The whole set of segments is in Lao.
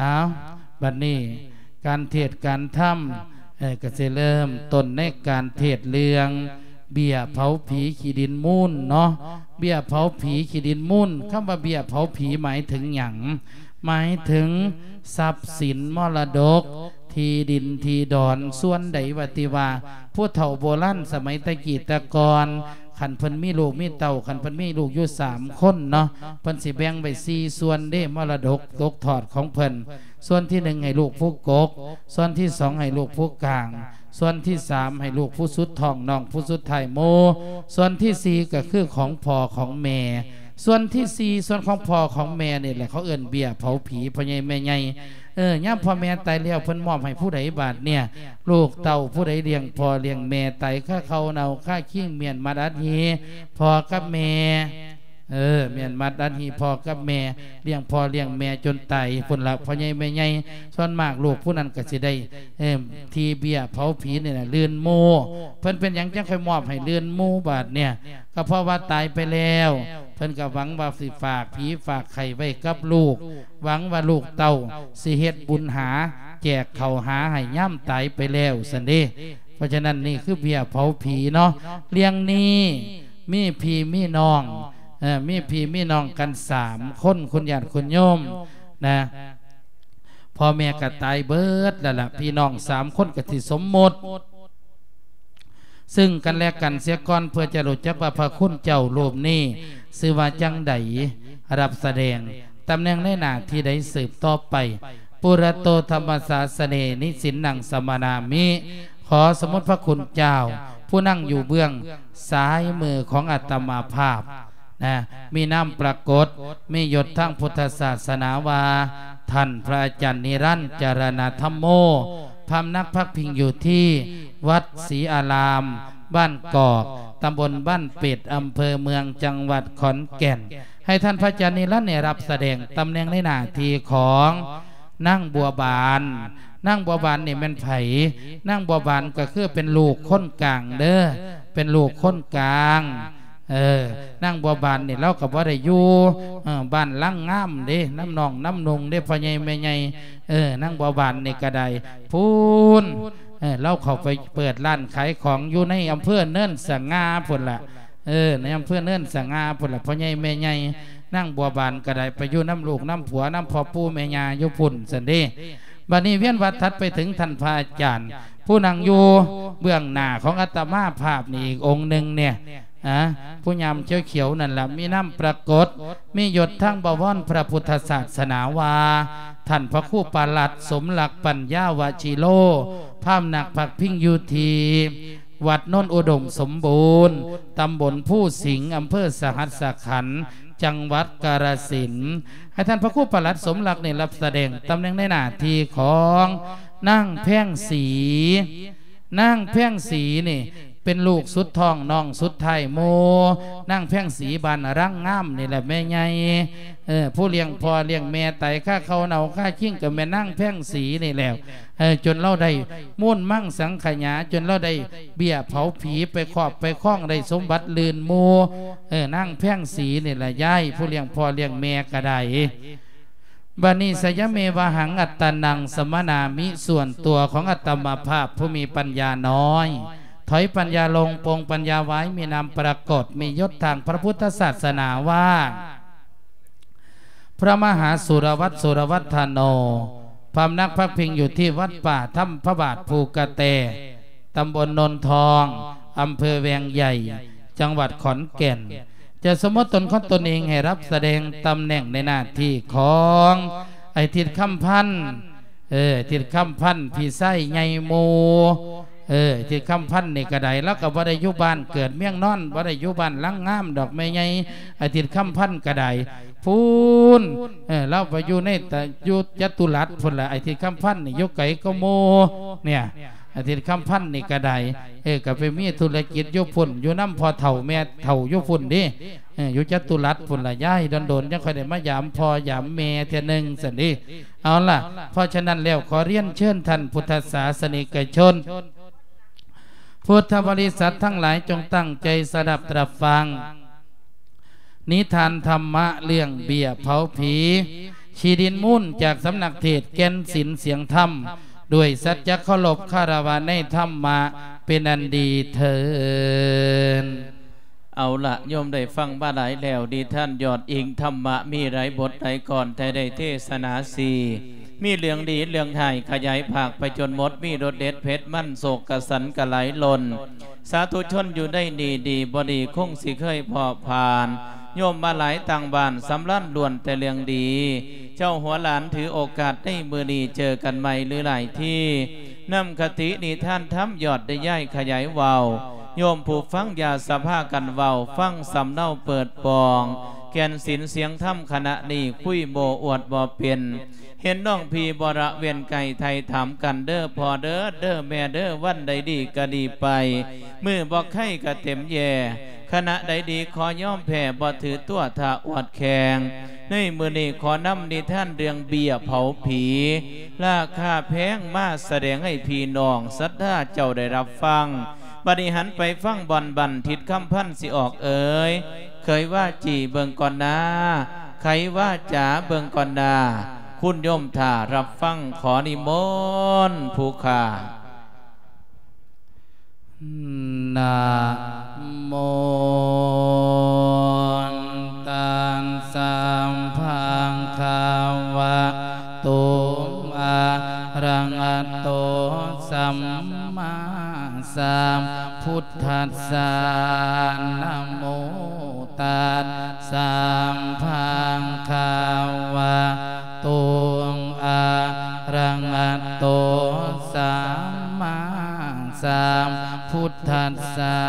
ອ້າວ ບັດນີ້ການເທດການທຳ ເອີ ກໍຊິເລີ່ມຕົ້ນໃນການເທດເລື່ອງເບ້ຍເຜົາຜີຂີ້ດິນມູນເນາະ. ເບ້ຍເຜົາຜີຂີ້ດິນມູນ, ຄຳວ່າເບ້ຍເຜົາຜີໝາຍເຖິງຫຍັງ? ໝາຍເຖິງຊັບສິນມໍລະດົກ ທີ່ດິນທີ່ດອນສ່ວນໃດວ່າຕິວ່າ ຜູ້ເຖົ້າໂບລານສະໄໝແຕ່ກີ້ແຕ່ກ່ອນ ຄັນເພິ່ນມີລູກມີເຕົ້າ ຄັນເພິ່ນມີລູກຢູ່ສາມຄົນເນາະ ເພິ່ນຊິແບ່ງໄວ້ສີ່ສ່ວນເດ້ ມໍລະດົກຕົກທອດຂອງເພິ່ນ. ສ່ວນທີໜຶ່ງໃຫ້ລູກຜູ້ກົກ, ສ່ວນທີສອງໃຫ້ລູກຜູ້ກາງ, ສ່ວນທີສາມໃຫ້ລູກຜູ້ສຸດທ້ອງ ນ້ອງຜູ້ສຸດທ້າຍໝູ່, ສ່ວນທີສີ່ກໍຄືຂອງພໍ່ຂອງແມ່. ສ່ວນທີສີ່ ສ່ວນຂອງພໍ່ຂອງແມ່ນີ້ແຫຼະ ເຂົາເອີ້ນເບ້ຍເຜົາຜີ ພໍ່ໃຫຍ່ແມ່ໃຫຍ່. ເອີ ຍາມພໍ່ແມ່ຕາຍແລ້ວ ເພິ່ນມອບໃຫ້ຜູ້ໃດບາດເນີ້ຍ? ລູກເຕົ້າຜູ້ໃດລ້ຽງພໍ່ລ້ຽງແມ່ ຕາຍຄາເຂົ້າເນົ່າຄາຄີງ ມ້ຽນມັດອັດຫີພໍ່ກັບແມ່. ເອີ ມ້ຽນມັດອັດຫີພໍ່ກັບແມ່ ລ້ຽງພໍ່ລ້ຽງແມ່ຈົນຕາຍພຸ້ນລະ ພໍ່ໃຫຍ່ແມ່ໃຫຍ່. ສ່ວນມາກລູກຜູ້ນັ້ນກໍຊິໄດ້ ເອີ ທີ່ເບ້ຍເຜົາຜີນີ້ນະ ລື່ນໝູ່. ເພິ່ນເປັນຫຍັງຈັ່ງຄ່ອຍມອບໃຫ້ລື່ນໝູ່ບາດເນີ້ຍ? ກໍເພາະວ່າຕາຍໄປແລ້ວ ເພິ່ນກໍຫວັງວ່າຊິຝາກຜີຝາກໄຂ້ໄວ້ກັບລູກ ຫວັງວ່າລູກເຕົ້າຊິເຮັດບຸນຫາ ແຈກເຂົ້າຫາໃຫ້ຍາມຕາຍໄປແລ້ວຊັ້ນເດ້. ເພາະສະນັ້ນ ນີ້ຄືເບ້ຍເຜົາຜີເນາະ. ເລື່ອງນີ້ມີພີ່ມີນ້ອງ ເອີ ມີພີ່ມີນ້ອງກັນສາມຄົນ ຄຸນຍາດຄຸນໂຍມນະ. ພໍ່ແມ່ກໍຕາຍເບິດແລ້ວລະ ພີ່ນ້ອງສາມຄົນກໍຊິສົມມຸດ ຊຶ່ງກັນແລະກັນເສຍກ່ອນ ເພື່ອຈະຮູ້ຈັກວ່າພະຄຸນເຈົ້າຮູບນີ້ຊື່ວ່າຈັ່ງໃດ, ຮັບສະແດງຕຳແໜ່ງໃນໜ້າທີ່ໃດສືບຕໍ່ໄປ. ປຸຣະໂຕທຳມະສາສະເນ ນິສິນນັງສະມະນາມິ. ຂໍສຳມຸດພະຄຸນເຈົ້າ ຜູ້ນັ່ງຢູ່ເບື້ອງຊ້າຍມືຂອງອາດຕະມາພາບ ນະ ມີນາມປາກົດ ມີຍົດທາງພຸດທະສາສະໜາວ່າ ທ່ານພະອາຈານນິລັນ ຈະລະນະທຳໂມ, ພຳນັກພັກພິງຢູ່ທີ່ວັດສີອາລາມ ບ້ານກອກ ຕຳບົນບ້ານເປັດ ອຳເພີເມືອງ ຈັງຫວັດຂອນແກ່ນ. ໃຫ້ທ່ານພະອາຈານນິລັນນີ້ຮັບສະແດງຕຳແໜ່ງໃນໜ້າທີ່ຂອງນາງບົວບານ. ນາງບົວບານນີ້ແມ່ນໃຜ? ນາງບົວບານກໍຄືເປັນລູກຄົນກາງເດີ້ ເປັນລູກຄົນກາງ. ເອີ ນາງບົວບານນີ້ລາວກໍບໍ່ໄດ້ຢູ່ ເອີ ບ້ານຫຼັງງາມເດ້ ນຳນ້ອງນຳນຸ່ງເດ້ ພໍ່ໃຫຍ່ແມ່ໃຫຍ່. ເອີ ນາງບົວບານນີ້ກໍໄດ້ ພຸ້ນ ເອີ ລາວເຂົ້າໄປເປີດຮ້ານຂາຍຂອງຢູ່ໃນອຳເພີເນີນສະຫງ່າພຸ້ນລະ ເອີ ໃນອຳເພີເນີນສະຫງ່າພຸ້ນລະ ພໍ່ໃຫຍ່ແມ່ໃຫຍ່. ນາງບົວບານກໍໄດ້ໄປຢູ່ນຳລູກນຳຜົວ ນຳພໍ່ປູ່ແມ່ຍ່າຢູ່ພຸ້ນຊັ້ນເດ້. ບັດນີ້ວຽນວັດຖັດໄປເຖິງທ່ານພະອາຈານ ຜູ້ນັ່ງຢູ່ເບື້ອງໜ້າຂອງອາດຕະມາພາບນີ້ອີກອົງໜຶ່ງເນຍ ອາ ຜູ້ຍາມຂຽວໆນັ້ນລະ ມີນາມປາກົດ ມີຍົດທາງບະວອນພະພຸດທະສາສະໜາວ່າ ທ່ານພະຄູປະຫຼັດ ສົມລັກ ປັນຍາວະຊິໂລ ພຳນັກພັກພິງຢູ່ທີ່ ວັດໂນນອຸດົມສົມບູນ ຕຳບົນພູສິງ ອຳເພີສະຫັດສະຂັນ ຈັງຫວັດກາລະສິນ. ໃຫ້ທ່ານພະຄູປະຫຼັດສົມລັກນີ້ຮັບສະແດງຕຳແໜ່ງໃນໜ້າທີ່ຂອງນາງແພງສີ. ນາງແພງສີນີ້ເປັນລູກສຸດທ້ອງ ນ້ອງສຸດທ້າຍໝູ່. ນາງແພງສີບ້ານລາງງາມນີ້ແຫຼະແມ່ໃຫຍ່. ເອີ ຜູ້ລ້ຽງພໍ່ລ້ຽງແມ່ ຕາຍຄາເຂົ້າເນົ່າຄາຄີງ ກໍແມ່ນນາງແພງສີນີ້ແຫຼະ. ເອີ ຈົນລາວໄດ້ມູນມັງສັງຂະຫຍາ ຈົນລາວໄດ້ເບ້ຍເຜົາຜີ ໄປຄອບໄປຄອງ ໄດ້ສົມບັດລື່ນໝູ່. ເອີ ນາງແພງສີນີ້ລະຍາຍ ຜູ້ລ້ຽງພໍ່ລ້ຽງແມ່ກໍໄດ້. ບັດນີ້ ສະຍະເມວະຫັງ ອັດຕະນັງສະມະນາມິ ສ່ວນຕົວຂອງອາດຕະມາພາບຜູ້ມີປັນຍານ້ອຍ ຖອຍປັນຍາລົງ ປົງປັນຍາໄວ້ ມີນາມປາກົດ ມີຍົດທາງພະພຸດທະສາສະໜາວ່າ ພະມະຫາສຸລະວັດ ສຸລະວັດທະໂນ ພຳນັກພັກພິງຢູ່ທີ່ວັດປ່າທຳພະບາດພູກະແຕ ຕຳບົນໂນນທອງ ອຳເພີແວງໃຫຍ່ ຈັງຫວັດຂອນແກ່ນ ຈະສົມມຸດຕົນຂອງຕົນເອງໃຫ້ຮັບສະແດງຕຳແໜ່ງໃນໜ້າທີ່ຂອງໄອ້ທິດຄຳພັນ. ເອີ ທິດຄຳພັນ ພີ່ຊາຍໃຫຍ່ໝູ່. ເອີ ທິດຄຳພັນນີ້ກໍໄດ້ ລາວກໍບໍ່ໄດ້ຢູ່ບ້ານເກີດເມືອງນອນ ບໍ່ໄດ້ຢູ່ບ້ານຫຼັງງາມດອກແມ່ໃຫຍ່. ໄອ້ທິດຄຳພັນກໍໄດ້ ພຸ້ນ ເອີ ລາວໄປຢູ່ໃນ ຢູ່ຈະຕຸລັດພຸ້ນລະ. ໄອ້ທິດຄຳພັນນີ້ຢູ່ໄກກວ່າໝູ່ເນຍ. ອາທິດຄຳພັນນີ້ກໍໄດ້ ເອີ ກໍໄປມີທຸລະກິດຢູ່ພຸ້ນ ຢູ່ນຳພໍ່ເຖົ້າແມ່ເຖົ້າຢູ່ພຸ້ນເດ້ ເອີ ຢູ່ຈະຕຸລັດພຸ້ນລະ ຍາຍ ດົນໆ ຈັ່ງຄ່ອຍໄດ້ມາຢາມພໍ່ຢາມແມ່ເທື່ອໜຶ່ງຊັ້ນເດ້. ເອົາລະ ເພາະສະນັ້ນແລ້ວ ຂໍລຽນເຊີນທ່ານພຸດທະສາສະນິກະຊົນ ພຸດທະບໍລິສັດທັງຫຼາຍ ຈົ່ງຕັ້ງໃຈສະດັບຕະຟັງ ນິທານທຳມະເລື່ອງເບ້ຍເຜົາຜີ ທີ່ດິນມູນຈາກສຳນັກເທດແກ່ນສິນສຽງທຳ ດ້ວຍສັດຈະເຄົາລົບຄາລະວະໃນທຳມະເປັນອັນດີເທີ້ນ. ເອົາລະ ໂຍມໄດ້ຟັງມາຫຼາຍແລ້ວ, ນິທານຍອດອີງທຳມະມີຫຼາຍບົດຫຼາຍກອນ, ແຕ່ໄດ້ເທສະໜາສີ່ ມີເລື່ອງດີເລື່ອງຮ້າຍ ຂະຫຍາຍພາກໄປຈົນໝົດ, ມີລົດເດັດເຜັດມັນ ໂສກກະສັນກະໄຫຼຫຼົ່ນ. ສາທຸຊົນຢູ່ໃນນີ້ ດີບໍ່ດີຄົງຊິເຄີຍພໍຜ່ານ, ໂຍມມາຫຼາຍຕ່າງບ້ານສຳລານລ້ວນແຕ່ເລື່ອງດີ. ເຈົ້າຫົວຫຼານຖືໂອກາດໃນມື້ນີ້ເຈີກັນໃໝ່ຫຼືຫຼາຍທີ, ນຳຄະຕິນິທານທຳຍອດໄດ້ຍາຍຂະຫຍາຍເວົ້າ, ໂຍມຜູ້ຟັງຢ່າສະພາກັນເວົ້າ, ຟັງສຳເນົາເປີດປ່ອງ, ແກ່ນສິນສຽງທຳຂະນະນີ້ຄຸຍໂມ້ອວດບໍ່ເປັນ. ເຫັນນ້ອງພີ່ບໍ່ລະເວັ້ນໄກ ໄຖ່ຖາມກັນເດີພໍ່ເດີ ເດີແມ່ເດີ ວັນໃດດີກະດີໄປ ມື້ບໍ່ໄຄກະເຕັມແຢ່ ຂະນະໃດດີຂໍຍອມແພ້ ບໍ່ຖືຕົວຖ້າອວດແຂ່ງ ໃນມື້ນີ້ຂໍນຳນິທານເລື່ອງເບ້ຍເຜົາຜີ ລາຄາແພງມາສະແດງໃຫ້ພີ່ນ້ອງສັດທາເຈົ້າໄດ້ຮັບຟັງ. ບັດນີ້ຫັນໄປຟັງບ່ອນບັນທິດຄຳພັນຊິອອກເອີຍ ເຄີຍວ່າຈີ່ເບິ່ງກ່ອນນາ ໄຂວ່າຈາເບິ່ງກ່ອນນາ ຄຸນໂຍມຖ້າຮັບຟັງ ຂໍນິມົນຜູ້ຂ້າ. ນະໂມ ຕັດສະ ພະຄະວະໂຕ ອະລະຫະໂຕ ສຳມາສຳພຸດທັດສະ ນະໂມ ຕັດສະ ພະຄະວະໂຕ ອະລະຫະໂຕ ສຳມາສຳພຸດທັດສະ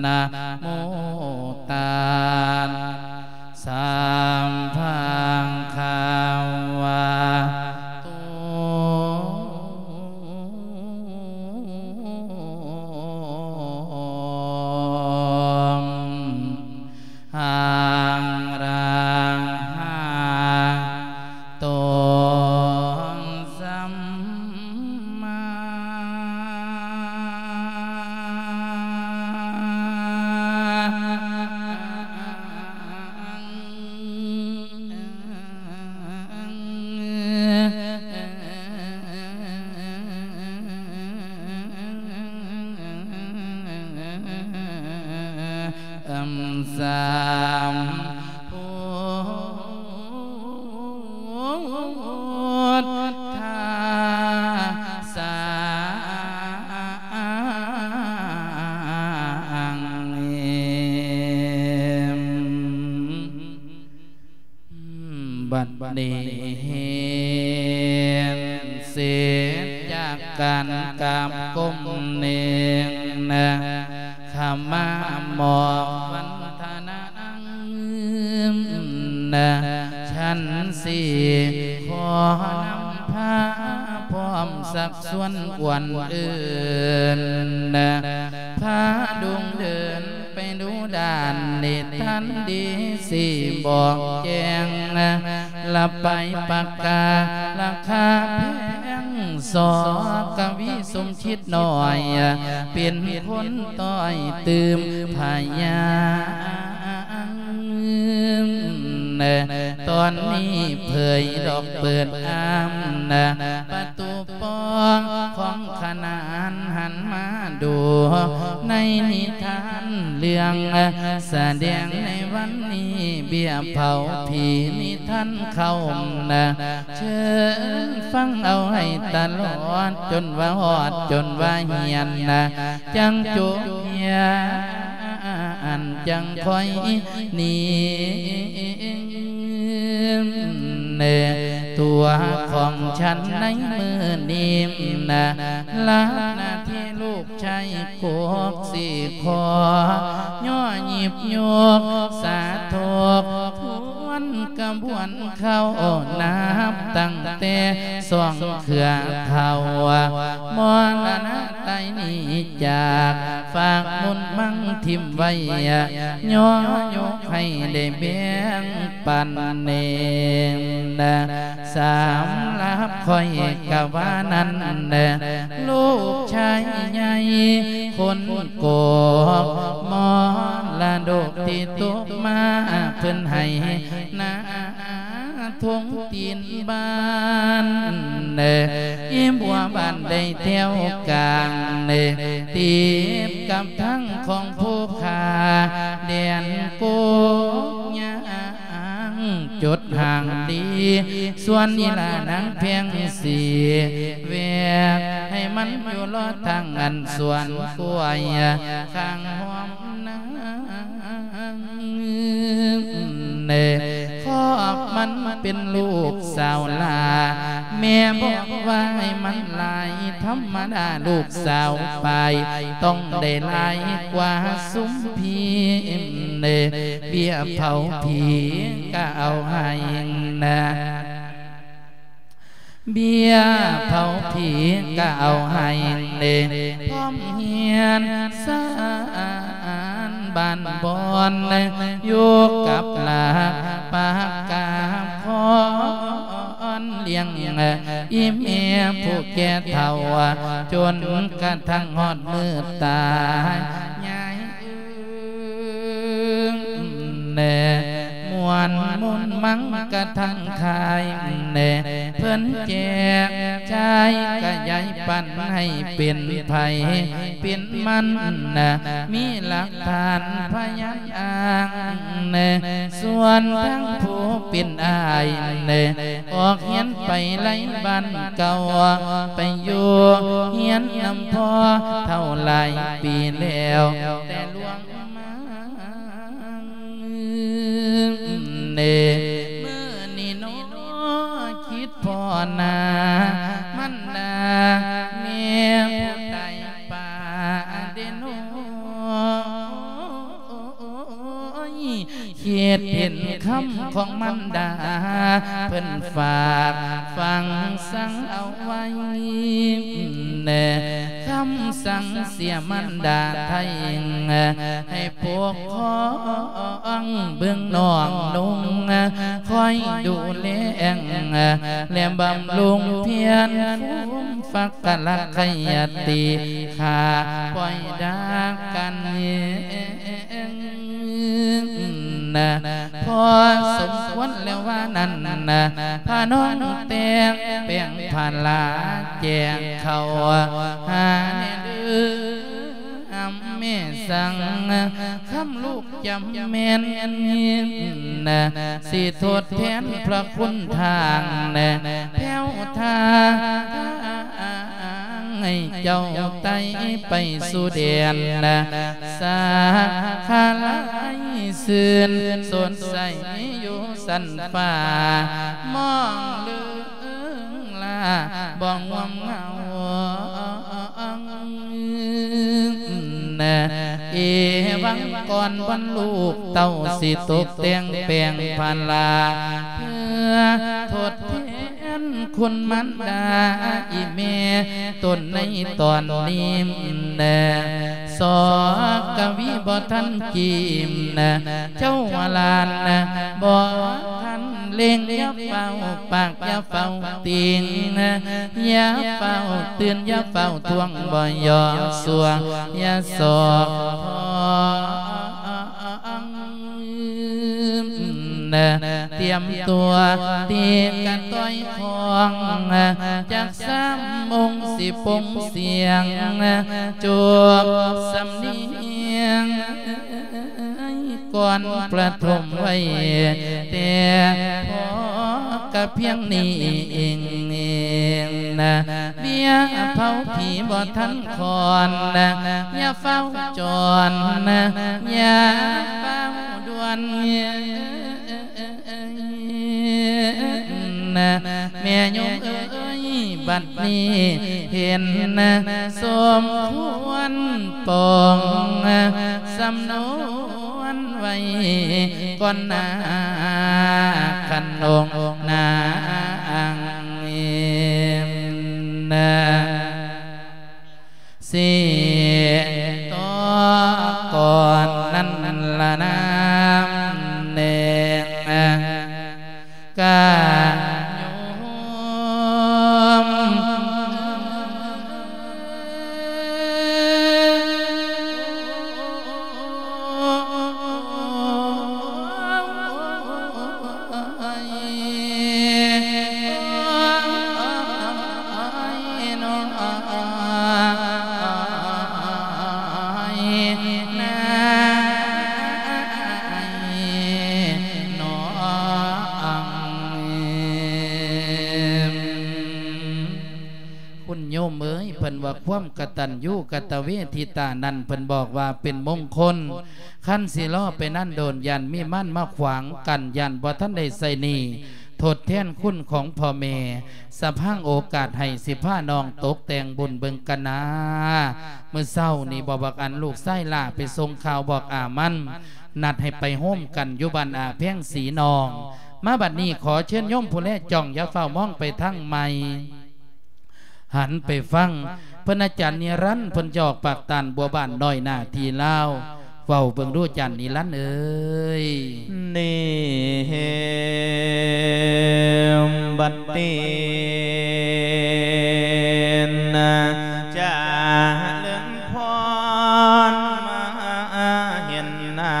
ນະໂມ ຕັດສະ ພະຄະວະໂຕ ອະລະຫະໂຕ ສຳມາ ສຳພຸດທັດສະ ບັດນີ້ເຫັນເສດຈາກການກາບກົ້ມເໜັງນະ ຂະມາມອບວັນທະນາ ນະ ຊັ້ນສີ່ ຂໍນຳພາພ້ອມຊັກຊວນອວນເອີ້ນນະ ພາດຸງເດີນໄປດູດ່ານນິທານດີຊິບອກແຈ້ງນະ ລະໄປປະກາລະຄາແພງ ສ ກະວີ ສົມ ຄິດນ້ອຍ ເປັນຄົນຕ້ອຍຕື່ມພະຍາ ຕອນນີ້ເຜີຍດອກເປີດອາມນະ ປະຕູປອງຂອງຂະໜານຫັນມາດູ ໃນນິທານເລື່ອງສະແດງໃນວັນນີ້ ເບ້ຍເຜົາຜີນິທານເຂົ້ານະ ເຊີນຟັງເອົາໃຫ້ຕະຫຼອດ ຈົນວ່າຮອດ ຈົນວ່າຮຽນນະ ຈັ່ງຈົບຮຽນ ອັນຈັ່ງຄ່ອຍໜີ ຕົວຂອງສັນໃນມື້ນີ້ນະ ລະນາທີ່ລູກ ໃຊ້ໂຄກສີ່ຂໍ ຍໍຫຍິບຍົກສາທົບ ທວນກະບວນເຂົ້າ ນັບຕັ້ງແຕ່ສອງເຄືອເທົ່າ ມໍລະນະໄຕໜີຈາກ ຝາກບຸນໝັ້ງຖິ້ມໄວ້ ຍໍຍົກໃຫ້ໄດ້ແບ່ງປັນເອງນະ. ສຳລັບຂ້ອຍກະວ່ານັ້ນນະ ລູກຊາຍໃຫຍ່ຄົນກອກ ມໍລະດົກທີ່ຕົກມາເພິ່ນໃຫ້ນາ ທົ່ງຕີນບ້ານເນ ອີບົວບ້ານໄດ້ແຖວກາງເນ ຕິດກັບທາງຂອງພູຜາແດນໂກກຍາງ ຈົດຫ່າງດີ ສ່ວນອີຫຼ້ານາງແພງສີ ແວກໃຫ້ມັນຢູ່ລໍທາງອັນສວນກ້ວຍ ຂ້າງຮ່ອມນາ ເນ ຄອບມັນເປັນລູກສາວຫຼ້າ ແມ່ບອກວ່າໃຫ້ມັນຫຼາຍທຳມະດາ ລູກສາວປາຍຕ້ອງໄດ້ຫຼາຍກວ່າຊຸມພີ່ ເນ ເບ້ຍເຜົາຜີກະເອົາໃຫ້ນະ. ເບ້ຍເຜົາຜີກະເອົາໃຫ້ເດ ພ້ອມຮຽນສານບ້ານບ່ອນ ຢູ່ກັບຫຼັກປາກກາພອນ ລ້ຽງອີແມ່ຜູ້ແກ່ເຖົ້າ ຈົນກະທັ້ງຮອດມື້ຕາຍ ຍາຍ ແນ່ ມ່ວນມຸນມັງກະທັງຄາຍແນ່ ເພິ່ນແຈກຈ່າຍກະຢາຍປັນໃຫ້ເປັນໃຜເປັນມັນນະ ມີຫຼັກຖານພະຍານອ້າງແນ່ ສ່ວນທາງຜູ້ເປັນອ້າຍແນ່ ອອກຮຽນໄປໄລບ້ານເກົ່າ ໄປຢູ່ຮຽນນຳພໍ່ເຖົ້າຫຼາຍປີແລ້ວ ແຕ່ລ່ວງ ເນ ມື້ນີ້ໜໍຄິດພໍ້ໜ້າ ມັນດາແມ່ຜູ້ຕາຍປາເດໜໍ ຄິດເຫັນຄຳຂອງມັນດາ ເພິ່ນຝາກຝັງສັງເອົາໄວ້ ແນ່ ຄຳສັງເສຍມັນດາໄທ ໃຫ້ປົກຄອງເບິ່ງນ້ອງນຸ່ງ ຄອຍດູແລ ແລະບຳລຸງພຽນ ພູມຟັກກະລັກໄຄຍະຕິ ຂ້າປ່ອຍດາກກັນ ນະ ພໍສົມຄວນແລ້ວວ່ານັ້ນນະ ພານ້ອງແຕ່ງແປງພາລາແຈງເຂົ້າຫາແນ່ເດີ ອຳແມ່ສັງ ຄຳລູກຈຳແມ່ນນະ ຊິທົດແທນພະຄຸນທາງນະ ແພ້ວທາງ ໃຫ້ເຈົ້າໄຕ່ໄປສູ່ແດນນະ ສາຂາລາຍຊື່ນສົດໃສຢູ່ຊັ້ນຟ້າ ມອງເລີງລາບໍ່ງ່ວງເຫງົາ ເອວັງກ່ອນວັນລູກເຕົ້າ ຊິຕົກແຕ່ງແປງພາລາ ເພື່ອທົດແທນຄຸນມານດາອີແມ່ຕົນໃນຕອນນີ້ແນ່ ສອກະວີບໍ່ທັນກີມນະ ເຈົ້າວ່າຫຼານນະ ບໍ່ທັນເລັ່ງ ຢ່າຟ້າວປາກ ຢ່າຟ້າວຕິງນະ ຢ່າຟ້າວຕື່ນ ຢ່າຟ້າວທວງ ບໍ່ຢອມຊ່ວງ ຢ່າສອກ ນະ ຕຽມຕົວຕີກະຕ່ອຍຂອງ ຈັກສາມອົງຊິປົງສຽງ ຈົບສຳນຽງ ກ່ອນປະຖົມໄວ້ ແຕ່ພໍກະພຽງນີ້ເອງນະ ເບ້ຍເຜົາຜີບໍ່ທັນຄອນນະ ຢ່າຟ້າວຈອນນະ ຢ່າຟ້າວດ່ວນ ນະ ແມ່ໂຍມເອີຍ ບັດນີ້ເຫັນນະ ສົມຄວນປອງນະ ສຳນວນໄວ້ກ່ອນນາ ຄັນອົງນາງນະ ຊິ ກະໂຍມ ຄຸນໂຍມເອີຍ ເພິ່ນວ່າຄວາມກະຕັນຍູກະຕະເວທິຕານັ້ນ ເພິ່ນບອກວ່າເປັນມົງຄົນ ຄັນຊິລໍໄປນັ້ນໂດນ ຢ້ານມີມານມາຂວາງກັນ ຢ້ານບໍ່ທັນໄດ້ໃຊ້ໜີ້ ທົດແທນຄຸນຂອງພໍ່ແມ່ ສະພັງໂອກາດໃຫ້ ຊິພານ້ອງຕົກແຕ່ງບຸນເບິ່ງກັນນາ. ມື້ເຊົ້ານີ້ບໍ່ ບັກອັນ ລູກຊາຍຫຼ້າໄປສົ່ງຂ່າວບອກອາມັນ ນັດໃຫ້ໄປໂຮມກັນຢູ່ບ້ານອາແພງສີນ້ອງ. ມາບັດນີ້ຂໍເຊີນໂຍມຜູ້ແລຈ້ອງ ຢ່າຟ້າວມອງໄປທາງໃໝ່ ຫັນໄປຟັງເພິ່ນ ອາຈານນິລັນ ເພິ່ນຈະອອກປາກຕານບົວບານນ້ອຍໜ້າທີ່ລາວ ເວົ້າເບິ່ງດູ ອາຈານນິລັນເອີຍ. ນີ້ ບັດນີ້ນະ ຈະເລີນພອນມາເຫັນໜ້າ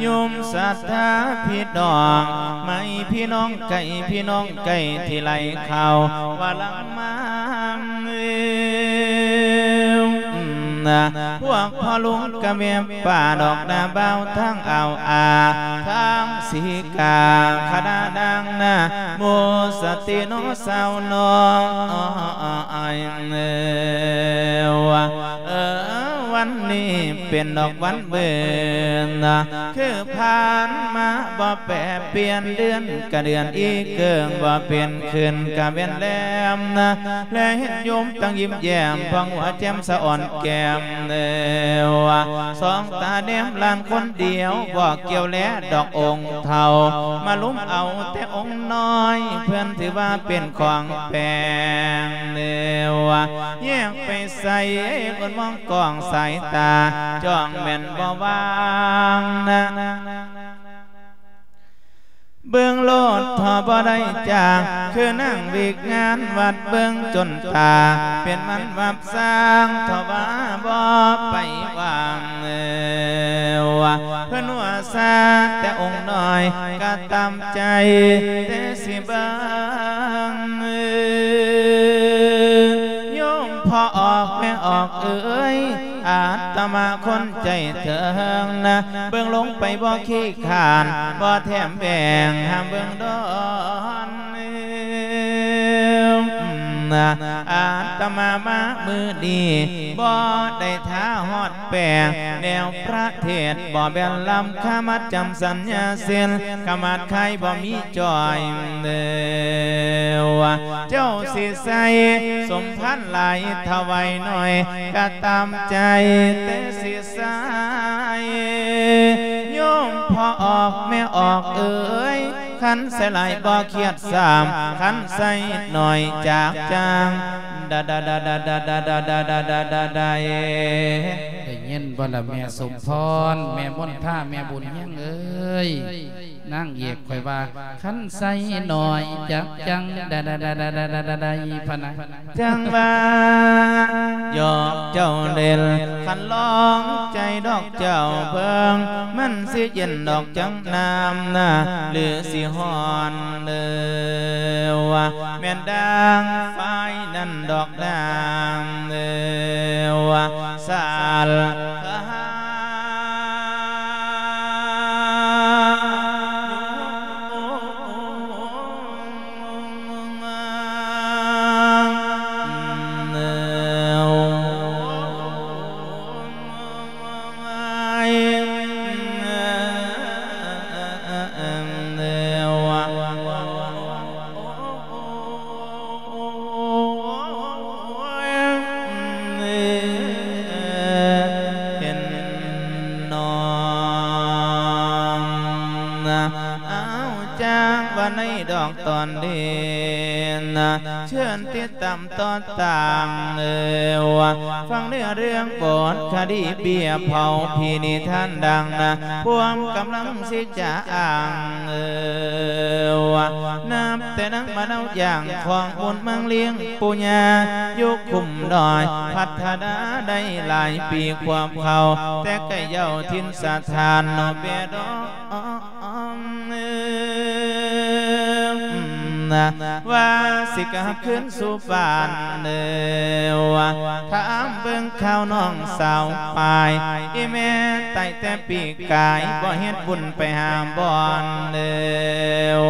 ໂຍມສັດທາພີ່ນ້ອງໃໝ່ ພີ່ນ້ອງໄກ ພີ່ນ້ອງໃກ້ ທີ່ໄຫຼເຂົ້າວ່າຫຼັງມາ ນະ ພວກພໍ່ລຸງກະແມ່ປ້າ ດອກໜ້າບ່າວທາງອ່າວອາ ທາງສີກາ ຄະນະນາງນາໂມ ສະຕິໂນ ສາວນ້ອຍ ເອີ ວັນນີ້ເປັນດອກວັນເບີນນະ ຄືຜ່ານມາບໍ່ແປປ່ຽນ ເດືອນກະເດືອນອີເກີງ ບໍ່ເປັນຄືນກະແມ່ນແລມນະ ແລເຫັນໂຍມຕັ້ງຍິ້ມແຍ້ມ ຜ່ອງຫົວແຈ່ມສະອອນແກ້ມ ເອີ ສອງຕາແນມຫຼານຄົນດຽວ ບໍ່ກ່ຽວແລດອກອົງເຖົ້າ ມາລຸມເອົາແຕ່ອົງນ້ອຍ ເພິ່ນຖືວ່າເປັນຂອງແປງ ເອີ ແຍກໄປໃສ ອວນມອງກ້ອງສາຍຕາ ຈ້ອງແມ່ນບໍ່ວ່າງນະ. ເບິ່ງໂລດເຖາະບໍ່ໄດ້ຈາກ ຄືນັ່ງວິກງານວັດເບິ່ງຈົນຕາ ເປັນມັນວັບສ້າງເຖາະວ່າບໍ່ໄປຫວັງ ເອີ ວ່າເພິ່ນວ່າຊາແຕ່ອົງນ້ອຍ ກະຕາມໃຈແຕ່ຊິເບິ່ງ ໂຍມພໍ່ອອກແມ່ອອກເອີຍ ອາດຕະມາຄົນໃຈເຖິງນະ ເບິ່ງລົງໄປບໍ່ຂີ້ຄ້ານ ບໍ່ແຖມແບ່ງຫ້າມເບິ່ງດອນ ອາດຕະມາມາມື້ນີ້ ບໍ່ໄດ້ຖ້າຮອດແປງ ແນວພະເທດບໍ່ແມ່ນລຳຄາ ມັດຈຳສັນຍາສິນ ຂະມາດຄາຍບໍ່ມີຈ່ອຍ ເອີ ວ່າເຈົ້າຊິໃສ່ສົມພານຫຼາຍ ຖວາຍໜ້ອຍກະຕາມໃຈແຕ່ຊິໃສ່ ໂຍມພໍ່ອອກແມ່ອອກເອີຍ ຄັນໃສ່ຫຼາຍບໍ່ຄຽດຊ້ຳ ຄັນໃສ່ໜ້ອຍຈາກຈາງ ດາດາດາດາດາດາດາດາດາດາດາ ໄດ້ຍິນບໍ່ລະແມ່ສົມພອນ ແມ່ມົນທາ ແມ່ບຸນຮຽງເອີຍ ນາງເອກຂ້ອຍວ່າ ຄັນໃສ່ໜ້ອຍຈັກຈັ່ງ ດາດາດາດາດາດາດາດາ ພະນະ ຈັ່ງວ່າ ຢອກເຈົ້າເຫຼັ້ນ ຄັນລອງໃຈດອກເຈົ້າເບິ່ງ ມັນຊິເຢັນດອກຈັ່ງນ້ຳນະ ຫຼືຊິຮ້ອນເດີ ວ່າແມ່ນດັ່ງໄຟນັ້ນດອກ ນາງເອີ ວ່າສາລ ຈາກວ່າໃນດອກຕອນເດນນະ ເຊີນຕິດຕາມຕໍ່ຕາມເດີວ່າ ຟັງເນື້ອເລື່ອງບົດຄະດີເບ້ຍເຜົາຜີນິທານດັ່ງນະ ພວມກຳລັງຊິຈະອ້າງເດີວ່າ ນັບແຕ່ນາງມະນາວຢ່າງຂອງບຸນເມືອງລຽງປູ່ຍ່າ ຢູ່ຄຸ້ມດອຍ ພັດທະນາໄດ້ຫຼາຍປີຄວາມເຂົາ ແຕ່ໄກເຍົາຖິ່ນສະຖານເນາະເບດອງ ອອມ ເອີ ວ່າຊິກັບຄືນສູ່ບ້ານເດີວ່າ ຖາມເບິ່ງຂ່າວນ້ອງສາວປາຍ ອີແມ່ຕາຍແຕ່ປີກາຍ ບໍ່ເຮັດບຸນໄປຫາບ່ອນເດີ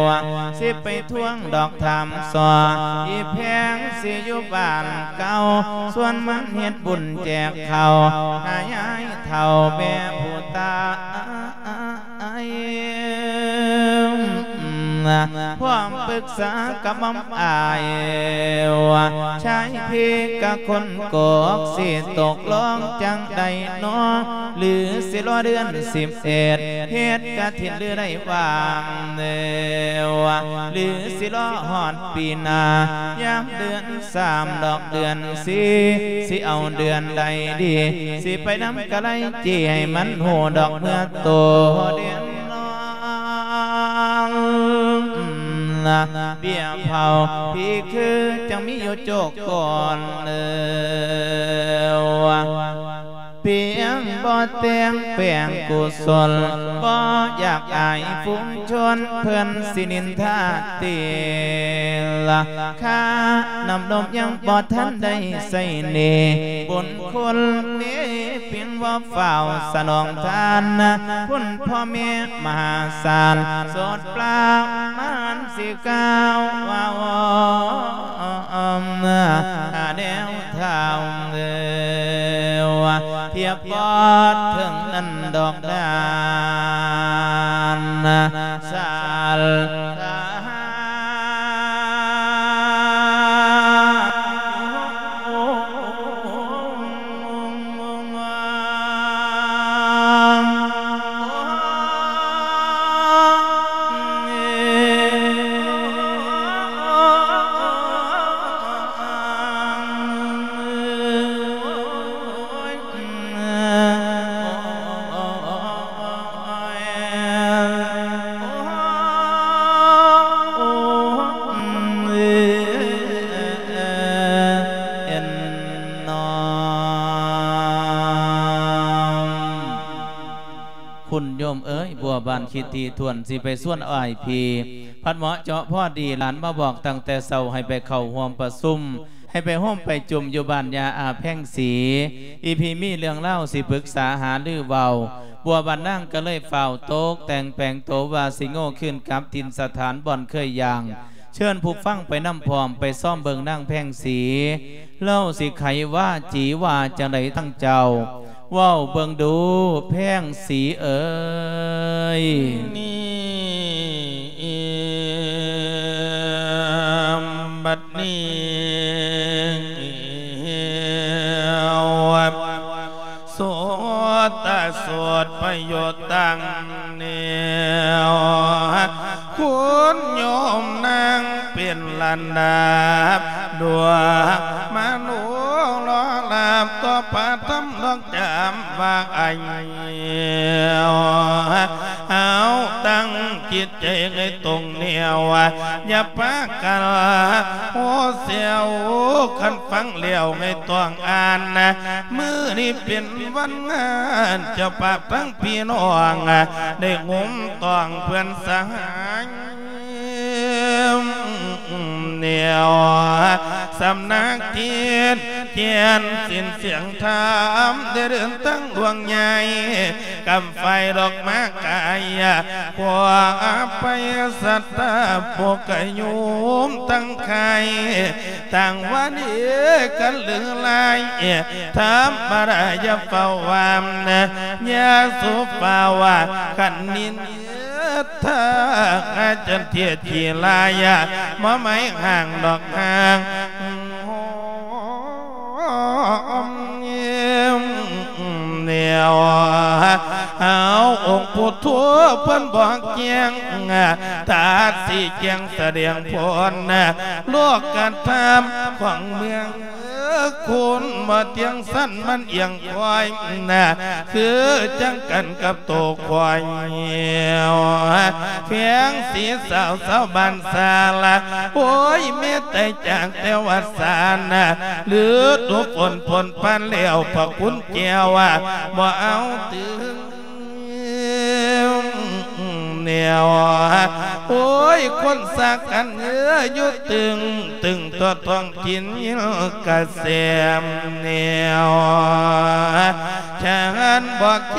ວ່າ ຊິໄປທວງດອກຖາມສໍ ອີແພງຊິຢູ່ບ້ານເກົ່າ ສ່ວນມັນເຮັດບຸນແຈກເຂົ້າ ຫາຍາຍເຖົ້າແມ່ຜູ້ຕາຍ ພ້ອມປຶກສາກັບໝ່ອມອ້າຍວ່າ ຊາຍພີກະຄົນກອກ ຊິຕົກລົງຈັ່ງໃດນໍ ຫຼືຊິລໍເດືອນສິບເອັດ ເຮັດກະຖິນຫຼືໄດ້ຫວ່າງແລ້ວ ຫຼືຊິລໍຮອດປີໜ້າ ຍາມເດືອນ ສາມດອກເດືອນສີ່ ຊິເອົາເດືອນໃດດີ ຊິໄປນຳກະໄລຈີ ໃຫ້ມັນຮູ້ດອກເມື່ອໂຕເດືອນນ້ອງ ເບ້ຍເຜົາຜີຄືຈັ່ງມີຢູ່ໂຈກກ່ອນເດີ ປຽງບໍ່ແຕ່ງແປງກຸສົນ ບໍ່ຢາກອາຍຝູງຊົນ ເພິ່ນຊິນິນທາຕິລະ ຂ້ານ້ຳນົມຍັງບໍ່ທັນໄດ້ໃຊ້ໜີ້ ບຸນຄຸນເນ ພຽງວ່າຟ້າວສະໜອງທານ ຄຸນພໍ່ແມ່ມະຫາສານ ໂສດປາມານ ຊິກ່າວວ່າ ອອມ ຫາແນວທາງເດີ ທຽບບໍ່ເຖິງນັ້ນດອກດານ ສາລ ຄຸນໂຍມເອີຍ ບົວບານຄິດຖີ່ຖ້ວນ ຊິໄປຊວນອ້າຍພີ່ ພັດເໝາະເຈາະພໍດີ ຫຼານມາບອກຕັ້ງແຕ່ເຊົ້າ ໃຫ້ໄປເຂົ້າຮ່ວມປະຊຸມ ໃຫ້ໄປໂຮມໄປຈຸມຢູ່ບ້ານຍ່າອາແພງສີ ອີ່ພີ່ມີເລື່ອງລາວຊິປຶກສາຫາລືເວົ້າ ບົວບານນາງກໍເລີຍຟ້າວຕົກແຕ່ງແປງໂຕວ່າຊິໂງ່ຄືນກັບຖິ່ນສະຖານບ່ອນເຄີຍຍ່າງ ເຊີນຜູ້ຟັງໄປນຳພ້ອມ ໄປຊອມເບິ່ງນາງແພງສີ ລາວຊິໄຂວາຈີວ່າຈັ່ງໃດທາງເຈົ້າ ເວົ້າເບິ່ງດູແພງສີເອີຍ. ນີ້ ບັດນີ້ ສຸດຕະສູດປະໂຫຍດຕັ້ງແນວ ຄຸນໂຍມນາງເປັນລະດັບ ດວງມະໂນລໍລາບຕໍ່ພະທຳດອກຈຳວ່າໄອ ເຮົາຕັ້ງຈິດໃຈໃຫ້ຕົງແນວ ຢ່າປາກັນໂຮເຊວ ຄັນຟັງແລ້ວໃຫ້ຕ້ອງອ່ານ ມື້ນີ້ເປັນວັນງານ ເຈົ້າພາບທັງພີ່ນ້ອງ ໄດ້ໂຮມຕ້ອງເພື່ອນສະຫາຍ ແນວສຳນັກທິດ ແກ່ນສິນສຽງທຳ ໄດ້ເດີນທາງດວງໃຫຍ່ ກຳໄຟດອກມາກາຍ ຂໍອະໄພສັດທາ ພວກກະໂຍມທັງໄຄ ຕ່າງວ່າດີກັນຫຼືຫຼາຍ ທຳມະດາຢ່າເຝົ້າວ່າ ຢ່າສູ່ຟ້າວວ່າ ຄັນນິນ ທາງອາຈານເທດທີ່ລາຍາ ມາໄມ້ຫ່າງດອກຫ່າງ ແນວ ເຮົາອົງພຸດ ໂທເພິ່ນບອກແຈ້ງ ຕັດຊີ້ແຈງສະແດງຜົນ ໂລກກະທຳຂອງເມືອງ ຄຸນບໍ່ທ່ຽງສັນ ມັນອຽງຄວາຍນະ ຄືຈັ່ງກັນກັບໂຕຄວາຍ ແຂວງສີສາວ ຊາວບ້ານສາລະ ໂອ້ຍ ແມ່ໄຕຈາກແຕ່ວ່າສານະ ລະດູຝົນພົ້ນຜ່ານແລ້ວ ພະຄຸນແກ້ວບໍ່ເອົາຕື່ມ ແນວ ໂອ້ຍ ຄົນສາກັນເອີ ຢູ່ຕຶງ ຕຶງຕົວທ້ອງຖິ່ນ ຍິນກະແສມ ແນວ ຊານບໍ່ແຄ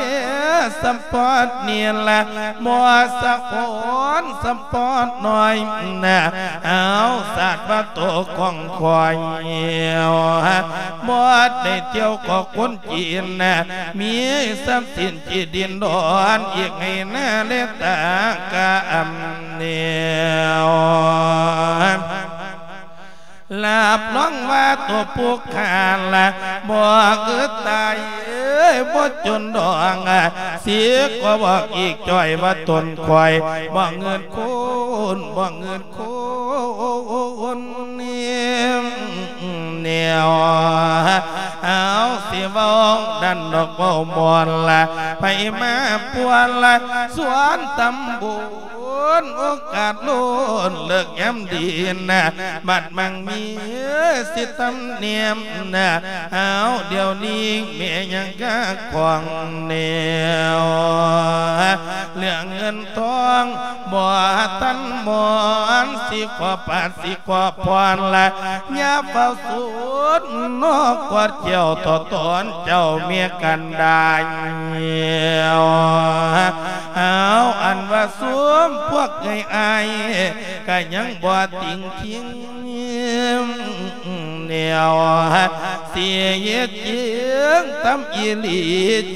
ສຳປອດນີ້ລະ ບໍ່ສະໂອນສຳປອດນ້ອຍນະ ເອົາສາດວ່າໂຕຂອງຂ້ອຍ ບໍ່ໄດ້ທ່ຽວກໍຄົນ ຈີນນະ ມີຊັບສິນທີ່ດິນດອນ ອີກໃຫ້ນາແລຕາກະອຳແນວ ຮັບຮອງວ່າຕົວຜູ້ຂ້າລະ ບໍ່ອຶດຕາຍເອີຍ ບໍ່ຈົນດອງ ຊິກໍບອກອີກຈ້ອຍວ່າຕົນຂ້ອຍ ບໍ່ເງິນຄູນ ບໍ່ເງິນ ຄົນແນວ ເອົາ ຊິເວົ້າດັນດອກເວົ້າມ່ວນລະ ໃຜມາປວນລະ ສວນຕຳບຸນ ໂອກາດລົ້ນເລີກຍາມດີນະ ບັດມັງມີສິຕຳແໜມນະ ເອົາ ດຽວນີ້ແມ່ຍັງກະຂອງແນວ ເລື່ອງເງິນທອງ ບໍ່ທັນມອນ ຊິຂໍປາດ ຊິຂໍພອນລະ ຢ່າເຝົ້າສູນນອກກອດແກ້ວ ຕໍ່ຕອນເຈົ້າເມຍກັນດາຍ ເອົາ ອັນວ່າຊຸມພວກເອື້ອຍອ້າຍ ກະຍັງບໍ່ຕິງທິງ ແນວ ຊິເຮັດຈິງຕາມອີ່ຫຼີ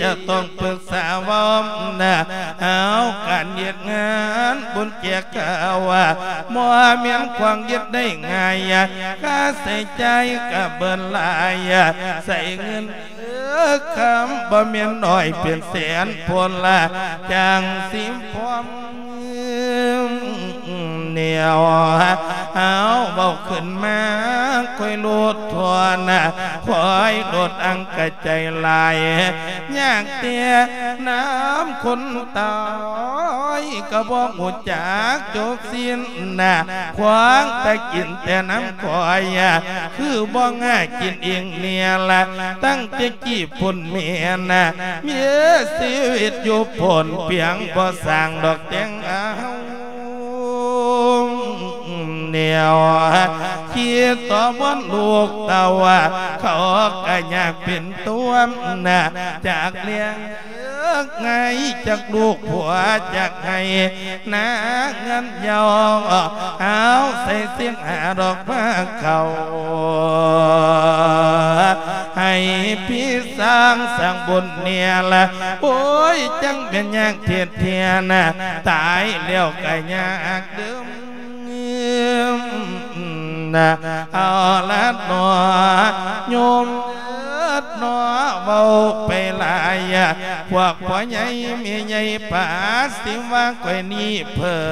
ຈະຕ້ອງປຶກສາເວົ້ານະ ເອົາ ການເຮັດງານບຸນແຈກກາວ ບໍ່ແມ່ນຂອງເຮັດໄດ້ງ່າຍ ຄ່າໃຊ້ຈ່າຍກະເບີນຫຼາຍ ໃຊ້ເງິນ ເອີ ຄຳ ບໍ່ແມ່ນໜ້ອຍເປັນແສນພຸ້ນລະ ຈັ່ງຊິພ້ອມ ແນວ ເອົາ ເວົ້າຂຶ້ນມາ ຄ່ອຍໂລດທວນນະ ຄ່ອຍໂລດອັງກະໃຈຫຼາຍ ຍາກແຕ່ນຳຄົນຕາຍ ກະບໍ່ຮູ້ຈັກຈົບສິ້ນນະ ຂວາງຕາກິນແຕ່ນຳຂ້ອຍ ຄືບໍ່ຫາກິນເອງແນ່ລະ ຕັ້ງແຕ່ກີ້ພຸ້ນແມ່ນະ ມີຊີວິດຢູ່ພົ້ນ ປຽງບໍ່ສ້າງດອກແຕ່ງເອົາ ແນວ ຄິດຕໍ່ບ່ອນລູກເຕົ້າ ເຂົາກະຢາກເປັນຕົວນະ ຈາກເລື່ອງ ເອີ ໄງຈັກລູກຜົວຈັກໃຫ້ນາເງິນເຍົາ ເອົາໃສ່ເສຍງຫາດອກມາເຂົ້າ ໃຫ້ພີ່ສ້າງສ້າງບຸນແນ່ລະ ໂອ້ຍ ຈັ່ງແມ່ນຍາກເທັດແທ້ນະ ຕາຍແລ້ວກະຍາກເດີມ ນະ ເອົາລະໜໍ່ ໂຍມເອີດໜໍ່ ເວົ້າໄປຫຼາຍ ພວກພໍ່ໃຫຍ່ແມ່ໃຫຍ່ປາ ຊິວ່າຂ້ອຍນີ້ເພິ່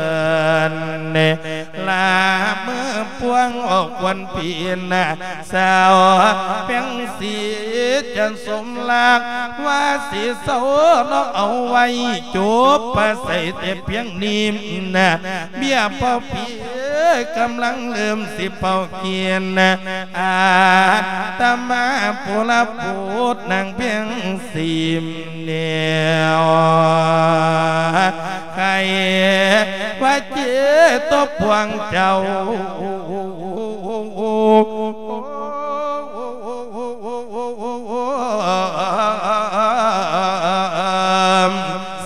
ນ ລາເມີພວງອອກຄວັນພີນນະ ສາວແພງສີຈັນສົມລັກ ວ່າຊິເຊົາເນາະ ເອົາໄວ້ຈົບປາໄສແຕ່ພຽງນີ້ນະ ເບ້ຍເປົ່າພີ ເອີຍ ກຳລັງເລີ່ມຊິເປົ່າກຽນນະ ອາດຕະມາຜູ້ລະໂພດນາງເປັນສີມແນວ ໃຄວ່າເຈຕົບພວງເຈົ້າ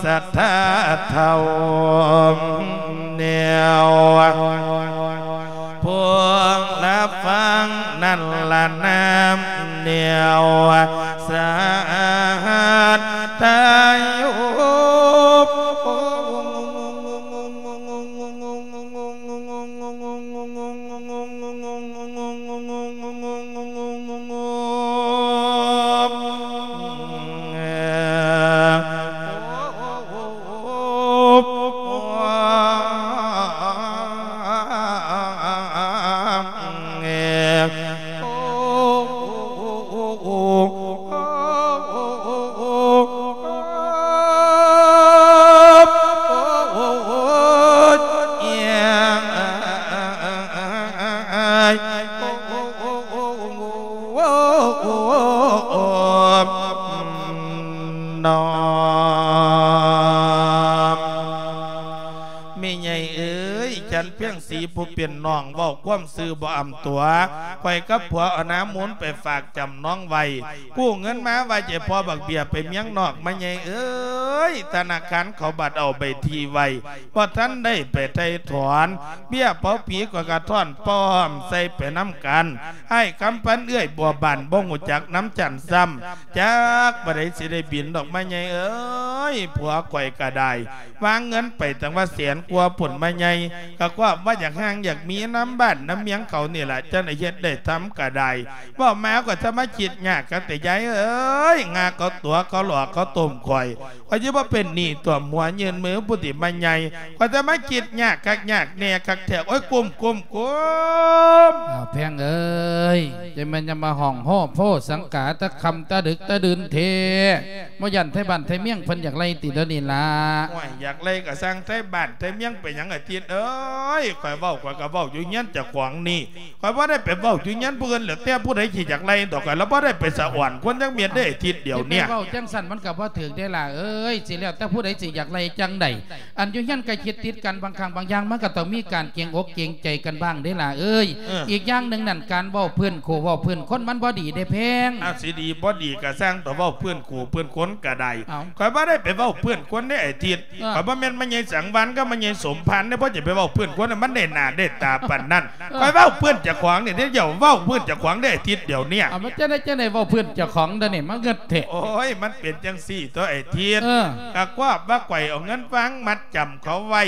ສັດທາເຖົ້າແນວ ພວງລະຟັງນັ້ນລະນາມແນວ ສາຫັດຕາໂຍ ເອີຍ ຈັນພຽງສີຜູ້ເປັນນ້ອງ ເວົ້າຄວາມຊື່ບໍ່ອຳຕົວະ. ຂ້ອຍກັບຜົວເອົານາມູນໄປຝາກຈຳນອງໄວ້ ກູ້ເງິນມາໄວ້ໃຫ້ພໍ່ບັກເບ້ຍໄປເມືອງນອກ ມາໃຫຍ່ເອີຍ. ທະນາຄານເຂົາບັດເອົາໃບທີ່ໄວ້ ບໍ່ທັນໄດ້ໄປໄຖ່ຖອນ. ເບ້ຍເປົາຜີຂ້ອຍກະທ້ອນປ້ອມໃສ່ໄປນຳກັນ. ອ້າຍຄຳພັນເອື້ອຍບົວບານ ບໍ່ຮູ້ຈັກນຳຈັນຊ້ຳ. ຈັກວ່າໃດຊິໄດ້ບິນດອກ ມາໃຫຍ່ເອີຍ. ຜົວຂ້ອຍກະໄດ້ວາງເງິນໄປຕັ້ງວ່າແສນກວ່າພຸ້ນ ມາໃຫຍ່ ກະຄວາມວ່າຢາກຮ່າງຢາກມີນຳບ້ານນຳເມືອງເຂົານີ້ລະ ຈັ່ງໄດ້ເຮັດໄດ້ທຳກະໄດ້. ເວົ້າມາກໍຈະມາຄິດຍາກຄັກແທ້ຍາຍເອີຍ. ງາເຂົາຕົວະ ເຂົາຫຼອກ ເຂົາຕົ້ມຂ້ອຍ ຂ້ອຍຊິບໍ່ເປັນໜີ້ຖ້ວມຫົວຍື່ນມືຜູ້ທີ່ມາໃຫຍ່. ຂ້ອຍຈະມາຄິດຍາກຄັກຍາກແນ່ຄັກແທ້. ໂອ້ຍ ກຸ້ມ ກຸ້ມ ກຸ້ມ. ອ້າວ ແພງເອີຍ ຈະແມ່ນຍັງມາຮ້ອງໂຮໂພສັງກາ ແຕ່ຄ່ຳແຕ່ດຶກແຕ່ດື່ນແທ້. ບໍ່ຢ້ານໄທບ້ານໄທເມືອງເພິ່ນຢາກໄລ່ຕິດຽວນີ້ລະ? ໂອ້ຍ ຢາກໄລ່ກະຊ່າງໄທບ້ານໄທເມືອງ ເປັນຫຍັງອາທິດເອີຍ? ຂ້ອຍເວົ້າ ຂ້ອຍກະເວົ້າຢູ່ເຮືອນເຈົ້າຂອງນີ້ ຂ້ອຍບໍ່ໄດ້ໄປເວົ້າຢູ່ເຮືອນຜູ້ອື່ນແຫຼະ. ແຕ່ຜູ້ໃດຊິຢາກໄລ່ດອກ ຂ້ອຍລະບໍ່ໄດ້ໄປສະອອນຄົນຈັກເມັດເດ້ ອາທິດດຽວເນີ້ຍ. ຊິໄປເວົ້າຈັ່ງຊັ້ນມັນກະບໍ່ຖືກເດ້ຫຼ້າເອີຍ. ຊິແລ້ວແຕ່ຜູ້ໃດຊິຢາກໄລ່ຈັ່ງໃດ. ອັນຢູ່ເຮືອນໃກ້ຊິດຕິດກັນ ບາງຄັ້ງບາງຢ່າງມັນກະຕ້ອງມີການເກງອົກເກງໃຈກັນບ້າງເດ້ຫຼ້າເອີຍ. ເອີ ອີກຢ່າງໜຶ່ງນັ້ນ ການເວົ້າພື້ນຄູ່ເວົ້າພື້ນຄົນມັນບໍ່ດີເດ້ແພງ. ອາ ຊິດີບໍ່ດີກະຊ່າງ ເວົ້າພື້ນຄູ່ພື້ນຄົນກະໄດ້. ເອົ້າ ຂ້ອຍບໍ່ໄດ້ໄປເວົ້າພື້ນຄົນເດ້ ອາທິດ. ເອີ ຂ້ອຍບໍ່ແມ່ນມາໃຫຍ່ສັງວານກັບມາໃຫຍ່ສົມພານເດ້. ບໍ່ຈະໄປເວົ້າພື້ນຄົນ ມັນໄດ້ໜ້າໄດ້ຕາປານນັ້ນ. ເອີ ຂ້ອຍເວົ້າພື້ນເຈົ້າຂອງນີ້ເດ້. ຢ່າເວົ້າພື້ນເຈົ້າຂອງເດ້ ອາທິດດຽວເນີ້ຍ. ເອົາ ມັນຈະໄດ້ ຈະໄດ້ເວົ້າພື້ນເຈົ້າຂອງດຽວນີ້ ມາເງິດແທ້. ໂອ້ຍ ມັນເປັນຈັ່ງຊີ້ຕົວະ ອາທິດ. ເອີ ກະຄວາມວ່າຂ້ອຍເອົາເງິນວາງມັດຈຳເຂົາໄວ້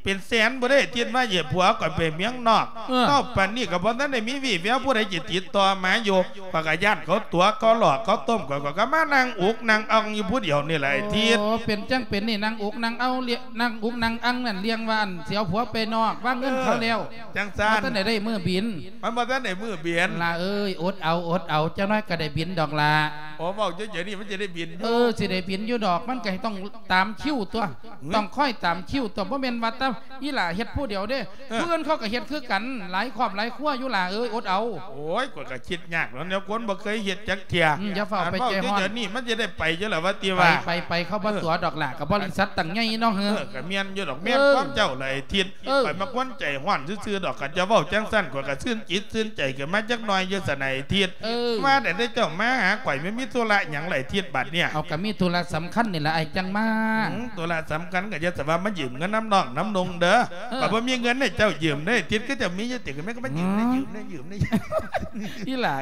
ເປັນແສນພຸ້ນເດ້ ອາທິດ ມາໃຫ້ຜົວຂ້ອຍໄປເມືອງນອກ. ເອີ ເທົ່າປານນີ້ກະບໍ່ທັນໄດ້ມີວີ່ແວວຜູ້ໃດຊິຕິດຕໍ່ມາຢູ່. ຂ້ອຍກະຢ້ານເຂົາຕົວະ ເຂົາຫຼອກ ເຂົາຕົ້ມຂ້ອຍ ຂ້ອຍກະມານັ່ງອຸກນັ່ງອັ່ງຢູ່ຜູ້ດຽວນີ້ແຫຼະ ອາທິດ. ໂອ້ ເປັນຈັ່ງເປັນນີ້ ນັ່ງອຸກນັ່ງເອົາ ນັ່ງອຸກນັ່ງອັ່ງນັ້ນ ລຽງວ່າອັນຊິເອົາຜົວໄປນອກ ວາງເງິນເຂົາແລ້ວ. ຈັ່ງຊັ້ນ ບໍ່ທັນໄດ້ໄດ້ມື້ບິນ ມັນບໍ່ທັນໄດ້ມື້ບິນ. ຫຼ້າເອີຍ ອົດເອົາ ອົດເອົາ ຈັກໜ້ອຍກະໄດ້ບິນດອກຫຼ້າ. ໂອ້ ເວົ້າຢູ່ດຽວນີ້ມັນຈະໄດ້ບິນຢູ່. ເອີ ຊິໄດ້ບິນຢູ່ດອກ ມັນກະຕ້ອງຕາມຄິວຕົວະ. ຫຶ ຕ້ອງຄອຍຕາມຄິວຕົວະ. ບໍ່ແມ່ນວ່າແຕ່ອີ່ຫຼ້າເຮັດຜູ້ດຽວເດ້. ເອີ ຜູ້ອື່ນເຂົາກະເຮັດຄືກັນ ຫຼາຍຄອບຫຼາຍຄົວຢູ່ຫຼ້າເອີຍ ອົດເອົາ. ໂອ້ຍ ຂ້ອຍກະຄິດຍາກແລ້ວ ແນວຄົນບໍ່ເຄີຍເຮັດຈັກເທື່ອ. ອືມ ຢ່າຟ້າວໄປໃຈຮ້ອນ ເວົ້າຢູ່ດຽວນີ້ມັນຈະໄດ້ໄປຢູ່ລະວ່າຕິວ່າ. ໄປ ໄປ ໄປ ເຂົາບໍ່ຕົວະດອກຫຼ້າ ກະບໍລິສັດຕັ້ງໃຫຍ່ເນາະ. ເອີ ກະແມ່ນຢູ່ດອກ ແມ່ນຄວາມເຈົ້າຫຼາຍ ອາທິດ. ເອີ ຂ້ອຍມັກຄົນໃຈຮ້ອນຊື່ໆດອກ. ຄັນເຈົ້າເວົ້າຈັ່ງຊັ້ນ ຂ້ອຍກະຊື່ນຈິດຊື່ນໃຈຂຶ້ນມາຈັກໜ້ອຍຢູ່ຊັ້ນ ອາທິດ. ເອີ ວ່າແຕ່ເຈົ້າມາຫາຂ້ອຍ ແມ່ນມີທຸລະຫຍັງລະ ອາທິດ ບາດເນີ້ຍ? ເອົາ ກະມີທຸລະສຳຄັນນີ້ລະ ອ້າຍຈັ່ງມາ. ອືມ ທຸລະສຳຄັນກະຢ່າສະວ່າມາຢືມເງິນນຳນ້ອງນຳນຸ່ງເດີ. ເອີ ຂ້ອຍບໍ່ມີເງິນໃຫ້ເຈົ້າຢືມເດີ ອາທິດ. ຄືເຈົ້າມີຢູ່ຕິ ກະແມ່ນກະມາຢືມ ອືມ ໄດ້ຢືມ ໄດ້ຢືມ ໄດ້ຢືມ. ອີ່ຫຼ້າ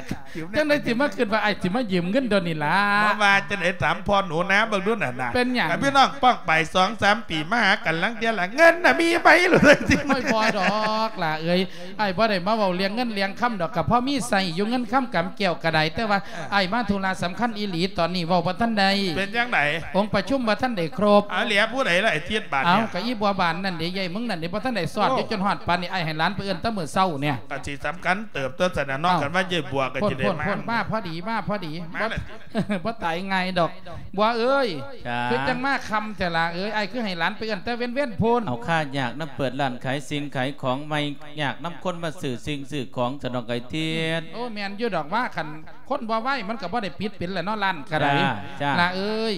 ຈັ່ງໃດຊິມາຄິດວ່າອ້າຍຊິມາຢືມເງິນດຽວນີ້ລະ? ບໍ່ວ່າຈັ່ງໃດ ຖາມພໍ່ໜູນາເບິ່ງດູຫັ້ນນະ. ເປັນຫຍັງ? ພີ່ນ້ອງປ້ອງໄປສອງສາມປີມາຫາກັນລາງເທື່ອລະ ເງິນນະມີໄປໂລດ. ໂອ້ຍ ບໍ່ດອກຫຼ້າເອີຍ ອ້າຍບໍ່ໄດ້ມາເວົ້າເລື່ອງເງິນເລື່ອງຄຳດອກ ກະພໍມີໃຊ້ຢູ່ ເງິນຄຳກຳແກ້ວກະໄດ້. ແຕ່ວ່າ ເອີ ອ້າຍມາທຸລະສຳຄັນອີ່ຫຼີ ຕອນນີ້ເວົ້າບໍ່ທັນໄດ້. ເປັນຈັ່ງໃດ? ອົງປະຊຸມບໍ່ທັນໄດ້ຄົບ. ເອົາ ເຫຼືອຜູ້ໃດລະ ອາທິດ ບາດນີ້? ເອົາ ກະອີ່ບົວບານນັ້ນເດ ຍາຍເມືອງນັ້ນເດ ບໍ່ທັນໄດ້ຊອດຢູ່ ຈົນຮອດປານນີ້ ອ້າຍໃຫ້ຫຼານໄປເອີ້ນແຕ່ມື້ເຊົ້ານີ້. ກະຊິສຳຄັນເຕີບໂຕຊັ້ນນະເນາະ. ເອົ້າ ຄັນວ່າຍາຍບົວກະຊິໄດ້ມາ. ໂພດ ໂພດ ໂພດ ມາພໍດີ ມາພໍດີ. ມາລະຕິ ບໍ່ຕາຍງ່າຍດອກ ບົວເອີຍ. ຄືຈັ່ງມາຄ່ຳແທ້ລະເອີຍ ອ້າຍຄືໃຫ້ຫຼານໄປເອີ້ນແຕ່ເວັນໆພຸ້ນ. ເອົາ ຂ້າຍາກນຳເປີດຮ້ານຂາຍສິ່ງຂາຍຂອງໃໝ່ ຍາກນຳຄົນມາຊື້ສິ່ງຊື້ຂອງ ສະດອກ ອ້າຍທິດ. ໂອ້ ແມ່ນຢູ່ດອກວ່າ ຄັນຄົນບໍ່ໄວມັນກະບໍ່ໄດ້ປິດເປັນລະເນາະ ຮ້ານກະໄດ້. ຈ້າ ລະເອີຍ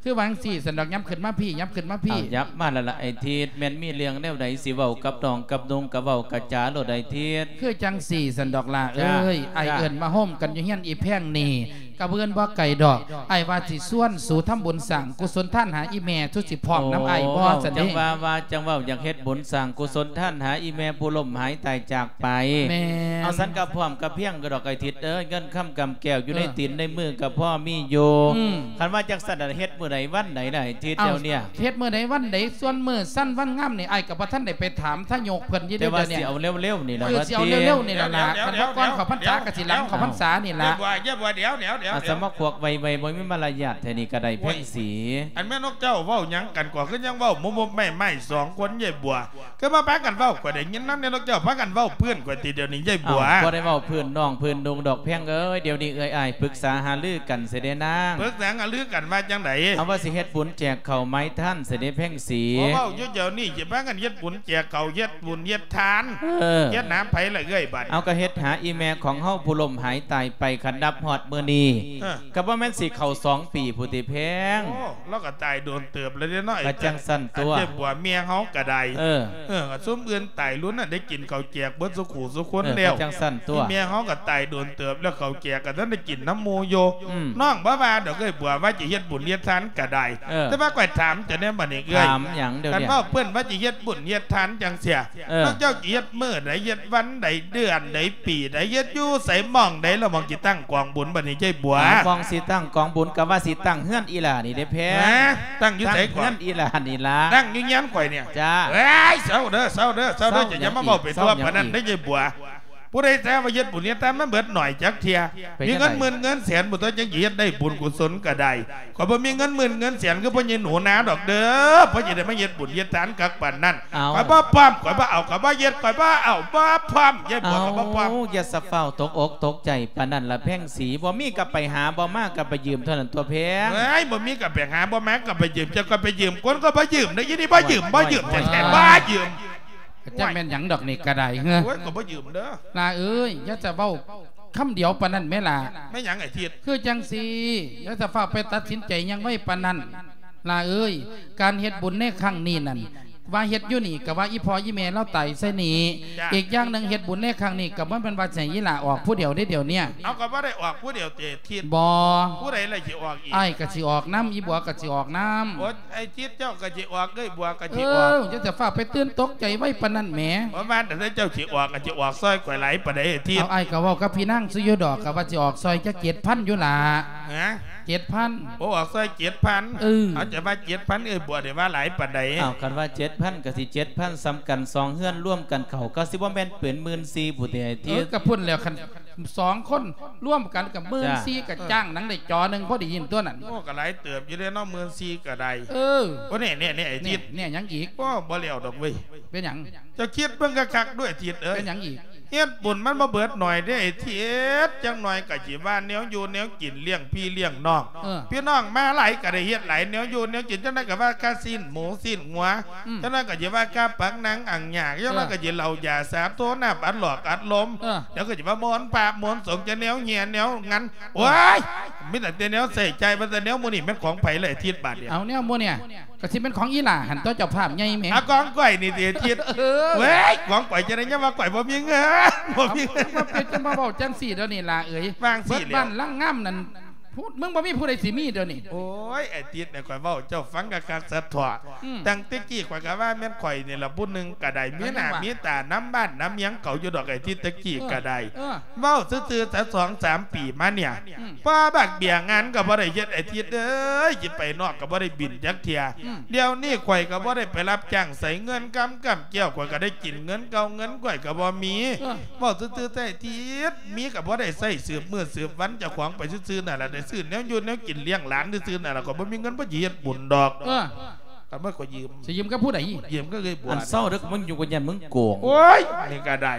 ຄືວ່າຈັ່ງຊີ້ ສະດອກ ຫຍັບຂຶ້ນມາພີ້ ຫຍັບຂຶ້ນມາພີ້. ເອົາ ຫຍັບມາລະລະ ອ້າຍທິດ. ແມ່ນມີເລື່ອງແນວໃດຊິເວົ້າກັບນ້ອງກັບນຸ່ງ ກະເວົ້າກະຈາໂລດ ອ້າຍທິດ. ຄືຈັ່ງຊີ້ ສະດອກ ລະເອີຍ. ອ້າຍເອີ້ນມາໂຮມກັນຢູ່ເຮືອນອີ່ແພງນີ້ ກະບໍ່ເກີນບໍ່ໄກດອກ. ອ້າຍວ່າຊິຊວນສູທຳບຸນສ້າງກຸສົນທານຫາອີ່ແມ່ ສູຊິພ້ອມນຳອ້າຍບໍ່? ຊັ້ນເດ ຈັ່ງວ່າ ວ່າຈັ່ງເວົ້າ ຢາກເຮັດບຸນສ້າງກຸສົນທານຫາອີ່ແມ່ຜູ້ລົ້ມຫາຍຕາຍຈາກໄປ. ແມ່ນ. ເອົາ ຊັ້ນກະພ້ອມກະພຽງຢູ່ດອກ ອ້າຍທິດເອີຍ. ເງິນຄຳກຳແກ້ວຢູ່ໃນຕີນໃນມືກະພໍມີຢູ່. ອືມ ຄັນວ່າຈັ່ງຊັ້ນລະ ເຮັດມື້ໃດວັນໃດລະ ອ້າຍທິດ? ດຽວນີ້ ເຮັດມື້ໃດວັນໃດ? ສ່ວນມື້ຊັ້ນວັນງາມນີ້ ອ້າຍກະບໍ່ທັນໄດ້ໄປຖາມທະຍົກເພິ່ນຢູ່ເດ. ແຕ່ວ່າຊິເອົາເລັວໆນີ້ລະ ເອີ ຊິເອົາເລັວໆນີ້ລະ. ຄັນບໍ່ກ່ອນເຂົ້າພັນສາກະຊິຫຼັງເຂົ້າພັນສານີ້ລະ. ຢ່າບົວ ຢ່າບົວ ດຽວໆ ດຽວໆ ອາດສະມາຂວັກໄວໆ ບໍ່ມີມາລະຍາດແທ້ນີ້ກະໄດ້ ແພງສີ. ອັນແມ່ນົກເຈົ້າເວົ້າຫຍັງກັນ ກະຄືຍັງເວົ້າໂມະໆໄໝ້ໆ ສອງຄົນ ຍາຍບົວ. ຄືມາພາກັນເວົ້າ ຂ້ອຍໄດ້ຍິນນຳແນ່ ນົກເຈົ້າພາກັນເວົ້າພື້ນຂ້ອຍຕິ ດຽວນີ້ ຍາຍບົວ. ເອົ້າ ບໍ່ໄດ້ເວົ້າພື້ນນ້ອງພື້ນນຸ່ງດອກ ແພງເອີຍ. ດຽວນີ້ເອື້ອຍອ້າຍປຶກສາຫາລືກັນເສຍເດນາງ. ປຶກສາຫາລືກັນວ່າຈັ່ງໃດ? ເອົາ ວ່າຊິເຮັດບຸນແຈກເຂົ້າໝາຍທານເສຍເດ ແພງສີ. ໂອ້ ເວົ້າຢູ່ດຽວນີ້ ຊິພາກັນເຮັດບຸນແຈກເຂົ້າ ເຮັດບຸນເຮັດທານ. ເອີ ເຮັດຫາໃຜລະເອື້ອຍບາດ? ເອົາ ກະເຮັດຫາອີ່ແມ່ຂອງເຮົາຜູ້ລົ້ມຫາຍຕາຍໄປ. ຄັນນັບຮອດມື້ນີ້ ເອີ ກໍບໍ່ແມ່ນຊິເຂົ້າສອງປີພຸ້ນຕິແພງ. ໂອ້ ລາວກໍຕາຍດົນເຕີບແລ້ວເດ້ເນາະ. ກໍຈັ່ງຊັ້ນຕົວະ ອັນເຈົ້າບົວເມຍເຮົາກໍໄດ້. ເອີ ເອີ ກໍຊຸມອື່ນຕາຍລຸ້ນນັ້ນ ໄດ້ກິນເຂົ້າແຈກເບິດສູ່ຄູ່ສູ່ຄົນແລ້ວ. ເອີ ກໍຈັ່ງຊັ້ນຕົວະ ເມຍເຮົາກໍຕາຍດົນເຕີບແລ້ວ ເຂົ້າແຈກກໍທັນໄດ້ກິນນຳໝູ່ຢູ່. ອືມ ນ້ອງບໍ່ວ່າດອກເອີຍບົວ ວ່າຈະເຮັດບຸນເຮັດທານກໍໄດ້. ເອີ ແຕ່ວ່າຂ້ອຍຖາມເຈົ້າແດ່ບັດນີ້ເອີຍ ຖາມຫຍັງດຽວນີ້ ຄັນເວົ້າເພິ່ນວ່າຈະເຮັດບຸນເຮັດທານຈັ່ງຊີ້ ເອີ ນ້ອງເຈົ້າຈະເຮັດມື້ໃດ ເຮັດວັນໃດ ເດືອນໃດ ປີໃດ ເຮັດຢູ່ໃສ ໝ່ອງໃດ ລະໝ່ອງຊິຕັ້ງກອງບຸນບັດນີ້ເຈົ້າບົວ? ໝ່ອງຊິຕັ້ງກອງບຸນ ກະວ່າຊິຕັ້ງເຮືອນອີ່ຫຼ້ານີ້ເດ້ແພງ. ຮະ? ຕັ້ງຢູ່ໃສກ່ອນ? ຕັ້ງເຮືອນອີ່ຫຼ້ານີ້ລະ. ຕັ້ງຢູ່ເຮືອນຂ້ອຍນີ້? ຈ້າ. ເອີຍ ເຊົາເດີ ເຊົາເດີ ເຊົາເດີ ເຊົາຫຍັງອີກ? ຢ່າມາເວົ້າໄປທົ່ວປານນັ້ນເດີເຈົ້າບົວ. ຜູ້ໃດແທ້ວ່າເຮັດບຸນເຮັດທານມັນເບິດໜ້ອຍຈັກເທື່ອ. ມີເງິນໝື່ນເງິນແສນພຸ້ນຕົວະ ຈັ່ງຊິເຮັດໄດ້ບຸນກຸສົນກໍໄດ້. ຂ້ອຍບໍ່ມີເງິນໝື່ນເງິນແສນຄືພໍ່ໃຫຍ່ໜູນາດອກເດີ ພໍຊິໄດ້ມາເຮັດບຸນເຮັດທານຄັກປານນັ້ນ. ຂ້ອຍບໍ່ພ້ອມ ຂ້ອຍບໍ່ເອົາ ຂ້ອຍບໍ່ເຮັດ ຂ້ອຍບໍ່ເອົາ ບໍ່ພ້ອມ ຍາຍບົວກໍບໍ່ພ້ອມ. ເອົ້າ ຢ່າສະຟ້າວຕົກອົກຕົກໃຈປານນັ້ນລະແພງສີ. ບໍ່ມີກໍໄປຫາ ບໍ່ມາກໍໄປຢືມເທົ່ານັ້ນຕົວະແພງ. ເອີຍ ບໍ່ມີກໍໄປຫາ ບໍ່ມາກໍໄປຢືມ. ເຈົ້າກໍໄປຢືມຄົນກໍບໍ່ຢືມເດ້ ອີນີ້ບໍ່ຢືມ ບໍ່ຢືມແທ້ໆ ບໍ່ຢືມ. ກະຈັກແມ່ນຫຍັງດອກນີ້ກະໄດ້ເຮີ. ໂອ້ຍ ກໍບໍ່ຢືມເດີ. ຫຼ້າເອີຍ ຢ່າຈະເວົ້າຄຳດຽວປານນັ້ນແມ້ຫຼ້າ. ແມ່ນຫຍັງໄອ້ທິດ? ຄືຈັ່ງຊີ້ ຢ່າຈະຟ້າວໄປຕັດສິນໃຈຫຍັງໄວປານນັ້ນຫຼ້າເອີຍ. ການເຮັດບຸນໃນຄັ້ງນີ້ນັ້ນ ວ່າເຮັດຢູ່ນີ້ກະວ່າອີ່ພໍ່ອີ່ແມ່ລາວຕາຍໃສ່ນີ້. ຈ້າ. ອີກຢ່າງໜຶ່ງ ເຮັດບຸນໃນຄັ້ງນີ້ກະບໍ່ແມ່ນວ່າຊິໃຫ້ອີ່ຫຼ້າອອກຜູ້ດຽວເດ້ດຽວເນີ້ຍ. ເອົາ ກໍບໍ່ໄດ້ອອກຜູ້ດຽວຕິທິດ? ບໍ່. ຜູ້ໃດລະຊິອອກອີກ? ອ້າຍກະຊິອອກນຳ ອີ່ບົວກະຊິອອກນຳ. ໂອ້ຍ ໄອ້ທິດເຈົ້າກໍຊິອອກ ເອື້ອຍບົວກໍຊິອອກ. ເອີ ຢ່າຈະຟ້າວໄປຕື່ນຕົກໃຈໄວປານນັ້ນແໝ. ບໍ່ວ່າແຕ່ເຈົ້າຊິອອກ ກໍຊິອອກຊ່ອຍຂ້ອຍຫຼາຍປານໃດໄອ້ທິດ? ເອົາ ອ້າຍກໍເວົ້າກັບພີ່ນາງຊື່ຢູ່ດອກ ກໍວ່າຊິອອກຊ່ອຍຈັກເຈັດພັນຢູ່ລະ. ຮະ? ເຈັດພັນ. ໂອ້ ອອກຊ່ອຍເຈັດພັນ. ເອີ ເອົາ ຈະວ່າເຈັດພັນ ເອື້ອຍບົວໄດ້ວ່າຫຼາຍປານໃດ? ເອົາ ຄັນວ່າເຈັດພັນກໍຊິເຈັດພັນສ່ຳກັນ ສອງເຮືອນລວມກັນເຂົ້າ ກໍຊິບໍ່ແມ່ນເປັນໝື່ນສີ່ພຸ້ນຕິໄອ້ທິດ? ເອີ ກໍພຸ້ນແລ້ວ ຄັນ ສອງຄົນລວມກັນກໍໝື່ນສີ່ ກໍຈ້າງໜັງໄດ້ຈໍໜຶ່ງພໍໄດ້ຍິນຕົວນັ້ນ. ໂອ້ ກໍຫຼາຍເຕີບຢູ່ເດ້ເນາະ ໝື່ນສີ່ກໍໄດ້. ເອີ ໂອ້ ແນ່ໆໆ ໄອ້ທິດ ແນ່ຫຍັງອີກ? ໂອ້ ບໍ່ແລ້ວດອກເວີຍ. ເປັນຫຍັງ? ເຈົ້າຄິດເບິ່ງຄັກໆດູໄອ້ທິດເອີຍ. ເປັນຫຍັງອີກ? ເຮັດບຸນມັນບໍ່ເບິດໜ້ອຍເດ້ໄອ້ທິດ. ຈັກໜ້ອຍກໍຊິວ່າແນວຢູ່ແນວກິນລ້ຽງພີ່ລ້ຽງນ້ອງ. ເອີ ພີ່ນ້ອງມາຫຼາຍກໍໄດ້ເຮັດຫຼາຍ ແນວຢູ່ແນວກິນ ຈັກໜ້ອຍກໍວ່າຄ່າຊີ້ນໝູຊີ້ນງົວ. ອືມ ຈັກໜ້ອຍກໍຊິວ່າຄ່າປັກນັ່ງອັງຫຍາກ ຈັກໜ້ອຍກໍຊິເຫຼົ້າຢາສາໂທ ນ້ຳອັດຫຼອກອັດລົມ. ເອີ ດຽວກໍຊິວ່າມົນພະມົນສົງ ຈະແນວເຮຍແນວງັນ. ເອີ ໂອ້ຍ ມີຕັ້ງແຕ່ແນວໃຊ້ຈ່າຍ ວ່າແຕ່ແນວໝູ່ນີ້ແມ່ນຂອງໃຜລະໄອ້ທິດບາດນີ້? ເອົາ ແນວໝູ່ນີ້ກໍຊິແມ່ນຂອງອີ່ຫຼ້າຫັ້ນຕົວະ ເຈົ້າພາບໃຫຍ່ແໝ. ອາ ຂອງຂ້ອຍນີ້ຕິທິດ? ເອີ ເວີຍ ຂອງຂ້ອຍຈັ່ງໃດ ຍັງວ່າຂ້ອຍບໍ່ມີເງິນ ບໍ່ມີເງິນ. ເອົາ ມາເປັນ ຈະມາເວົ້າຈັ່ງຊີ້ດຽວນີ້ຫຼ້າເອີຍ. ວາງຊີ້ແລ້ວ ເບິດບ້ານຫຼັງງາມນັ້ນ ຜູ້ ມຶງບໍ່ມີຜູ້ໃດຊິມີດຽວນີ້. ໂອ້ຍ ໄອ້ຕິດນີ້ ຂ້ອຍເວົ້າເຈົ້າຟັງຄັກໆຊະເທາະ. ອືມ ຕັ້ງແຕ່ກີ້ຂ້ອຍກໍວ່າແມ່ນຂ້ອຍນີ້ລະຜູ້ໜຶ່ງກໍໄດ້ ມີໜ້າມີຕານຳບ້ານນຳຫຍັງເຂົາຢູ່ດອກ ໄອ້ຕິດ ແຕ່ກີ້ກໍໄດ້. ເອີ ເອີ ເວົ້າຊື່ໆ ສະສອງສາມປີມານີ້ ອືມ ພໍບັກເບ້ຍງານກໍບໍ່ໄດ້ເຮັດ ໄອ້ຕິດເອີຍ ຊິໄປນອກກໍບໍ່ໄດ້ບິນຈັກເທື່ອ. ອືມ ດຽວນີ້ຂ້ອຍກໍບໍ່ໄດ້ໄປຮັບຈ້າງໃສ ເງິນຄຳກຳແກ້ວ ຂ້ອຍກໍໄດ້ກິນເງິນເກົ່າ ເງິນຂ້ອຍກໍບໍ່ມີ. ເອີ ເວົ້າຊື່ໆ ແທ້ ທິດ ມີກໍບໍ່ໄດ້ໃຊ້ ສືບມື້ສືບວັນເຈົ້າຂອງໄປຊື່ໆນັ້ນລະ ໄດ້ຊື້ແນວຢູ່ແນວກິນລ້ຽງຫຼານຊື່ໆນັ້ນລະ ກໍບໍ່ມີເງິນພໍຊິເຮັດບຸນດອກ. ເອີ ຄັນບໍ່ກໍຢືມ. ຊິຢືມກັບຜູ້ໃດ? ຢືມກັບເອື້ອຍບົວ. ອັນເຊົາເດີ ມຶງຢູ່ກັນ ຢ້ານມຶງໂກງ. ໂອ້ຍ ນີ້ກໍໄດ້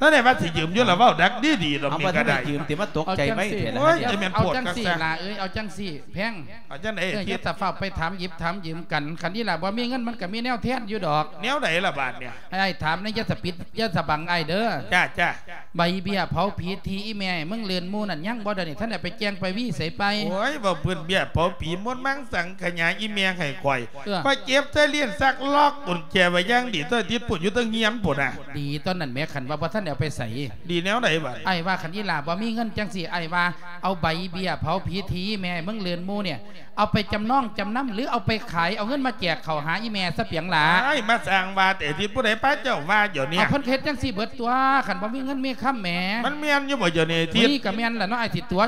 ນັ້ນແຫຼະວ່າຊິຢືມຢູ່ລະ ເວົ້າດັກດີໆດອກ. ນີ້ກໍໄດ້ ຢືມຕິ ມາຕົກໃຈໄວແທ້ລະ. ໂອ້ຍ ຈະແມ່ນໂພດຄັກຊະ. ເອົາຈັ່ງຊີ້ລະເອີຍ ເອົາຈັ່ງຊີ້ແພງ. ເອົາຈັ່ງໃດ? ເອີ ຢ່າແຕ່ຟ້າວໄປຖາມຢິບຖາມຢືມກັນ ຄັນອີ່ຫຼ້າບໍ່ມີເງິນ ມັນກໍມີແນວແທນຢູ່ດອກ. ແນວໃດລະບາດນີ້? ໃຫ້ອ້າຍຖາມແດ່ ຢ່າສະປິດ ຢ່າສະບັງອ້າຍເດີ. ຈ້າ ຈ້າ. ໃບເບ້ຍເຜົາຜີທີ່ອີ່ແມ່ໃຫ້ມຶງລື່ນໝູ່ນັ້ນ ຍັງບໍ່ດຽວນີ້? ທັນໄດ້ໄປແຈ້ງໄປວີໃສໄປ? ໂອ້ຍ ເວົ້າພື້ນເບ້ຍເຜົາຜີ ມົນມັງສັງຂະຫຍາອີ່ແມ່ໃຫ້ຂ້ອຍ. ເອີ ຂ້ອຍເກັບໃສ່ລ້ຽນຊັກ ລັອກກຸນແຈໄວ້ຢ່າງດີ ຕົວຕິດປຸ້ນຢູ່ເທິງຮຽນພຸ້ນນະ. ດີຕົວນັ້ນແໝ ຄັນວ່າບໍ່ທັນໄດ້ເອົາໄປໃສ. ດີແນວໃດບາດ? ອ້າຍວ່າຄັນອີ່ຫຼ້າບໍ່ມີເງິນຈັ່ງຊີ້ ອ້າຍວ່າເອົາໃບເບ້ຍເຜົາຜີທີ່ແມ່ໃຫ້ມຶງລື່ນໝູ່ນີ້ ເອົາໄປຈຳນອງຈຳນຳ ຫຼືເອົາໄປຂາຍ ເອົາເງິນມາແຈກເຂົ້າຫາອີ່ແມ່ຊະປຽງຫຼ້າ. ອ້າຍ ມາສ້າງວ່າແຕ່ ທີ່ຜູ້ໃດພາເຈົ້າວ່າດຽວນີ້? ເອົາ ເພິ່ນເຮັດຈັ່ງຊີ້ເບິດຕົວະ ຄັນບໍ່ມີເງິນມີຄຳແໝ. ມັນແມ່ນຢູ່ບໍ່ດຽວນີ້ ທີ່? ນີ້ກໍແມ່ນລະເນາະ ອ້າຍຊິຕົວະ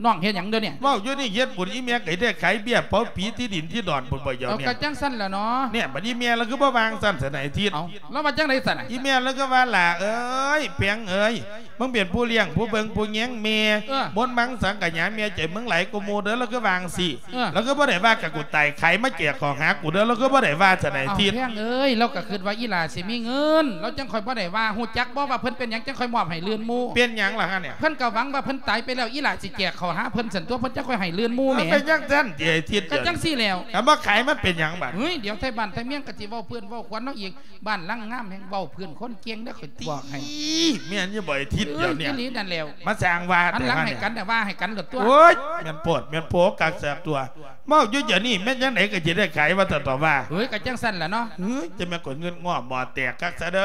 ນ້ອງເຮັດຫຍັງດຽວນີ້? ເວົ້າຢູ່ນີ້ ເຮັດບຸນອີ່ແມ່ກໍໄດ້ຂາຍເບ້ຍເຜົາຜີທີ່ດິນທີ່ດອນພຸ້ນບໍ່ດຽວນີ້? ເອົາ ກໍຈັ່ງຊັ້ນລະເນາະ. ແນ່ ບັດອີ່ແມ່ລະຄືບໍ່ວ່າຈັ່ງຊັ້ນຊັ້ນ ໄອ້ທິດ? ເອົາ ລາວວ່າຈັ່ງໃດຊັ້ນນະ? ອີ່ແມ່ລະຄືວ່າ ຫຼ້າເອີຍ ແພງເອີຍ ມຶງເປັນຜູ້ລ້ຽງຜູ້ເບິ່ງຜູ້ແຍງແມ່. ເອີ ມົນມັງສັງຂະຫຍາແມ່ໃຈມຶງຫຼາຍກວ່າໝູ່ເດີ ລາວຄືວ່າຈັ່ງຊີ້. ເອີ ລາວຄືບໍ່ໄດ້ວ່າ ກະກູຕາຍຂາຍມາແຈກເຂົ້າຫາກູເດີ ລາວຄືບໍ່ໄດ້ວ່າຊັ້ນ ໄອ້ທິດ? ເອົາ ແພງເອີຍ ລາວກໍຄິດວ່າອີ່ຫຼ້າຊິມີເງິນ ລາວຈັ່ງຄ່ອຍບໍ່ໄດ້ວ່າ. ຮູ້ຈັກບໍ່ວ່າເພິ່ນເປັນຫຍັງຈັ່ງຄ່ອຍມອບໃຫ້ລື່ນໝູ່? ເປັນຫຍັງລະຫັ້ນ? ເພິ່ນກໍຫວັງວ່າເພິ່ນຕາຍໄປແລ້ວ ອີ່ຫຼ້າຊິແຈກເຂົ້າຫາເພິ່ນຊັ້ນຕົວະ ເພິ່ນຈັ່ງຄ່ອຍໃຫ້ລື່ນໝູ່ແໝ. ເອົາ ເປັນຈັ່ງຊັ້ນຕິ ໄອ້ທິດ? ກໍຈັ່ງຊີ້ແລ້ວ. ຄັນບໍ່ຂາຍມັນເປັນຫຍັງບາດ? ເຮີ້ຍ ດຽວໄທບ້ານໄທເມືອງກໍຊິເວົ້າເພື່ອນເວົ້າຂວັນເຮົາອີກ. ບ້ານຫຼັງງາມແຮ່ງເວົ້າເພື່ອນຄົນເກັ່ງເດີ ຂ້ອຍບອກໃຫ້. ອີ ແມ່ນຢູ່ບໍ່ໄອ້ທິດ ເອີຍ ດຽວນີ້ ອີ່ຫຼີນັ້ນແຫຼ້ວ ມາສ້າງວ່າ ຫັນຫຼັງໃຫ້ກັນ ແຕ່ວ່າໃຫ້ກັນໂລດຕົວະ ໂອ້ຍ ແມ່ນໂພດແມ່ນໂພ ຄັກແຊກຕົວະ ເວົ້າຢູ່ດຽວນີ້ ແມ່ນຈັ່ງໃດກໍຊິໄດ້ຂາຍວ່າຊັ້ນຕົວະວ່າ ເຮີ້ຍ ກໍຈັ່ງຊັ້ນລະເນາະ ເຮີ້ຍ ຈະແມ່ນຂ້ອຍເງືອດງໍ້ໝໍ້ແຕກຄັກຊະເດີ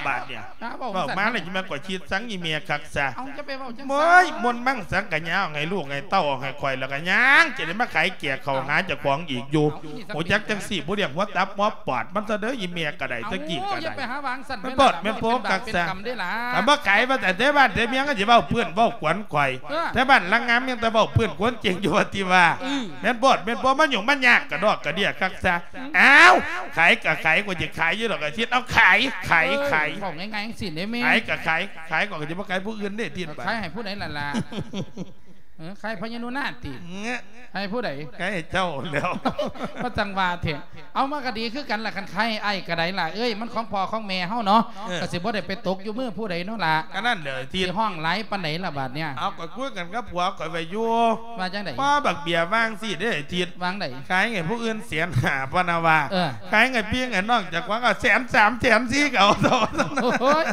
ບາດນີ້ ເວົ້າມາແລ້ວຈະແມ່ນຂ້ອຍຄິດສັງອີ່ແມ່ຄັກຊະ ເອົ້າ ຢ່າໄປເວົ້າຈັ່ງຊັ້ນ ໂອ້ຍ ມົນມັງສັງກະຍາວໃຫ້ລູກໃຫ້ເຕົ້າເອົາໃຫ້ຂ້ອຍ ແລ້ວກໍຍັງຈະໄດ້ມາຂາຍແຈກເຂົ້າຫາເຈົ້າຂອງອີກຢູ່ ຮູ້ຈັກຈັ່ງຊີ້ ບໍ່ລ້ຽງຫົວຕັບຫົວປອດມັນຊະເດີ ອີ່ແມ່ກໍໄດ້ ຕະກີ້ກໍໄດ້ ຢ່າໄປຫາວາງຊັ້ນ ແມ່ນໂພດແມ່ນໂພ ຄັກຊະ ຄັນບໍ່ຂາຍວ່າແຕ່ແຖວບ້ານແຖວເມືອງກໍຊິເວົ້າເພື່ອນເວົ້າກວນຂ້ອຍ ເອີ ແຖວບ້ານລາງງາມຍັງແຕ່ເວົ້າເພື່ອນກວນເກັ່ງຢູ່ວ່າຕິວ່າ ເອີ ແມ່ນໂພດແມ່ນໂພ ມາຫຍຸ້ງມາຍາກກະດອກກະເດຍຄັກຊະ ອ້າວ ຂາຍກໍຂາຍ ຂ້ອຍຊິຂາຍຢູ່ດອກ ອາທິດ ເອົາຂາຍ ຂາຍ ເອີ ຂາຍ ເວົ້າງ່າຍໆຈັ່ງຊີ້ເດ້ແມ່ ຂາຍກໍຂາຍ ຂາຍກໍຊິບໍ່ຂາຍຜູ້ອື່ນເດ້ ທິດ ຂາຍໃຫ້ຜູ້ໃດລະລະ ເອີ ຂາຍພະຍານຸນາດຕິ ເອີ ໃຫ້ຜູ້ໃດ ໃຫ້ເຈົ້າແລ້ວ ມາຈັ່ງວ່າແທ້ ເອົາ ມັນກໍດີຄືກັນລະ ຄັນຂາຍໃຫ້ອ້າຍກໍໄດ້ລະເອີຍ ມັນຂອງພໍ່ຂອງແມ່ເຮົາເນາະ ເອີ ກໍຊິບໍ່ໄດ້ໄປຕົກຢູ່ມືຜູ້ໃດເນາະລະ ກໍນັ້ນແຫຼະ ທີ່ ຊິຮ້ອງຫຼາຍປານໃດລະບາດເນີ້ຍ ເອົາ ກໍຄຸຍກັນກັບຜົວຂ້ອຍໄວ້ຢູ່ ວ່າຈັ່ງໃດ ພໍ່ບັກເບ້ຍວ່າຈັ່ງຊີ້ເດ້ ທິດ ວ່າຈັ່ງໃດ ຂາຍໃຫ້ຜູ້ອື່ນແສນຫ້າ ພະນະວ່າ ເອີ ຂາຍໃຫ້ພີ່ໃຫ້ນ້ອງເຈົ້າຂອງກໍແສນສາມ ແສນສີ່ ກໍເອົາ ໂອ້ຍ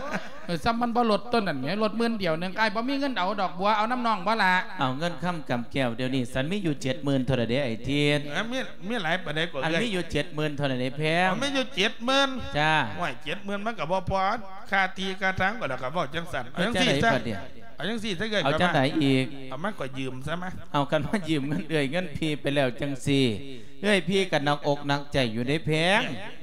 ເອີ ຊ່ຳມັນບໍ່ລົດໂຕນັ້ນແໝ ລົດໝື່ນດຽວໜຶ່ງ ອ້າຍບໍ່ມີເງິນເອົາດອກ ບົວ ເອົານຳນ້ອງບໍ່ລະ ເອົາເງິນຄຳກຳແກ້ວ ດຽວນີ້ສັນມີຢູ່ເຈັດໝື່ນເທົ່າໃດເດ້ ໄອ້ທິດ ເອີ ມີ ມີຫຼາຍປານໃດກໍ ອັນ ເອື້ອຍ ມີຢູ່ເຈັດໝື່ນເທົ່າໃດເດ້ແພງ ອໍ ມີຢູ່ເຈັດໝື່ນ ຈ້າ ໂອ້ຍ ເຈັດໝື່ນມັນກໍບໍ່ພໍ ຄ່າທີ່ຄ່າທາງກໍ ແລ້ວກໍເວົ້າຈັ່ງຊັ້ນ ເອົາຈັ່ງຊີ້ຊະ ເອົາຈັ່ງຊີ້ຊະ ເອື້ອຍ ເອົາຈັ່ງໃດອີກ ເອົາ ມັນກໍຢືມຊະມາ ເອົາ ຄັນວ່າຢືມເງິນເອື້ອຍເງິນພີ່ໄປແລ້ວຈັ່ງຊີ້ ເອື້ອຍພີ່ກໍໜັກອົກໜັກໃຈຢູ່ເດ້ແພງ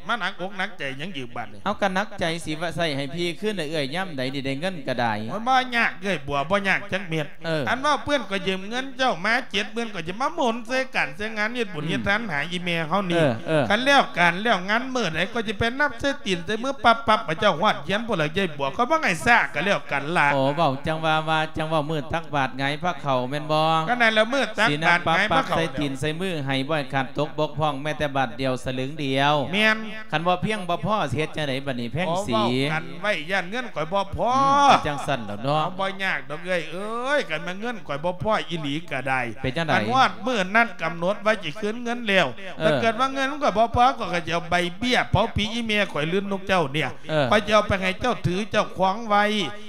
ມາໜັກອົກໜັກໃຈຫຍັງອີກບາດນີ້ ເອົາ ກໍໜັກໃຈຊິວ່າໃຊ້ໃຫ້ພີ່ຄືນໃຫ້ເອື້ອຍຍາມໃດນີ້ ໄດ້ເງິນກໍໄດ້ ໂອ້ຍ ບໍ່ຍາກເອື້ອຍບົວ ບໍ່ຍາກຈັກເມັດ ເອີ ອັນວ່າເພິ່ນກໍຢືມເງິນເຈົ້າມາເຈັດໝື່ນ ກໍຈະມາໝູນໃສ່ການໃສ່ງານເຮັດບຸນເຮັດທານຫາອີ່ແມ່ເຮົານີ້ ເອີ ເອີ ຄັນແລ້ວການແລ້ວງານມື້ໃດ ກໍຈະໄປນັບໃສ່ຕີນໃສ່ມືປັບໆ ໃຫ້ເຈົ້າຮອດຮຽນພຸ້ນລະເອື້ອຍບົວ ຂ້ອຍບໍ່ໃຫ້ຊ້າກໍແລ້ວກັນລະ ໂອ້ ເວົ້າຈັ່ງວ່າ ວ່າຈັ່ງເວົ້າ ມື້ຕັກບາດຫງາຍພາເຂົ້າແມ່ນບໍ່ ກໍນັ້ນແຫຼະ ມື້ຕັກບາດຫງາຍພາເຂົ້າ ໃສ່ຕີນໃສ່ມືໃຫ້ ບໍ່ໃຫ້ຂາດຕົກບົກຜ່ອງແມ້ແຕ່ບາດດຽວສະລຶງດຽວ ແມ່ນ ຄັນບໍ່ພຽງບໍ່ພໍ ຊິເຮັດຈັ່ງໃດບັດນີ້ແພງສີ ເວົ້າກັນໄວ້ ຢ້ານເງິນຂ້ອຍບໍ່ພໍ ອືມ ຈັ່ງຊັ້ນແຫຼະເນາະ ເອົາ ບໍ່ຍາກດອກເອື້ອຍເອີຍ ຄັນແມ່ນເງິນຂ້ອຍບໍ່ພໍອີ່ຫຼີກໍໄດ້ ເປັນຈັ່ງໃດ ຄັນຮອດມື້ນັດກຳນົດວ່າຊິຄືນເງິນແລ້ວ ເອີ ຖ້າເກີດວ່າເງິນຂ້ອຍບໍ່ພໍ ຂ້ອຍກໍຈະເອົາໃບເບ້ຍເຜົາຜີອີ່ແມ່ຂ້ອຍ ຫຼື ນົກເຈົ້າເນີ້ຍ ເອີ ຂ້ອຍຈະເອົາໄປໃຫ້ເຈົ້າຖືເຈົ້າຄອງໄວ້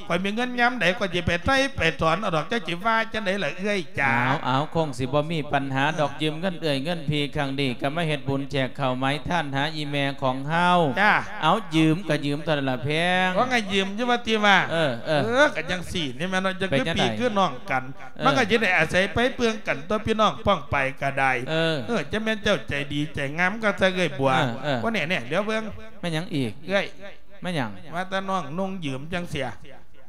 ຂ້ອຍມີເງິນຍາມໃດ ຂ້ອຍຊິໄປໄຖ່ໄປຖອນເອົາດອກ ເຈົ້າຊິວ່າຈັ່ງໃດລະເອື້ອຍຈ໋າ ເອົາ ເອົາ ຄົງຊິບໍ່ມີປັນຫາດອກ ຢືມເງິນເອື້ອຍເງິນພີ່ຄັ້ງນີ້ ກໍມາເຮັດບຸນແຈກເຂົ້າໝາຍທານຫາອີ່ແມ່ຂອງເຮົາ ຈ້າ ເອົາ ຢືມກໍຢືມເທົ່ານັ້ນລະແພງ ວ່າໄງ ຢືມຢູ່ວ່າຕິວ່າ ເອີ ເອີ ເອີ ກໍຈັ່ງຊີ້ນີ້ແມ່ນເນາະ ຈັ່ງຄືພີ່ຄືນ້ອງກັນ ເອີ ມັນກໍຈະໄດ້ອາໄສໄປເບິ່ງກັນຕົວະ ພີ່ນ້ອງປ້ອງປາຍກໍໄດ້ ເອີ ເອີ ຈະແມ່ນເຈົ້າໃຈດີໃຈງາມຄັກຊະເອື້ອຍບົວ ເອີ ເອີ ວ່າແນ່ໆ ດຽວເບິ່ງ ແມ່ນຫຍັງອີກ ເອື້ອຍ ແມ່ນຫຍັງ ວ່າແຕ່ນ້ອງນຸ່ງຢືມຈັ່ງຊີ້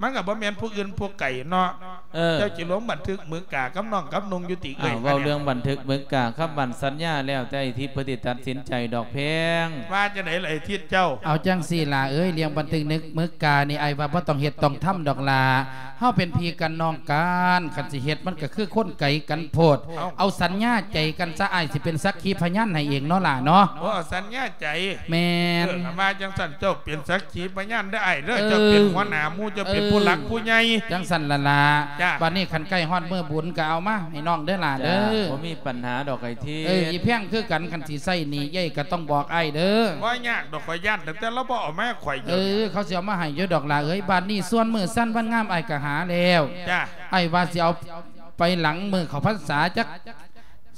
ມັນກໍບໍ່ແມ່ນຜູ້ອື່ນຜູ້ໄກເນາະ ເອີ ເຈົ້າຊິລົງບັນທຶກໝືກາກັບນ້ອງກັບນຸ່ງຢູ່ຕິເອື້ອຍ ອ້າວ ເວົ້າເລື່ອງບັນທຶກໝືກາກັບບັນສັນຍາແລ້ວແຕ່ໄອ້ທິດເພິ່ນຊິຕັດສິນໃຈດອກແພງ ວ່າຈັ່ງໃດລະໄອ້ທິດເຈົ້າ ເອົາຈັ່ງຊີ້ຫຼ້າເອີຍ ເລື່ອງບັນທຶກໝືການີ້ ອ້າຍວ່າບໍ່ຕ້ອງເຮັດຕ້ອງທຳດອກຫຼ້າ ເຮົາເປັນພີ່ກັນນ້ອງກັນ ຄັນຊິເຮັດມັນກໍຄືຄົນໄກກັນໂພດ ເອົາ ເອົາສັນຍາໃຈກັນຊະ ອ້າຍຊິເປັນສັກຂີພະຍານໃຫ້ເອງເນາະຫຼ້າເນາະ ໂອ້ ເອົາສັນຍາໃຈ ແມ່ນ ເອີ ຄັນວ່າຈັ່ງຊັ້ນ ເຈົ້າເປັນສັກຂີພະຍານເດີອ້າຍເດີ ເອີ ເຈົ້າເປັນຫົວໜ້າໝູ່ ເຈົ້າເປັນ ເອີ ຜູ້ຫຼັກຜູ້ໃຫຍ່ ຈັ່ງຊັ້ນລະລະ ຈ້າ ບາດນີ້ຄັນໃກ້ຮອດມື້ບຸນກໍເອົາມາໃຫ້ນ້ອງເດີຫຼ້າເດີ ຈ້າ ບໍ່ມີປັນຫາດອກໄອ້ທິດ ເອີ ອີ່ແພງຄືກັນ ຄັນຊິໃຊ້ໜີ້ເອື້ອຍກໍຕ້ອງບອກອ້າຍເດີ ບໍ່ຍາກດອກ ຂ້ອຍຢ້ານຕັ້ງແຕ່ລາວບໍ່ເອົາມາໃຫ້ຂ້ອຍຢູ່ ເອີ ເຂົາຊິເອົາມາໃຫ້ຢູ່ດອກຫຼ້າເອີຍ ບາດນີ້ສ່ວນມື້ສັນວັນງາມອ້າຍກໍຫາແລ້ວ ຈ້າ ອ້າຍວ່າຊິເອົາໄປຫຼັງມື້ເຂົ້າພັນສາຈັກ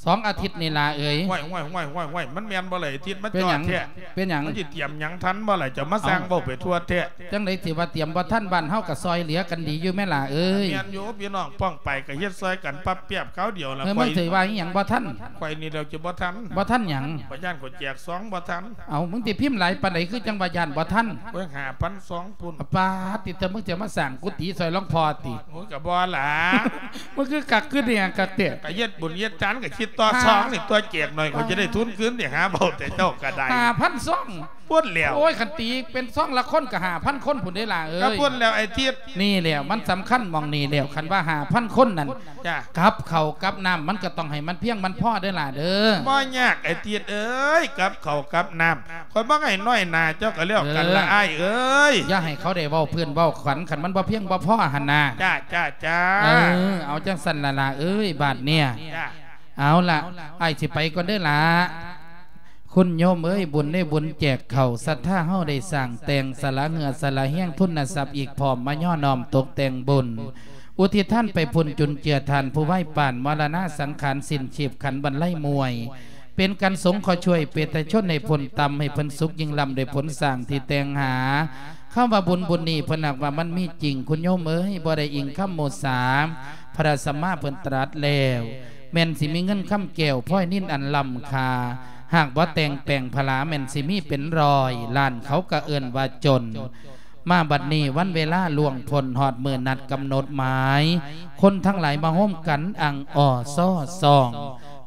ສອງອາທິດນີ້ລະເອີຍ ຫ້ວຍໆໆໆ ມັນແມ່ນບໍ່ລະ ອາທິດມັນ ເປັນຫຍັງ ຈອດແທ້ ເປັນຫຍັງ ມັນຊິຕຽມຫຍັງທັນບໍ່ລະ ເຈົ້າມາສ້າງ ເອົ້າ ເວົ້າໄປທົ່ວແທ້ ຈັ່ງໃດຊິວ່າຕຽມບໍ່ທັນ ບ້ານເຮົາກໍຊ່ອຍເຫຼືອກັນດີຢູ່ແມ່ຫຼ້າເອີຍ ແມ່ນຢູ່ ພີ່ນ້ອງປ້ອງປາຍກໍເຮັດຊ່ອຍກັນປັບແປບຄາວດຽວລະ ເອີ ຂ້ອຍ ມັນຊິວ່າອີ່ຫຍັງບໍ່ທັນ ຂ້ອຍນີ້ແລ້ວຈະບໍ່ທັນ ບໍ່ທັນຫຍັງ ຂ້ອຍຢ້ານຂ້ອຍແຈກຊອງບໍ່ທັນ ເອົ້າ ມຶງຊິພິມຫຼາຍປານໃດ ຄືຈັ່ງວ່າຢ້ານບໍ່ທັນ ໂອ້ຍ ຫ້າພັນຊອງພຸ້ນ ປາດຕິ ເຈົ້າ ມຶງຈະມາສ້າງກຸຕິຊ່ອຍຫຼວງພໍ່ຕິ ໂອ້ຍ ກໍບໍ່ລະ ມັນຄືຄັກຄືແນ່ຄັກແທ້ ກໍເຮັດບຸນເຮັດທານກໍຄິດຕໍ່ຊອງນີ້ຕົວະ ແຈກໜ້ອຍກໍຈະໄດ້ທຶນຄືນນີ້ ຫາເວົ້າແຕ່ເຈົ້າກໍໄດ້ ຫ້າພັນຊອງພຸ້ນແລ້ວ ໂອ້ຍ ຄັນຕີເປັນຊອງລະຄົນກໍຫ້າພັນຄົນພຸ້ນເດ້ລະເອີຍ ກໍພຸ້ນແລ້ວໄອ້ທິດ ນີ້ແຫຼະ ມັນສຳຄັນໝ່ອງນີ້ແລ້ວ ຄັນວ່າຫ້າພັນຄົນນັ້ນ ຈ້າ ກັບເຂົ້າກັບນ້ຳມັນກໍຕ້ອງໃຫ້ມັນພຽງມັນພໍເດີຫຼ້າເດີ ບໍ່ຍາກໄອ້ທິດເອີຍ ກັບເຂົ້າກັບນ້ຳ ຂ້ອຍບໍ່ໃຫ້ນ້ອຍໜ້າເຈົ້າກໍແລ້ວກັນລະ ເອີ ອ້າຍເອີຍ ຢ່າໃຫ້ເຂົາໄດ້ເວົ້າພື້ນເວົ້າຂວັນ ຄັນມັນບໍ່ພຽງບໍ່ພໍຫັ້ນນາ ຈ້າ ຈ້າ ຈ້າ ເອີ ເອົາຈັ່ງຊັ້ນລະຫຼ້າເອີຍ ບາດເນີ້ຍ ຈ້າ ເອົາລະ ອ້າຍຊິໄປກ່ອນເດີຫຼ້າ ຄຸນໂຍມເອີຍ ບຸນໄດ້ບຸນແຈກເຂົ້າ ສັດທາເຮົາໄດ້ສ້າງແຕ່ງ ສະຫຼະເຫື່ອສະຫຼະແຮງ ທຶນນະຊັບອີກພ້ອມ ມາຍໍ້ນ້ອມຕົກແຕ່ງບຸນ ອຸທິດທານໄປພຸ້ນ ຈຸນເຈືອທ່ານຜູ້ໄວປານ ມໍລະນະສັງຂານ ສິ້ນຊີບຂັນບັນໄລມວຍ ເປັນການສົງເຄາະຊ່ວຍປະຊາຊົນໃຫ້ພົ້ນຕ່ຳ ໃຫ້ເພິ່ນສຸກຍິ່ງລ້ຳ ດ້ວຍຜົນສ້າງທີ່ແຕ່ງຫາ. ຄຳວ່າບຸນບຸນນີ້ ເພິ່ນຫາກວ່າມັນມີຈິງ ຄຸນໂຍມເອີຍ ບໍ່ໄດ້ອີງຄຳໝູ່ສາ ພະສຳມາເພິ່ນຕລັດແລ້ວ ແມ່ນຊິມີເງິນຄຳແກ້ວ ພອຍນິນອັນລ້ຳຄ່າ ຫາກບໍ່ແຕ່ງແປງຜະລາ ແມ່ນຊິມີເປັນຮ້ອຍລ້ານ ເຂົາກໍເອີ້ນວ່າຈົນ. ມາບັດນີ້ ວັນເວລາລ່ວງພົ້ນ ຮອດມື້ນັດກຳນົດໝາຍ ຄົນທັງຫຼາຍມາໂຮມກັນ ອັ່ງອໍ້ຊໍຊອງ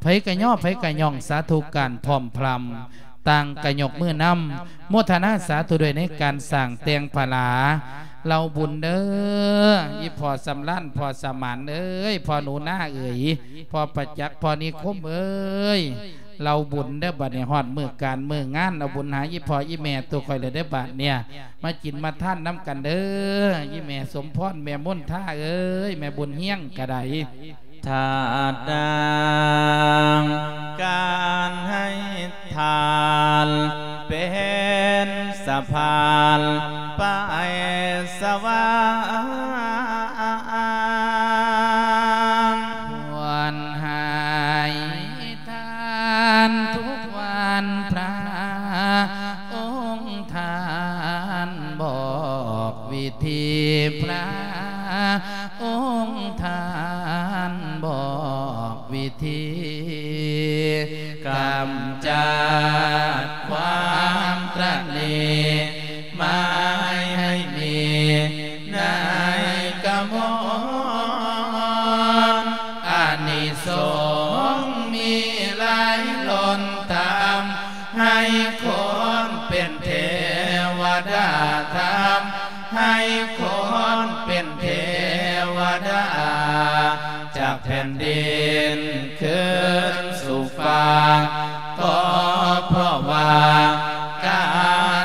ໃຜກະຍໍ ໃຜກະຍ້ອງ ສາທຸການພ້ອມພຣຳ ຕ່າງກະຍົກມືນຳ ໂມທະນາສາທຸດ້ວຍໃນການສ້າງແຕ່ງຜະລາ ເຫຼົ່າບຸນເດີ ອີ່ພໍ່ສຳລານ ພໍ່ສະໝານເອີຍ ພໍ່ໜູນາເອີຍ ພໍ່ປະຈັກ ພໍ່ນິຄົມເອີຍ ເຫຼົ່າບຸນເດີ ບັດນີ້ຮອດມື້ການມື້ງານ ເອົາບຸນຫາອີ່ພໍ່ອີ່ແມ່ໂຕຂ້ອຍແລ້ວເດີ ບາດເນີ້ຍ ມາກິນມາທານນຳກັນເດີ ອີ່ແມ່ສົມພອນ ແມ່ມົນທາເອີຍ ແມ່ບຸນຮຽງກະໄດ້ ທາດນາງ ການໃຫ້ທານ ເປັນສະພານໄປສະຫວ່າງ ຄວນໃຫ້ທານທຸກວັນ ພະອົງທ່ານບອກວິທີ ພະອົງທ່ານບອກວິທີ ກຳຈັດຄວາມຕະໜີ ໝາຍໃຫ້ມີໃນກະມອນ ອານິສົງມີຫຼາຍລົ້ນ ທຳໃຫ້ຄົນເປັນເທວະດາ ທຳໃຫ້ຄົນເປັນເທວະດາ ຈາກແຜ່ນດິນຄືນສູ່ຟ້າ ກໍເພາະວ່າກາ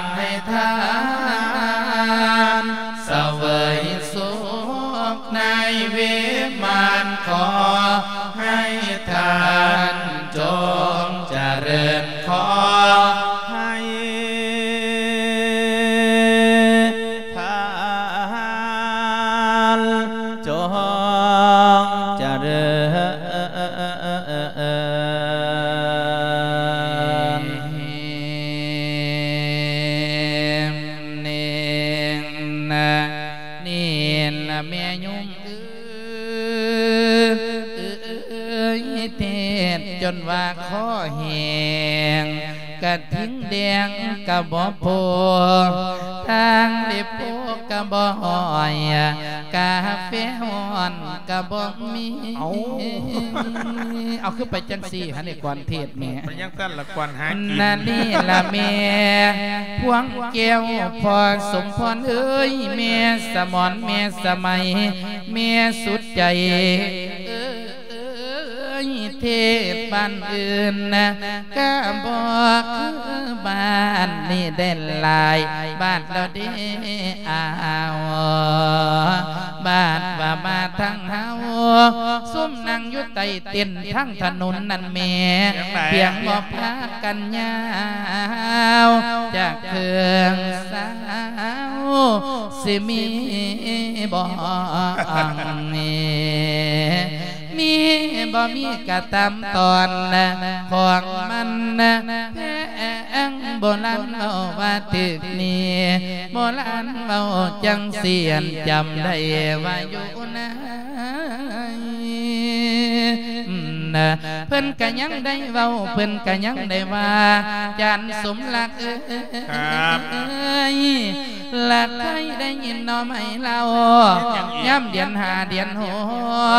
ນໃຫ້ທານ ສະເຫວີຍສຸກໃນວິມານ ຂໍໃຫ້ທ່ານຈົ່ງຈະເລີນ ຂໍໃຫ້ທ່ານ ຈົ່ງຈະເລີນ ເໜັງນະ ນີ້ລະແມ່ຍຸງເອີຍ ເທດຈົນວ່າຄໍແຫ້ງ ກະທິງແດງກະບໍ່ໂພ ທາງເລັບໂພກະບໍ່ຫ້ອຍ ກາເຟຮ້ອນກະບໍ່ມີ ເອົາ ເອົາ ຄືໄປຈັ່ງຊີ້ຫັ້ນ ໄອ້ກວນເທດແໝ ໄປຈັ່ງຊັ້ນລະ ກວນຫາກິນ ນະນີ້ລະແມ່ພວງແກ້ວ ພໍ່ສົມພອນເອີຍ ແມ່ສະໝອນ ແມ່ສະໄໝ ແມ່ສຸດໃຈເອີຍ ເອີຍ ເທດບ້ານອື່ນນະ ກະບໍ່ຄືບ້ານນີ້ໄດ້ຫຼາຍບາດແລ້ວເດ້ອາວ ບາດວ່າມາທາງເຮົາ ຊຸມນັ່ງຢູ່ໃຕ້ເຕັນທາງຖະໜົນນັ້ນແໝ ພຽງບໍ່ພາກັນຍາວ ຈາກເຄື່ອງສາວ ຊິມີບໍ່ ມີບໍ່ມີກະຕາມຕອນຂອງມັນ ແພງໂບລານເວົ້າວ່າຖືກນີ້ ໂບລານເວົ້າຈັ່ງຊີ້ ອັນຈຳໄດ້ວ່າຢູ່ໃນ ເພິ່ນກະຍັງໄດ້ເວົ້າ ເພິ່ນກະຍັງໄດ້ວ່າ ຈານສົມລັກເອີຍ ຄັບ ລະໄດ້ໄດ້ຍິນໜໍ່ໄມ້ເລົ່າ ເຮັດຫຍັງອີກ ຍາມເດືອນຫ້າເດືອນຫົ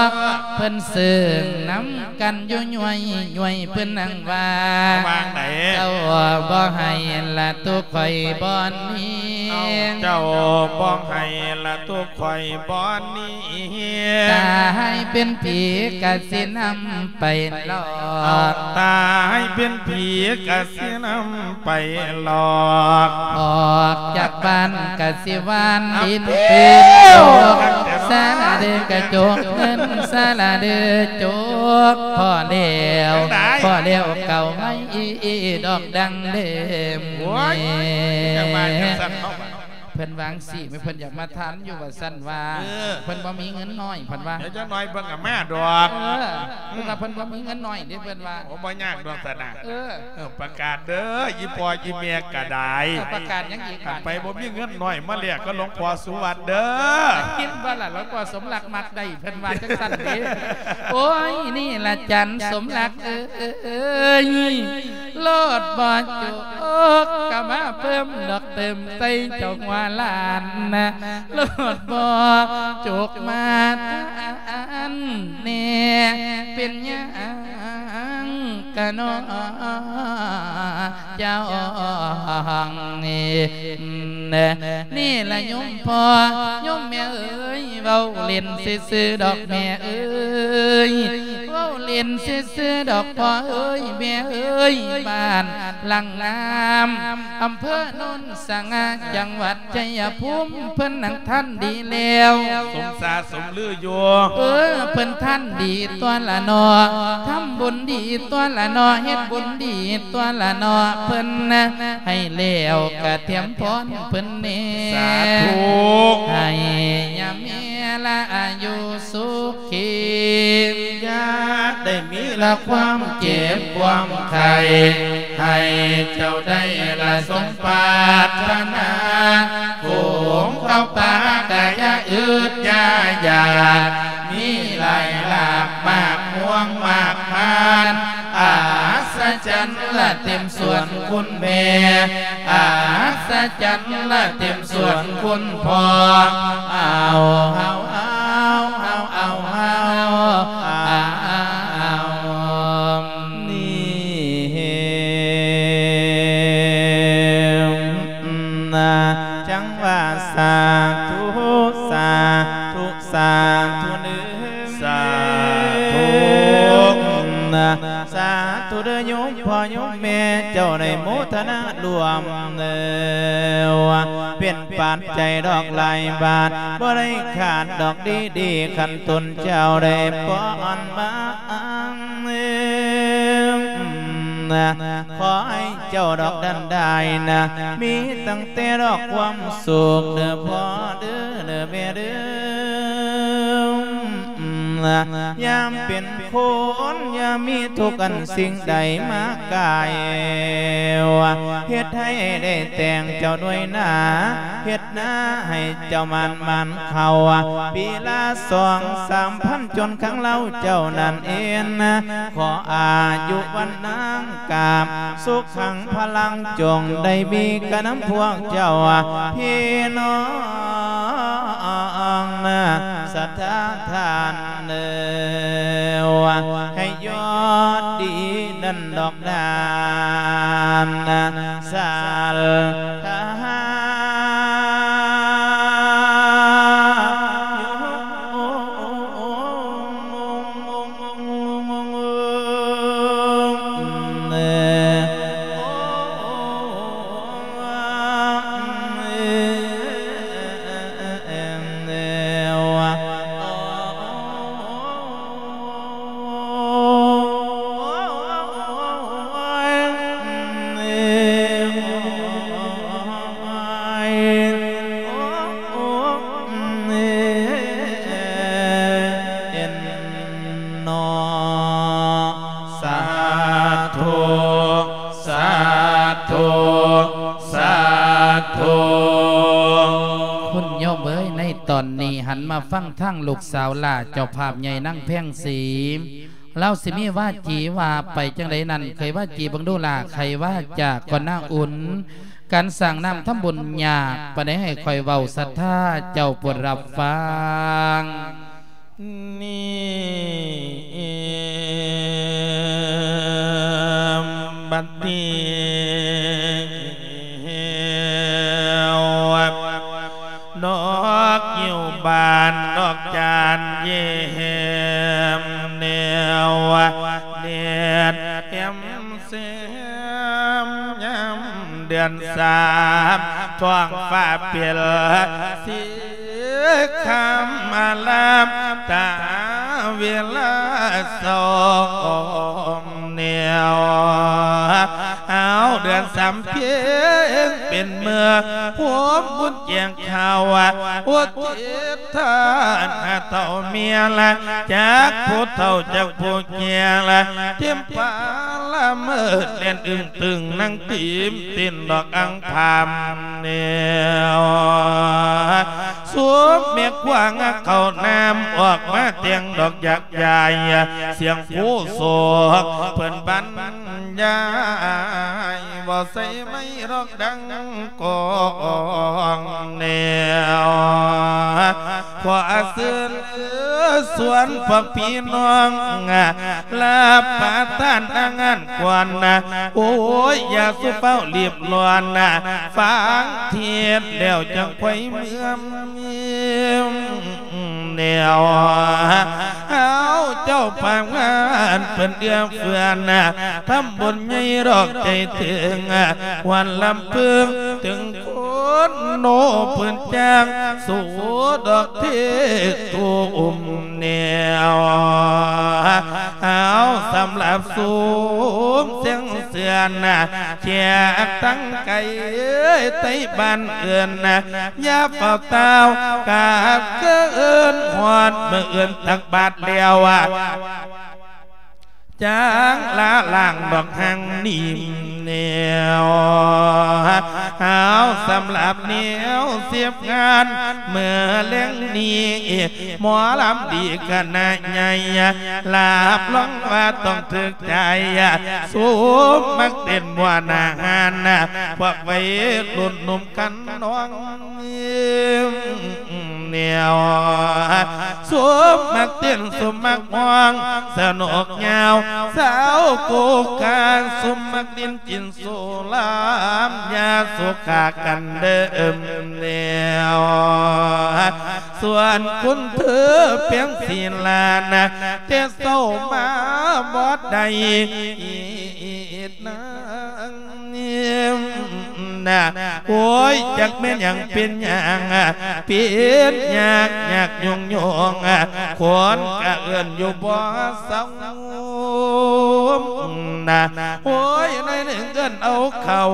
ກ ເພິ່ນເຊິ່ງນຳກັນຢູ່ຍ້ວຍຍ້ວຍ ເພິ່ນຫັ້ນວ່າ ວ່າຈັ່ງໃດ ເຈົ້າບໍ່ໃຫ້ລະຕຸຂ້ອຍບ່ອນນີ້ ເຈົ້າບໍ່ໃຫ້ລະຕຸຂ້ອຍບ່ອນນີ້ ຕາຍເປັນຜີກະຊິນຳໄປຫຼອກ ຕາຍເປັນຜີກະຊິນຳໄປຫຼອກ ອອກຈາກບ້ານ ກະຊິຫວ່ານດິນຕື່ມໂຈກ ສະລະເດີກະຈົກເງິນ ສະລະເດີຈົກ ພໍແລ້ວ ພໍແລ້ວເກົາໄມ້ດອກດັງເດີມ. ໂອ້ຍ ຢ່າວ່າຈັ່ງຊັ້ນເນາະ ເພິ່ນວ່າຈັ່ງຊີ້ ເພິ່ນຢາກມາທານຢູ່ວ່າຊັ້ນວ່າ ເອີ ເພິ່ນບໍ່ມີເງິນນ້ອຍ ເພິ່ນວ່າ ດຽວຈັກໜ່ອຍເພິ່ນກໍມາດອກ. ເອີ ເພິ່ນວ່າເພິ່ນບໍ່ມີເງິນນ້ອຍເດ້ ເພິ່ນວ່າ. ໂອ້ ບໍ່ຍາກດອກຊັ້ນນະ. ເອີ ເອີ ປະກາດເດີ ອີ່ພໍ່ອີ່ແມ່ກໍໄດ້. ເອີ ປະກາດຫຍັງອີກ? ຄັນໃຜບໍ່ມີເງິນໜ້ອຍມາແລກກັບຫຼວງພໍ່ສຸວັດເດີ. ໄດ້ຍິນບໍ່ລະ ຫຼວງພໍ່ສົມລັກມັກໄດ້ ເພິ່ນວ່າຈັ່ງຊັ້ນເດ້. ໂອ້ຍ ນີ້ລະຈັນສົມລັກເອີຍ ໂລດບໍ່ຈົກກໍມາເພີ່ມດອກເຕີມໃສ່ເຈົ້າຫົວລ້ານນະ ໂລດບໍ່ຈົກມາທານແດ່ ເປັນຫຍັງກະນ້ອງເຈົ້າ ນີ້ລະໂຍມພໍ່ໂຍມແມ່ເອີຍ ເວົ້າຫຼິ້ນຊື່ໆດອກແມ່ເອີຍ ເວົ້າຫຼິ້ນຊື່ໆດອກພໍ່ເອີຍແມ່ເອີຍ ບ້ານຫຼັງງາມ ອຳເພີໂນນສະຫງ່າ ຈັງຫວັດໄຊຍະພູມ ເພິ່ນນັ້ນທັນດີແລ້ວ ສົມສາສົມລືຢູ່. ເອີ ເພິ່ນທັນດີຕົວລະເນາະ ທຳບຸນດີຕົວລະເນາະ ເຮັດບຸນດີຕົວລະເນາະ ເພິ່ນໃຫ້ແລ້ວກະຖຽມພອນເພິ່ນແດ່ ສາທຸ ໃຫ້ຍາແມ່ລະອາຍຸສຸຂີ ຢ່າໄດ້ມີລະຄວາມເຈັບຄວາມໄຂ້ ໃຫ້ເຈົ້າໄດ້ລະສົມປາດຖະໜາ ຝູງເຂົ້າປ່າກະຢ່າອຶດຢ່າຢາກ ມີລາຍລາບມາກມ່ວງມາກມານ ອັດສະຈັນລະເຕັມສ່ວນຄຸນແມ່ ອັດສະຈັນລະເຕັມສ່ວນຄຸນພໍ່ ເອົາ ເຮົາ ເອົາ ເຮົາ ເອົາ ເຮົາ ເອົາ ນີ້ ນະ ຈັ່ງວ່າສາທຸ ສາທຸ ສາທຸເດີ ສາທຸ ນະ ສາທຸເດີ ໂຍມພໍ່ໂຍມແມ່ ເຈົ້າໄດ້ໂມທະນາລວມເດີ ເປັນປັດໄຈດອກຫຼາຍບາດ ບໍ່ໄດ້ຂາດດອກດີໆ ຄັນຕົນເຈົ້າໄດ້ປ້ອນມາ ຂໍໃຫ້ເຈົ້າດອກນັ້ນໄດ້ນະ ມີຕັ້ງແຕ່ດອກຄວາມສຸກເດີພໍ່ເດີ ເດີແມ່ເດີ ຍາມເປັນຄົນຢ່າມີທຸກອັນສິ່ງໃດມາກາຍ ເຮັດໃຫ້ໄດ້ແຕ່ງເຈົ້າດ້ວຍນາ ເຮັດນາໃຫ້ເຈົ້າໝານ ໝານເຂົ້າ ປີລະສອງສາມພັນ ຈົນຄັ້ງລາວເຈົ້ານັ້ນເອນ ຂໍອາຍຸວັນນາງກາບ ສຸຂັງພະລັງ ຈົ່ງໄດ້ມີກະນຳພວກເຈົ້າ ພີ່ນ້ອງນະ ສັດທາທ່ານເອີຍ ໃຫ້ຍອດດີນັ້ນດອກ ດ້ານສັດທາເນາະ ສາທຸ ສາທຸ ສາທຸ ຄຸນໂຍມເອີຍ ໃນຕອນນີ້ຫັນມາຟັງທາງລູກສາວຫຼ້າເຈົ້າພາບໃຫຍ່ນາງແພງສີ ລາວຊິມີວາຈີວ່າໄປຈັ່ງໃດນັ້ນ ໄຂວາຈີເບິ່ງດູຫຼ້າ ໄຂວາຈາກ່ອນນາອຸ່ນ ການສ້າງນ້ຳທຳບຸນຍາກປານໃດ ໃຫ້ຂ້ອຍເວົ້າສັດທາເຈົ້າໂປດຮັບຟັງ. ນີ້ບັດນີ້ ດອກງິ້ວບານ ດອກຈານເຢັມ ແນວເດັດແຮມແຊມ ຍາມເດືອນສາມ ທ້ອງຟ້າເປັນສີຄຳອາລາມ ຕາເວລາສອງແນວ ເອົາເດືອນສາມເພັງເປັນມື້ ໂຮມບຸນແຈ້ງຂ່າວ ອຸທິດທານເຖົ້າເມຍລະ ຈັກຜູ້ເຖົ້າຈັກຜູ້ແກ່ລະ ເຕັມປ່າລະເມີດ ແລ່ນອຶ້ງຕຶງນັ່ງຕີມ ເຕັ້ນດອກອັງພາມແນວ ສວມແມ່ຂວາງເຂົ້ານ້ຳ ອອກມາແຕ່ງດອກຢາກຢາຍ ສຽງໂຄສົກເພິ່ນບັນຍາຍ ເວົ້າໃສ່ໄມລອກດັງກ້ອງແນວ ຂໍເຊີນຊວນພວກພີ່ນ້ອງ ລາບປະທານອາຫານກ່ອນນະ ໂອ້ຍ ຢ່າສູ່ຟ້າວລີບລ້ອນນະ ຟັງເທດແລ້ວຈັ່ງຄ່ອຍເມືອ ແນວ ເອົາເຈົ້າພາກງານເພິ່ນເອື້ອເຟື້ອນະ ທຳບຸນໃຫຍ່ດອກໃຈເຖິງ ວັນລຳເພິງເຖິງຄົນໂນ ເພິ່ນຈ້າງສູ້ດອກເທດຕຸ້ມແນວ ເອົາສຳລັບຊຸມແສງເສືອນນະ ແຂກທັງໄກໃຕ້ບ້ານເອີ້ນນະ ຢ່າຟ້າວຕ່າວກາບຄືນ ຮອດມື້ອື່ນຕັກບາດແລ້ວ ຈາງລະລ້າງດອກຫາງໜີມແນວ ເອົາສຳລັບແນວເສບງານ ເມື່ອແລງນີ້ ໝໍລຳດີຄະນະໃຫຍ່ ລາບລອງວ່າຕ້ອງຖືກໃຈ ສົມມັກເຕັ້ນມ່ວນອາຫານ ພວກໄວລຸ້ນໜຸ່ມຄັນນອງ ແນວ ສົມມັກເຕັ້ນສົມມັກຮ້ອງ ສະໜຸກຍາວ ສາວໂກກາງ ສົມມັກຫຼິ້ນກິນ ໂຊລາມ ຢ່າໂສກາກັນເດີແນວ ສ່ວນຄຸນເທີແປງສີລານະ ແຕ່ເຊົ້າມາບໍ່ໄດ້ອີກນາງນະ ໂອ້ຍ ຈັກແມ່ນຫຍັງເປັນຫຍັງ ເປັນຍາກຍາກຍົງຍົງ ຄົນກະເອີ້ນຢູ່ບໍ່ເຊົາ ນະ ໂອ້ຍ ໜ້ອຍໜຶ່ງເອີ້ນເອົາເຂົ້າ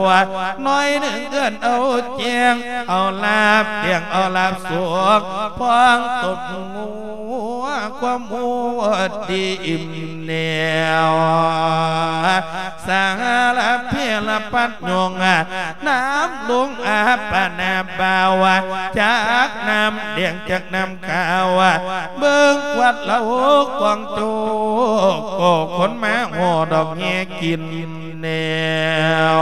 ໜ້ອຍໜຶ່ງເອີ້ນເອົາແຈງ ເອົາລາບແຈງ ເອົາລາບສວກ ພ້ອງຕົບງວ ຄວາມຮູ້ດີອີ່ມແນວ ສາລະເພລະປັດຍົງ ນ້ຳລົງອາບປະນາບາວ ຈັກນ້ຳແດງຈັກນ້ຳ ກາວ ເບິ່ງກວາດເລົ່າກອງໂຈກ ກໍຄົນມາຫໍ່ດອກແຫ່ກິນແນວ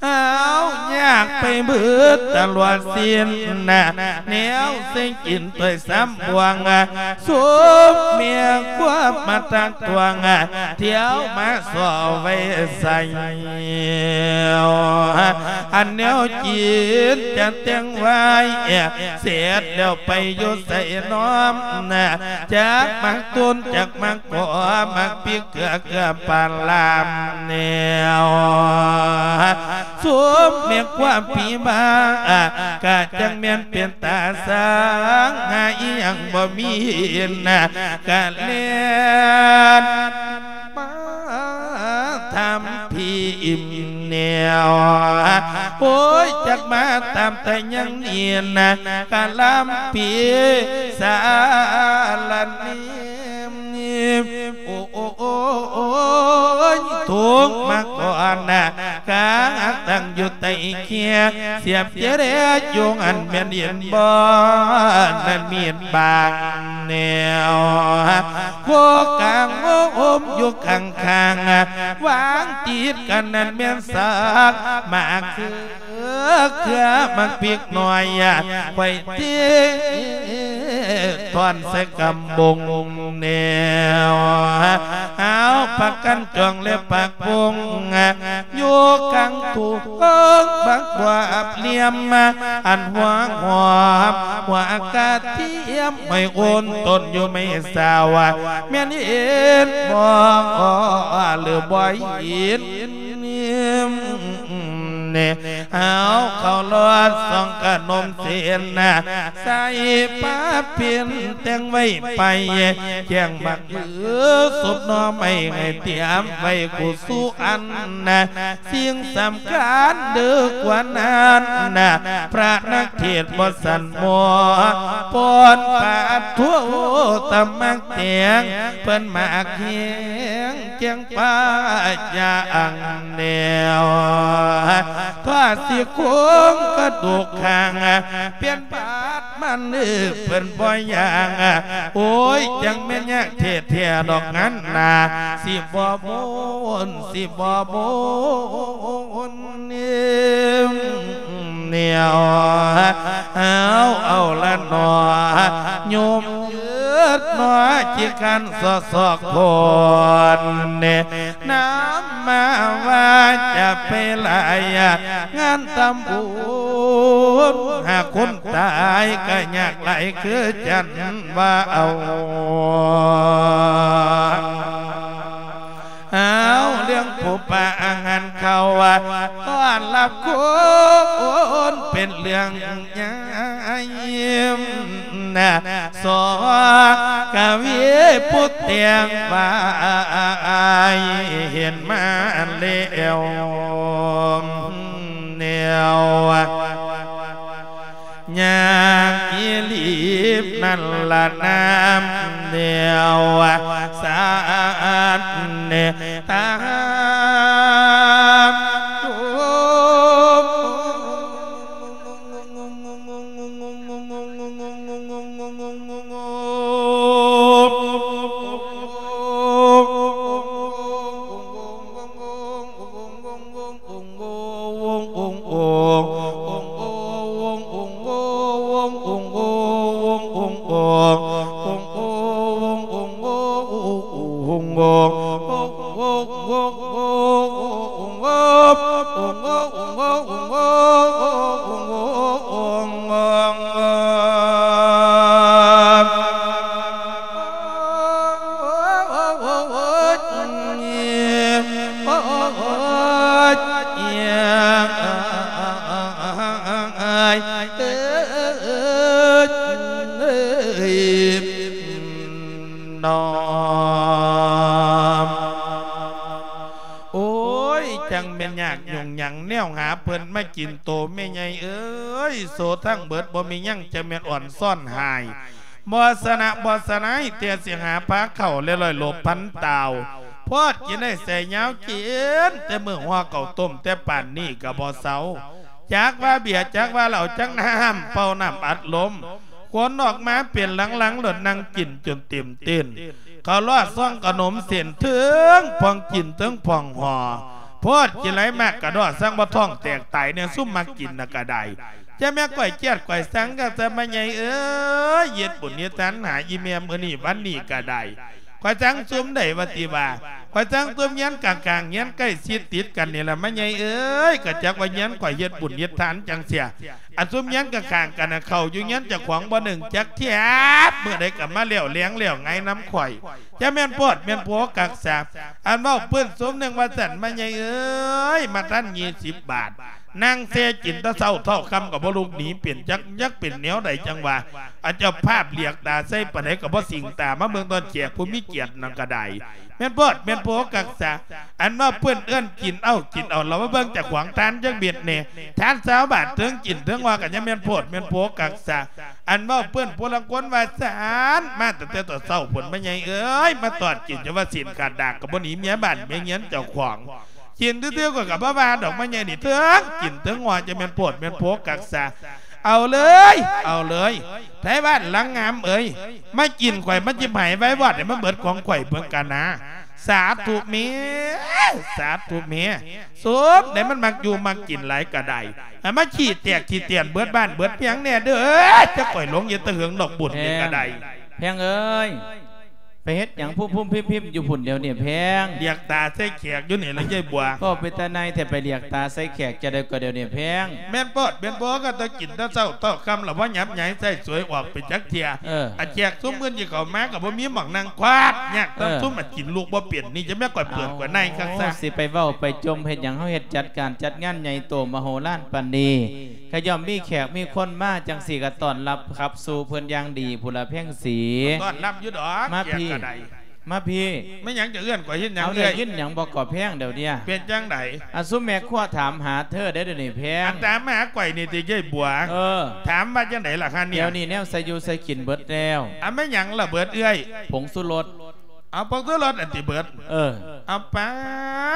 ເອົາຍາກໄປເບິດຕະຫຼອດສິ້ນນະ ແນວເສັງກິນ ໂຕຍສາມບວງ ສົມເມຍຄວາມມາຕັກຕວງ ທ່ຽວມາສໍ້ໄວ້ໃສ່ ອັນແນວກິນຈະແຕ່ງໄວ້ ເສັດແລ້ວໄປຢູ່ໃສນ້ອມນະ ຈັກໝາກຕົ້ນ ຈັກໝາກກໍ ໝາກພິກເກືອ ເກືອປາລາມແນວ ສົມແມ່ຄວາມຜີບ້າ ກະຈັ່ງແມ່ນເປັນຕາສ້າງ ຫາອີ່ຫຍັງບໍ່ມີນະ ກະແລ່ນມາທຳຜີອີ່ມແນວ ໂອ້ຍ ຈັກມາຕາມແຕ່ຍັງນີ້ນະ ກະລຳປີສາລະນີ ໂອ້ຍ ທຸກມາກ່ອນນະ ກາງຕັ້ງຢູ່ໃຕ້ເຄຍ ສຽບເຈເຣຢູ່ຫັ້ນແມ່ນເຫັນບໍ່ ນັ້ນມີດບາງແນວ ໂຄກາງໂອ້ມຢູ່ຂ້າງໆ ວາງຕິດກັນນັ້ນແມ່ນສາກໝາກຄື ເຄືອໝາກພິກໜ້ອຍ ຂ້ອຍເທຖອນໃສ່ກຳບົງແນວ ເອົາປາກກັນຈອງແລະປາກບົງ ຢູ່ກາງທຸງບັກບວບລຽມ ອັນຫົວຫອມຫົວກະທຽມ ຫ້ອຍໂອນຕົ້ນຢູ່ໄມ້ສາວ ແມ່ນເຫັນບໍ່ ຫຼືບໍ່ເຫັນ? ເຮົາເຂົ້າລອດຊ່ອງຂະໜົມເສັ້ນນະ ໃສ່ຜ້າປິ່ນແຕ່ງໄວ້ໄປ ແຈ້ງໝາກມືສົບໜໍ່ໄມ້ ໃຫ້ຕຽມໄວ້ຄູ່ສູ່ອັນນະ ສິ່ງສຳຄັນເດີກວ່ານັ້ນນະ ພະນັກເທດບໍ່ສັນໝໍ ປ່ອນປາດໂທຕະໝາກແຕງ ເພິ່ນໝາກແຮງ ແກງປາຢ່າງແນວ ຖ້າຊິໂຄງກະດູກຂ້າງ ປ່ຽນບາດມັນເອີ້ນເພິ່ນບໍ່ຢ່າງ ໂອ້ຍ ຈັ່ງແມ່ນຍາກແທ້ໆດອກງານນາ ຊິບໍ່ມົນ ຊິບໍ່ມົນ ແນວ ເອົາ ເອົາລະໜໍ ໂຍມເອີດໜໍ ຈິການສອກໆຄົນ ນຳມາວ່າຈະໄປຫຼາຍ ງານທຳບຸນ ຫາຄົນຕາຍກະຍາກຫຼາຍຄືຈັນວ່າເອົາ ເອົາ ເລື່ອງຜູ້ປາອາຫານເຂົ້າ ຕ້ອນຮັບຄົນເປັນເລື່ອງໃຫຍ່ ສອກະວີຜູ້ແຕ່ງໄວ້ ເຫັນມາແລ້ວແນວ ຍາກອີຫຼີບນັ້ນລະນາມແນວ ສາດເນຕາມ ໂອ້ຍ ຈັ່ງແມ່ນຍາກຫຍຸ້ງຫຍັງແນວຫາເພິ່ນມາກິນໂຕ ແມ່ໃຫຍ່ເອີຍ ໂສທັງເບິດບໍ່ມີຫຍັງ ຈະແມ່ນອ່ອນຊ້ອນຫາຍ ບໍ່ຊະນະບໍ່ຊະນາຍ ແຕ່ຊິຫາພາເຂົ້າແລະລອຍຫຼົບພັນຕາວ ພອດກິນໄດ້ໃສ່ຍາວກິນ ແຕ່ມື້ຫໍ່ເຂົ້າຕົ້ມແຕ່ປານນີ້ກະບໍ່ເຊົາ ຈັກວ່າເບຍ ຈັກວ່າເຫຼົ້າ ຈັກນ້ຳເປົ່າ ນ້ຳອັດລົມ ຄົນອອກມາເປັນຫຼັງໆ ໂລດນັ່ງກິນຈົນເຕັມເຕັ້ນ ເຂົ້າລອດຊ່ອງຂະໜົມເສັ້ນ ເທິງພອງກິນເທິງພອງຫໍ່ ພອດກິນຫຼາຍມາກກະດໍ້ ສັງວ່າທ້ອງແຕກຕາຍແນ່ ຊຸມມັກກິນນະກະໄດ້ ຈະແມ່ນຂ້ອຍຈຽດຂ້ອຍສັງກະຊະ ແມ່ໃຫຍ່ເອີຍ ເຮັດບຸນເຮັດທານຫາອີ່ແມ່ມື້ນີ້ວັນນີ້ກະໄດ້ ຂ້ອຍສັງຊຸມໃດວ່າຕິວ່າ ຂ້ອຍສັງຊຸມເຮືອນຂ້າງໆ ເຮືອນໃກ້ຊິດຕິດກັນນີ້ລະ ແມ່ໃຫຍ່ເອີຍ ກະຈັກວ່າເຮືອນຂ້ອຍເຮັດບຸນເຮັດທານຈັ່ງເສຍ ອັນຊຸມເຮືອນຂ້າງໆກັນນະ ເຂົ້າຢູ່ເຮືອນເຈົ້າຂອງບໍ່ໜຶ້ງຈັກເທື່ອ ມື້ໃດກະມາແລ້ວແລງແລ້ວໄງນຳຂ້ອຍ ຈະແມ່ນໂພດແມ່ນໂພຄັກສາ ອັນເວົ້າປຶ້ນຊຸມໜຶ່ງວ່າຊັ້ນ ແມ່ໃຫຍ່ເອີຍ ມາທັນຍີ່ສິບບາດ ນັ່ງແຊ່ກິນແຕ່ເຊົ້າເທົ່າຄ່ຳກະບໍ່ລຸກໜີເປັນ ຈັກ ຈັກເປັນແນວໃດຈັ່ງວ່າ ອັນເຈົ້າພາບຫຼຽກຕາໃສ່ປານໃດກະບໍ່ສິງຕາ ມາເບິ່ງຕອນແຂກຜູ້ມີກຽດນັ້ນກະໄດ້ ແມ່ນໂພດແມ່ນໂພຄັກສາ ອັນວ່າເພິ່ນເອີ້ນກິນເອົາ ກິນເອົາ ລະມາເບິ່ງເຈົ້າຂອງທານຈັກເມັດແນ່ ທານຊາວບາດ ເທິງກິນເທິງວ່າກະຍັງແມ່ນໂພດແມ່ນໂພຄັກສາ ອັນເວົ້າເພິ່ນຜູ້ລາງຄົນວ່າຊັ້ນ ມາຕັ້ງແຕ່ຕອນເຊົ້າພຸ້ນ ແມ່ໃຫຍ່ເອີຍ ມາຕອດກິນຈົນວ່າຊີ້ນຂາດດາກ ກະບໍ່ໜີເມຍບ້ານເມຍເຮືອນເຈົ້າຂອງ ກິນຊື່ໆ ຂ້ອຍກະບໍ່ວ່າດອກ ມາໃຫຍ່ນີ້ ເທິງກິນເທິງຫົວ ຈະແມ່ນໂພດແມ່ນໂພຄັກສາ ເອົາເລີຍ ເອົາເລີຍ ໄທບ້ານຫຼັງງາມເອີຍ ມາກິນຂ້ອຍ ມາຈິບໃຫ້ໄວວອດ ໃຫ້ມັນເບິດຂອງຂ້ອຍເບິ່ງກະນາ ສາທຸແມ່ ສາທຸແມ່ ສົມໃດມັນມັກຢູ່ມັກກິນຫຼາຍກະໄດ້ ໃຫ້ມາຂີ້ແຕກຂີ້ຕຽນເບິດບ້ານເບິດເມືອງແນ່ເດີ ຈັກຂ້ອຍຫຼົງເຮັດແຕ່ເຫິງດອກບຸນນີ້ກະໄດ້ ແພງເອີຍ ໄປ ໄປເຮັດຫຍັງພຸ້ມໆພິ້ມໆຢູ່ພຸ້ນດຽວນີ້ແພງ? ລຽກຕາໃສ່ແຂກຢູ່ນີ້ລະຍາຍບົວ. ກໍເປັນຕາໜ່າຍແທ້ ໄປລຽກຕາໃສ່ແຂກຈັ່ງໃດກໍດຽວນີ້ແພງ? ແມ່ນໂພດແມ່ນໂພ ກໍຕ້ອງກິນແຕ່ເຊົ້າເທົ່າຄ່ຳລະ ບໍ່ຫຍັບໃຫຍ່ໃຊ້ສວຍອອກໄປຈັກເທື່ອ. ເອີ ອັນແຂກຊຸມອື່ນທີ່ເຂົ້າມາກໍບໍ່ມີໝ່ອງນັ່ງ ຄວາດຍາກນຳ ເອີ ຊຸມອັນກິນລູກບໍ່ເປັນນີ້. ຈະແມ່ນຂ້ອຍເປີດກວ່າໃນຄັກຊະ. ໂອ້ ຊິໄປເວົ້າໄປຈົ່ມເຮັດຫຍັງ? ເຮົາເຮັດຈັດການຈັດງານໃຫຍ່ໂຕມະໂຫລານປານນີ້ ກໍຍ່ອມມີແຂກມີຄົນມາຈັ່ງຊີ້ ກໍຕ້ອນຮັບຂັບສູ່ເພິ່ນຢ່າງດີພຸ້ນລະແພງສີ. ຕ້ອນຮັບຢູ່ດອກ ມາພີ້ ມາພີ້. ແມ່ນຫຍັງຈະເອີ້ນຂ້ອຍເຮັດຫຍັງ? ເອີ ໄດ້ຍິນຫຍັງບໍ່ກໍແພງດຽວນີ້? ເປັນຈັ່ງໃດ? ອັນຊຸມແມ່ຄົວຖາມຫາເທີເດ້ດຽວນີ້ແພງ. ອັນຕາມມາຫາຂ້ອຍນີ້ຕິຍາຍບົວ? ເອີ ຖາມວ່າຈັ່ງໃດລະຄະເນຍ? ດຽວນີ້ແນວໃສ່ຢູ່ໃສ່ກິນເບິດແລ້ວ. ອັນແມ່ນຫຍັງລະເບິດເອື້ອຍ? ຜົງຊູລົດ. ເອົາ ຜົງຊູລົດອັນຕິເບິດ? ເອີ ເອົາປາ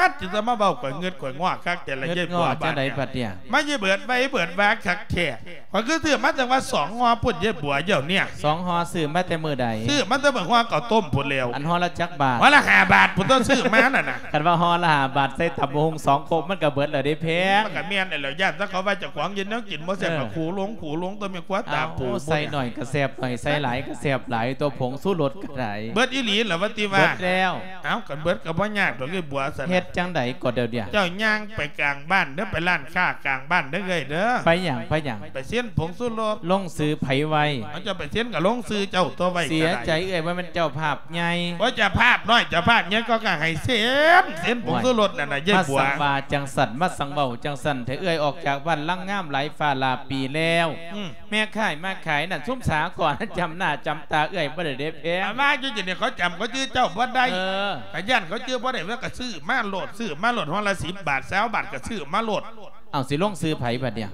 ດ ຈຶ່ງຈະມາເວົ້າຂ້ອຍເງິດຂ້ອຍງໍຄັກແຕ່ລະຍາຍບົວ. ບາດນີ້ມາຊິເບິດໄວເບິດວາຄັກແທ້. ຂ້ອຍຄືຊື້ມາຕັ້ງວ່າສອງຫໍ່ພຸ້ນຍາຍບົວ ດຽວນີ້. ສອງຫໍ່ຊື້ມາແຕ່ມື້ໃດ? ຊື້ມາແຕ່ມື້ຫໍ່ເຂົ້າຕົ້ມພຸ້ນແລ້ວ. ອັນຫໍ່ລະຈັກບາດ? ຫໍ່ລະຫ້າບາດພຸ້ນຕົວະ ຊື້ມານັ້ນນະ. ຄັນວ່າຫໍ່ລະຫ້າບາດ ໃສ່ຕຳບັກຫຸ່ງສອງຄົກ ມັນກໍເບິດແລ້ວເດ້ແພງ. ມັນກໍແມ່ນແລ້ວ ຢ້ານແຕ່ເຂົາວ່າເຈົ້າຂອງເຮັດແນວກິນບໍ່ແຊບ ເອີ ກໍຂູລົງຂູລົງຕົວະ ແມ່ຄົວຕາປູ. ເອົາ ໃສ່ໜ້ອຍກໍແຊບໜ້ອຍ ໃສ່ຫຼາຍກໍແຊບຫຼາຍ ຕົວະ ຜົງຊູລົດກໍໄດ້. ເບິດອີ່ຫຼີລະວ່າຕິວ່າ? ເບິດແລ້ວ. ເອົ້າ ຄັນເບິດກໍບໍ່ຍາກດອກຍາຍບົວຊັ້ນ. ເຮັດຈັ່ງໃດກໍດຽວນີ້? ເຈົ້າຍ່າງໄປກາງບ້ານເດີ ໄປຮ້ານຄ້າກາງບ້ານເດີເອື້ອຍເດີ. ໄປຫຍັງ? ໄປຫຍັງ? ໄປເຊັນຜົງຊູລົດ. ລົງຊື່ໃຜໄວ້? ເອົາ ເຈົ້າໄປເຊັນກໍລົງຊື່ເຈົ້າຕົວະ ໄວ້ກໍໄດ້. ເສຍໃຈເອື້ອຍ ບໍ່ແມ່ນເຈົ້າພາບໃຫຍ່. ໂອ້ຍ ເຈົ້າພາບນ້ອຍເຈົ້າພາບໃຫຍ່ກໍ ກໍໃຫ້ເຊັນ ເຊັນຜົງຊູລົດນັ້ນນະຍາຍບົວ. ມາສັງວ່າຈັ່ງຊັ້ນ ມາສັງເວົ້າຈັ່ງຊັ້ນແທ້. ເອື້ອຍອອກຈາກບ້ານຫຼັງງາມຫຼາຍຟ້າຫຼາຍປີແລ້ວ. ອືມ ແມ່ຄ້າຍມາຂາຍນັ້ນ ຊຸມສາກອນຈຳໜ້າຈຳຕາເອື້ອຍບໍ່ໄດ້ເດ້ແພງ. ມາຢູ່ນີ້ເຂົາຈຳ ເຂົາຈື່ເຈົ້າບໍ່ໄດ້. ເອີ ກໍຢ້ານເຂົາຈື່ບໍ່ໄດ້ ແລ້ວກໍຊື້ມາໂລດ ຊື້ມາໂລດ ຫໍ່ລະສິບບາດ ຊາວບາດ ກໍຊື້ມາໂລດ. ເອົາ ຊິລົງຊື່ໃຜບັດນີ້?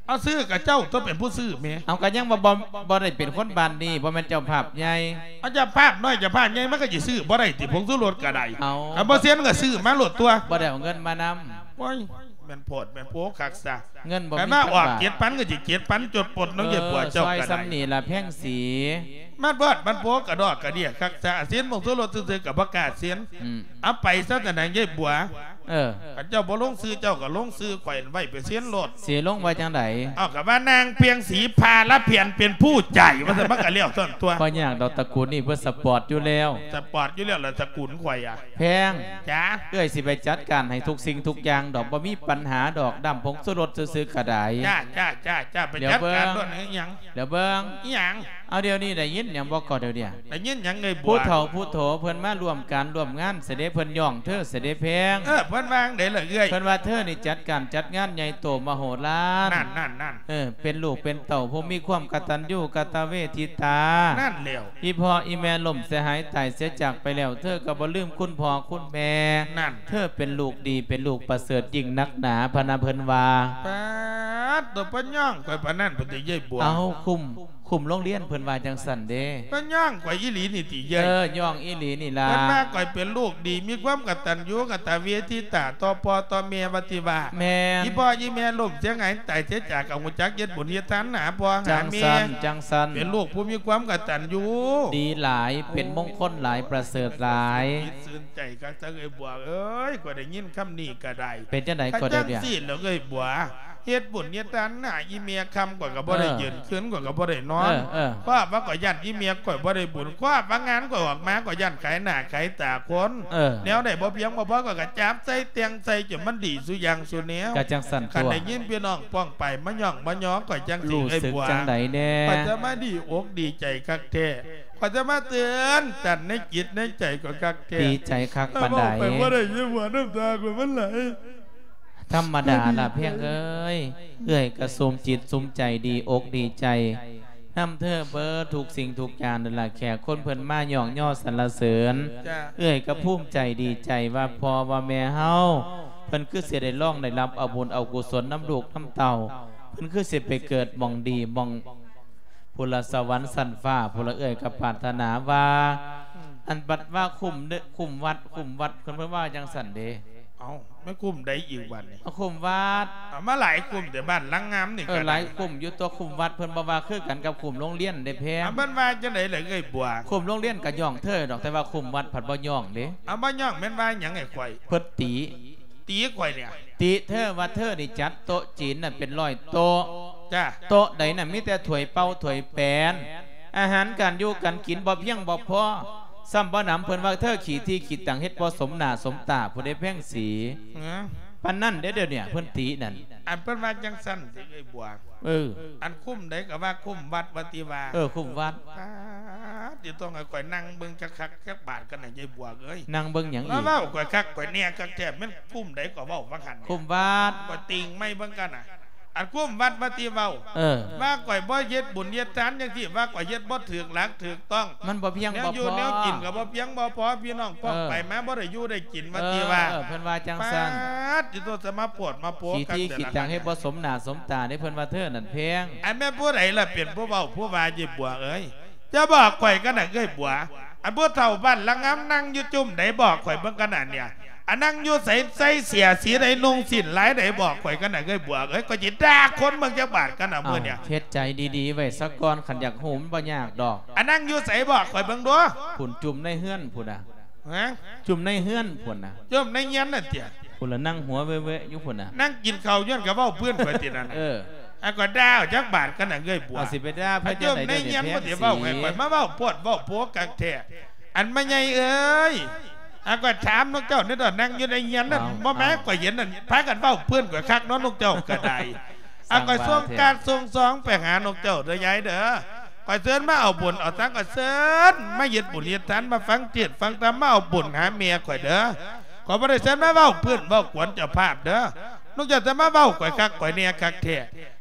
ເອົາ ຊື່ກໍເຈົ້າຕົວະ ເປັນຜູ້ຊື້ແໝ່. ເອົາ ກໍຍັງວ່າບໍ່ ບໍ່ໄດ້ເປັນຄົນບ້ານນີ້ ບໍ່ແມ່ນເຈົ້າພາບໃຫຍ່. ເອົາ ເຈົ້າພາບນ້ອຍເຈົ້າພາບໃຫຍ່ ມັນກໍຊິຊື້ບໍ່ໄດ້ຕິ ຜົງຊູລົດກໍໄດ້. ເອົາ ຄັນບໍ່ເຊັນກໍຊື້ມາໂລດຕົວະ. ບໍ່ໄດ້ເອົາເງິນມານຳ. ໂອ້ຍ ແມ່ນໂພດແມ່ນໂພຄັກຊະ. ເງິນບໍ່ມີ ຄັນວ່າອອກເຈັດພັນກໍຊິເຈັດພັນ ຈົດປົນເນາະຍາຍບົວເຈົ້າກໍໄດ້. ຊ່ອຍສ່ຳນີ້ລະແພງສີ. ມັນໂພດມັນໂພ ກະດອກກະເດຍຄັກຊະ. ເຊັນຜົງຊູລົດຊື່ໆກໍບໍ່ກ້າເຊັນ. ອືມ ເອົາໄປຊະຊັ້ນນະຍາຍບົວ. ເອີ ຄັນເຈົ້າບໍ່ລົງຊື່ເຈົ້າກໍລົງຊື່ຂ້ອຍໄວ້ໄປເຊັນໂລດ. ຊິລົງໄວ້ຈັ່ງໃດ? ເອົາ ກໍວ່ານາງພຽງສີພາລະແຜ່ນເປັນຜູ້ຈ່າຍວ່າຊັ້ນ ມັນກໍແລ້ວຊັ້ນຕົວະ. ບໍ່ຍາກດອກ ຕະກູນນີ້ເພິ່ນສະປອດຢູ່ແລ້ວ. ສະປອດຢູ່ແລ້ວລະ ຕະກູນຂ້ອຍອະ. ແພງ ຈ້າ ເອື້ອຍຊິໄປຈັດການໃຫ້ທຸກສິ່ງທຸກຢ່າງດອກ ບໍ່ມີປັນຫາດອກ ດຳຜົງຊູລົດຊື່ໆກໍໄດ້. ຈ້າ ຈ້າ ຈ້າ ຈ້າ ໄປຈັດການໂລດ. ອີຫຍັງ? ດຽວເບິ່ງ. ອີຫຍັງ? ເອົາ ດຽວນີ້ໄດ້ຍິນຫຍັງບໍ່ກໍດຽວນີ້? ໄດ້ຍິນຫຍັງເອື້ອຍບົວ? ຜູ້ເຖົ້າຜູ້ໂຖເພິ່ນມາຮ່ວມການຮ່ວມງານຊະເດ ເພິ່ນຍ້ອງເທີຊະເດແພງ. ເອີ ເພິ່ນວ່າຈັ່ງໃດລະເອື້ອຍ? ເພິ່ນວ່າເທີນີ້ຈັດການຈັດງານໃຫຍ່ໂຕມະໂຫລານ. ນັ້ນໆໆ. ເອີ ເປັນລູກເປັນເຕົ້າຜູ້ມີຄວາມກະຕັນຍູກະຕະເວທິຕາ. ນັ້ນແຫຼ້ວ. ອີ່ພໍ່ອີ່ແມ່ລົ້ມເສຍຫາຍຕາຍເສຍຈາກໄປແລ້ວ ເທີກໍບໍ່ລືມຄຸນພໍ່ຄຸນແມ່. ນັ້ນ ເທີເປັນລູກດີ ເປັນລູກປະເສີດຍິ່ງນັກໜາ ພະນະເພິ່ນວ່າ. ປາດໂຕ ເພິ່ນຍ້ອງຂ້ອຍປານນັ້ນພຸ້ນຕິເອື້ອຍບົວ? ເອົາ ຄຸ້ມ ຄຸ້ມໂລງຮຽນເພິ່ນວ່າຈັ່ງຊັ້ນເດ້. ເພິ່ນຍ້ອງຂ້ອຍອີ່ຫຼີນີ້ຕິເອື້ອຍ? ເອີ ຍ້ອງອີ່ຫຼີນີ້ລະ. ເພິ່ນວ່າຂ້ອຍເປັນລູກດີ ມີຄວາມກະຕັນຍູກະຕະເວທິຕາຕໍ່ພໍ່ຕໍ່ແມ່ວ່າຕິວ່າ. ແມ່ນ. ອີ່ພໍ່ອີ່ແມ່ລົ້ມເສຍຫາຍຕາຍເສຍຈາກ ກໍຮູ້ຈັກເຮັດບຸນເຮັດທານຫາພໍ່ຫາແມ່. ຈັ່ງຊັ້ນ ຈັ່ງຊັ້ນ. ເປັນລູກຜູ້ມີຄວາມກະຕັນຍູ ດີຫຼາຍ ເປັນມົງຄົນຫຼາຍ ປະເສີດຫຼາຍ. ຊື່ນໃຈຄັກຊະເອື້ອຍບົວເອີຍ ຂ້ອຍໄດ້ຍິນຄຳນີ້ກໍໄດ້. ເປັນຈັ່ງໃດກໍໄດ້? ຈັ່ງຊີ້ແຫຼະເອື້ອຍບົວ ເຮັດບຸນເຮັດທານຫາອີ່ແມ່ຄ່ຳ ຂ້ອຍກໍບໍ່ໄດ້ຢືນຄືນ ຂ້ອຍກໍບໍ່ໄດ້ນອນ. ເອີ ເອີ ເພາະວ່າຂ້ອຍຢ້ານອີ່ແມ່ຂ້ອຍບໍ່ໄດ້ບຸນ ເພາະວ່າງານຂ້ອຍອອກມາ ຂ້ອຍຢ້ານຂາຍໜ້າຂາຍຕາຄົນ. ເອີ ແນວໃດບໍ່ພຽງບໍ່ພໍ ຂ້ອຍກໍຈັບໃສ່ແຕ່ງໃສ່ ຈົນມັນດີສູ່ຢ່າງສູ່ແນວ. ກໍຈັ່ງຊັ້ນຕົວະ. ຄັນໄດ້ຍິນພີ່ນ້ອງປ້ອງປາຍມາຍ້ອງມາຍໍຂ້ອຍຈັ່ງຊີ້ ເອື້ອຍບົວ ຮູ້ສຶກຈັ່ງໃດແດ່? ຂ້ອຍຈະມາດີອົກດີໃຈຄັກແທ້. ຂ້ອຍຈະມາເຕືອນຕັນໃນຈິດໃນໃຈຂ້ອຍຄັກແທ້. ດີໃຈຄັກປານໃດ? ເວົ້າໄປບໍ່ໄດ້ ຍາຍບົວ ນ້ຳຕາຂ້ອຍມັນໄຫຼ. ທຳມະດາລະແພງເອີຍ ເອື້ອຍກໍຊຸມຈິດຊຸມໃຈ ດີອົກດີໃຈນຳເທີເບີດທຸກສິ່ງທຸກຢ່າງນັ້ນລະ. ແຂກຄົນເພິ່ນມາຍ້ອງຍໍສັນລະເສີນ. ເອື້ອຍກໍພູມໃຈດີໃຈວ່າພໍ່ວ່າແມ່ເຮົາ ເພິ່ນຄືຊິໄດ້ລອງໄດ້ຮັບເອົາບຸນເອົາກຸສົນນຳລູກນຳເຕົ້າ ເພິ່ນຄືຊິໄປເກີດໝ່ອງດີໝ່ອງ ພຸ້ນລະສະຫວັນຊັ້ນຟ້າ ພຸ້ນລະ. ເອື້ອຍກໍປາດຖະໜາວ່າ ອືມ ອັນບັດວ່າຄຸ້ມເດີ ຄຸ້ມວັດ ຄຸ້ມວັດ ເພິ່ນ ເພິ່ນວ່າຈັ່ງຊັ້ນເດ້. ເອົ້າ ແມ່ນຄຸ້ມໃດອີກບັດນີ້? ຄຸ້ມວັດ. ເອົາມາຫຼາຍຄຸ້ມແຕ່ບ້ານຫຼັງງາມນີ້. ເອີ ກໍຫຼາຍຄຸ້ມຢູ່ຕົວະ ຄຸ້ມວັດ ເພິ່ນບໍ່ວ່າຄືກັນກັບຄຸ້ມໂລງຮຽນເດ້ແພງ. ເອົາ ເພິ່ນວ່າຈັ່ງໃດລະເອື້ອຍບົວ? ຄຸ້ມໂລງຮຽນກໍຍ້ອງເທີດອກ ແຕ່ວ່າຄຸ້ມວັດພັດບໍ່ຍ້ອງເດ້. ເອົາ ບໍ່ຍ້ອງແມ່ນວ່າຫຍັງໃຫ້ຂ້ອຍ? ເພິ່ນຕີ ຕີຂ້ອຍນີ້. ຕິເທີວ່າເທີນີ້ຈັດໂຕະຈີນນັ້ນເປັນຮ້ອຍໂຕະ. ຈ້າ. ໂຕະໃດນັ້ນມີແຕ່ຖ້ວຍເປົ່າຖ້ວຍແປນ ອາຫານການຢູ່ການກິນບໍ່ພຽງບໍ່ພໍ. ຊ້ຳບໍ່ໜຳ ເພິ່ນວ່າເທີຂີ້ທີ່ຂີ້ຕັງ ເຮັດບໍ່ສົມໜ້າສົມຕາ ຜູ້ໃດແພງສີ ຮະ? ປານນັ້ນເດ້ ດຽວນີ້ເພິ່ນຕິນັ້ນ. ອັນເພິ່ນວ່າຈັ່ງຊັ້ນຕິເອື້ອຍບົວ? ເອີ ອັນຄຸ້ມໃດກໍວ່າຄຸ້ມວັດວ່າຕິວ່າ. ເອີ ຄຸ້ມວັດ. ປາດ ຕິຕ້ອງໃຫ້ຂ້ອຍນັ່ງເບິ່ງຈັກຄັກຈັກບາດກັນນະ ຍາຍບົວເອີຍ. ນັ່ງເບິ່ງຫຍັງອີກ? ມາເວົ້າຂ້ອຍຄັກຂ້ອຍແນ່ຄັກແທ້ ແມ່ນຄຸ້ມໃດກໍເວົ້າວ່າຫັ້ນ. ຄຸ້ມວັດ. ຂ້ອຍຕິງໄມ້ເບິ່ງກັນນະ. ອັນຄຸ້ມວັດວ່າຕິເວົ້າ ເອີ ວ່າຂ້ອຍບໍ່ເຮັດບຸນເຮັດທານຈັ່ງຊີ້ ວ່າຂ້ອຍເຮັດບໍ່ຖືກຫຼັກຖືກຕ້ອງ ມັນບໍ່ພຽງບໍ່ພໍ ແນວຢູ່ແນວກິນກໍບໍ່ພຽງບໍ່ພໍ ພີ່ນ້ອງປ້ອງ ເອີ ໄປມາບໍ່ໄດ້ຢູ່ໄດ້ກິນວ່າຕິວ່າ ເອີ ເພິ່ນວ່າຈັ່ງຊັ້ນ. ປາດ ຕິໂຕ ສະມາໂພດມາໂພກັນ ຂີ້ທີ່ຂີ້ຕັງ ເຮັດບໍ່ສົມໜ້າສົມຕາເດ້ ເພິ່ນວ່າເທີນັ້ນແພງ. ອັນແມ່ນຜູ້ໃດລະເປັນຜູ້ເວົ້າຜູ້ວ່າ ຍາຍບົວເອີຍ? ຈະບອກຂ້ອຍກັນນະເອື້ອຍບົວ ອັນຜູ້ເຖົ້າບ້ານລະງາມ ນັ່ງຢູ່ຈຸ້ມໃດ ບອກຂ້ອຍເບິ່ງກັນນະເນຍ. ອັນນັ່ງຢູ່ໃສ ໃສ່ເສື້ຍສີໃດ ນຸ່ງສິ້ນລາຍໃດ ບອກຂ້ອຍກັນນະເອື້ອຍບົວເອີຍ. ຂ້ອຍຊິດ່າຄົນເບິ່ງຈັກບາດກັນນະມື້ເນຍ. ເຮັດໃຈດີໆໄວ້ສາກ່ອນ ຄັນຢາກຮູ້ມັນບໍ່ຍາກດອກ. ອັນນັ່ງຢູ່ໃສ ບອກຂ້ອຍເບິ່ງດູ. ພຸ້ນ ຈຸ້ມໃນເຮືອນພຸ້ນນະ. ຮະ? ຈຸ້ມໃນເຮືອນພຸ້ນນະ. ຈຸ້ມໃນເຮືອນນັ້ນຕິ? ພຸ້ນລະ ນັ່ງຫົວເວະໆຢູ່ພຸ້ນນະ. ນັ່ງກິນເຂົ້າຍ້ອນກະເວົ້າພື້ນຂ້ອຍຕິນັ້ນ. ເອີ ອັນກໍດ່າຈັກບາດກັນນະເອື້ອຍບົວ. ເອົາ ຊິໄປດ່າເພິ່ນຈັ່ງໃດ ໃນເຮືອນບໍ່ໄດ້ເວົ້າໃຫ້ຂ້ອຍມາເວົ້າໂພດເວົ້າໂພກັກແທ້. ອັນແມ່ໃຫຍ່ເອີຍ ຫາຂ້ອຍຖາມນຳເຈົ້າແດ່ດອກ ນັ່ງຢູ່ໃນເຮືອນນັ້ນ ເອົາ ບໍ່ແມ່ນ ເອົາ ຂ້ອຍເຫັນນັ້ນ ພາກັນເວົ້າເພື່ອນຂ້ອຍຄັກເນາະ ນົກເຈົ້າກໍໄດ້. ຫາຂ້ອຍສົ່ງກາດສົ່ງຊອງໄປຫານົກເຈົ້າເດີຍາຍເດີ ຂ້ອຍເຊີນມາເອົາບຸນເອົາທານ ຂ້ອຍເຊີນມາເຮັດບຸນເຮັດທານ ມາຟັງເທດຟັງທຳ ມາເອົາບຸນຫາແມ່ຂ້ອຍເດີ. ຂ້ອຍບໍ່ໄດ້ເຊີນມາເວົ້າເພື່ອນເວົ້າກວນເຈົ້າພາບເດີ. ນົກເຈົ້າຈະມາເວົ້າຂ້ອຍຄັກຂ້ອຍແນ່ຄັກແທ້.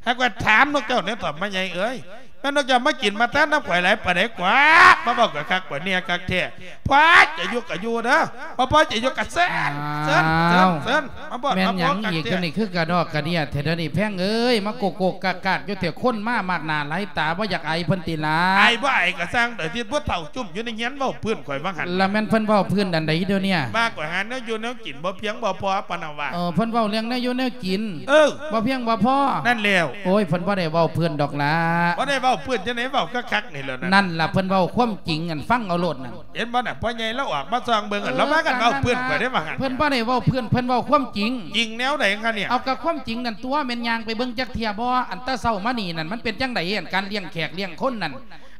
ຫາຂ້ອຍຖາມນົກເຈົ້າແດ່ເຖາະ ແມ່ໃຫຍ່ເອີຍ ແມ່ນນົກເຈົ້າມາກິນມາທານນຳຂ້ອຍຫຼາຍປານໃດກວ່າ ມາເວົ້າຂ້ອຍຄັກຂ້ອຍແນ່ຄັກແທ້. ພໍໃຈຢູ່ກໍຢູ່ເດີ ບໍ່ພໍໃຈຢູ່ກໍເຊີນ ເຊີນ ເຊີນ ເຊີນ ມາບອດ ແມ່ນຫຍັງອີກ ເຈົ້ານີ້ຄືກະດອກກະເດຍແທ້ເດີນີ້ ແພງເອີຍ ມາໂກກໆກາກໆຢູ່ແທ້ ຄົນມາມາກໜ້າຫຼາຍຕາ ບໍ່ຢາກອາຍເພິ່ນຕິລະ? ອາຍບໍ່ອາຍກໍຊ່າງເດີ ທີ່ຜູ້ເຖົ້າຈຸ້ມຢູ່ໃນເຮືອນເວົ້າພື້ນຂ້ອຍວ່າຫັ້ນ. ລະແມ່ນເພິ່ນເວົ້າພື້ນອັນໃດດຽວນີ້? ວ່າຂ້ອຍຫາແນວຢູ່ແນວກິນບໍ່ພຽງບໍ່ພໍປານນັ້ນວ່າ. ເອີ ເພິ່ນເວົ້າເລື່ອງແນວຢູ່ແນວກິນ ເອີ ບໍ່ພຽງບໍ່ພໍ ນັ້ນແລ້ວ. ໂອ້ຍ ເພິ່ນບໍ່ໄດ້ເວົ້າພື້ນດອກລະ. ບໍ່ໄດ້ເວົ້າພື້ນຈັ່ງໃດ ເວົ້າຄັກໆນີ້ແຫຼະນັ້ນ. ນັ້ນລະ ເພິ່ນເວົ້າຄວາມຈິງ ອັນ ຟັງເອົາໂລດນັ້ນ. ເຫັນບໍ່ນະ ພໍ່ໃຫຍ່ລາວອອກມາຊ່ອງເບິ່ງ ເອີ ລາວພາກັນເວົ້າພື້ນຂ້ອຍໄດ້ວ່າຫັ້ນ. ເພິ່ນບໍ່ໄດ້ເວົ້າພື້ນ ເພິ່ນເວົ້າຄວາມຈິງ. ຈິງແນວໃດຄະເນຍ? ເອົາ ກະຄວາມຈິງນັ້ນຕົວະ ແມ່ນຍ່າງໄປເບິ່ງຈັກເທື່ອບໍ່? ອັນແຕ່ເຊົ້າມານີ້ນັ້ນ ມັນເປັນຈັ່ງໃດ ອັນການລ້ຽງແຂກລ້ຽງຄົນນັ້ນ?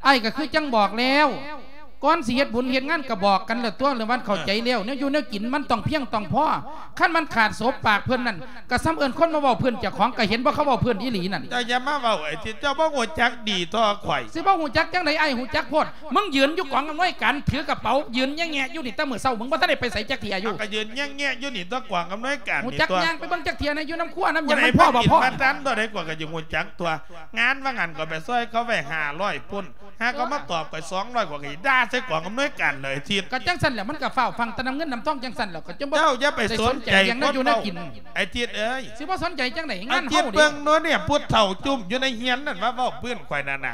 ອ້າຍກໍຄືຈັ່ງບອກແລ້ວ ກ່ອນຊິເຮັດບຸນເຮັດງານກໍບອກກັນແລ້ວຕົວະ ແລ້ວມັນເຂົ້າໃຈແລ້ວ ເອີ ແນວຢູ່ແນວກິນມັນຕ້ອງພຽງຕ້ອງພໍ. ຄັນມັນຂາດສົບປາກເພິ່ນນັ້ນ ກໍສ່ຳເອີ້ນຄົນມາເວົ້າພື້ນເຈົ້າຂອງ ກໍເຫັນບໍ່ ເຂົາເວົ້າພື້ນອີ່ຫຼີນັ້ນ. ເຈົ້າຢ່າມາເວົ້າໄອ້ທີ່ ເຈົ້າບໍ່ຮູ້ຈັກດີທໍ່ຂ້ອຍ. ຊິບໍ່ຮູ້ຈັກຈັ່ງໃດ ອ້າຍຮູ້ຈັກໂພດ. ມຶງຢືນຢູ່ກອງອຳນວຍການ ຖືກະເປົາ ຢືນແຍະແງະຢູ່ນີ້ແຕ່ມື້ເຊົ້າ ມຶງບໍ່ທັນໄດ້ໄປໃສຈັກເທື່ອຢູ່. ເອົາ ກໍຢືນແຍະແງະຢູ່ນີ້ຕົວະ ກອງອຳນວຍການ. ຮູ້ຈັກ ນີ້ຕົວະ ຍ່າງໄປເບິ່ງຈັກເທື່ອໃນ ຢູ່ນຳຄົວນຳຫຍັງ ມັນພໍບໍ່ພໍ. ມາຕັນຕົວໃດ ກວ່າກໍຊິຮູ້ຈັກຕົວະ. ງານວ່າງານກໍໄປຊ່ອຍເຂົາໄວ້ຫ້າຮ້ອຍພຸ້ນ ຫາກໍມາຕອບຂ້ອຍສອງຮ້ອຍ ຂ້ອຍກໍຊິດ່າໃສ່ກອງອຳນວຍການເລີຍ ອາທິດ. ກໍຈັ່ງຊັ້ນແຫຼະ ມັນກໍຟ້າວຟັ່ງແຕ່ນຳເງິນນຳທອງຈັ່ງຊັ້ນແຫຼະ ກໍຈະບໍ່ ເຈົ້າຢ່າໄປສົນໃຈ ໄດ້ສົນໃຈຫຍັງ ຄົນ ຢູ່ແນວກິນ ເວົ້າ ອາທິດເອີຍ. ຊິບໍ່ສົນໃຈຈັ່ງໃດ ງານເຮົາ ອາທິດ ເບິ່ງໂນ້ນເນຍ ຜູ້ເຖົ້າຈຸ້ມຢູ່ໃນເຮືອນນັ້ນ ວ່າເວົ້າພື້ນຂ້ອຍນັ້ນນະ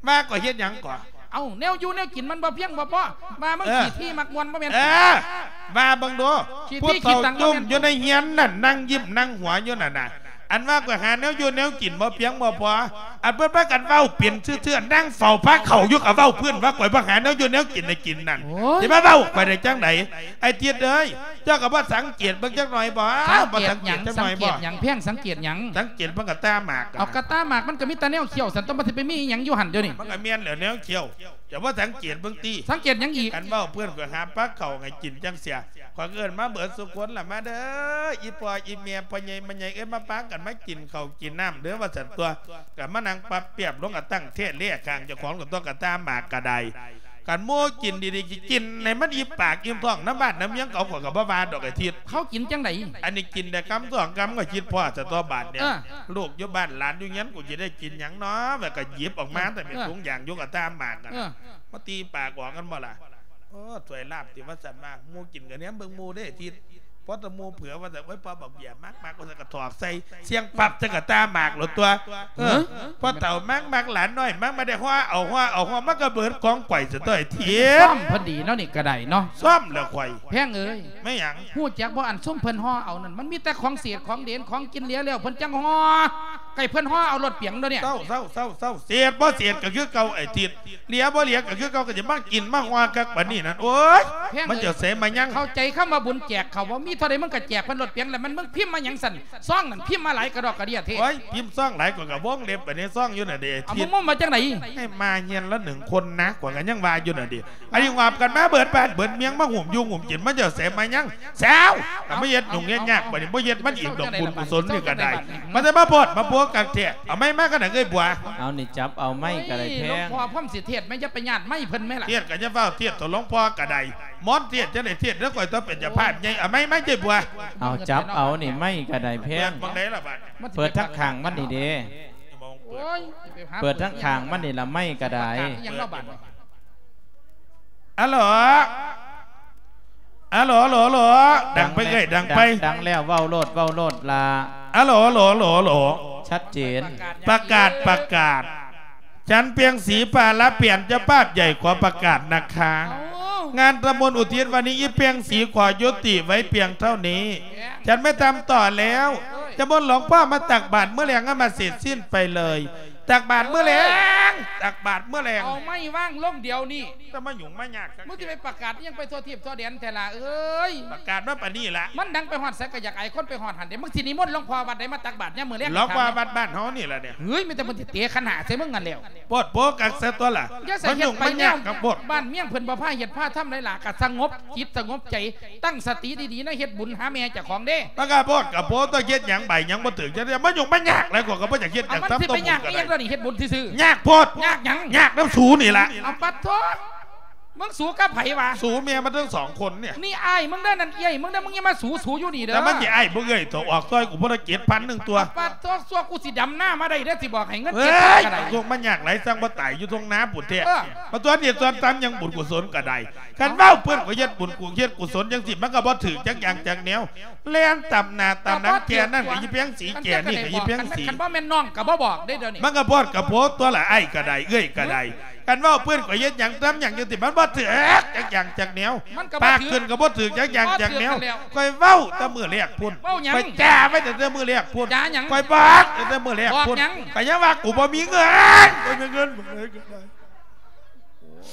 ວ່າຂ້ອຍເຮັດຫຍັງກໍ ເອົ້າ ແນວຢູ່ແນວກິນມັນບໍ່ພຽງບໍ່ພໍ ວ່າມຶງ ເອີ ຂີ້ທີ່ມັກມ່ວນບໍ່ແມ່ນ ເອີ ວ່າເບິ່ງດູ ຂີ້ທີ່ ຜູ້ເຖົ້າ ຂີ້ຕັງ ຈຸ້ມຢູ່ໃນເຮືອນນັ້ນ ນັ່ງຍິ້ມນັ່ງຫົວຢູ່ນັ້ນນະ. ອັນວ່າຂ້ອຍຫາແນວຢູ່ແນວກິນບໍ່ພຽງບໍ່ພໍ ອັນເພິ່ນພາກັນເວົ້າເປັນຊື່ໆ ນັ່ງເຝົ້າພາເຂົ້າຢູ່ກໍເວົ້າພື້ນວ່າຂ້ອຍບໍ່ຫາແນວຢູ່ແນວກິນໃຫ້ກິນນັ້ນ. ໂອ້ຍ ຊິມາເວົ້າຂ້ອຍໄດ້ຈັ່ງໃດ ໄອ້ທິດເອີຍ? ເຈົ້າກໍບໍ່ສັງເກດເບິ່ງຈັກໜ່ອຍບໍ່? ບໍ່ສັງເກດຈັກໜ່ອຍບໍ່? ສັງເກດຫຍັງ ແພງ ສັງເກດຫຍັງ? ສັງເກດເບິ່ງກະຕ່າໝາກ. ເອົາ ກະຕ່າໝາກມັນກໍມີແຕ່ແນວຂຽວ ຊັ້ນ ຕ້ອງ ມັນຊິໄປມີອີ່ຫຍັງຢູ່ຫັ້ນດຽວນີ້? ມັນກໍແມ່ນແຫຼະແນວຂຽວ. ເຈົ້າບໍ່ສັງເກດເບິ່ງຕິ? ສັງເກດຫຍັງອີກ? ຄັນເວົ້າເພິ່ນກໍຫາປາເຂົ້າໃຫ້ກິນຈັ່ງເຊີ້ຍ ຂ້ອຍເອີ້ນມາເບິດສູ່ຄົນລະ ມາເດີ້ ອີ່ພໍ່ອີ່ແມ່ ພໍ່ໃຫຍ່ແມ່ໃຫຍ່ເອີຍ ມາປາກັນມາກິນເຂົ້າກິນນ້ຳເດີ້ ວ່າຊັ້ນຕົວະ. ກໍມານັ່ງປັບປຽບລົງ ກໍຕັ້ງແທ້ແລຂ້າງເຈົ້າຂອງ ກໍຕົວະ ກະຕ່າໝາກກໍໄດ້. ຄັນໝູ່ກິນດີໆ ກິນໃຫ້ມັນອີ່ມປາກອີ່ມທ້ອງນຳບ້ານນຳເມືອງເຂົາ ຂ້ອຍກໍບໍ່ວ່າດອກ ອາທິດ. ເຂົາກິນຈັ່ງໃດ? ອັນນີ້ກິນໄດ້ຄຳສອງຄຳ ຂ້ອຍຄິດພໍ້ຊະຕົວະບາດເນຍ. ເອີ ລູກຢູ່ບ້ານ ຫຼານຢູ່ເຮືອນ ກູຊິໄດ້ກິນຫຍັງນໍ ແລ້ວກໍຫຍິບອອກມາ ເອີ ແຕ່ເປັນ ເອີ ຖົງຢາງຢູ່ ກະຕ່າໝາກນັ້ນ. ເອີ ມາຕີປາກອອກກັນບໍ່ລະ? ໂອ້ ຖ້ວຍລາບຕິວ່າຊັ້ນວ່າ ໝູ່ກິນກໍແນມເບິ່ງໝູ່ເດ້ທິດ. ພໍແຕ່ໝູ່ເຜືອວ່າຊັ້ນ ໂອ້ຍ ພໍ່ບັກເບ້ຍມັກໆ ວ່າຊັ້ນ ກໍຖອກໃສ່ ສ່ຽງປັບໃສ່ກະຕ່າໝາກໂລດຕົວະ. ເອີ ເອີ ພໍ່ເຖົ້າມັກໆ ຫຼານນ້ອຍມັກ ບໍ່ໄດ້ຫໍ່ເອົາຫໍ່ເອົາຫໍ່ ມັນກໍເບີດຂອງໄປຊະຕົວະ ໄອ້ທິດ. ຊ້ອມເພິ່ນດີເນາະ ນີ້ກໍໄດ້ເນາະ. ຊ້ອມແລ້ວຂ້ອຍ. ແພງເອີຍ ແມ່ນຫຍັງ? ຮູ້ຈັກບໍ່ ອັນຊຸມເພິ່ນຫໍ່ເອົານັ້ນ ມັນມີແຕ່ຂອງເສດຂອງເດນ ຂອງກິນເຫຼືອແລ້ວ ເພິ່ນຈັ່ງຫໍ່. ໃຫ້ເພິ່ນຫໍ່ເອົາລົດປຽງໂດຍນີ້. ເຊົາ ເຊົາ ເຊົາ ເຊົາ ເສດບໍ່ເສດກໍຄືເກົ່າໄອ້ທິດ ເຫຼືອບໍ່ເຫຼືອກໍຄືເກົ່າ ກໍຈະມາກິນມາຫົວຄັກປານນີ້ນັ້ນ. ໂອ້ຍ ແພງເອີຍ ມັນຈະໃສ່ມາຍັງ ເຂົ້າໃຈຄຳວ່າບຸນແຈກເຂົາບໍ່? ມີເທົ່າໃດມຶງກໍແຈກເພິ່ນລົດປຽງ ແລ້ວມັນມຶງພິມມາຫຍັງຊັ້ນ? ຊອງນັ້ນພິມມາຫຼາຍກະດອກກະເດຍແທ້. ໂອ້ຍ ພິມຊອງຫຼາຍ ຂ້ອຍກໍວົງເລັບໄປໃນຊອງຢູ່ນັ້ນເດ. ເອົາ ເທິດ ມຶງມາຈັ່ງໃດ? ໃຫ້ມາເຮືອນລະໜຶ່ງຄົນນະ ຂ້ອຍກໍຍັງວ່າຢູ່ນັ້ນເດ. ອັນນີ້ຫວາບກັນມາເບິດບ້ານເບິດເມືອງ ມາຫຸ້ມຢູ່ຫຸ້ມກິນ ມາເຈົ້າແສມາຍັງແຊວ ກໍມາເຮັດຫຍຸ້ງເຮັດຍາກ. ບັດນີ້ບໍ່ເຮັດມັນອີກດອກ ບຸນກຸສົນນີ້ກໍໄດ້ ມັນຈະມາໂພດມາໂພກັນແທ້. ເອົາໄມ້ມາກັນນະເອື້ອຍບົວ. ເອົານີ້ຈັບເອົາໄມ້ກໍໄດ້ແພງ. ໂອ້ຍ ຫຼວງພໍ່ພວມຊິເທດແມ່ນ ຢ່າໄປຍາດໄມ້ເພິ່ນແມ່ລະ. ເທດກໍຢ່າຟ້າວເທດ ເຖົ້າຫຼວງພໍ່ກໍໄດ້ ມອນເທດຈັ່ງໃດເທດເດີ ຂ້ອຍຕ້ອງເປັນເຈົ້າພາບໃຫຍ່. ເອົາໄມ້ມາເອື້ອຍບົວ. ເອົາຈັບເອົານີ້ໄມ້ກໍໄດ້ແພງ. ເປີດໝ່ອງໃດລະບັດ? ເປີດທາງຂ້າງມັນນີ້ເດ້. ໂອ້ຍ ເປີດທາງຂ້າງມັນນີ້ລະ ໄມ້ກໍໄດ້. ປະກາດອີ່ຫຍັງເນາະບັດນີ້? ອາໂຫຼ ອາໂຫຼ ອາໂຫຼ ອາໂຫຼ ດັງໄປເອື້ອຍ ດັງໄປ ດັງແລ້ວ ເວົ້າໂລດ ເວົ້າໂລດລະ. ອາໂຫຼ ອາໂຫຼ ອາໂຫຼ ອາໂຫຼ ຊັດເຈນ. ປະກາດ ປະກາດ ປະກາດ ສັນແພງສີ ປາລະແປນ ເຈົ້າພາບໃຫຍ່ ຂໍປະກາດນະຄະ. ເອົ້າ ງານທຳບຸນອຸທິດວັນນີ້ ອີແພງສີຂໍຍຸຕິໄວ້ພຽງເທົ່ານີ້ ແພງ ສັນໄມ່ທຳຕໍ່ແລ້ວ. ເອີຍ ຈະມົນຫຼວງພໍ່ມາຕັກບາດມື້ແລງ ໃຫ້ມັນເສັດສິ້ນໄປເລີຍ. ຕັກບາດມື້ແລງ ເອີຍ ຕັກບາດມື້ແລງ. ເອົາໄມ້ວາງລົງດຽວນີ້. ຈະມາຫຍຸ້ງມາຍາກ ມຶງຊິໄປປະກາດຫຍັງໄປທົ່ວທີບທົ່ວແດນແທ້ລະເອີຍ? ປະກາດມາປານນີ້ລະ ມັນດັງໄປຮອດໃສກໍຢາກອາຍຄົນໄປຮອດຫັ້ນເດ. ມຶງຊິນິມົນຫຼວງພໍ່ວັດໃດມາຕັກບາດຍາມມື້ແລງ? ຫຼວງພໍ່ວັດບ້ານເຮົານີ້ລະເດ. ເຮີ້ຍ ມີແຕ່ເພິ່ນຊິເຕະຂັນຫ້າໃສ່ມຶງຫັ້ນແລ້ວ. ໂພດໂພກັກຊະຕົວລະ. ຢ່າໃສ່ເຮັດໄປແນວ ມັນຫຍຸ້ງມັນຍາກກັບໂພດ. ບ້ານເມືອງເພິ່ນບໍ່ພາເຮັດພາທຳໄດ໋ລະ ກະສະຫງົບຈິດສະຫງົບໃຈ ຕັ້ງສະຕິດີໆ ໃນເຮັດບຸນຫາແມ່ເຈົ້າຂອງເດ້. ມັນກະໂພດກະໂພ ຕ້ອງເຮັດຫຍັງໃບຫຍັງບໍ່ຖືກ ຈັ່ງໃດ ມັນຫຍຸ້ງມັນຍາກຫຼາຍ ຂ້ອຍກໍບໍ່ຢາກເຮັດຫຍັງ. ເອົາ ມັນຊິໄປຍາກອີ່ຫຍັງດຽວນີ້ ເຮັດບຸນຊື່ໆ. ຍາກໂພດ ຍາກຫຍັງ? ຍາກນຳສູນີ້ລະ. ເອົາ ປະໂທ ມຶງສູກັບໃຜວະ? ສູແມ່ມັນທັງສອງຄົນນີ້. ນີ້ອ້າຍມຶງເດີ ນັ້ນເອື້ອຍມຶງເດີ ມຶງຢ່າມາສູສູຢູ່ນີ້ເດີ. ແຕ່ມັນຊິອ້າຍບໍ່ເອື້ອຍ ໂຕອອກຊ່ອຍກູພຸ້ນລະ ເຈັດພັນໜຶ່ງຕົວ. ປະໂທ ສ່ວນກູຊິດຳນາມາໄດ້ເດີ ຊິບອກໃຫ້ເງິນເຈັດພັນກໍໄດ້. ໂລກມັນຍາກຫຼາຍ ຊ່າງບໍ່ຕາຍຢູ່ທົ່ງນາພຸ້ນແທ້. ເອີ ມາຕົວະນີ້ຕົວະຕຳຫຍັງ ບຸນກຸສົນກໍໄດ້. ຄັນເວົ້າເພິ່ນກໍເຮັດບຸນກຸເຮັດກຸສົນຈັ່ງຊີ້ ມັນກໍບໍ່ຖືກຈັກຢ່າງຈັກແນວ. ແລ່ນຕຳໜ້າຕຳຫຼັງແກ່ນັ້ນກໍອີ່ແພງສີ ແກ່ນີ້ກໍອີ່ແພງສີ. ຄັນບໍ່ແມ່ນນ້ອງກໍບໍ່ບອກເດ້ດຽວນີ້. ມັນກໍໂພດກໍໂພຕົວລະ ອ້າຍກໍໄດ້ ເອື້ອຍກໍໄດ້. ຄັນເວົ້າເພິ່ນກໍເຮັດຫຍັງຕຳຫຍັງຢູ່ຕິ ມັນບໍ່ຖືກຈັກຢ່າງຈັກແນວ. ມັນກໍບໍ່ຖືກ ປາກຂຶ້ນກໍບໍ່ຖືກຈັກຢ່າງຈັກແນວ. ຂ້ອຍເວົ້າແຕ່ມື້ແລກພຸ້ນ. ເວົ້າຫຍັງ? ຂ້ອຍຈ່າໄວ້ຕັ້ງແຕ່ມື້ແລກພຸ້ນ. ຈ່າຫຍັງ? ຂ້ອຍບອກຕັ້ງແຕ່ມື້ແລກພຸ້ນ. ບອກຫຍັງ? ກໍຍັງວ່າກູບໍ່ມີເງິນ ບໍ່ມີເງິນ ບໍ່ມີເງິນ.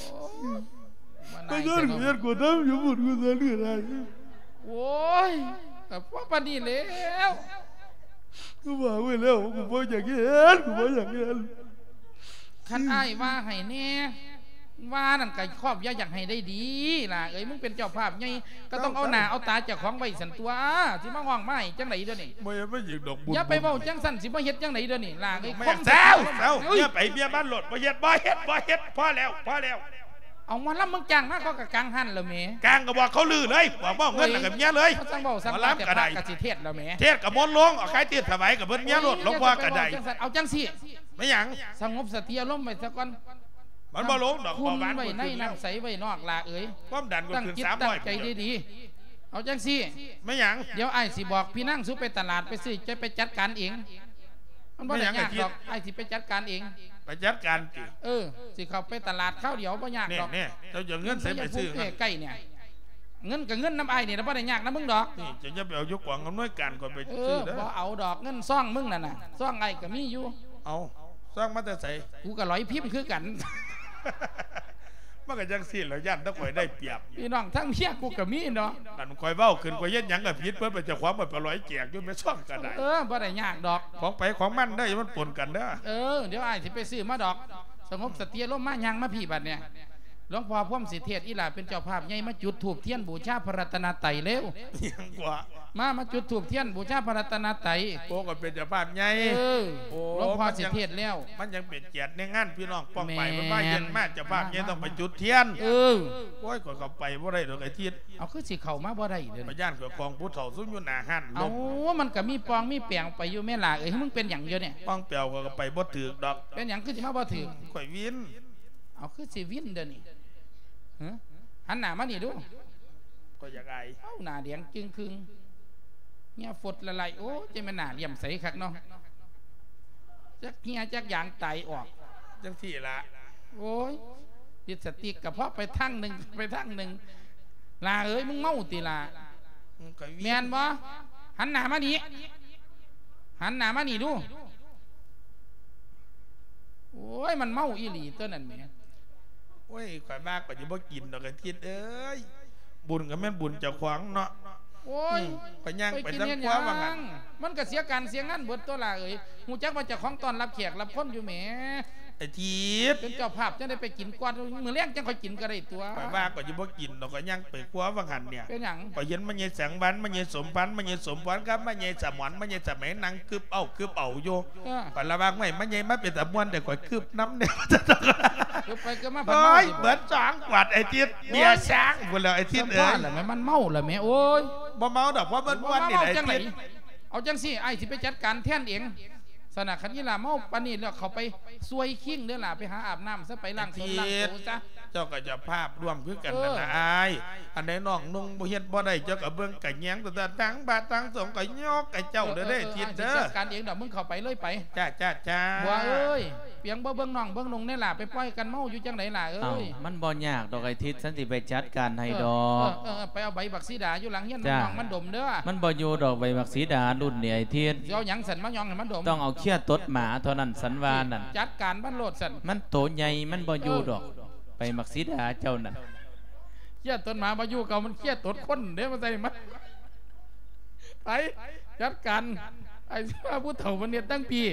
ໂອ້ຍ ມາເຮັດກູເຮັດກູທຳຢູ່ພຸ້ນ ກູເສຍເລືອດຫຼາຍ. ໂອ້ຍ ກໍພໍປານນີ້ແລ້ວ. ກູບອກໄວ້ແລ້ວ ກູບໍ່ຢາກເຮັດ ກູບໍ່ຢາກເຮັດ. ຄັນອ້າຍວ່າໃຫ້ແດ່ ວ່ານັ້ນກໍຄອບຢ່າຢາກໃຫ້ໄດ້ດີຫຼ້າເອີຍ. ມຶງເປັນເຈົ້າພາບໃຫຍ່ ກໍຕ້ອງເອົາໜ້າເອົາຕາເຈົ້າຂອງໄວ້ຊັ້ນຕົວະ. ຊິມາຮ້ອງມາໃຫ້ຈັ່ງໃດດຽວນີ້? ບໍ່ເຮັດມາຫຍັງດອກບຸນ. ຢ່າໄປເວົ້າຈັ່ງຊັ້ນ ຊິມາເຮັດຈັ່ງໃດດຽວນີ້ຫຼ້າເອີຍ? ແມ່ນ ເຊົາ ເຊົາ ເອີຍ ເມຍໄປເມຍມັນໂລດ. ບໍ່ເຮັດ ບໍ່ເຮັດ ບໍ່ເຮັດ ພໍແລ້ວ ພໍແລ້ວ. ເອົາໝໍລຳມຶງຈ້າງມາ ເຂົາກໍກາງຫັ້ນລະແມ່. ກາງກໍບອກເຂົາລືເລີຍ ບອກເອົາເງິນແລ້ວກໍເມຍເລີຍ. ເອົາ ຈັ່ງເວົ້າ ຫມໍລຳກໍໄດ້ ພະກໍຊິເທດແລ້ວແມ່. ເທດກໍມົນລົງ ເອົາໃຄ່ເທດຖວາຍກໍເພິ່ນເມຍໂລດ ໂອ້ຍ ຫຼວງພໍ່ກໍໄດ້. ຢ່າໄປເວົ້າຈັ່ງຊັ້ນ ເອົາຈັ່ງຊີ້ ແມ່ນຫຍັງ? ສະຫງົບສະຕິອາລົມໄວ້ຊະກ່ອນ. ມັນບໍ່ລົງດອກ ຄວາມດັນໄວ້ໃນ ເບົາຫວານຂຶ້ນ ນ້ຳໃສໄວ້ນອກຫຼ້າເອີຍ. ຄວາມດັນກໍຂຶ້ນສາມຮ້ອຍ ຕັ້ງຈິດຕັ້ງໃຈດີໆ. ເອົາຈັ່ງຊີ້ ແມ່ນຫຍັງ? ດຽວອ້າຍຊິບອກ ພີ່ນາງ ສູໄປຕະຫຼາດໄປຊື້ ເຈົ້າໄປຈັດການເອງ. ມັນບໍ່ໄດ້ຍາກດອກ ອ້າຍຊິໄປຈັດການເອງ. ໄປຈັດການຕິ? ເອີ ຊິເຂົ້າໄປຕະຫຼາດຄາວດຽວ ບໍ່ຍາກດອກ. ແນ່ໆ ເຈົ້າຈະເອົາເງິນໃສໄປຊື້? ໃນພູມແພໄກນີ້ ເງິນກໍເງິນນຳອ້າຍນີ້ລະ ບໍ່ໄດ້ຍາກນຳມຶງດອກ. ນີ້ເຈົ້າຢ່າໄປເອົາຢູ່ກອງອຳນວຍການ ຂ້ອຍໄປຊື້ເດີ. ເອີ ບໍ່ເອົາດອກ ເງິນຊອງມຶງນັ້ນນະ ຊອງອ້າຍກໍມີຢູ່. ເອົາ ຊອງມາແຕ່ໃສ? ກູກໍຫຼອຍພິມຄືກັນ. ມັນກໍຈັ່ງຊີ້ແຫຼະ ຢ້ານແຕ່ຂ້ອຍໄດ້ປຽບ. ພີ່ນ້ອງທັງເມຍກູກໍມີເນາະ. ອັນຂ້ອຍເວົ້າຂຶ້ນ ຂ້ອຍເຮັດຫຍັງກໍຜິດເບິດ ເປັນເຈົ້າຂອງມັນໄປລອຍແຈກຢູ່ແມ່ຊ່ອງກໍໄດ້. ເອີ ບໍ່ໄດ້ຍາກດອກ ຂອງໃຜຂອງມັນເດີ ຢ່າມັນປົນກັນເດີ. ເອີ ດຽວອ້າຍຊິໄປຊື້ມາດອກ. ສະຫງົບສະຕິອາລົມມາ ຍ່າງມາພີ້ບັດນີ້. ຫຼວງພໍ່ພວມສິເທດ ອີ່ຫຼ້າເປັນເຈົ້າພາບໃຫຍ່ ມາຈຸດທູບທຽນບູຊາພະລັດຕະນະໄຕເລັວ. ຫຍັງກວ່າ? ມາ ມາຈຸດທູບທຽນບູຊາພະລັດຕະນະໄຕ. ໂອ້ ກໍເປັນເຈົ້າພາບໃຫຍ່. ເອີ ໂອ້ ຫຼວງພໍ່ສິເທດແລ້ວ ມັນຍັງເປັນກຽດໃນງານພີ່ນ້ອງປ້ອງປາຍ. ແມ່ນ ເພິ່ນວ່າເຮັດມາ ເຈົ້າພາບໃຫຍ່ ມາ ຕ້ອງໄປຈຸດທຽນ. ເອີ ໂອ້ຍ ຂ້ອຍເຂົ້າໄປບໍ່ໄດ້ດອກໄອ້ທິດ. ເອົາ ຄືຊິເຂົ້າມາບໍ່ໄດ້ເດີ? ຂ້ອຍຢ້ານຂ້ອຍຂອງຜູ້ເຖົ້າຊຸມຢູ່ໜ້າຮ້ານ. ເອົ້າ ລົມ ມັນກໍມີປ່ອງມີແປງໄປຢູ່ແມ່ຫຼ້າເອີຍ. ມຶງເປັນຫຍັງຢູ່ນີ້? ປ່ອງແປວ ຂ້ອຍກໍໄປບໍ່ຖືກດອກ. ເປັນຫຍັງຄືຊິມາບໍ່ຖືກ? ຂ້ອຍວິນ. ເອົາ ຄືຊິວິນເດີນີ້? ຫື? ຫັນໜ້າມານີ້ດູ. ຂ້ອຍຢາກອາຍ. ເອົ້າ ໜ້າແດງຈຶ່ງຄຶ່ງ ເຫື່ອຟົດລະໄຫຼ. ໂອ້ ຈັ່ງແມ່ນໜ້າຫຼ້ຽມໃສຄັກເນາະ. ຈັກເຫື່ອຈັກຢາງໄຕອອກ. ຈັ່ງຊີ້ລະ. ໂອ້ຍ ລິບສະຕິກກໍພໍໄປທາງໜຶ່ງ ໄປທາງໜຶ່ງ. ຫຼ້າເອີຍ ມຶງເມົາຕິຫຼ້າ? ອືມ ຂ້ອຍວິນ. ແມ່ນບໍ່? ຫັນໜ້າມານີ້ ຫັນໜ້າມານີ້ດູ. ມັນເມົາອີ່ຫຼີຕົວນັ້ນແໝ. ໂອ້ຍ ຂ້ອຍວ່າຂ້ອຍຊິບໍ່ກິນດອກ ອາທິດເອີຍ ບຸນກໍແມ່ນບຸນເຈົ້າຂອງເນາະ. ໂອ້ຍ ອືມ ຂ້ອຍຍ່າງໄປທາງຄົວວ່າຫັ້ນ ມັນກໍເສຍການເສຍງານເບິດຕົວລະເອີຍ. ຮູ້ຈັກວ່າເຈົ້າຂອງຕ້ອນຮັບແຂກຮັບຄົນຢູ່ແໝ. ອາທິດ ເປັນເຈົ້າພາບຈັ່ງໃດໄປກິນກ່ອນ ມື້ແລງຈັ່ງຄ່ອຍກິນກໍໄດ້ຕົວະ. ຂ້ອຍວ່າຂ້ອຍຊິບໍ່ກິນດອກ ຂ້ອຍຍ່າງໄປຄົວວ່າຫັ້ນເນຍ. ເປັນຫຍັງ? ຂ້ອຍເຫັນແມ່ໃຫຍ່ແສງວັນ ແມ່ໃຫຍ່ສົມພັນ ແມ່ໃຫຍ່ສົມພອນກັບແມ່ໃຫຍ່ສະໝອນ ແມ່ໃຫຍ່ສະໄໝນັ່ງກຶບເອົາກຶບເອົາຢູ່. ເອີ ຂ້ອຍລະວ່າ ຫ້ວຍ ແມ່ໃຫຍ່ມາເປັນຕາມ່ວນແຕ່ ຂ້ອຍກຶບນຳແດ່. ກຶບໄປກຶບມາ ໂອ້ຍ ເບິດສອງຂວດ ອາທິດ ເບຍຊ້າງພຸ້ນແລ້ວ ອາທິດເອີຍ. ແມ່ນມັນເມົາລະແໝ. ໂອ້ຍ ບໍ່ເມົາດອກ ເພາະມັນມ່ວນນີ້ແຫຼະ ອາທິດ. ເອົາຈັ່ງຊີ້ ອ້າຍຊິໄປຈັດການແທນເອງ. ຊັ້ນນະ ຄັນອີ່ຫຼ້າເມົາປານນີ້ແລ້ວ ເຂົ້າໄປຊ່ວຍຄິງເດີ້ຫຼ້າ ໄປຫາອາບນ້ຳຊະ ໄປລ້າງຕົນລ້າງໂຕຊະ. ເຈົ້າກໍເຈົ້າພາບຮ່ວມຄືກັນນັ້ນນະອ້າຍ. ອັນໃດນ້ອງນຸ່ງບໍ່ເຮັດບໍ່ໄດ້ ເຈົ້າກໍເບິ່ງກະແຍງ ແຕ່ທາງພະທາງສົງກໍຍົກໃຫ້ເຈົ້າເດີ້ ເອີ ອາທິດເດີ້. ຈັດການເອງດອກ ມຶງເຂົ້າໄປເລີຍໄປ. ຈ້າ ຈ້າ ຈ້າ. ບົວເອີຍ ປຽງບໍ່ເບິ່ງນ້ອງເບິ່ງນຸ່ງແດ່ຫຼ້າ ໄປປ່ອຍກັນເມົາຢູ່ຈັ່ງໃດຫຼ້າເອີຍ? ເອົ້າ ມັນບໍ່ຍາກດອກ ໄອ້ທິດ ສັນຊິໄປຈັດການໃຫ້ດອກ. ເອີ ເອີ ໄປເອົາໃບບັກສີດາຢູ່ຫຼັງຮຽນນ້ອງມັນດົມເດີ້. ມັນບໍ່ຢູ່ດອກ ໃບບັກສີດາລຸ້ນນີ້ ໄອ້ທິດ. ຊິເອົາຫຍັງຊັ້ນມາຍ່ອງໃຫ້ມັນດົມ? ຕ້ອງເອົາເຄັຍຕົດໝາເທົ່ານັ້ນ ສັນວ່ານັ້ນ. ຈັດການມັນໂລດຊັ້ນ. ມັນໂຕໃຫຍ່ ມັນບໍ່ຢູ່ດອກ ໃບບັກສີດາເຈົ້ານັ້ນ. ເຄັຍຕົດໝາບໍ່ຢູ່ ເຂົາມັນເຄັຍຕົດຄົນເດ້ ມາໃສ່ມັນ. ໄປຈັດການ ໄອ້ຜູ້ເຖົ້າມັນເຮັດຕັ້ງພີ້.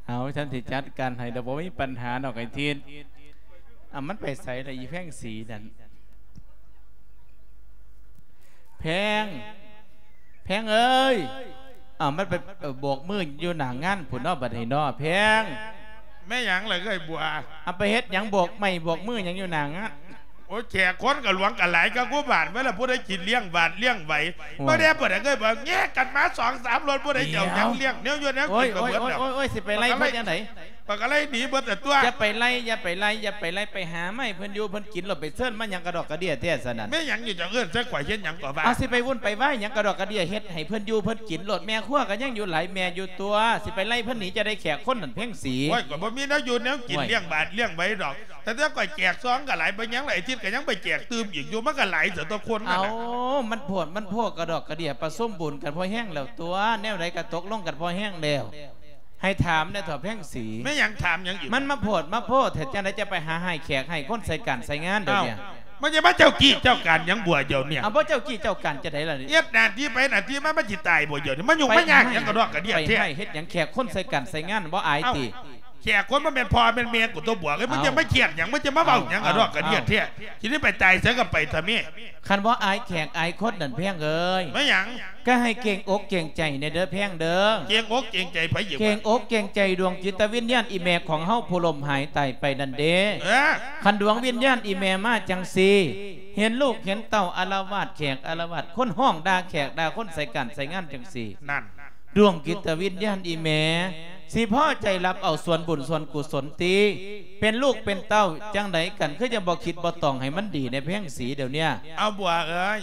ເອົາ ຊັ້ນຊິຈັດການໃຫ້ດອກ ບໍ່ມີປັນຫາດອກ ໄອ້ທິດ. ເອົາ ມັນໄປໃສລະ ອີແພງສີນັ້ນ? ແພງ ແພງເອີຍ. ເອົາ ມັນໄປ ເອີ ໂບກມືຢູ່ໜ້າງານພຸ້ນເນາະ ບັດນີ້ເນາະ ແພງ. ແມ່ນຫຍັງລະເອື້ອຍບົວ? ເອົາ ໄປເຮັດຫຍັງ ໂບກໄມ້ໂບກມືຫຍັງຢູ່ໜ້າງານ? ໂອ້ຍ ແຂກຄົນກໍຫຼວງກໍຫຼາຍ ກໍກູບາດໄວ້ລະ ຜູ້ໃດກິນລ້ຽງບາດລ້ຽງໄຫວ. ໂອ້ຍ ບໍ່ໄດ້ ບໍ່ໄດ້ເອື້ອຍບົວ ແຍກກັນມາສອງສາມລົດ ຜູ້ໃດຈະເອົາຫຍັງລ້ຽງ ແນວຢູ່ແນວກິນກໍເບິດແລ້ວ. ໂອ້ຍ ໂອ້ຍ ໂອ້ຍ ໂອ້ຍ ຊິໄປໄລ່ເພິ່ນຈັ່ງໃດ? ຂ້ອຍກໍໄລ່ໜີເບິດແຕ່ຕົວະ. ຢ່າໄປໄລ່ ຢ່າໄປໄລ່ ຢ່າໄປໄລ່ ໄປຫາໄມ້ເພິ່ນຢູ່ ເພິ່ນກິນໂລດ ໄປເຊີນມາຫຍັງກະດອກກະເດຍແທ້ຊັ້ນນັ້ນ. ແມ່ນຫຍັງຢູ່ ເຈົ້າເອີ້ນໃສ່ຂ້ອຍເຮັດຫຍັງກໍວ່າ. ເອົາ ຊິໄປວຸ້ນໄປວາຍຫຍັງກະດອກກະເດຍ ເຮັດໃຫ້ເພິ່ນຢູ່ເພິ່ນກິນໂລດ ແມ່ຄົວກໍຍັງຢູ່ຫຼາຍແມ່ຢູ່ຕົວະ ຊິໄປໄລ່ເພິ່ນໜີຈັ່ງໃດ ແຂກຄົນນັ້ນແພງສີ. ໂອ້ຍ ຂ້ອຍບໍ່ມີແນວຢູ່ແນວກິນ ໂອ້ຍ ລ້ຽງບາດລ້ຽງໄຫວດອກ ແຕ່ ແຕ່ຂ້ອຍແຈກຊອງກໍຫຼາຍ ໄປຫຍັງຫຼາຍທິດກໍຍັງໄປແຈກຕື່ມອີກຢູ່ ມັນກໍຫຼາຍເສີຕົວຄົນນັ້ນນະ. ເອົາ ມັນໂພດ ມັນໂພກະດອກກະເດຍ ປະສົມບຸນກັນພໍແຮງແລ້ວຕົວະ ແນວໃດກໍຕົກລົງກັນພໍແຮງແລ້ວ. ໃຫ້ຖາມແດ່ເຖົ້າແພງສີ. ແມ່ນຫຍັງ ຖາມຫຍັງອີກ? ມັນມາໂພດມາໂພແທ້ ຈັ່ງໃດຈະໄປຫາໃຫ້ແຂກໃຫ້ຄົນໃສ່ການໃສ່ງານດຽວນີ້. ອ້າວ ມັນຈະມາເຈົ້າກີ້ເຈົ້າການຫຍັງບົວດຽວນີ້? ເອົາ ບໍ່ເຈົ້າກີ້ເຈົ້າການຈັ່ງໃດລະນີ້? ເຮັດໜ້າທີ່ໄປໜ້າທີ່ມາ ມັນຊິຕາຍບໍ່ດຽວນີ້? ມາຫຍຸ້ງມາຍາກຫຍັງກະດອກກະເດຍແທ້. ໄປໃຫ້ເຮັດຫຍັງແຂກຄົນໃສ່ການໃສ່ງານ ບໍ່ອາຍຕິ? ເອົ້າ ແຂກຄົນບໍ່ແມ່ນພໍ່ແມ່ນແມ່ກູຕົວະບົວເອີຍ ມັນຈະມາຄຽດຫຍັງ ມັນຈະມາເວົ້າຫຍັງກະດອກກະເດຍແທ້. ຊິໄດ້ໄປຕາຍໃສກໍໄປເຖາະແມ່. ຄັນບໍ່ອາຍແຂກອາຍຄົນນັ້ນແພງເອີຍ. ແມ່ນຫຍັງ? ກໍໃຫ້ເກງອົກເກງໃຈແດ່ເດີ້ແພງເດີ້. ເກງອົກເກງໃຈໃຜອີກ? ເກງອົກເກງໃຈດວງຈິດຕະວິນຍານອີ່ແມ່ຂອງເຮົາຜູ້ລົ້ມຫາຍຕາຍໄປນັ້ນເດ້. ເອີ ຄັນດວງວິນຍານອີ່ແມ່ມາຈັ່ງຊີ້ ເຫັນລູກເຫັນເຕົ້າອາລະວາດແຂກອາລະວາດຄົນ ຮ້ອງດ່າແຂກດ່າຄົນໃສ່ການໃສ່ງານຈັ່ງຊີ້ ນັ້ນ ດວງຈິດຕະວິນຍານອີ່ແມ່ ຊິພໍໃຈຮັບເອົາສ່ວນບຸນສ່ວນກຸສົນຕິ? ເປັນລູກເປັນເຕົ້າຈັ່ງໃດກັນ ຄືຍັງບໍ່ຄິດບໍ່ຕອງໃຫ້ມັນດີໃນແພງສີດຽວເນີ້ຍ? ເອົາບົວເອີຍ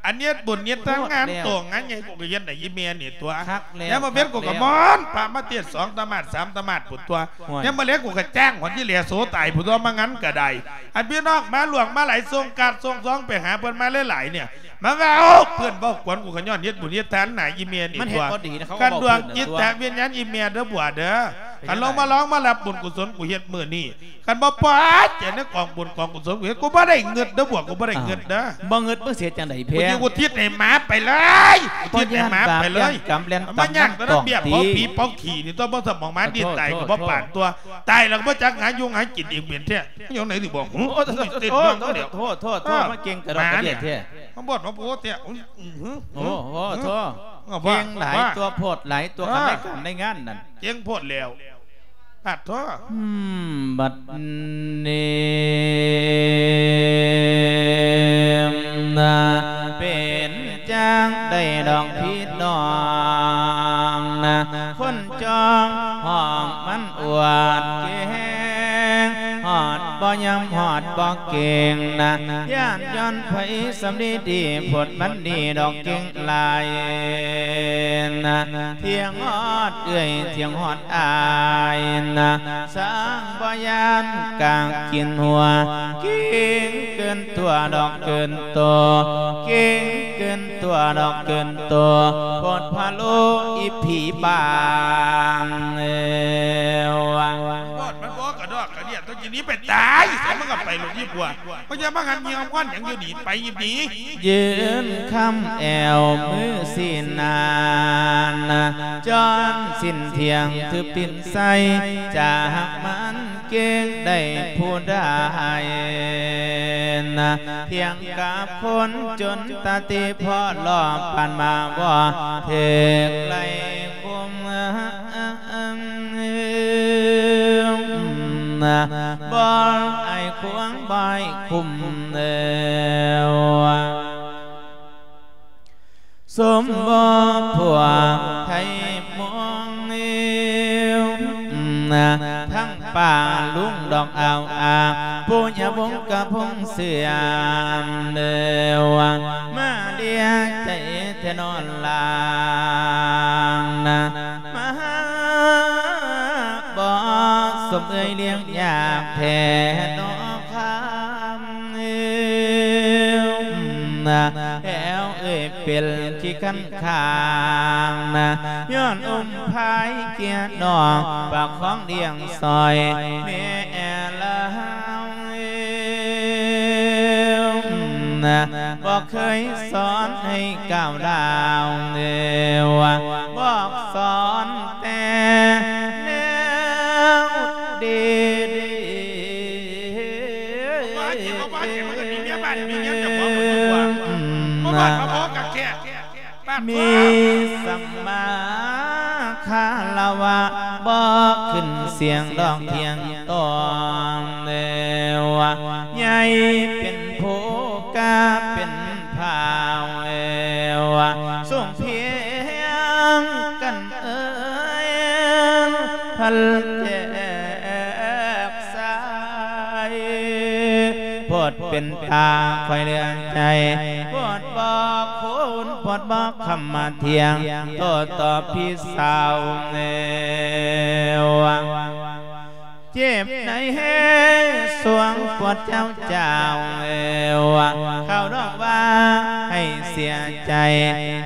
ອັນເຮັດບຸນເຮັດທານງານໂຕງານໃຫຍ່ ໂພດແລ້ວ ກູກໍເຮັດໃຫ້ອີ່ແມ່ນີ້ຕົວະ. ຄັກແລ້ວ ຍາມມື້ເວັນກູກໍມອນພະມາເທດສອງຕະໝາດສາມຕະໝາດພຸ້ນຕົວະ. ໂອ້ຍ ຍາມມື້ແລງກູກໍຈ້າງຫອນທີ່ແຫຼໂສຕາຍພຸ້ນຕົວະ ມາງານກໍໄດ້. ອັນພີ່ນ້ອງມາຫຼວງມາຫຼາຍ ສົ່ງກາດສົ່ງຊອງໄປຫາເພິ່ນມາຫຼາຍໆນີ້ ມາເວົ້າເພື່ອນເວົ້າກວນກູ ກໍຍ້ອນເຮັດບຸນເຮັດທານໃຫ້ອີ່ແມ່ນີ້ຕົວະ. ຄັນດວງຈິດຕະວິນຍານອີ່ແມ່ເດີ້ບົວເດີ້ ຄັນລາວມາລອງມາຮັບບຸນກຸສົນກູເຮັດມື້ນີ້ ຄັນບໍ່ພໍໃຈໃນກອງບຸນກອງກຸສົນກູເຮັດ ກູບໍ່ໄດ້ເງິດເດີ້ບົວ ກູບໍ່ໄດ້ເງິດເດີ້. ບໍ່ເງິດ ມຶງຊິເຮັດຈັ່ງໃດແພງ? ກູຊິອຸທິດໃຫ້ໝາໄປເລີຍ ອຸທິດໃຫ້ໝາໄປເລີຍ. ມາຍາກແຕ່ເບຍເຜົາຜີເຜົາຂີ້ນີ້ຕົວະ ບໍ່ສະໝອງໝາດິນຕາຍກໍບໍ່ປານຕົວະ ຕາຍແລ້ວກໍບໍ່ຈັກຫາຢູ່ຫາກິນອີກເປັນແທ້. ມັນຢູ່ໃນນີ້ບໍ່ຫື? ໂອ້ ໂທດ ໂທດ ໂທດ ມາເກັ່ງກະດອກກະເດຍແທ້ ມາບໍ່ມາໂພດແທ້. ໂອ້ ໂທດ ເກັ່ງຫຼາຍຕົວະ ໂພດຫຼາຍຕົວະ ຄັນໃນການໃນງານນັ້ນ ເກັ່ງໂພດແລ້ວ ປາດໂທ. ອືມ ບັດນີ້ນະ ເປັນຈັ່ງໃດດອກພີ່ນ້ອງນະ ຄົນຈ່ອງຫ້ອງມັນອວດເກັ່ງ ຮອດບໍ່ຍອມຮອດບໍ່ເກັ່ງນະ ຢ້ານຍ້ອນໃຜສຳລີດີ ໂພດມັນດີດອກເກັ່ງຫຼາຍນະ ທ່ຽງຮອດເອື້ອຍ ທ່ຽງຮອດອ້າຍນະ ຊ່າງບໍ່ຢ້ານກາກິນຫົວ ເກັ່ງເກີນຕົວດອກເກີນໂຕ ເກັ່ງເກີນຕົວດອກເກີນໂຕ. ດພະໂລອີຜີປາງເອີຍ ໂພດມັນບໍ່ກະດອກກະເດຍ ຕົວຈິໜີໄປຕາຍ ໃສມັນກະໄປໂລດອີປົວ ບໍ່ຢ່າມາຫັ້ນຍ່ຽວຄວັນຫຍັງຢູ່ນີ້ ໄປອີບດີ ຢືນຄຳແອວມືຊີ້ນານ ຈອນສິ້ນທ່ຽງຖືບຕີນໃສ່ ຈາກມັນເກັ່ງໄດ້ຜູ້ໃດນະ ທ່ຽງກັບຄົນຈົນຕາຕີພໍລອບປານມາບໍ່ເຖິກໄລ່ຄຸມ ບໍ່ໄອ້ຄວາງບໍ່ໄອ້ຄຸມແລ້ວ ສົມບໍ່ພວກໄທມົງ ທັງປ່າລຸງດອກອາວອາ ຜູ້ຍາວົງກະພົງເຊື່ອມເດີ ມາເລຍໃຈແທ້ນອນລາງນະ ມາຫາບໍ່ສົມເອີຍລ້ຽງຍາກແທ້ນອຄຳ ແຖວເອີຍເປັນຂີ້ຄັນຄາງນະ ຍ້ອນອົມພາຍເກຍນອກ ປາກຂອງລ້ຽງຊອຍແມ່ລາວ ບໍ່ເຄີຍສອນໃຫ້ກ້າວດາວ ບອກສອນແຕ່ແນວດີໆ ວ່າເຈັບ ເອົາວ່າເຈັບ ມັນກະມີເມຍບ້ານ ມີເມຍເຈົ້າຂອງໝົດຕົວ ບໍ່ບ້ານບໍ່ພໍກະແຄະ ມີສຳມາຄາລະວະ ບໍ່ຂຶ້ນສຽງຮ້ອງຖຽງຕ້ອງແລ້ວ ໃຫຍ່ເປັນຜູ້ກະເປັນພາວແລ້ວ ສົ່ງພຽງກັນເອີຍ ພັນແຈກສາຍ ໂພດເປັນຕາຂ້ອຍເຫຼືອໃຈ ໂພດບໍ່ຄູນ ໂພດບໍ່ຄຳມາທ່ຽງ ໂຕ້ຕອບພີ່ສາວແນວ ເຈັບໃນແຮງສວງປວດເຈົ້າເຈົ້າ ເຂົາດອກວ່າໃຫ້ເສຍໃຈ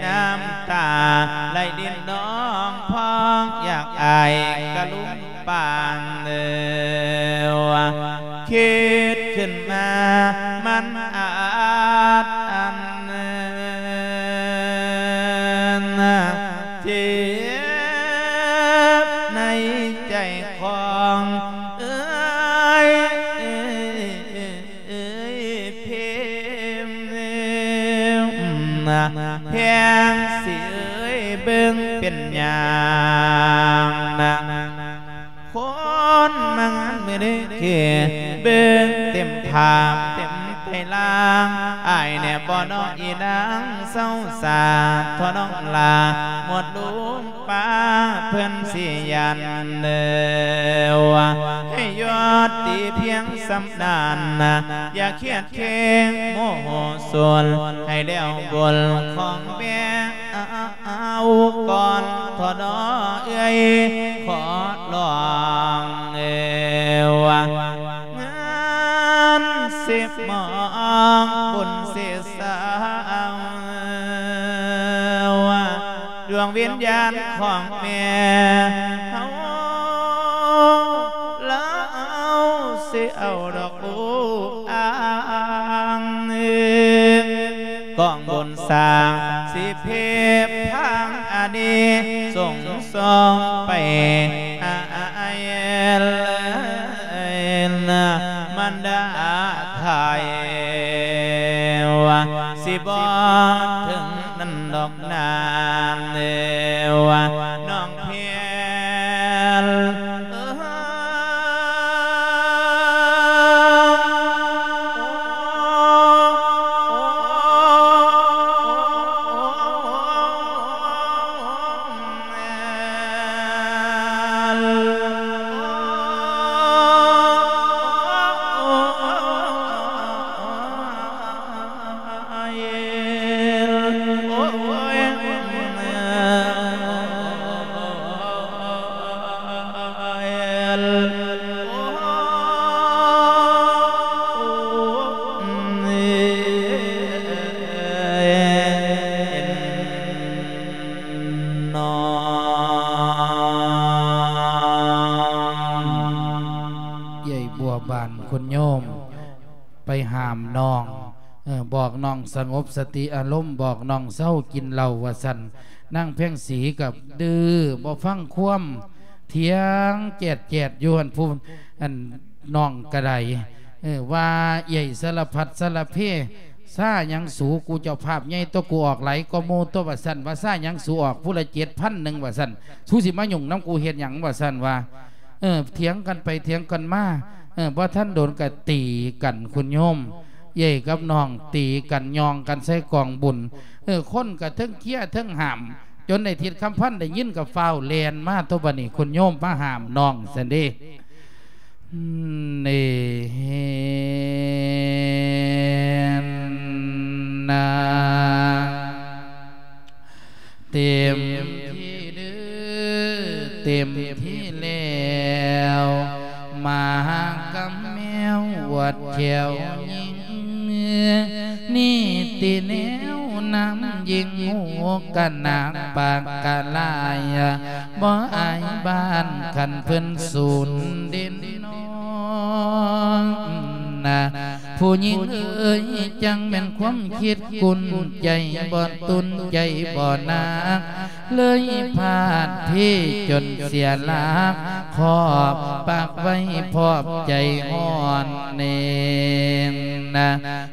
ນ້ຳຕາໄຫຼລິນນອງພອງ ຢາກອາຍກະລຸງປານ ຄິດຂຶ້ນມາມັນອາດອັນ ເຈັບໃນໃຈຂອງເອີຍ ເອີຍ ເອີຍ ເພມ ແພງຊິເອີຍ ເບິ່ງເປັນຫຍັງນະ ຄົນມາງານມື້ນີ້ຄືເບິ່ງເຕັມພາບເຕັມໄຕລ່າງ ອາຍແດ່ບໍ່ນ້ອງອີນາງ ເຊົາສາເທາະນ້ອງຫຼ້າ ໝົດລຸມ ປ້າເພິ່ນຊິຢ້ານເດີ ໃຫ້ຍອດຕີພຽງສ່ຳນັ້ນ ຢ່າຄຽດເຄງໂມໂຫສົນ ໃຫ້ແລ້ວບົນຂອງແມ່ເອົາກ່ອນ ເທາະນ້ອເອື້ອຍ ຂໍຮ້ອງເອີຍ ງານສິບໝອງບຸນສິ ສາວ ດວງວິນຍານຂອງແມ່ເຮົາ ລາວຊິເອົາດອກອູອາງ ກອງບຸນສ້າງຊິເພບພັງອານີ ສົ່ງ ສົ່ງໄປຫາອ້າຍເລີຍນະ ມັນດາໄທວ່າ ຊິບໍ່ເຖິງນັ້ນດອກນາເນວ່າ ນ້ອງແພນເອີຍ. ນ້ອງ ເອື້ອຍບົວບານຄຸນໂຍມໄປຫ້າມນ້ອງ ເອີ ບອກນ້ອງສະຫງົບສະຕິອາລົມ ບອກນ້ອງເຊົາກິນເຫຼົ້າວ່າຊັ້ນ. ນາງແພງສີກໍດື້ບໍ່ຟັງຄວາມ ຖຽງແຈດໆຢູ່ຫັ້ນ ຜູ້ ອັນ ນ້ອງກໍໄດ້ ເອີ ວ່າເອື້ອຍສາລະພັດສາລະເພ ຊາຫຍັງສູ ກູເຈົ້າພາບໃຫຍ່ຕົວະ ກູອອກຫຼາຍກວ່າໝູ່ຕົວະ ວ່າຊັ້ນ ວ່າຊາຫຍັງສູ ອອກຜູ້ລະເຈັດພັນໜຶ່ງວ່າຊັ້ນ ສູຊິມາຫຍຸ້ງນຳກູເຮັດຫຍັງວ່າຊັ້ນວ່າ ເອີ ຖຽງກັນໄປຖຽງກັນມາ ເອີ ບໍ່ທັນດົນກໍຕີກັນ ຄຸນໂຍມ ເອື້ອຍກັບນ້ອງຕີກັນ ຍ່ອງກັນໃສ່ກອງບຸນ ເອີ ຄົນກໍເທິງເຄຍເທິງຫ້າມ ຈົນໄອ້ທິດຄຳພັນໄດ້ຍິນກໍຟ້າວແລ່ນມາຕົວະ ບັດນີ້ຄຸນໂຍມມາຫ້າມນ້ອງຊັ້ນເດ້. ເນນນາ ເຕັມທີ່ເດີ ເຕັມທີ່ແລ້ວ ໝາກັບແມວວັດແຖວຍິງ ນີ້ຕິແນວນຳຍິງ ຮູ້ກະໜາກປາກກະລາຍ ບໍ່ອາຍບ້ານຄັນເພິ່ນສູນເດັ່ນນ້ອງນະ. ຜູ້ຍິງເອີຍ ຈັ່ງແມ່ນຄວາມຄິດກຸນໃຈ ບໍ່ຕຸນໃຈບໍ່ໜັກ ເລີຍພາດເພຈົນເສຍຫຼັກ ຂອບປາກໄວ້ພອບໃຈຮ້ອນເນນນະ.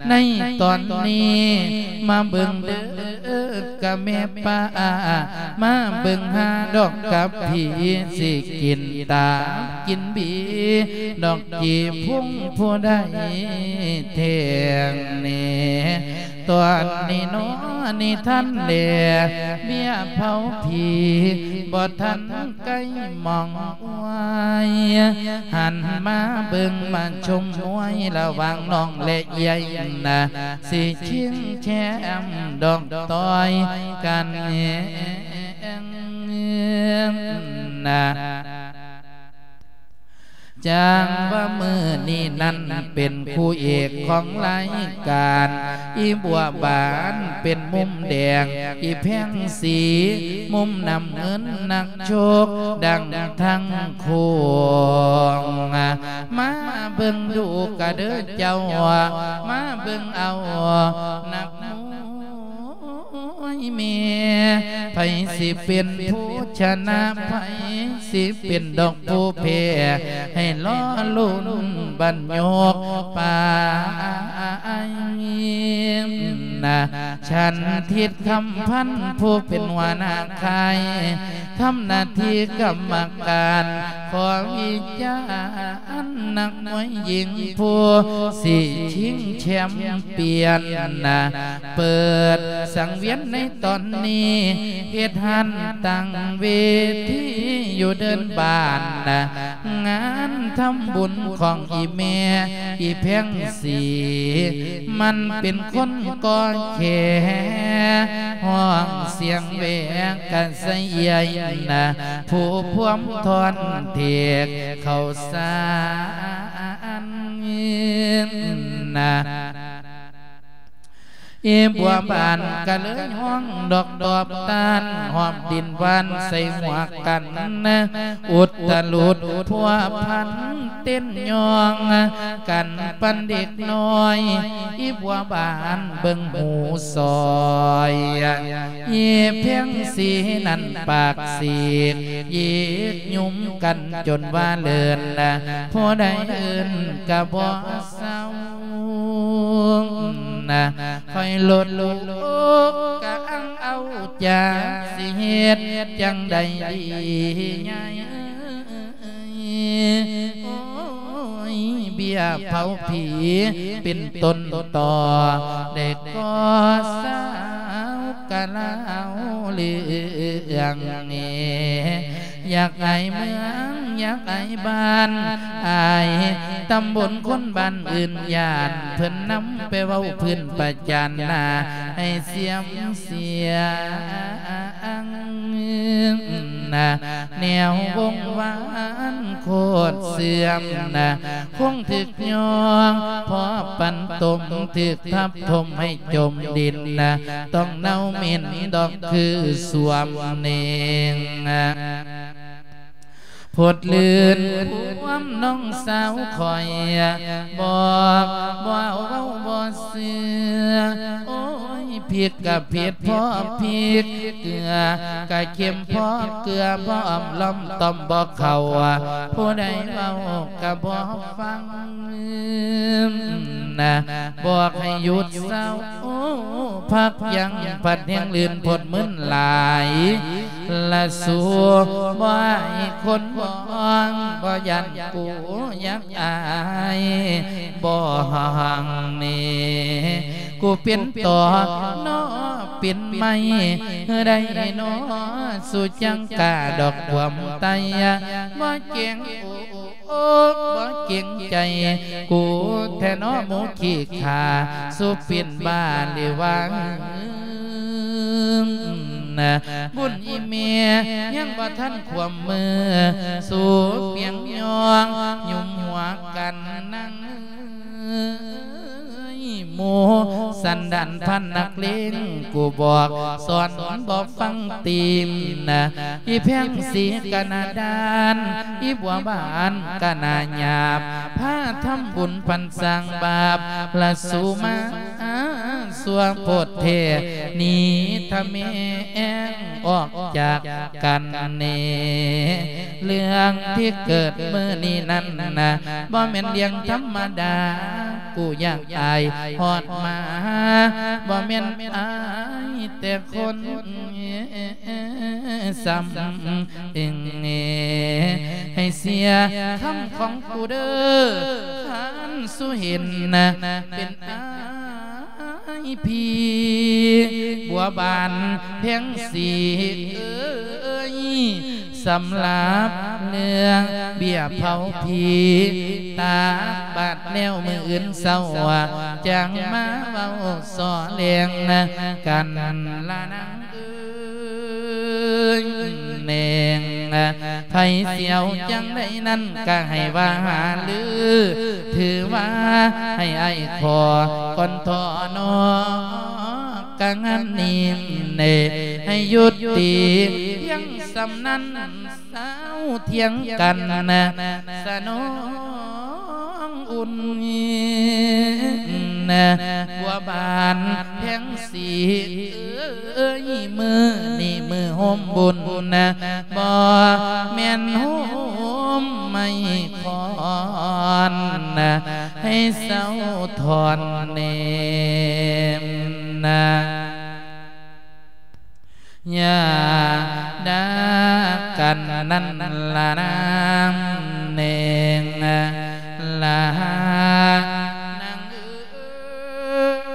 ໃນຕອນນີ້ມາເບິ່ງເດີ ກະແມ່ປ້າ ມາເບິ່ງຫາດອກກັບຜີ ຊິກິນຕາມກິນບີ ດອກຈີພຸງຜູ້ໃດແທ້ງເນ. ຕອນນີ້ໜໍ ນິທານແລ ເບ້ຍເຜົາຜີ ບໍ່ທັນໃກ້ມອງອວຍ ຫັນມາເບິ່ງມາຊົມມວຍ ລະຫວ່າງນ້ອງແລະເອື້ອຍນະ ຊິຊິງແຊມດອກຕ່ອຍກັນນະ. ຈັ່ງວ່າມື້ນີ້ນັ້ນເປັນຄູ່ເອກຂອງລາຍການ ອີບົວບານເປັນມຸມແດງ ອີແພງສີມຸມນ້ຳເງິນ ນັກຊົກດັງທັງໂຄ້ງ. ມາເບິ່ງດູກະເດີເຈົ້າ ມາເບິ່ງເອົານັກມວຍແມ່ ໃຜຊິເປັນຜູ້ຊະນະ ໃຜຊິເປັນດອກຜູ້ແພ້ ໃຫ້ລໍລຸ້ນບັດຍົກປາຍນະ. ສັນທິດຄຳພັນ ຜູ້ເປັນຫົວໜ້າຄ້າຍ ທຳໜ້າທີ່ກຳມະການ ຂໍວິຈານນັກມວຍຍິງ ຜູ້ຊິຊິງແຊມປຽນນະ. ເປີດສັງວຽນໃນຕອນນີ້ ເຮັດຮ້ານຕັ້ງເວທີຢູ່ເດີ່ນບ້ານນະ. ງານທຳບຸນຂອງອີແມ່ ອີແພງສີ ມັນເປັນຄົນກໍແຄ່ ຮ້ອງສຽງແວກະສະເອື້ອຍນະ ຜູ້ພວມທ່ອນເທກເຂົ້າສານນະ. ອີບົວບານກະເລີຍຮ້ອງດອກຕອບຕ້ານ ຫອບດິນຫວານໃສ່ຫົວກັນ ອຸດຕະລຸດພົວພັນເຕັ້ນຍ່ອງກັນປານເດັກນ້ອຍ. ອີບົວບານເບິ່ງຫູຊອຍ ອີແພງສີນັ້ນປາກສີກ ຍິກຍຸມກັນຈົນວ່າເລີນ ຜູ້ໃດເອີ້ນກະບໍ່ ເຊົານະ ຂ້ອຍລົດລູກກະອັງເອົາຈາກ ຊິເຮັດຈັ່ງໃດດີຍາຍເອີຍ. ໂອ້ຍ ເບ້ຍເຜົາຜີເປັນຕົ້ນຕໍ ແດ່ກໍສາວກະລາວເລື່ອງເນ ຢາກອາຍເມືອງ ຢາກອາຍບ້ານ ອາຍຕຳບົນ ຄົນບ້ານອື່ນຢ້ານ ເພິ່ນນຳໄປເວົ້າພື້ນປະຈານໜ້າ ໃຫ້ສຽມສຽງ. ນະ ແນວວົງວານໂຄດເສື່ອມນະ ຄົງຖືກຍ້ອງ ເພາະປັນຕົມ ຖືກທັບຖົມໃຫ້ຈົມດິນນະ ຕ້ອງເນົ່າເໝັນດອກຄືສວມເໜັງນະ. ພົດລື່ນຄວາມນ້ອງສາວຂ້ອຍ ບອກບໍ່ເວົ້າບໍ່ເຊື່ອ ໂອ້ຍ ຜິດກະຜິດພໍຜິດ ເກືອກະເຄັມພໍເກືອ ບໍ່ອ້ອມລ້ອມຕ້ອມບໍ່ເຂົ້າ ຜູ້ໃດເວົ້າກະບໍ່ຟັງນະ ບອກໃຫ້ຢຸດເຊົາ ພັກຢັ້ງ ພັດແຮງລື່ນພົດມຶນຫຼາຍ ລະສູບໍ່ໃຫ້ຄົນມອງ ບໍ່ຢ້ານກູຢາກອາຍ ບໍ່ຫ່າງເນ ກູເປັນຕໍນໍເປັນໄມ້ ໃດນໍສູຈັງກ້າດອກຄວາມໄຕ ບໍ່ເກັ່ງ ໂອ້ ບໍ່ເກັ່ງໃຈ ກູແທ້ນໍໝູຂີ້ຂ້າ ສູເປັນບ້າຫຼືວ່າ ບຸນອີ່ແມ່ຍັງບໍ່ທັນຂວາມມື ສູປຽງຍ້ອງ ຫຍຸມຫົວກັນນັ່ງ ໝູ່ສັນດານພັນນັກເລງ ກູບອກສອນບໍ່ຟັງຕີມນະ ອີ່ແພງສີກະໜ້າດ້ານ ອີ່ບົວບານກະໜ້າຫຍາບ ພາທຳບຸນປັນສ້າງບາບ ລະສູມາຊົ່ວໂພດແທ້ ໜີທະແມງອອກຈາກກັນເນ ເລື່ອງທີ່ເກີດມື້ນີ້ນັ້ນນະ ບໍ່ແມ່ນເລື່ອງທຳມະດາ ກູຢາກອາຍຮອດມາ ບໍ່ແມ່ນອາຍແຕ່ຄົນ ສ່ຳເອງເນ ໃຫ້ເສຍຄຳຂອງກູເດີ ຄັນສູເຫັນເປັນອາຍພີບວບານແພງສີເອີຍ ສຳລັບເລື່ອງເບ້ຍເຜົາຜີ ຕາກບາດແລ້ວມື້ອື່ນເຊົ້າ ຈັ່ງມາເວົ້າສໍ່ແຫຼງກັນລະນາງເອີຍແນງ ໃຜສຽວຈັ່ງໃດນັ້ນກະໃຫ້ວ່າຫາລື ຖືວ່າໃຫ້ອ້າຍຂໍກ່ອນທໍນໍ ກະງານນີ້ເນ ໃຫ້ຢຸດຕິພຽງສ່ຳນັ້ນ ເຊົາຖຽງກັນນະ ສະໜອງອຸ່ນນະ ບົວບານແພງສີເອີຍ ມື້ນີ້ມື້ໂຮມບຸນນະ ບໍ່ແມ່ນໂຮມໄມ້ຄ້ອນນະ ໃຫ້ເຊົາຖອນເນມນະ. ຢ່າດ່າກັນນັ້ນລະນາງເໜັງລະນາງເອີຍ.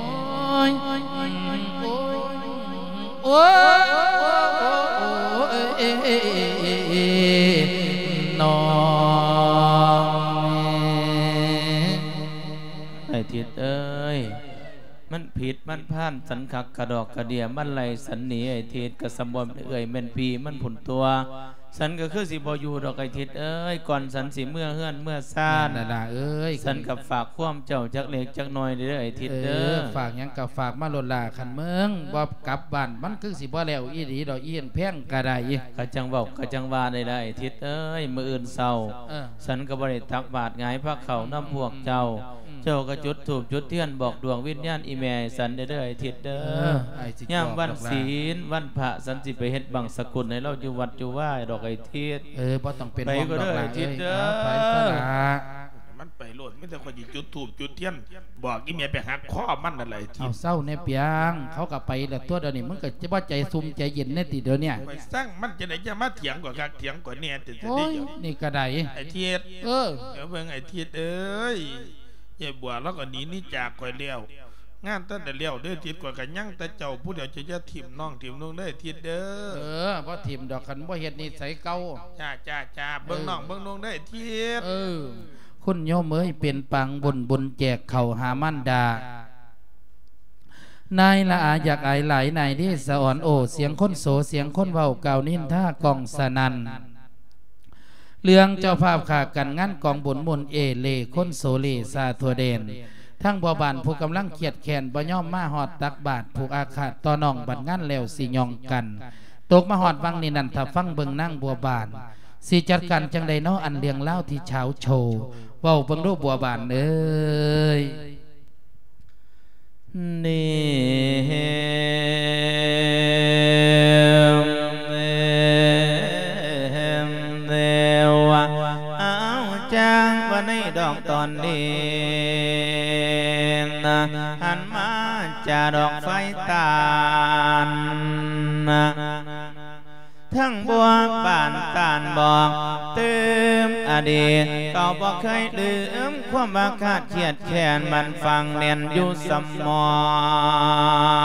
ໂອ້ຍ ໂອ້ຍ ໂອ້ຍ ໂອ້ຍ ນ້ອງ ອ້າຍທິດເອີຍ ມັນຜິດມັນພານສັນຄັກກະດອກກະເດຍ ມັນໄລ່ສັນໜີ ອ້າຍທິດ ກະສ່ຳບໍ່ແມ່ນເອື້ອຍແມ່ນພີ່ມັນພຸ້ນຕົວະ. ສັນກະຄືຊິບໍ່ຢູ່ດອກ ອ້າຍທິດເອີຍ ກ່ອນສັນຊິເມືອເຮືອນເມືອຊານ ແມ່ນລະຫຼ້າເອີຍ ສັນກະຝາກຄວາມເຈົ້າຈັກເລັກຈັກນ້ອຍເດີ ອ້າຍທິດເດີ. ເອີ ຝາກຫຍັງກະຝາກມາໂລດຫຼ້າ ຄັນເມືອງບໍ່ກັບບ້ານ ມັນຄືຊິບໍ່ແລ້ວອີ່ຫຼີດອກ ອີ່ແພງກະໄດ້. ກະຈັ່ງເວົ້າກະຈັ່ງວ່າໄດ້ລະ ອ້າຍທິດເອີຍ ມື້ອື່ນເຊົ້າ ເອີ ສັນກະບໍ່ໄດ້ຕັກບາດຫງາຍພາເຂົ້ານຳພວກເຈົ້າ ອືມ ເຈົ້າກະຈຸດທູບຈຸດທຽນບອກດວງວິນຍານອີ່ແມ່ໃຫ້ສັນແດ່ເດີ ອ້າຍທິດເດີ. ເອີ ອ້າຍຊິ ຍາມວັນ ບອກດອກຫຼ້າ ສິນວັນພະ ສັນຊິໄປເຮັດບັງສະກຸນໃຫ້ລາວຢູ່ວັດຢູ່ວາດອກ ອ້າຍທິດ. ເອີ ບໍ່ຕ້ອງເປັນຫ່ວງດອກຫຼ້າເອີຍ ໄປເດີ ອ້າຍທິດເດີ. ເອີ ໄປຊະລະ ມັນໄປໂລດ ມີແຕ່ຂ້ອຍຊິຈຸດທູບຈຸດທຽນບອກອີ່ແມ່ໄປຫັກຄໍມັນນັ້ນແຫຼະ ອ້າຍທິດ. ເອົາ ເຊົາແດ່ປຽງ ເຂົາກະໄປລະຕົວະ ດຽວນີ້ ມຶງກະຈະບໍ່ໃຈຊຸ່ມໃຈເຢັນແດ່ຕິດຽວນີ້. ຂ້ອຍຊັງມັນຈັ່ງໃດ ຢ່າມາຖຽງຂ້ອຍຄັກຖຽງຂ້ອຍແນ່ຕິດ ໂອ້ຍ ດຽວນີ້ກະໄດ້ ອ້າຍທິດ. ເອີ ເບິ່ງ ອ້າຍທິດເອີຍ ຍາຍບົວລາວກະໜີໜີຈາກຂ້ອຍແລ້ວ ງານແຕ່ໄດ້ແລ້ວເດີທິດ ຂ້ອຍກໍຍັງແຕ່ເຈົ້າຜູ້ດຽວ ເຈົ້າຢ່າຖິ້ມນ້ອງຖິ້ມນຸ່ງເດີທິດເດີ. ເອີ ບໍ່ຖິ້ມດອກ ຄັນບໍ່ເຮັດນິໄສເກົ່າ. ຈ້າ ຈ້າ ຈ້າ ເອີ ເບິ່ງນ້ອງເບິ່ງນຸ່ງເດີທິດ. ເອີ ຄຸນໂຍມເອີຍ ເປັນປາງບຸນ ບຸນແຈກເຂົ້າຫາມານດາ. ນາຍລະອາຢາກອາຍຫຼາຍ ນາຍເດສະອອນ ໂອ້ ສຽງຄົນໂສ ສຽງຄົນເວົ້າ ກ່າວນິນທາກ້ອງສະນັ່ນ. ເລື່ອງເຈົ້າພາບຂ້າກັນງານກອງບຸນ ໝູນເອເລ ຄົນໂສເລຊາທົ່ວແດນ ທັງພໍ່ບ້ານຜູ້ກຳລັງຄຽດແຄ້ນ ບໍ່ຍອມມາຮອດຕັກບາດ ຜູກອາຄາດຕໍ່ນ້ອງ ບັດງານແລ້ວຊິຫຍ້ອງກັນ ຕົກມາຮອດວັງນີ້ນັ້ນ ຖ້າຟັງເບິ່ງນາງບົວບານ ຊິຈັດການຈັ່ງໃດນໍ ອັນເລື່ອງລາວທີ່ເຊົ້າໂຊ ເວົ້າເບິ່ງດູບົວບານເອີຍ. ນີ້ ເອົາ ຈ້າງວ່າໃນດອກຕອນນີ້ນະ ຫັນມາຈາດອກໄຟຕານນະ ທັງບົວບານຕານບອກ ຕື່ມອະດີດ ກໍບໍ່ເຄີຍລືມຄວາມອາຄາດຄຽດແຄ້ນ ມັນຝັງແໜ້ນຢູ່ສະໝອ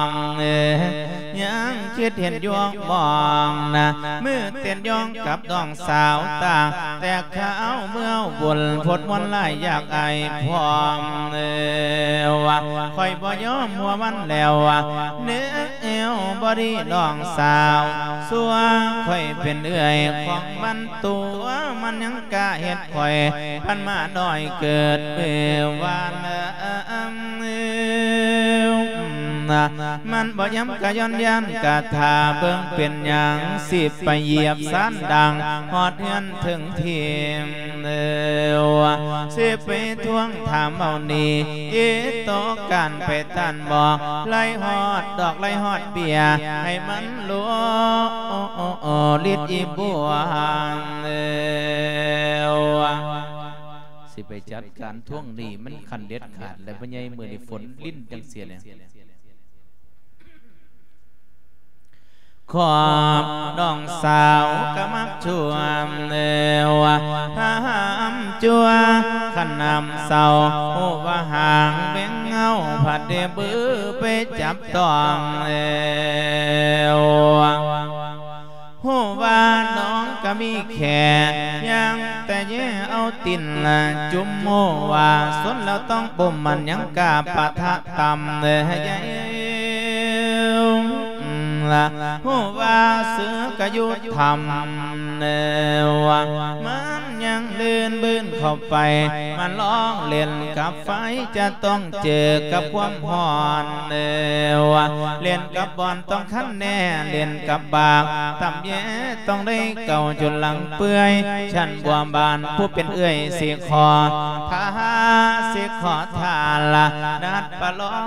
ງ ຍັງຄິດເຫັນຢູ່ມອງນະ ມືເຕັ້ນຢອງກັບນ້ອງສາວຕາ ແຕ່ຄາວເມື່ອບຸນ ພົດມວນຫຼາຍຢາກອາຍພ້ອມ ວ່າຂ້ອຍບໍ່ຍອມຫົວມັນແລ້ວ ເນວ ແອວບໍ່ດີນ້ອງສາວ ຊົ່ວຂ້ອຍເປັນເອື້ອຍຂອງມັນ ຕົວະມັນຍັງກ້າເຮັດຂ້ອຍ ພັນມານ້ອຍເກີດມື້ວານ ມັນບໍ່ຍຳກະຍ້ອນຢ້ານກະຖ້າເບິ່ງເປັນຫຍັງ ຊິໄປຢຽບຊານດັງຮອດເຮືອນເຖິງທີມ ຊິໄປທວງຖາມເອົານີ້ ອີໂຕການໄປທ່ານບອກ ໄລ່ຮອດດອກໄລ່ຮອດເບ້ຍ ໃຫ້ມັນໂລລິດອີບວງ ຊິໄປຈັດການທວງໜີ້ມັນຂັ້ນເດັດຂາດ ແລະ ພໍ່ໃຫຍ່ ມື້ນີ້ຝົນລິນຈັ່ງເສຍແລ້ວ. ຂອບນ້ອງສາວກະມັກຊວມ ຫາມຈົວ ຄັນນ້ຳເຊົາ ຮູ້ວ່າຫາງແມງເຫງົາ ພັດໄດ້ບືໄປຈັບຕ້ອງ ຮູ້ວ່ານ້ອງກະມີແຂ້ ຍ່າງແຕ່ແຍ່ເອົາຕີນຈຸ່ມ ຮູ້ວ່າຊົນແລ້ວຕ້ອງບົ່ມ ມັນຍັງກ້າປະທະຕ່ຳ ຮູ້ວ່າເສືອກະຢູ່ຖ້ຳ ມັນຍັງລື່ນບືນເຂົ້າໄປ ມັນລອງເຫຼັ້ນກັບໄຟ ຈະຕ້ອງເຈີກັບຄວາມຮ້ອນ ເຫຼັ້ນກັບບ່ອນຕ້ອງຄັນແນ່ ເຫຼັ້ນກັບບາກຕ່ຳແຍ່ ຕ້ອງໄດ້ເກົາຈົນຫຼັງເປື່ອຍ ຊັ້ນບົວບານຜູ້ເປັນເອື້ອຍ ຊິຂໍ ຖ້າ ຊິຂໍທ່ານລະ ນັດປະລອງ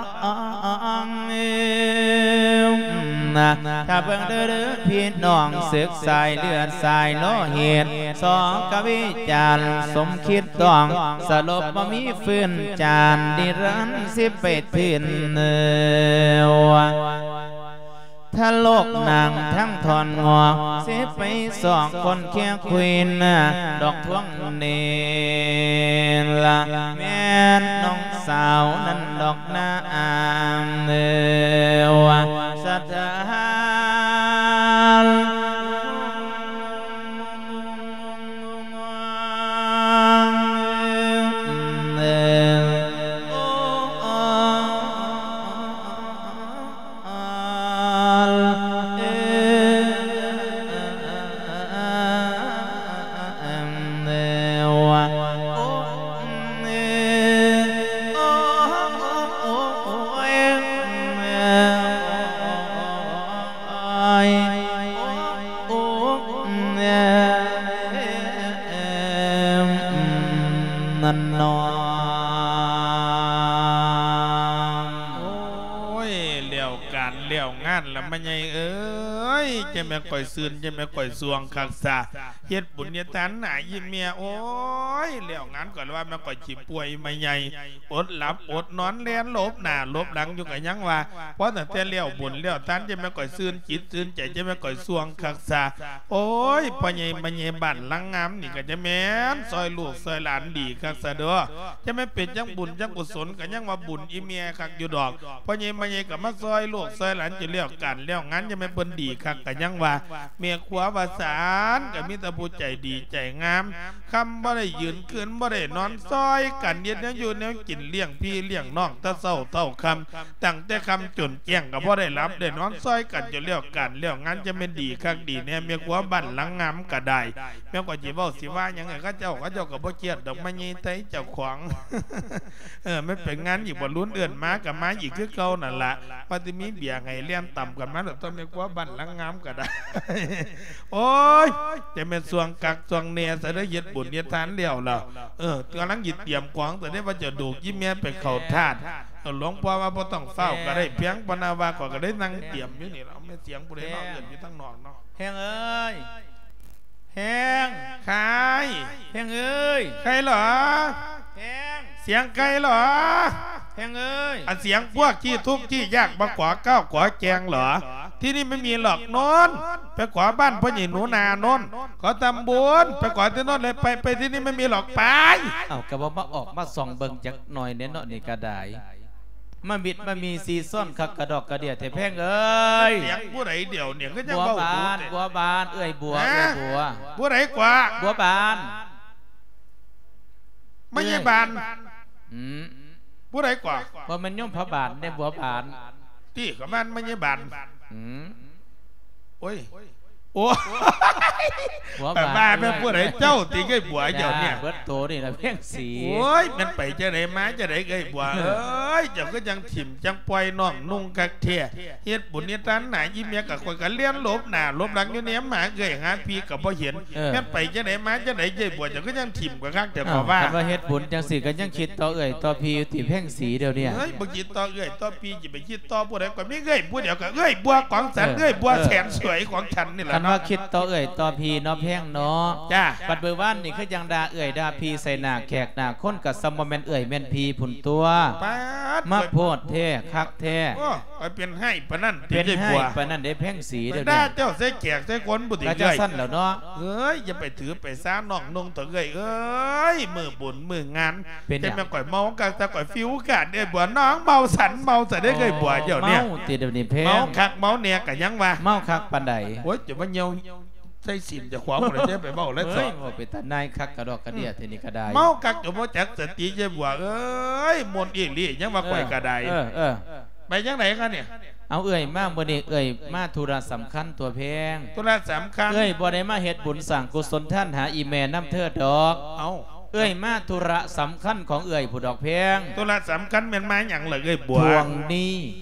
ຖ້າເບິ່ງເດີພີ່ນ້ອງ ເສິກສາຍເລືອດສາຍໂລຫິດ ສອກະວິຈານສົມຄິດຕ້ອງ ສະຫຼົບບໍ່ມີຟື້ນຈານ ນິລັນສິໄປທຶນ ທະໂລກນາງທັງທ່ອນງອກ ຊິໄປສອກຄົນເຄຍຄຸຍນະ ດອກທວງນີ້ລະ ແມ່ນນ້ອງສາວນັ້ນດອກນາ ສະຖານ ງານລະ ແມ່ໃຫຍ່ເອີຍ ຈະແມ່ນຂ້ອຍຊື່ນ ຈະແມ່ນຂ້ອຍຊ່ວງຄັກຊະ ເຮັດບຸນເຮັດທານໜ້າອີ່ແມ່ ໂອ້ຍ ແລ້ວງານກໍລະວ່າແມ່ນຂ້ອຍຊິປ່ວຍ ແມ່ໃຫຍ່ ອົດຫຼັບອົດນອນ ແລ່ນຫຼົບໜ້າຫຼົບຫຼັງຢູ່ກໍຍັງວ່າ ພໍຕັ້ງແຕ່ແລ້ວບຸນແລ້ວທານ ຈະແມ່ນຂ້ອຍຊື່ນຈິດຊື່ນໃຈ ຈະແມ່ນຂ້ອຍຊ່ວງຄັກຊະ ໂອ້ຍ ພໍ່ໃຫຍ່ແມ່ໃຫຍ່ບ້ານຫຼັງງາມນີ້ ກໍຈະແມ່ນຊ່ອຍລູກຊ່ອຍຫຼານດີຄັກຊະເດີ້ ຈະແມ່ນເປັນຈັ່ງບຸນຈັ່ງກຸສົນ ກໍຍັງວ່າບຸນອີ່ແມ່ຄັກຢູ່ດອກ ພໍ່ໃຫຍ່ແມ່ໃຫຍ່ກໍມາຊ່ອຍລູກຊ່ອຍຫຼານ ຈະແລ້ວການແລ້ວງານ ຈະແມ່ນເພິ່ນດີຄັກ ກໍຍັງວ່າ ແມ່ຄົວວ່າຊັ້ນ ກໍມີແຕ່ຜູ້ໃຈດີໃຈງາມ ຄ່ຳບໍ່ໄດ້ຢືນ ຄືນບໍ່ໄດ້ນອນ ຊ່ອຍກັນເຮັດແນວຢູ່ແນວກິນ ລ້ຽງພີ່ລ້ຽງນ້ອງ ແຕ່ເຊົ້າເທົ່າຄ່ຳ ຕັ້ງແຕ່ຄ່ຳຈົນແຈ້ງ ກໍບໍ່ໄດ້ຫຼັບໄດ້ນອນ ຊ່ອຍກັນຈົນແລ້ວການແລ້ວງານ ຈະແມ່ນດີຄັກດີແນ່ ແມ່ຄົວບ້ານຫຼັງງາມກໍໄດ້ ແມ່ນຂ້ອຍຊິເວົ້າຊິວ່າຫຍັງໃຫ້ເຂົາເຈົ້າ ເຂົາເຈົ້າກໍບໍ່ຄຽດດອກ ມາໃຫຍ່ໄທເຈົ້າຂອງ ເອີ ມັນເປັນງານອີກບໍ່ລຸນ ເອີ້ນມາກໍມາອີກຄືເກົ່ານັ້ນລະ ວ່າຊິມີເບຍໃຫ້ແລ່ນຕຳກັນມາໂລດ ຕ້ອງແມ່ນຄົວບ້ານຫຼັງງາມກໍໄດ້ ໂອ້ຍ ຈະແມ່ນຊ່ວງຄັກຊ່ວງແນ່ຊະເດີ້ ເຮັດບຸນເຮັດທານແລ້ວລະ ເອີ ກຳລັງຊິຕຽມຂອງ ແຕ່ໄດ້ວ່າຈະດູກອີ່ແມ່ໄປເຂົ້າທາດ ເອີ ຫຼວງພໍ່ວ່າບໍ່ຕ້ອງຟ້າວກໍໄດ້ ພຽງປານວ່າ ຂ້ອຍກໍໄດ້ນັ່ງຕຽມຢູ່ນີ້ລະ ແມ່ສຽງຜູ້ໃດເນາະ ເອີ້ນຢູ່ທາງນອກເນາະ ແພງເອີຍ ແພງ ໃຄ ແພງເອີຍ ໃຄເຫຼືອ ແພງ ສຽງໃຄເຫຼືອ ແພງເອີຍ ອັນສຽງພວກຂີ້ທຸກຂີ້ຍາກ ມາຂໍເຂົ້າຂໍແກງເຫຼືອ ທີ່ນີ້ໄມ່ມີຫຼອກໂນ້ນ ໄປຂໍບ້ານພໍ່ໃຫຍ່ໜູນາໂນ້ນ ຂໍທຳບຸນ ໄປຂໍທີ່ໂນ້ນເລີຍ ໄປ ໄປທີ່ນີ້ໄມ່ມີຫຼອກ ໄປ ເອົ້າ ກໍບໍ່ມາອອກມາສ່ອງເບິ່ງຈັກໜ່ອຍແດ່ເນາະ ນີ້ກໍໄດ້ ມາມິດມາມີຊີຊ້ອນຄັກກະດອກກະເດຍແທ້ແພງເອີຍ ສຽງຜູ້ໃດດຽວນີ້ ຄືຍັງເວົ້າດູແທ້ ບົວບານ ບົວບານ ເອື້ອຍບົວ ເອື້ອຍບົວ ຜູ້ໃດກວ່າ ບົວບານ ມະຍາຍບານ ອືມ ຜູ້ໃດກວ່າ ບໍ່ແມ່ນໂຍມພະບານເດ້ ບົວບານ ຕິ ກໍແມ່ນມະຍາຍບານ ອືມ ໂອ້ຍ ໂອ້ຍ ຫົວບາດ ແມ່ນຜູ້ໃດເຈົ້າຕິ ເອື້ອຍບົວເຈົ້ານີ້ ເບິດໂຕນີ້ລະພຽງສີ ໂອ້ຍ ແມ່ນໄປຈັ່ງໃດມາຈັ່ງໃດ ເອື້ອຍບົວເອີຍ ເຈົ້າຄືຈັ່ງຖິ້ມຈັ່ງປ່ອຍນ້ອງນຸ່ງຄັກແທ້ ເຮັດບຸນເຮັດທານໜ້າອີ່ແມ່ ກະຂ້ອຍກະລຽນຫຼົບໜ້າຫຼົບຫຼັງຢູ່ ແນມຫາເອື້ອຍຫາພີ່ກະບໍ່ເຫັນ ແມ່ນໄປຈັ່ງໃດມາຈັ່ງໃດ ເອື້ອຍບົວ ເຈົ້າຄືຈັ່ງຖິ້ມກະຄັກແທ້ ເອົ້າ ຂ້ອຍວ່າ ຄັນວ່າເຮັດບຸນຈັ່ງຊີ້ກະຍັງຄິດຕໍ່ເອື້ອຍຕໍ່ພີ່ຢູ່ຕິ ແພງສີ ດຽວນີ້ ເອີຍ ບໍ່ຄິດຕໍ່ເອື້ອຍຕໍ່ພີ່ ຊິໄປຄິດຕໍ່ຜູ້ໃດ ຂ້ອຍມີເອື້ອຍຜູ້ດຽວ ກໍເອື້ອຍບົວກອງສັນ ເອີ ເອື້ອຍບົວແສນສວຍຂອງສັນນີ້ລະ ຄັນວ່າເນາະ ຄິດຕໍ່ເອື້ອຍຕໍ່ພີ່ເນາະ ແພງເນາະ ຈ້າ ບັດມື້ວານນີ້ຄືຈັ່ງດ່າເອື້ອຍດ່າພີ່ໃສ່ໜ້າແຂກໜ້າຄົນ ກະສ່ຳບໍ່ແມ່ນເອື້ອຍແມ່ນພີ່ພຸ້ນຕົວະ ປາດ ມາໂພດແທ້ຄັກແທ້ ໂອ້ ຂ້ອຍເປັນຮ້າຍປານນັ້ນຕິ ເປັນຮ້າຍປານນັ້ນເດ້ແພງສີ ດຽວນີ້ ເຈົ້າໃສ່ແຂກໃສ່ຄົນພຸ້ນຕິ ກະຈັ່ງຊັ້ນແລ້ວເນາະ ເອີຍ ຢ່າໄປຖືໄປສານ້ອງນຸ່ງເຖາະເອື້ອຍເອີຍ ມື້ບຸນມື້ງານ ເປັນຫຍັງ ແຕ່ແມ່ນຂ້ອຍເມົາຄັກ ແຕ່ຂ້ອຍຟິວຂາດເດ້ບົວ ນ້ອງເມົາສັນເມົາສະເດ້ເອື້ອຍບົວ ເຈົ້ານີ້ ເມົາຕິດຽວນີ້ແພງ ເມົາຄັກເມົາແນ່ກະຍັງວ່າ ເມົາຄັກປານໃດ ໂອ້ຍ ຈະມາຍ່ຽວໃສ່ຊີ້ນເຈົ້າຂອງ ບໍ່ໄດ້ໄປເວົ້າແລ້ວ ເອີຍ ເວົ້າເປັນຕານາຍຄັກກະດອກກະເດຍ ອືມ ເທື່ອນີ້ກະໄດ້ ເມົາຄັກຈົນບໍ່ຈັກສະຕິ ເຈົ້າບົວເອີຍ ມ່ວນອີ່ຫຼີ ຍັງວ່າຂ້ອຍກະໄດ້ ເອີ ເອີ ເອີ ໄປຈັ່ງໃດຄະນີ້ ເອົາ ເອື້ອຍມາມື້ນີ້ ເອື້ອຍມາທຸລະສຳຄັນຕົວະແພງ ທຸລະສຳຄັນ ເອື້ອຍບໍ່ໄດ້ມາເຮັດບຸນສ້າງກຸສົນທານຫາອີ່ແມ່ນຳເທີດອກ ເອົ້າ ເອື້ອຍມາທຸລະສຳຄັນຂອງເອື້ອຍພຸ້ນດອກແພງ ທຸລະສຳຄັນແມ່ນມາຫຍັງລະເອື້ອຍບົວ ທວງໜີ້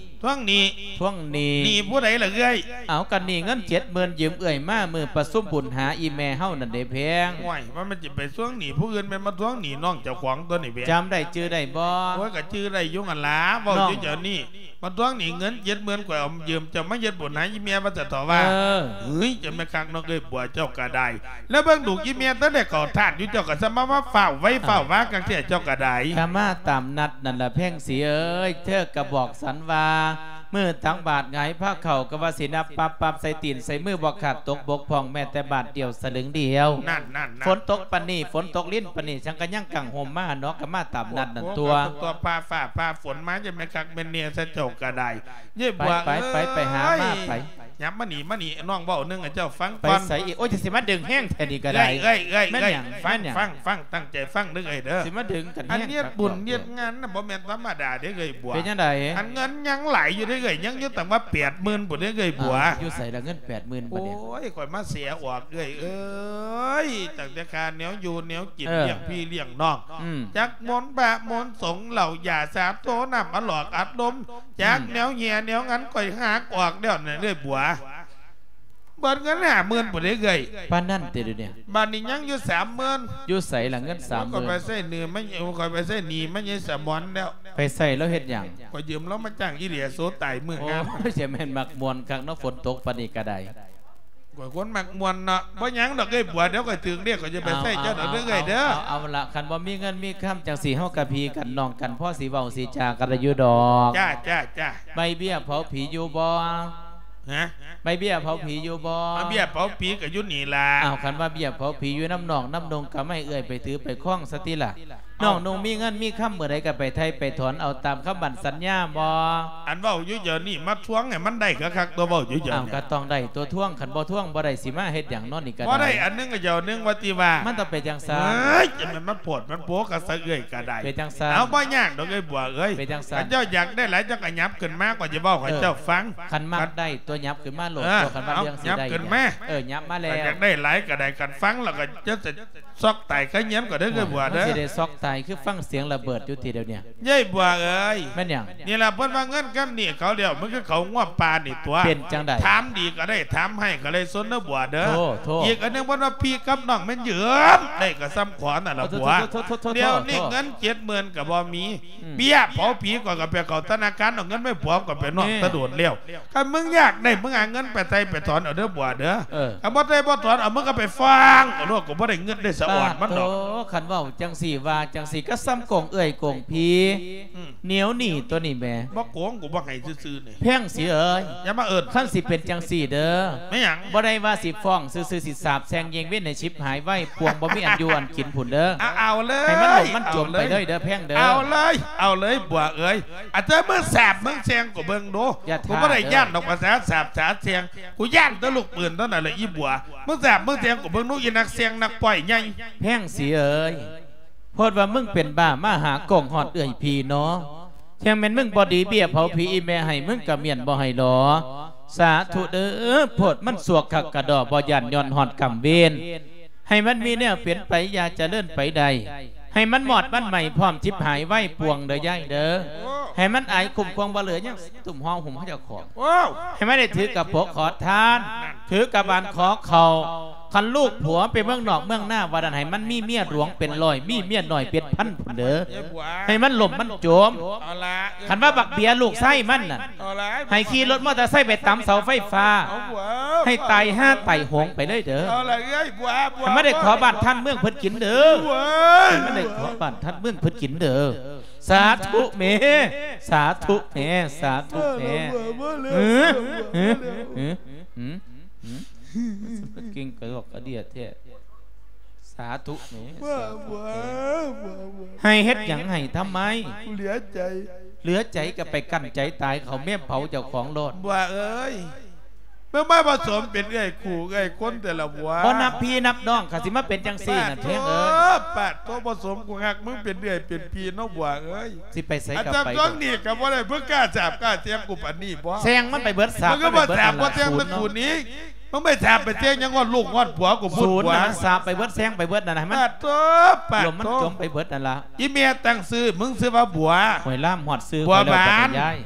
ທວງໜີ້ ທວງໜີ້ ໜີ້ຜູ້ໃດລະເອື້ອຍ ເອົາ ກະໜີ້ເງິນເຈັດໝື່ນຢືມເອື້ອຍມາມື້ປະຊຸມບຸນຫາອີ່ແມ່ເຮົານັ້ນເດ້ແພງ ໂອ້ຍ ວ່າມັນຊິໄປທວງໜີ້ຜູ້ອື່ນ ແມ່ນມາທວງໜີ້ນ້ອງເຈົ້າຂອງຕົວະນີ້ແພງ ຈຳໄດ້ຈື່ໄດ້ບໍ່ ໂອ້ຍ ກະຈື່ໄດ້ຢູ່ຫັ້ນລະ ເວົ້າຢູ່ດຽວນີ້ ມາທວງໜີ້ເງິນເຈັດໝື່ນ ຂ້ອຍເອົາຢືມເຈົ້າມາເຮັດບຸນໃຫ້ອີ່ແມ່ວ່າຊັ້ນເຖາະວ່າ ເອີ ເຮີ້ຍ ເຈົ້າແມ່ນຄັກເນາະເອື້ອຍບົວເຈົ້າກະໄດ້ ແລ້ວເບິ່ງລູກອີ່ແມ່ຕັ້ງແຕ່ເຂົ້າທາດຢູ່ ເຈົ້າກະສະມາ ມາຟ້າວໄວຟ້າວວາຄັກແທ້ເຈົ້າກະໄດ້ ກະມາຕາມນັດນັ້ນລະແພງສີເອີຍ ເທີກະບອກສັນວ່າ ມື້ຕັກບາດຫງາຍພາເຂົ້າ ກະວ່າຊິນັບປັບໆ ໃສ່ຕີນໃສ່ມືບໍ່ຂາດຕົກບົກຜ່ອງ ແມ້ແຕ່ບາດດຽວສະລຶງດຽວ ນັ້ນໆໆ ຝົນຕົກປານນີ້ ຝົນຕົກລິນປານນີ້ ສັງກະຍັງກາງຮົ່ມມາເນາະ ກະມາຕາມນັດນັ້ນຕົວະ ຕົວະ ຟ້າ ຟ້າ ຟ້າຝົນມາ ຈະແມ່ນຄັກແມ່ນແນ່ຊະເຈົ້າກະໄດ້ ເຢ້ຍບົວ ໄປ ໄປ ໄປ ໄປຫາມາໄປ ຫຍັບມານີ້ ມານີ້ ນ້ອງເວົ້າໜຶ່ງໃຫ້ເຈົ້າຟັງກ່ອນ ໄປໃສອີກ ໂອ້ຍ ຈະຊິມາດຶງແຮງແທ້ນີ້ກະໄດ້ ເອື້ອຍ ເອື້ອຍ ເອື້ອຍ ແມ່ນຫຍັງ ຟັງ ຟັງ ຕັ້ງໃຈຟັງເດີເອື້ອຍເດີ ຊິມາດຶງກັນແຮງ ອັນເຮັດບຸນເຮັດງານນະ ບໍ່ແມ່ນທຳມະດາເດ້ເອື້ອຍບົວ ເປັນຈັ່ງໃດ ອັນເງິນຍັງຫຼາຍຢູ່ເດ້ເອື້ອຍ ຍັງຢູ່ຕັ້ງວ່າແປດໝື່ນພຸ້ນເດ້ເອື້ອຍບົວ ເອົ້າ ຢູ່ໃສລະເງິນແປດໝື່ນບັດນີ້ ໂອ້ຍ ຂ້ອຍມາເສຍອອກເອື້ອຍເອີຍ ຕັ້ງແຕ່ຄ່າແນວຢູ່ແນວກິນ ເອີ ລ້ຽງພີ່ລ້ຽງນ້ອງ ອືມ ຈັກມົນພະມົນສົງ ເຫຼົ້າຢາສາໂທ ນ້ຳອະຫຼອກອັດລົມ ຈັກ ອືມ ແນວເຫຍແນວງັນ ຂ້ອຍຫັກອອກແລ້ວນະເອື້ອຍບົວ ເບິດເງິນຫ້າໝື່ນພຸ້ນເດ້ເອື້ອຍ. ປານນັ້ນຕິດຽວນີ້? ບາດນີ້ຍັງຢູ່ສາມໝື່ນ. ຢູ່ໃສລະເງິນສາມໝື່ນ? ຂ້ອຍໄປໃຊ້ໜີ້ມັນ ຂ້ອຍໄປໃຊ້ໜີ້ມັນຍາຍສະໝອນແລ້ວ. ໄປໃຊ້ລາວເຮັດຫຍັງ? ຂ້ອຍຢືມລາວມາຈ້າງອີເລໂຊຕາຍມື້ງາມ. ໂອ້ຍ ຈະແມ່ນມັກມ່ວນຄັກເນາະ ຝົນຕົກປານນີ້ກໍໄດ້. ຂ້ອຍຄົນມັກມ່ວນເນາະ. ບໍ່ຫຍັງດອກເອື້ອຍບົວ ດຽວຂ້ອຍຖືກລຽກ ຂ້ອຍຈະໄປໃຊ້ເຈົ້າດອກເດີເອື້ອຍເດີ. ເອົາ ເອົາ ເອົາລະ ຄັນບໍ່ມີເງິນມີຄຳຈັ່ງຊີ້ ເຮົາກໍພີ່ກັນນ້ອງກັນ ພໍຊິເວົ້າຊິຈາກັນໄດ້ຢູ່ດອກ. ຈ້າ ຈ້າ ຈ້າ. ໃບເບ້ຍເຜົາຜີຢູ່ບໍ່? ຮະ? ໃບເບ້ຍເຜົາຜີຢູ່ບໍ່? ເອົາ ເບ້ຍເຜົາຜີກໍຢູ່ນີ້ລະ. ອ້າວ ຄັນວ່າເບ້ຍເຜົາຜີຢູ່ນຳນ້ອງນຳນຸ່ງ ກໍໃຫ້ເອື້ອຍໄປຖືໄປຄອງຊະຕິລະ. ເອົ້າ ນ້ອງນຸ່ງມີເງິນມີຄຳມື້ໃດກໍໄປໄຖ່ໄປຖອນເອົາຕາມຄຳໝັ້ນສັນຍາບໍ່? ອັນເວົ້າຢູ່ດຽວນີ້ມາທວງໃຫ້ມັນໄດ້ຄັກໆ ຕົວະ ເວົ້າຢູ່ດຽວນີ້. ອ້າວ ກໍຕ້ອງໄດ້ຕົວະ ທວງ ຄັນບໍ່ທວງບໍ່ໄດ້ ຊິມາເຮັດຫຍັງເນາະນີ້ກໍໄດ້. ບໍ່ໄດ້ອັນໜຶ່ງກໍເຈົ້າອັນໜຶ່ງວ່າຕິວ່າ. ມັນຕ້ອງເປັນຈັ່ງຊັ້ນ. ເອີຍ ຈະແມ່ນມັນໂພດມັນໂພ ກະສະເອື້ອຍກໍໄດ້. ເປັນຈັ່ງຊັ້ນ. ເອົາ ບໍ່ຍາກດອກເອື້ອຍບົວເອີຍ. ເປັນຈັ່ງຊັ້ນ. ຄັນເຈົ້າຢາກໄດ້ຫຼາຍ ເຈົ້າກໍຫຍັບຂຶ້ນມາ ຂ້ອຍຈະເວົ້າໃຫ້ເຈົ້າຟັງ. ເອີ ຄັນມັກໄດ້ຕົວະ ຫຍັບຂຶ້ນມາໂລດ. ເອີ ຕົວະ ຄັນວ່າເລື່ອງຊິໄດ້ ຫຍັບຂຶ້ນມາ. ເອີ ຫຍັບມາແລ້ວ. ຄັນຢາກໄດ້ຫຼາຍກໍໄດ້ ຄັນຟັງແລ້ວກໍຈະ ຊອກຕາຍຄາເຮືອນກໍໄດ້ເອື້ອຍບົວເດີ. ມັນຊິໄດ້ຊອກຕາຍ ຄືຟັງສຽງລະເບີດຢູ່ຕິດຽວນີ້. ຍາຍບົວເອີຍ. ແມ່ນຫຍັງ? ນີ້ລະເພິ່ນວ່າເງິນກັບໜີ້ເຂົາແລ້ວ ມັນຄືເຂົາງົວປ່ານີ້ຕົວະ. ເປັນຈັ່ງໃດ? ຖາມດີກໍໄດ້ ຖາມຮ້າຍກໍໄດ້ ສົນເດີບົວເດີ. ໂທ້ ໂທ້. ອີກອັນໜຶ່ງເພິ່ນວ່າ ພີ່ກັບນ້ອງແມ່ນຢືມໄດ້ກໍສ່ຳຂອນນັ້ນລະບົວ. ໂທ້ ໂທ້ ໂທ້ ດຽວນີ້ເງິນເຈັດໝື່ນກໍບໍ່ມີ. ອືມ ເບ້ຍເຜົາຜີ ຂ້ອຍກໍໄປເຂົ້າທະນາຄານເອົາເງິນມາໃຫ້ຜົວ ຂ້ອຍເປັນນ້ອງ ແມ່ ແຕ່ດົນແລ້ວ. ຄັນມຶງຢາກໄດ້ ມຶງຫາເງິນໄປໄຖ່ໄປຖອນເອົາເດີບົວເດີ. ເອີ ຄັນບໍ່ໄດ້ບໍ່ຖອນເອົາ ມຶງກໍໄປຟ້ອງເອົາໂລດ ກໍບໍ່ໄດ້ເງິນໄດ້ສະອອນມັນດອກ. ໂອ້ ຄັນເວົ້າຈັ່ງຊີ້ວ່າຈັ່ງຊີ້ ກໍສ່ຳໂກງເອື້ອຍໂກງພີ່. ອືມ ໜຽວໜີ້ຕົວະນີ້ແໝ່. ບໍ່ໂກງ ກູບໍ່ໃຫ້ຊື່ໆນີ້. ແພງສີເອີຍ ຢ່າມາເອີ້ນ. ຄັນຊິເປັນຈັ່ງຊີ້ເດີ. ແມ່ນຫຍັງ? ບໍ່ໄດ້ວ່າຊິຟ້ອງຊື່ໆ ຊິສາບແຊ່ງເຢງເວັນໃຫ້ຊິບຫາຍໄວາຍປ່ວງ ບໍ່ມີອັນຢູ່ອັນກິນພຸ້ນເດີ. ເອົາ ເອົາເລີຍ ໃຫ້ມັນຫຼົງມັນຈົມໄປເລີຍເດີແພງເດີ. ເອົາເລີຍ ເອົາເລີຍບົວເອີຍ. ອາດຈະມຶງສາບມຶງແຊ່ງກໍເບິ່ງດູ. ກູບໍ່ໄດ້ຢ້ານດອກພາສາສາບສາແຊ່ງ ກູຢ້ານແຕ່ລູກປືນເທົ່ານັ້ນແຫຼະອີບົວ. ມຶງສາບມຶງແຊ່ງກໍເບິ່ງດູ ອີນັກແຊ່ງນັກປ້ອຍໃຫຍ່. ແພງສີເອີຍ ໂພດວ່າມຶງເປັນບ້າມາຫາກອງຮອດເອື້ອຍພີ່ເນາະ. ແທ້ແມ່ນມຶງບໍ່ດີເບ້ຍເຜົາຜີ ອີແມ່ໃຫ້ມຶງກະມ້ຽນບໍ່ໃຫ້ຫຼໍ. ສາທຸເດີ ໂພດມັນສວກຄັກກະດໍ ບໍ່ຢ້ານຍ້ອນຮອດກຳເວນ. ໃຫ້ມັນມີແນວເປັນໄປ ຢ່າຈະເລີນໄປໄດ້ ໃຫ້ມັນມອດມັນໄໝ້ ພ້ອມຈິບຫາຍໄວາຍປ່ວງເດີຍາຍເດີ. ໂອ້ ໃຫ້ມັນອາຍຄຸ້ມຄວາງ ບໍ່ເຫຼືອຫຍັງ ຕຸ້ມຫໍ່ຫຸ້ມເຈົ້າຂອງ. ໂອ້ ໃຫ້ມັນໄດ້ຖືກະໂປະຂໍທານ ຖືກະບານຂໍເຂົ້າ. ຄັນລູກຜົວໄປເມືອງນອກເມືອງນາວ່ານັ້ນ ໃຫ້ມັນມີເມຍຫຼວງເປັນຮ້ອຍ ມີເມຍນ້ອຍເປັນພັນພຸ້ນເດີ. ເອີ ບົວ ໃຫ້ມັນລົ້ມມັນຈົມ. ເອົາລະ ຄັນວ່າບັກເບ້ຍລູກຊາຍມັນນັ້ນ ເອົາລະ ໃຫ້ຂີ່ລົດມໍເຕີໄຊໄປຕຳເສົາໄຟຟ້າ. ເອົາບົວ ໃຫ້ຕາຍຫາຕາຍໂຫງໄປເລີຍເດີ. ເອົາລະເອື້ອຍບົວ ບົວ ໃຫ້ມັນໄດ້ຂໍບ້ານທ່ານເມືອງເພິ່ນກິນເດີ. ເອີຍ ໃຫ້ມັນໄດ້ຂໍບ້ານທ່ານເມືອງເພິ່ນກິນເດີ. ສາທຸແໝ່ ສາທຸແໝ່ ສາທຸແໝ່. ເອີ ເອີ ເອີ ເອີ ກິນກະດອກກະເດຍແທ້. ສາທຸແໝ່ ສາທຸແໝ່. ໃຫ້ເຮັດຫຍັງໃຫ້ທຳໄມ? ເຫຼືອໃຈ ເຫຼືອໃຈກໍໄປກັ້ນໃຈຕາຍ ເຂົາແມ່ນເຜົາເຈົ້າຂອງໂລດ. ບົວເອີຍ ມຶງມາປະສົມເປັນເອື້ອຍຄູ່ເອື້ອຍຄົນແຕ່ລະບົວ. ບໍ່ນັບພີ່ນັບນ້ອງ ກະຊິມາເປັນຈັ່ງຊີ້ນັ້ນແພງເອີຍ. ປາດໂທ ປະສົມ ກູຮັກມຶງເປັນເອື້ອຍເປັນພີ່ເນາະບົວເອີຍ. ຊິໄປໃສກໍໄປ. ອັນຈຳຕ້ອງນີ້ກໍບໍ່ໄດ້ ມຶງກ້າສາບກ້າແຊ່ງກູປານນີ້ບໍ? ແຊ່ງມັນໄປເບິດ ສາບມັນໄປເບິດ. ບໍ່ຄືວ່າສາບບໍ່ແຊ່ງມັນກູນີ້ ມຶງໄປສາບໄປແຊ່ງຫຍັງຮອດລູກຮອດຜົວກູພຸ້ນ. ສູນນັ້ນ ສາບໄປເບິດແຊ່ງໄປເບິດນັ້ນ ໃຫ້ມັນ ປາດໂທ ປາດໂທ ລົມມັນຈົມໄປເບິດນັ້ນລະ. ອີແມ່ຕັ້ງຊື່ ມຶງຊື່ວ່າບົວ. ໂອ້ຍ ລາມຮອດຊື່ຂ້ອຍແລ້ວ ບັວບານ ຍາຍ.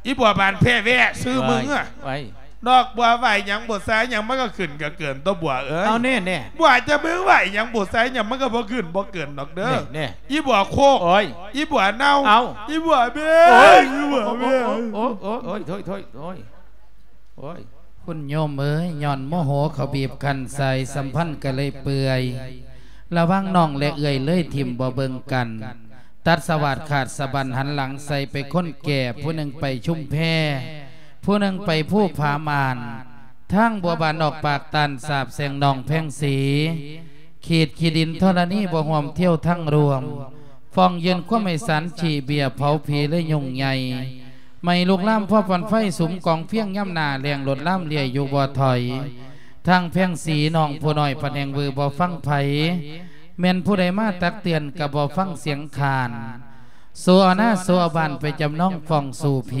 ອີບົວບານແພ້ແວະຊື່ມຶງອະ. ເອີຍ ດອກບົວໄຫວ້ຫຍັງບົວຊາຫຍັງ ມັນກໍຂຶ້ນກໍເກີນຕົວະບົວເອີຍ. ເອົາແນ່ໆ ບົວຈະມຶງໄຫວ້ຫຍັງບົວຊາຫຍັງ ມັນກໍບໍ່ຂຶ້ນບໍ່ເກີນດອກເດີ. ແນ່ໆ ອີບົວໂຄກ. ໂອ້ຍ ອີບົວເນົ່າ. ເອົາ ອີບົວແມ່. ໂອ້ຍ ອີບົວແມ່. ໂອ້ຍ ໂອ້ຍ ໂອ້ຍ ໂອ້ຍ ໂອ້ຍ ໂອ້ຍ ໂອ້ຍ. ຄຸນໂຍມເອີຍ ຍ້ອນໂມໂຫເຂົາບີບຄັ້ນໃສ່ ສຳພັນກໍເລີຍເປື່ອຍ. ລະຫວ່າງນ້ອງແລະເອື້ອຍເລີຍຖິ້ມບໍ່ເບິ່ງກັນ ຕັດສະຫວາດຂາດສະບັນ ຫັນຫຼັງໃສ່ໄປຄົນແກ່ ຜູ້ໜຶ່ງໄປຊຸມແພ ຜູ້ໜຶ່ງໄປພູຜາມ່ານ. ທາງບົວບານອອກປາກຕ້ານສາບແຊ່ງນ້ອງແພງສີ ຂີດຂີ້ດິນທໍລະນີບໍ່ຮ່ວມທ່ຽວທັງຮ່ວມ ຟ້ອງຍື່ນຄວາມໃຫ້ສານຂີ້ເບ້ຍເຜົາຜີເລີຍຫຍຸ້ງໃຫຍ່ ໄໝ້ລຸກລາມພໍຟອນໄຟສຸມກອງຟຽງຍາມໜ້າແລ້ງ ໂລດລາມເລຍຢູ່ບໍ່ຖອຍ. ທາງແພງສີນ້ອງຜູ້ນ້ອຍພັດແຮ່ງວືບໍ່ຟັງໃຜ ແມ່ນຜູ້ໃດມາຕັກເຕືອນກໍບໍ່ຟັງສຽງຄ້ານ ໂຊເອົານາໂຊເອົາບ້ານໄປຈຳນອງຟ້ອງສູ່ຜີ.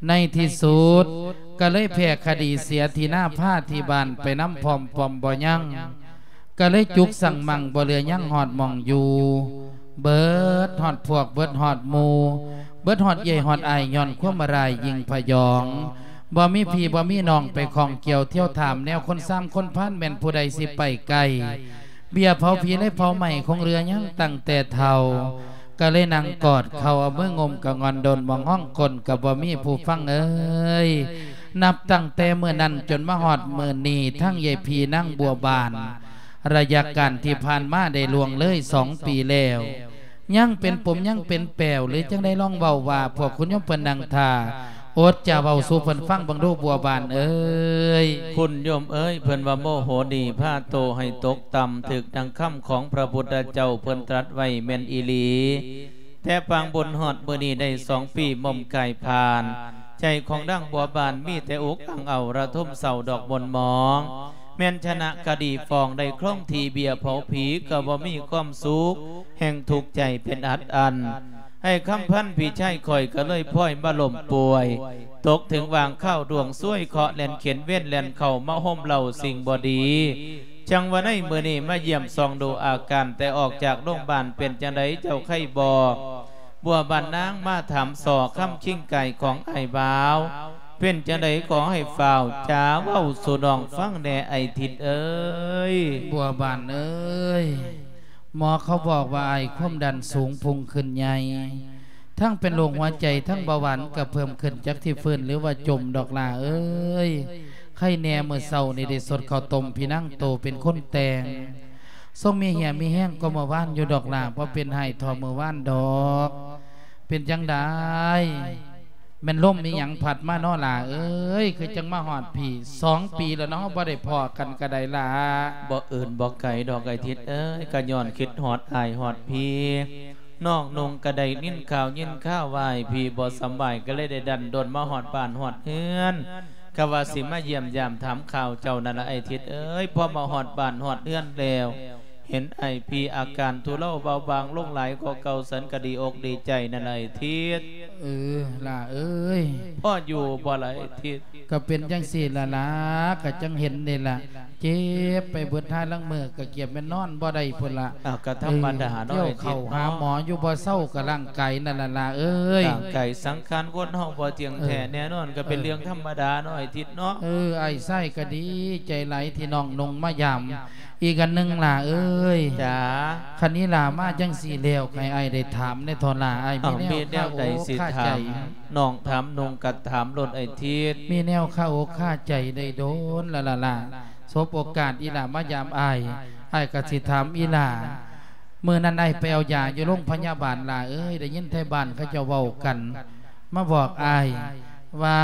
ໃນທີ່ສຸດກໍເລີຍແພ້ຄະດີເສຍທີ່ນາພາທີ່ບ້ານໄປນຳພ້ອມປ້ອມບໍ່ຍັງ ກໍເລີຍຈຸກສັງມັງບໍ່ເຫຼືອຍັງຮອດໝ່ອງຢູ່ ເບິດຮອດພວກ ເບິດຮອດໝູ່ ເບິດຮອດເອື້ອຍຮອດອ້າຍ ຍ້ອນຄວາມມາລາຍຍິ່ງພະຍອງ ບໍ່ມີພີ່ບໍ່ມີນ້ອງໄປຂ້ອງກ່ຽວທ່ຽວຖາມແນວຄົນຊາມຄົນພານແມ່ນຜູ້ໃດຊິໄປໄກ. ເບ້ຍເຜົາຜີເລີຍເຜົາໄໝ້ຄົງເຫຼືອຍັງຕັ້ງແຕ່ເຖົ້າ. ກໍເລີຍນັ່ງກອດເຂົ່າເອົາມືງຸ້ມກະງ່ອນດົນມອງຮ້ອງກົ້ນກໍບໍ່ມີຜູ້ຟັງເອີຍ. ນັບຕັ້ງແຕ່ມື້ນັ້ນຈົນມາຮອດມື້ນີ້ ທັງເອື້ອຍພີ່ນາງບົວບານ ໄລຍະການທີ່ຜ່ານມາໄດ້ລ່ວງເລີຍສອງປີແລ້ວ ຍັງເປັນປົມຍັງເປັນແປວ ຫຼືຈັ່ງໃດລອງເວົ້າວ່າ ພວກຄຸນໂຍມເພິ່ນນັ່ງຖ້າ ອົດຈະເວົ້າສູ່ເພິ່ນຟັງເບິ່ງດູບົວບານເອີຍ. ຄຸນໂຍມເອີຍ ເພິ່ນວ່າໂມໂຫນີພາໂຕໃຫ້ຕົກຕ່ຳ ຖືກດັ່ງຄຳຂອງພະພຸດທະເຈົ້າເພິ່ນຕລັດໄວ້ແມ່ນອີ່ຫຼີ. ແຕ່ປາງບຸນຮອດມື້ນີ້ໄດ້ສອງປີໝົ່ມກາຍຜ່ານ ໃຈຂອງນາງບົວບານມີແຕ່ອຸກອັ່ງເອົາລະທົມເສົ້າດອກໝົນໝອງ. ແມ່ນຊະນະຄະດີຟ້ອງໄດ້ຄອງທີ່ເບ້ຍເຜົາຜີກໍບໍ່ມີຄວາມສຸກ ແຮ່ງທຸກໃຈເປັນອັດອັນ. ອ້າຍຄຳພັນພີ່ຊາຍຂ້ອຍກໍເລີຍພອຍມາລົ້ມປ່ວຍ ຕົກເຖິງຫວ່າງຄາວດວງຊວຍ ເຄາະແລ່ນເຂັນເວນແລ່ນເຂົ້າມາໂຮມເລົ່າສິ່ງບໍ່ດີ. ຈັ່ງວ່າໃນມື້ນີ້ມາຢ້ຽມສ່ອງດູອາການ ແຕ່ອອກຈາກໂຮງບານເປັນຈັ່ງໃດເຈົ້າໄຄບໍ່? ບົວບານນາງມາຖາມສໍ່ຄຳຄິງກາຍຂອງອ້າຍບ່າວ ເປັນຈັ່ງໃດຂໍໃຫ້ຟ້າວຈາເວົ້າສູ່ນ້ອງຟັງແດ່ອ້າຍທິດເອີຍ. ບົວບານເອີຍ ໝໍເຂົາບອກວ່າອ້າຍຄວາມດັນສູງພຸ່ງຂຶ້ນໃຫຍ່ ທັງເປັນໂລກຫົວໃຈ ທັງເບົາຫວານກໍເພີ່ມຂຶ້ນ ຈັກທີ່ຟື້ນຫຼືວ່າຈົມດອກຫຼ້າເອີຍ. ໄຄແນ່ມື້ເຊົ້ານີ້ໄດ້ສົດເຂົ້າຕົ້ມ ພີ່ນາງໂຕເປັນຄົນແຕ່ງ ຊົງມີເຫຍມີແຮງກວ່າເມື່ອວານຢູ່ດອກຫຼ້າ ບໍ່ເປັນໄຫ້ທໍ່ເມື່ອວານດອກ. ເປັນຈັ່ງໃດ ແມ່ນລົມອີ່ຫຍັງພັດມານໍຫຼ້າເອີຍ ຄືຈັ່ງມາຮອດພີ້? ສອງປີແລ້ວເນາະ ເຮົາບໍ່ໄດ້ພໍ້ກັນກະໄດ້ຫຼ້າ. ບໍ່ອື່ນບໍ່ໄກດອກອ້າຍທິດເອີຍ ກະຍ້ອນຄິດຮອດອ້າຍຮອດພີ້. ນ້ອງນຸ່ງກະໄດ້ຍິນຂ່າວຍິນຄາວວ່າອ້າຍພີ້ບໍ່ສຳບາຍ ກະເລີຍໄດ້ດັນດົນມາຮອດບ້ານຮອດເຮືອນ ກະວ່າຊິມາຢ້ຽມຢາມຖາມຂ່າວເຈົ້ານັ້ນລະອ້າຍທິດເອີຍ. ພໍມາຮອດບ້ານຮອດເຮືອນແລ້ວ ເຫັນອ້າຍພີ້ອາການທຸເລົາເບົາບາງລົງຫຼາຍກວ່າເກົ່າ ສັນກະດີອົກດີໃຈນັ້ນລະອ້າຍທິດ. ເອີ ຫຼ້າເອີຍ ພໍຢູ່ບໍ່ລະອ້າຍທິດ? ກະເປັນຈັ່ງຊີ້ລະຫຼ້າ ກະຈັ່ງເຫັນນີ້ລະ ເຈັບໄປເບິດ ຫາລາງມື້ກະກຽມແມ່ນນອນບໍ່ໄດ້ພຸ້ນລະ. ອ້າວ ກະທຳມະດາເນາະ ເອີ ທ່ຽວເຂົ້າຫາໝໍຢູ່ບໍ່ເຊົາ ກະຮ່າງກາຍນັ້ນລະຫຼ້າເອີຍ. ຮ່າງກາຍສັງຂານຄົນເຮົາບໍ່ທ່ຽງແທ້ແນ່ນອນ ກະເປັນເລື່ອງທຳມະດາເນາະອ້າຍທິດເນາະ. ເອີ ອ້າຍຊາຍກະດີໃຈຫຼາຍທີ່ນ້ອງນຸ່ງມາຢາມ. ອີກອັນໜຶ່ງຫຼ້າເອີຍ ຈ້າ ຄັນອີ່ຫຼ້າມາຈັ່ງຊີ້ແລ້ວ ໃຫ້ອ້າຍໄດ້ຖາມແດ່ທໍລະ ອ້າຍມີແນວຄາອົກຄາໃຈ. ນ້ອງຖາມນຸ່ງກະຖາມໂລດອ້າຍທິດ. ມີແນວຄາອົກຄາໃຈໄດ້ດົນລະລະລະ ສົບໂອກາດອີ່ຫຼ້າມາຢາມອ້າຍ ອ້າຍກະຊິຖາມອີ່ຫຼ້າ. ມື້ນັ້ນອ້າຍໄປເອົາຢາຢູ່ໂລງພະຍາບານຫຼ້າເອີຍ ໄດ້ຍິນໄທບ້ານເຂົາເຈົ້າເວົ້າກັນ ມາບອກອ້າຍວ່າ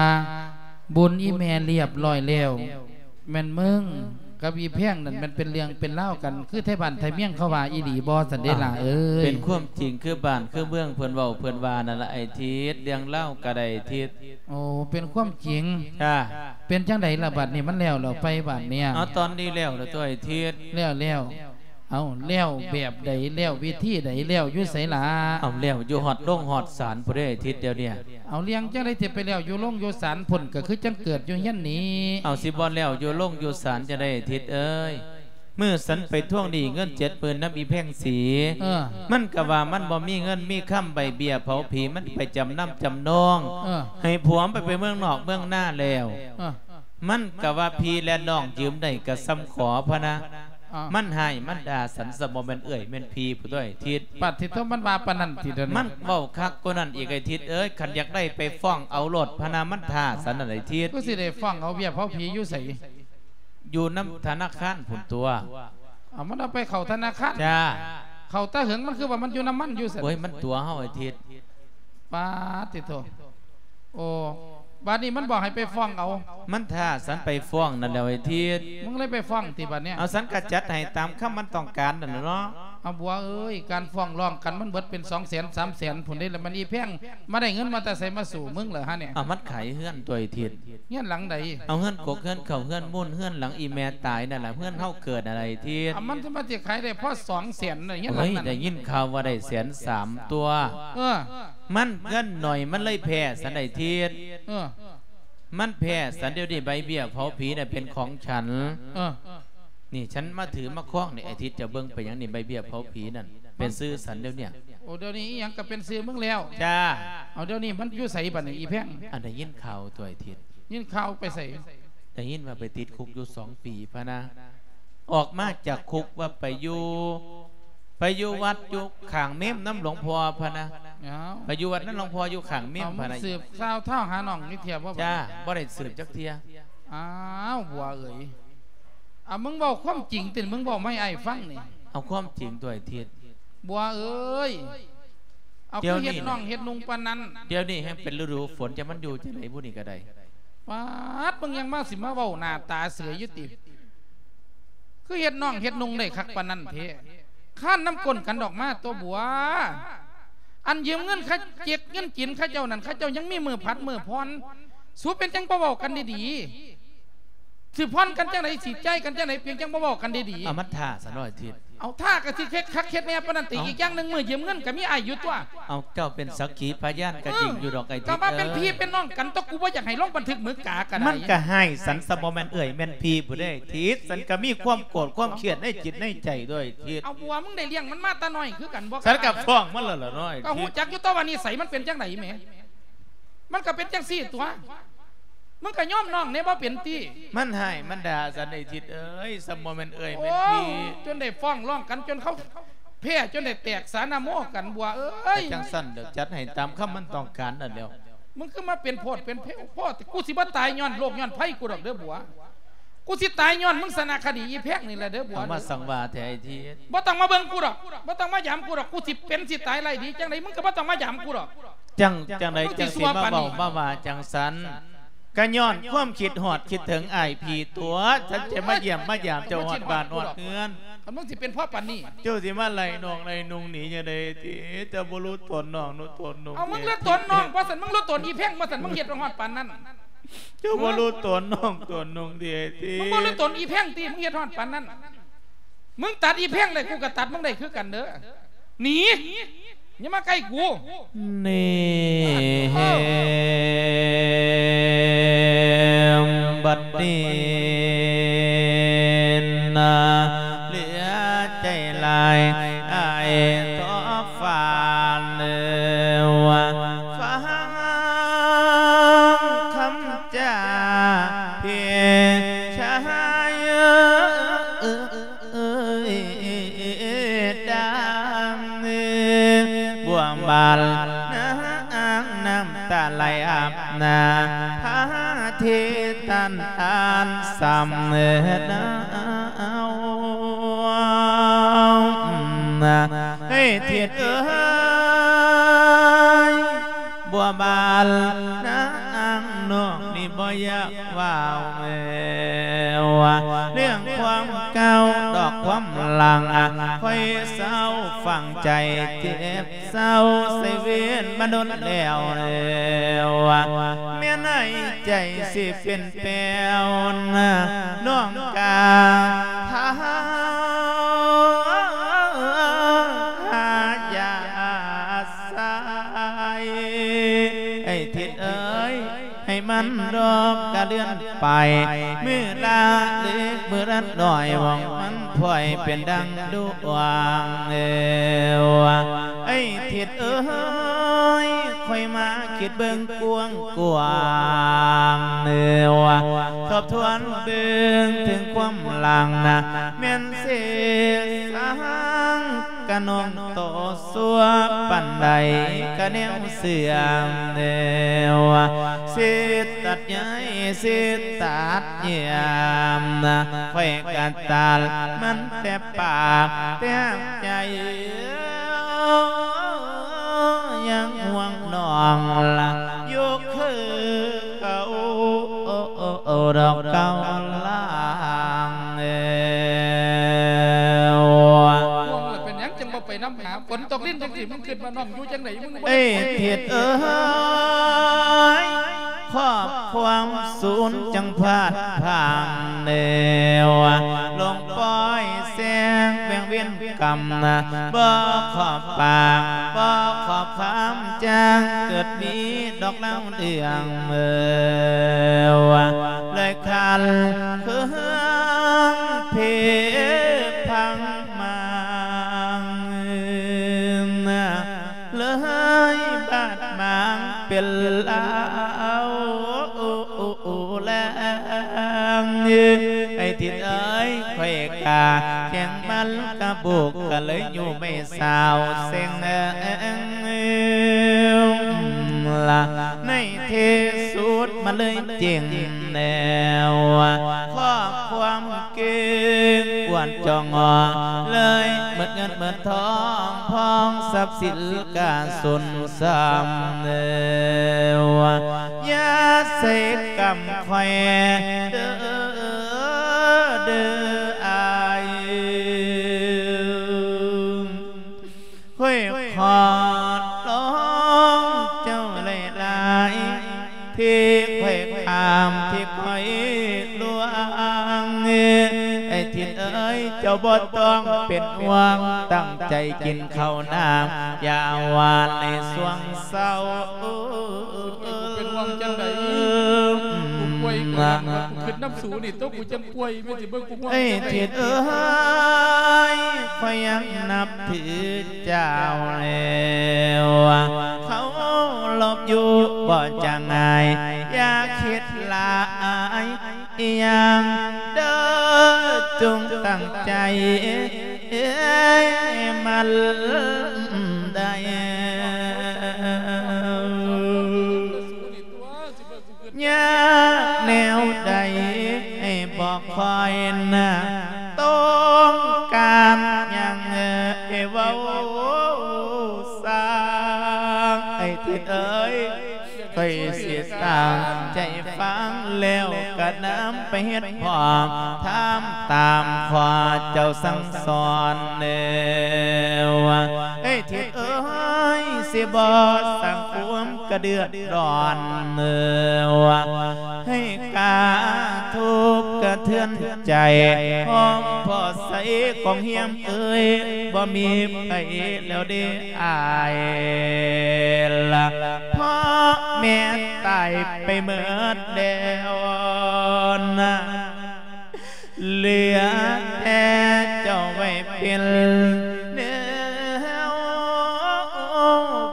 ບຸນອີ່ແມ່ລຽບລ້ອຍແລ້ວ ແມ່ນມຶງກັບອີ່ແພງນັ້ນແມ່ນເປັນເລື່ອງເປັນລາວກັນ ຄືໄທບ້ານໄທເມືອງເຂົາວ່າອີ່ຫຼີບໍ່ ຊັ້ນເດ້ຫຼ້າເອີຍ? ເປັນຄວາມຈິງ ຄືບ້ານຄືເມືອງເພິ່ນເວົ້າເພິ່ນວ່ານັ້ນລະອ້າຍທິດ ເລື່ອງລາວກະໄດ້ທິດ. ໂອ້ ເປັນຄວາມຈິງ. ຈ້າ ເປັນຈັ່ງໃດລະບາດນີ້ ມັນແລ້ວແລ້ວໄປບາດນີ້? ເອົາ ຕອນນີ້ແລ້ວແລ້ວຕົວະອ້າຍທິດ. ແລ້ວແລ້ວ ເອົາ ແລ້ວແບບໃດ ແລ້ວວິທີໃດ ແລ້ວຢູ່ໃສລະ? ເອົາ ແລ້ວຢູ່ຮອດໂລງຮອດສານພຸ້ນເດ້ອ້າຍທິດດຽວນີ້. ເອົາ ເລື່ອງຈັ່ງໃດຊິໄປແລ້ວຢູ່ໂລງຢູ່ສານພຸ້ນ ກະຄືຈັ່ງເກີດຢູ່ເຮືອນນີ້. ເອົາ ຊິບໍ່ແລ້ວຢູ່ໂລງຢູ່ສານຈັ່ງໃດອ້າຍທິດເອີຍ? ມື້ສັນໄປທວງໜີ້ເງິນເຈັດໝື່ນນຳອີ່ແພງສີ ເອີ ມັນກະວ່າມັນບໍ່ມີເງິນມີຄຳໃບເບ້ຍເຜົາຜີ ມັນໄປຈຳນຳຈຳນອງ ເອີ ໃຫ້ຜົວມັນໄປ ໄປເມືອງນອກເມືອງນາແລ້ວ ເອີ ມັນກະວ່າພີ່ແລະນ້ອງຢືມໄດ້ກະສ່ຳຂໍພະນະ. ອ້າວ ມັນຮ້າຍມັນດ່າສັນ ສະບໍ່ແມ່ນເອື້ອຍແມ່ນພີ່ພຸ້ນຕົວະອ້າຍທິດ. ປາດທິໂທ ມັນວ່າປານນັ້ນຕິດຽວນີ້? ມັນເວົ້າຄັກກວ່ານັ້ນອີກອ້າຍທິດເອີຍ ຄັນຢາກໄດ້ໄປຟ້ອງເອົາໂລດພະນະ ມັນທ້າສັນນັ້ນອ້າຍທິດ. ຄືຊິໄດ້ຟ້ອງເອົາເບ້ຍເຜົາຜີຢູ່ໃສ? ຢູ່ນຳທະນາຄານພຸ້ນຕົວະ. ເອົາ ມັນເອົາໄປເຂົ້າທະນາຄານ? ຈ້າ ເຂົ້າຕາເຫິງ ມັນຄືວ່າມັນຢູ່ນຳມັນຢູ່ຊັ້ນ. ໂອ້ຍ ມັນຕົວະເຮົາອ້າຍທິດ. ປາດຕິໂທ ໂອ້ ບາດນີ້ມັນບອກໃຫ້ໄປຟ້ອງເອົາ. ມັນທ້າສັນໄປຟ້ອງນັ້ນແຫຼ້ວອ້າຍທິດ. ມຶງເລີຍໄປຟ້ອງຕິບາດນີ້? ເອົາ ສັນກະຈັດໃຫ້ຕາມຄຳມັນຕ້ອງການນັ້ນແຫຼະເນາະ. ເອົາ ບົວເອີຍ ການຟ້ອງຮ້ອງກັນມັນເບິດເປັນສອງແສນສາມແສນພຸ້ນເດ້ ລະມັນອີ່ແພງມາໄດ້ເງິນມາແຕ່ໃສມາສູ້ມຶງລະຫະນີ້? ເອົາ ມັນຂາຍເຮືອນຕົວະອ້າຍທິດ. ເຮືອນຫຼັງໃດ? ເອົາ ເຮືອນກົກເຮືອນເຂົ້າເຮືອນມູນ ເຮືອນຫຼັງອີ່ແມ່ຕາຍນັ້ນລະ ເຮືອນເຮົາເກີດຫັ້ນລະອ້າຍທິດ. ເອົາ ມັນຈະມາຊິຂາຍໄດ້ພໍສອງແສນເນາະ ເຮືອນຫຼັງນັ້ນ. ໂອ້ຍ ໄດ້ຍິນຂ່າວວ່າໄດ້ແສນສາມຕົວະ. ເອີ ມັນເງິນໜ້ອຍ ມັນເລີຍແພ້ສັນອ້າຍທິດ. ເອີ ມັນແພ້ສັນ ດຽວນີ້ໃບເບ້ຍເຜົາຜີນະເປັນຂອງສັນ. ເອີ ນີ້ ສັນມາຖືມາຄອງນີ້ ອ້າຍທິດຈະເບິ່ງໄປຫຍັງນີ້ ໃບເບ້ຍເຜົາຜີນັ້ນເປັນຊື່ສັນດຽວນີ້. ໂອ້ ດຽວນີ້ອີ່ຫຍັງກະເປັນຊື່ມຶງແລ້ວ? ຈ້າ. ເອົາ ດຽວນີ້ມັນຢູ່ໃສບາດນີ້ອີ່ແພງ? ອັນໄດ້ຍິນຂ່າວຕົວະອ້າຍທິດ. ຍິນຂ່າວໄປໃສ? ໄດ້ຍິນວ່າໄປຕິດຄຸກຢູ່ສອງປີພະນະ. ອອກມາຈາກຄຸກວ່າໄປຢູ່ ໄປຢູ່ວັດຢູ່ຂ້າງເມມນຳຫຼວງພໍ່ພະນະ. ອ້າວ ໄປຢູ່ວັດນຳຫຼວງພໍ່ຢູ່ຂ້າງເມມ ອ້າວ ພະນະ. ມຶງສືບຂ່າວທ້າວຫານ້ອງນີ້ເທື່ອບໍ່? ຈ້າ ບໍ່ໄດ້ສືບຈັກເທື່ອ. ອ້າວ ບົວເອີຍ ອາ ມຶງເວົ້າຄວາມຈິງຕິ ມຶງເວົ້າມາໃຫ້ອ້າຍຟັງນີ້. ເອົາຄວາມຈິງຕົວະ ໄອ້ທິດ. ບົວເອີຍ ເອົາ ດຽວນີ້ ຄືເຮັດນ້ອງເຮັດນຸ່ງປານນັ້ນ. ດຽວນີ້ແຮ່ງເປັນລະດູຝົນ ຈະມັນຢູ່ຈັ່ງໃດບຸນີ້ກໍໄດ້. ປາດ ມຶງຍັງມາ ຊິມາເວົ້າໜ້າຕາເສຍຢູ່ຕິ? ຄືເຮັດນ້ອງເຮັດນຸ່ງໄດ້ຄັກປານນັ້ນແທ້? ຄານນຳກົ້ນກັນອອກມາຕົວະບົວ. ອັນຢືມເງິນເຂົາ ເຈັກເງິນຈີນເຂົາເຈົ້ານັ້ນ ເຂົາເຈົ້າຍັງມີມື້ຜັດມື້ຜ່ອນ. ສູເປັນຫຍັງບໍ່ເວົ້າກັນດີໆ? ຊິຜ່ອນກັນຈັ່ງໃດ ຊິຈ່າຍກັນຈັ່ງໃດ ເປັນຫຍັງບໍ່ເວົ້າກັນດີໆ? ເອົາ ມັນທ້າຊະໜ້ອຍທິດ. ເອົາ ທ້າກໍຊິເຮັດຄັກເຮັດແນ່ປານນັ້ນຕິ? ເອົ້າ ອີກຢ່າງໜຶ່ງ ມື້ຢືມເງິນກໍມີອ້າຍຢູ່ຕົວະ. ເອົາ ເຈົ້າເປັນສັກຂີພະຍານກໍຈິງຢູ່ດອກ ເອີ ໄອ້ທິດ. ກໍວ່າເປັນພີ່ເປັນນ້ອງກັນຕົວະ ກູບໍ່ຢາກໃຫ້ລົງບັນທຶກມື້ກາກໍໄດ້. ມັນກໍຮ້າຍສັນຊະ ບໍ່ແມ່ນເອື້ອຍແມ່ນພີ່ຜູ້ໃດ ທິດ. ສັນກໍມີຄວາມໂກດຄວາມຄຽດໃນຈິດໃນໃຈດ້ວຍ ທິດ. ເອົາ ບົວ ມຶງໄດ້ລ້ຽງມັນມາແຕ່ນ້ອຍຄືກັນບໍ່? ສັນກໍຟ້ອງມັນແລ້ວລະເນາະ ກໍຮູ້ຈັກຢູ່ຕົວະວ່ານິໄສມັນເປັນຈັ່ງໃດແໝ. ມັນກໍເປັນຈັ່ງຊີ້ຕົວະ. ມຶງກໍຍອມນ້ອງແດ່ບໍ່ເປັນຕິ? ມັນຮ້າຍມັນດ່າສັນ ໄອ້ທິດເອີຍ ຊະບໍ່ແມ່ນເອື້ອຍແມ່ນພີ່. ໂອ້ ຈົນໄດ້ຟ້ອງຮ້ອງກັນ ຈົນເຂົາແພ້ ຈົນໄດ້ແຕກສານະໂມກັນ ບົວເອີຍ. ຈັ່ງຊັ້ນເດີ ຈັດໃຫ້ຕາມຄຳມັນຕ້ອງການນັ້ນແຫຼ້ວ. ມຶງຄືມາເປັນໂພດເປັນເພວໂພດ ກູຊິບໍ່ຕາຍຍ້ອນໂລກຍ້ອນໄພກູດອກເດີບົວ. ກູຊິຕາຍຍ້ອນມຶງສານະຄະດີອີແພງນີ້ແຫຼະເດີບົວ. ເອົາມາສັງວາແທ້ ໄອ້ທິດ. ບໍ່ຕ້ອງມາເບິ່ງກູດອກ ບໍ່ຕ້ອງມາຢາມກູດອກ. ກູຊິເປັນຊິຕາຍໄລ່ດີຈັ່ງໃດ ມຶງກໍບໍ່ຕ້ອງມາຢາມກູດອກ. ຈັ່ງ ຈັ່ງໃດຈັ່ງຊິມາເວົ້າມາວ່າຈັ່ງຊັ້ນ? ກໍຍ້ອນຄວາມຄິດຮອດຄິດເຖິງອ້າຍພີ່ຕົວະ ສັນຈະມາຢ້ຽມມາຢາມເຈົ້າຮອດບ້ານຮອດເຮືອນ. ຄັນມຶງຊິເປັນພໍປານນີ້ ເຈົ້າຊິມາໄລ່ນ້ອງໄລ່ນຸ່ງໜີຈັ່ງໃດຕິ? ເຈົ້າບໍ່ຮູ້ຕົນນ້ອງຮູ້ຕົນນຸ່ງ. ເອົາ ມຶງຮູ້ຕົນນ້ອງບໍ່ຊັ້ນ? ມຶງຮູ້ຕົນອີແພງບໍ່ຊັ້ນ? ມຶງເຮັດຮອດປານນັ້ນ ເຈົ້າບໍ່ຮູ້ຕົນນ້ອງຕົນນຸ່ງຕິ? ມຶງບໍ່ຮູ້ຕົນອີແພງຕິ? ມຶງເຮັດຮອດປານນັ້ນ. ມຶງຕັດອີແພງໄດ້ ກູກໍຕັດມຶງໄດ້ຄືກັນເດີ. ໜີ ຢ່າມາໃກ້ກູ. ນີ້ ເອີ ເຫັນບັດນີ້ນະ ເຫຼືອໃຈຫຼາຍ ອ້າຍຂໍຝາກເດີວ່າ ຟັງຄຳຈາພີ່ຊາຍເອີຍ. ເອີຍ ດາງເອີຍ ບົວບານນາງນ້ຳຕາໄຫຼອາບໜ້າ ພາທີ່ທ່ານອ່ານຊ້ຳເອີຍນາວ ເອີຍ ທິດເອີຍ. ບົວບານນາງນ້ອງນີ້ບໍ່ຢາກເວົ້າແລ້ວ ເລື່ອງຄວາມເກົ່າດອກຄວາມຫຼັງ ຂ້ອຍເສົ້າຝັງໃຈເຈັບເສົ້າໃສ່ເວນມາດົນແລ້ວ ແມ່ນໃນໃຈຊິເປັນແປ້ວ ນ້ອງກາ ຢ່າສາຍ ໄອ້ທິດເອີຍ ໃຫ້ມັນດອກກະເລື່ອນໄປ ມື້ລະເລັກມື້ລະນ້ອຍ ຫວັງມັນພອຍເປັນດັ່ງດວງເອີຍ ໄອ້ທິດເອີຍ ຂ້ອຍມາຄິດເບິ່ງກວ້າງໆ ເອີຍ ທບທວນເບິ່ງເຖິງຄວາມຫຼັງນະ ແມ່ນເສດສັງກະນ້ອງໂຕຊົ່ວປານໃດກະແນວເສື່ອມ ເອີຍ ຊິຕັດໃຍຊິຕັດເຫື່ອມ ຂ້ອຍກະຕັດມັນແຕ່ປາກແຕ່ໃຈ ຍັງຫ່ວງນ້ອງລະຢູ່ຄືເກົ່າ ດອກເກົ່າລາງ ເອີ ເປັນຫຍັງຈັ່ງບໍ່ໄປນຳຫາ? ຝົນຕົກລິນຕົກສີ ມຶງຄິດວ່ານ້ອງຢູ່ຈັ່ງໃດ? ມຶງບໍ່ ເອີຍ ທິດເອີຍ ຄອບຄວາມສູນຈັ່ງພາດພາງແນວ ລົງປ່ອຍແສງແຫວ່ງເວນກຳນະ ບໍ່ຂອບປາກ ບໍ່ຂອບຄຳ ຈັ່ງເກີດມີດອກລາວເລື່ອງ ເອີ ເລີຍຄັນເຄືອງເພພັງມາງ ເລີຍບາດໝາງເປັນລາວ ອ້າຍທິດເອີຍ ຂ້ອຍກະແຂງມັນກະບຸກ ກະເລີຍຢູ່ໄມ່ສາວເສັງ ລະໃນທີ່ສຸດມາເລີຍເຈັງແນວ ຄອບຄວາມເກັ່ງອວນຈ່ອງ ເລີຍໝົດເງິນໝົດທອງ ພອງຊັບສິນກະສູນ ຊ້ຳແລ້ວ ຢ່າໃສ່ກຳຂ້ອຍເດີ ເດີອ້າຍ ຂ້ອຍຂໍຮ້ອງເຈົ້າຫຼາຍໆ ທີ່ຂ້ອຍຂ້າມ ທີ່ຂ້ອຍລ່ວງ ໄອ້ທິດເອີຍ ເຈົ້າບໍ່ຕ້ອງເປັນຫ່ວງ ຕັ້ງໃຈກິນເຂົ້ານ້ຳ ຢ່າຫວານໃນຊ່ວງ ເຊົາ ເປັນຫວັງຈັ່ງໃດ? ກູປ່ວຍກວ່າ ກູຄິດນຳສູນີ້ຕົວະ ກູຈັ່ງປ່ວຍ ແມ່ນຊິເບິ່ງກູຫ່ວງ ເອີຍ ຈັ່ງໃດ ທິດເອີຍ ຂ້ອຍຍັງນັບຖືເຈົ້າແລ້ວ ເຄົາລົບຢູ່ບໍ່ຈະງ່າຍ ຢ່າຄິດຫຼາຍ ອີ່ຫຍັງເດີ ຈົ່ງຕັ້ງໃຈໝັ້ນໄດ້ ຍາກແນວໃດ ໃຫ້ບອກຂ້ອຍນະ ຕ້ອງການຫຍັງ ເອີ ເວົ້າຊ່າງ ໄອ້ທິດເອີຍ ຂ້ອຍຊິຕັ້ງໃຈຟັງ ແລ້ວກະນຳໄປເຮັດພ້ອມ ທຳຕາມຂໍ້ເຈົ້າສັ່ງສອນແລ້ວ ເອີຍ ທິດເອີຍ ຊິບໍ່ສ້າງຄວາມກະເດືອດຮ້ອນ ເອີ ໃຫ້ກະທົບກະເທືອນໃຈ ຂອງພໍ່ໃສຂອງຮຽມເອີຍ ບໍ່ມີໃຜແລ້ວເດ້ ອາຍລະ ພໍ່ແມ່ຕາຍໄປເໝິດແລ້ວນະ ເຫຼືອແຕ່ເຈົ້າໄວ້ເປັນແນວ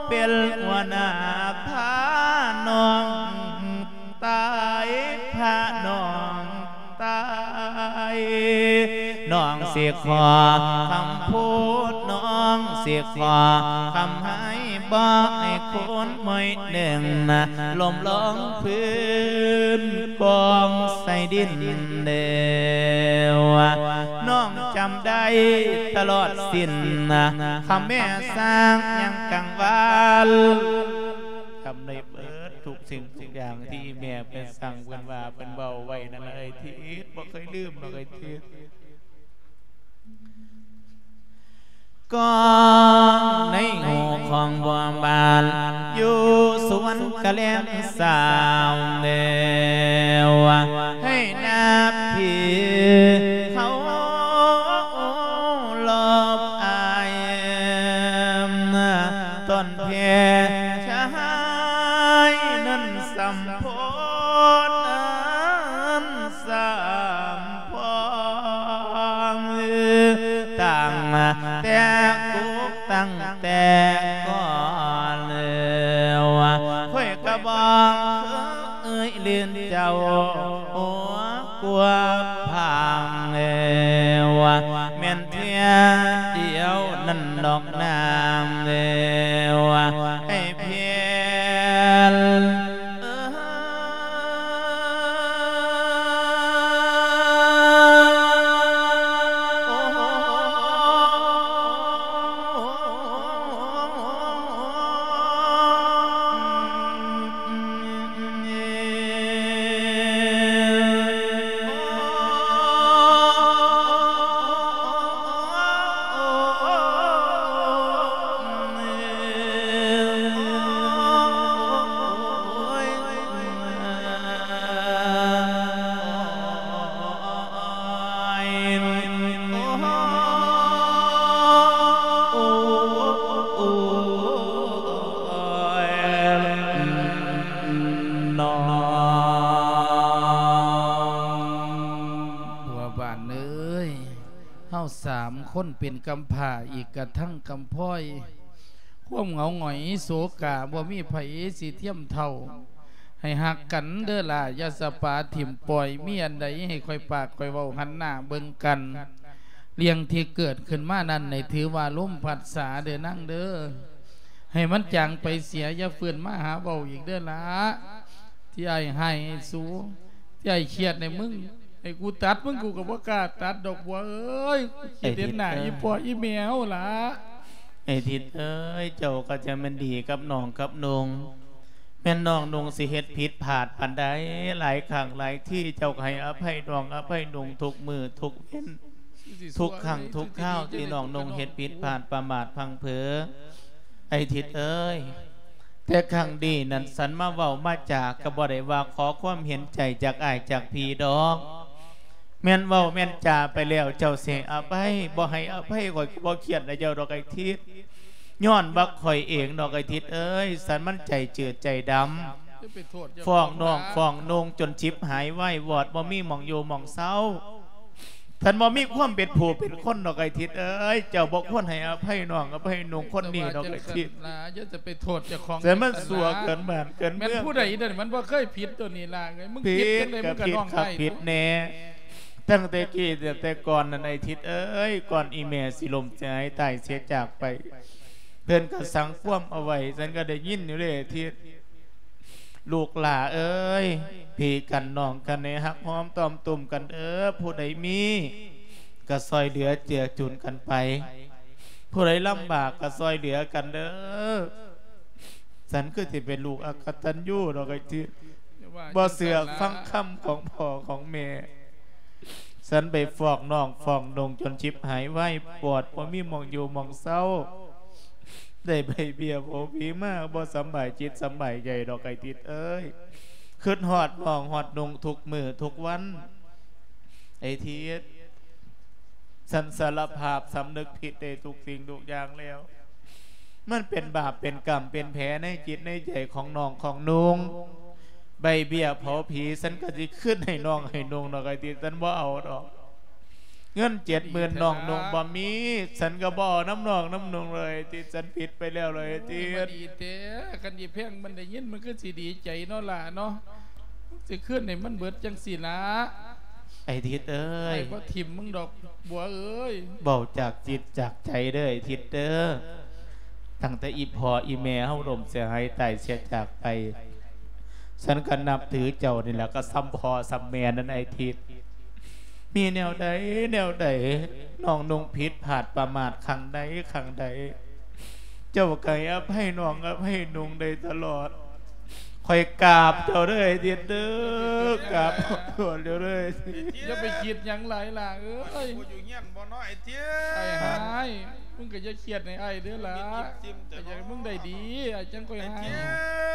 ເປັນຫົວໜ້າພານ້ອງ ຕາຍ ພານ້ອງຕາຍ ນ້ອງຊິຂໍຄຳພູດ ນ້ອງຊິຂໍຄຳໃຫ້ ບໍ່ໃຫ້ຄົນມວຍໜຶ່ງນະ ລົ້ມລົງພື້ນກອງໃສ່ດິນແລ້ວ ນ້ອງຈຳໄດ້ຕະຫຼອດສິ້ນນະ ຄຳແມ່ສ້າງຍັງກັງວານ ຈຳໄດ້ເບີດທຸກສິ່ງທຸກຢ່າງທີ່ແມ່ເພິ່ນສັ່ງ ເພິ່ນວ່າ ເພິ່ນເວົ້າໄວ້ນັ້ນລະ ເອີຍທິດ ບໍ່ເຄີຍລືມດອກ ເອີຍທິດ ກ້ອງໃນຫູຂອງບົວບານ ຢູ່ສວນກະແລມສາວແລ້ວ ໃຫ້ນາພີເຂົາລອບອາຍ ຕົ້ນ ແພຊະຫາຍນັ້ນສຳພອນ ສຳພອນ ຕັ້ງແຕ່ກຸກ ຕັ້ງແຕ່ກ່ອນແລ້ວ ຂ້ອຍກະບອກເຄີຍລືນເຈົ້າ ຫົວກວ່າພັງແລ້ວ ແມ່ນ ເທື່ອດຽວນັ້ນດອກນາງແລ້ວ ໃຫ້ພຽນ ເອີ. ຜົວບ້ານເອີຍ ເຮົາສາມຄົນເປັນກຳພ້າ ອີກກະທັງກຳພ້ອຍ ຄວາມເຫງົາຫງອຍໂສກາ ບໍ່ມີໃຜຊິທຽມເທົ່າ ໃຫ້ຮັກກັນເດີ້ຫຼ້າ ຢ່າສະປາຖິ້ມປ່ອຍ ມີອັນໃດໃຫ້ຂ້ອຍປາກຂ້ອຍເວົ້າ ຫັນໜ້າເບິ່ງກັນ. ເລື່ອງທີ່ເກີດຂຶ້ນມານັ້ນໃຫ້ຖືວ່າລົມພັດສາເດີ້ນາງເດີ້ ໃຫ້ມັນຈາງໄປເສຍ ຢ່າຟື້ນມາຫາເວົ້າອີກເດີ້ຫຼ້າ. ທີ່ອ້າຍຮ້າຍໃຫ້ສູ ທີ່ອ້າຍຄຽດໃຫ້ມຶງ ໃຫ້ກູຕັດມຶງ ກູກໍບໍ່ກ້າຕັດດອກບົວເອີຍ. ກູຄິດເຫັນໜ້າອີ່ພໍ່ອີ່ແມ່ເຮົາຫຼ້າ. ໄອ້ທິດເອີຍ ເຈົ້າກໍຈະແມ່ນດີກັບນ້ອງກັບນຸ່ງ ແມ່ນນ້ອງນຸ່ງຊິເຮັດຜິດພາດປານໃດ ຫຼາຍຄັ້ງຫຼາຍທີ ເຈົ້າກໍໃຫ້ອະໄພນ້ອງອະໄພນຸ່ງທຸກມື້ທຸກເວັນ ທຸກຄັ້ງທຸກຄາວທີ່ນ້ອງນຸ່ງເຮັດຜິດພາດປະໝາດພັງເຜີ. ໄອ້ທິດເອີຍ ແຕ່ຄັ້ງນີ້ນັ້ນ ສັນມາເວົ້າມາຈາກໍບໍ່ໄດ້ວ່າຂໍຄວາມເຫັນໃຈຈາກອ້າຍຈາກພີ່ດອກ. ແມ່ນເວົ້າແມ່ນຈາໄປແລ້ວ ເຈົ້າຊິໃຫ້ອະໄພ ບໍ່ໃຫ້ອະໄພຂ້ອຍກໍບໍ່ຄຽດນຳເຈົ້າດອກໄອ້ທິດ ຍ້ອນວ່າຂ້ອຍເອງດອກໄອ້ທິດເອີຍ ສັນມັນໃຈຈືດໃຈດຳ ຟ້ອງນ້ອງຟ້ອງນຸ່ງຈົນຊິບຫາຍວາຍວອດ ບໍ່ມີໝ່ອງຢູ່ໝ່ອງເຊົາ. ສັນບໍ່ມີຄວາມເປັນຜູ້ເປັນຄົນດອກໄອ້ທິດເອີຍ ເຈົ້າບໍ່ຄວນໃຫ້ອະໄພນ້ອງອະໄພນຸ່ງຄົນນີ້ດອກໄອ້ທິດ. ຢ່າຈະໄປໂທດເຈົ້າຂອງ ແຕ່ມັນຊົ່ວເກີນບ້ານເກີນເມືອງ ແມ່ນຜູ້ໃດເດີ ມັນບໍ່ເຄີຍຜິດຕົວນີ້ລະ ມຶງຜິດຈັ່ງໃດ ຜິດກໍຜິດຄັກຜິດແນ່ ຕັ້ງແຕ່ກີ້ແຕ່ກ່ອນນັ້ນໄອ້ທິດເອີຍ ກ່ອນອີ່ແມ່ຊິລົ້ມເສຍຫາຍຕາຍເສຍຈາກໄປ ເພິ່ນກໍສັ່ງຄວາມເອົາໄວ້ ສັນກໍໄດ້ຍິນຢູ່ເດ້ທິດ. ລູກຫຼ້າເອີຍ ພີ່ກັນນ້ອງກັນໃຫ້ຮັກຫອມຕ້ອມຕຸ້ມກັນເດີ້ ຜູ້ໃດມີກໍຊ່ອຍເຫຼືອເຈືອຈຸນກັນໄປ ຜູ້ໃດລຳບາກກໍຊ່ອຍເຫຼືອກັນເດີ້. ສັນຄືຊິເປັນລູກອະກະຕັນຍູດອກໄອ້ທິດ ບໍ່ເຊື່ອຟັງຄຳຂອງພໍ່ຂອງແມ່. ສັນໄປຟ້ອງນ້ອງຟ້ອງນຸ່ງຈົນຊິບຫາຍວາຍວອດ ບໍ່ມີໝ່ອງຢູ່ໝ່ອງເຊົາ ໄດ້ໃບເບ້ຍໂຜຜີມາ ບໍ່ສຳບາຍຈິດສຳບາຍໃຈດອກໄອ້ທິດເອີຍ ຄຶດຮອດນ້ອງຮອດນຸ່ງທຸກມື້ທຸກວັນ. ໄອ້ທິດ ສັນສາລະພາບສຳນຶກຜິດໃນທຸກສິ່ງທຸກຢ່າງແລ້ວ ມັນເປັນບາບເປັນກຳເປັນແຜໃນຈິດໃນໃຈຂອງນ້ອງຂອງນຸ່ງ. ໃບເບ້ຍເຜົາຜີ ສັນກໍຊິຄືນໃຫ້ນ້ອງໃຫ້ນຸ່ງດອກໄອ້ທິດ ສັນບໍ່ເອົາດອກ ເງິນເຈັດໝື່ນນ້ອງນຸ່ງບໍ່ມີ ສັນກໍບໍ່ເອົານຳນ້ອງນຳນຸ່ງເລີຍ ທີ່ສັນຜິດໄປແລ້ວເລີຍ ທີ່ ດີແທ້. ຄັນອີ່ແພງມັນໄດ້ຍິນ ມັນຄືຊິດີໃຈເນາະຫຼ້າເນາະ ຊິຄືນໃຫ້ມັນເບິດຈັ່ງຊີ້ລະ ໄອ້ທິດເອີຍ ໄອ້ບໍ່ຖິ້ມມຶງດອກບົວເອີຍ. ເວົ້າຈາກຈິດຈາກໃຈເດີ້ໄອ້ທິດເດີ້ ຕັ້ງແຕ່ອີ່ພໍ່ອີ່ແມ່ເຮົາລົ້ມເສຍຫາຍຕາຍເສຍຈາກໄປ ສັນກໍນັບຖືເຈົ້ານີ້ແຫຼະ ກໍສ່ຳພໍ່ສ່ຳແມ່ນັ້ນໄອ້ທິດ. ມີແນວໃດແນວໃດ ນ້ອງນຸ່ງຜິດພາດປະໝາດຄັ້ງໃດຄັ້ງໃດ ເຈົ້າກໍໃຫ້ອະໄພນ້ອງອະໄພນຸ່ງໄດ້ຕະຫຼອດ. ຂ້ອຍກາບເຈົ້າເດີ້ໄອ້ທິດເດີ້ ກາບຂໍໂທດເຈົ້າເດີ້. ຢ່າໄປຄິດຫຍັງຫຼາຍຫຼ້າເອີຍ ບໍ່ຢູ່ເຮືອນບໍ່ເນາະໄອ້ທິດ. ອ້າຍຮ້າຍ ມຶງກໍຢ່າຄຽດໃຫ້ອ້າຍເດີ້ຫຼ້າ ໄອ້ທິດ ຢາກໃຫ້ມຶງໄດ້ດີ ອ້າຍຈັ່ງຄ່ອຍຮ້າຍ.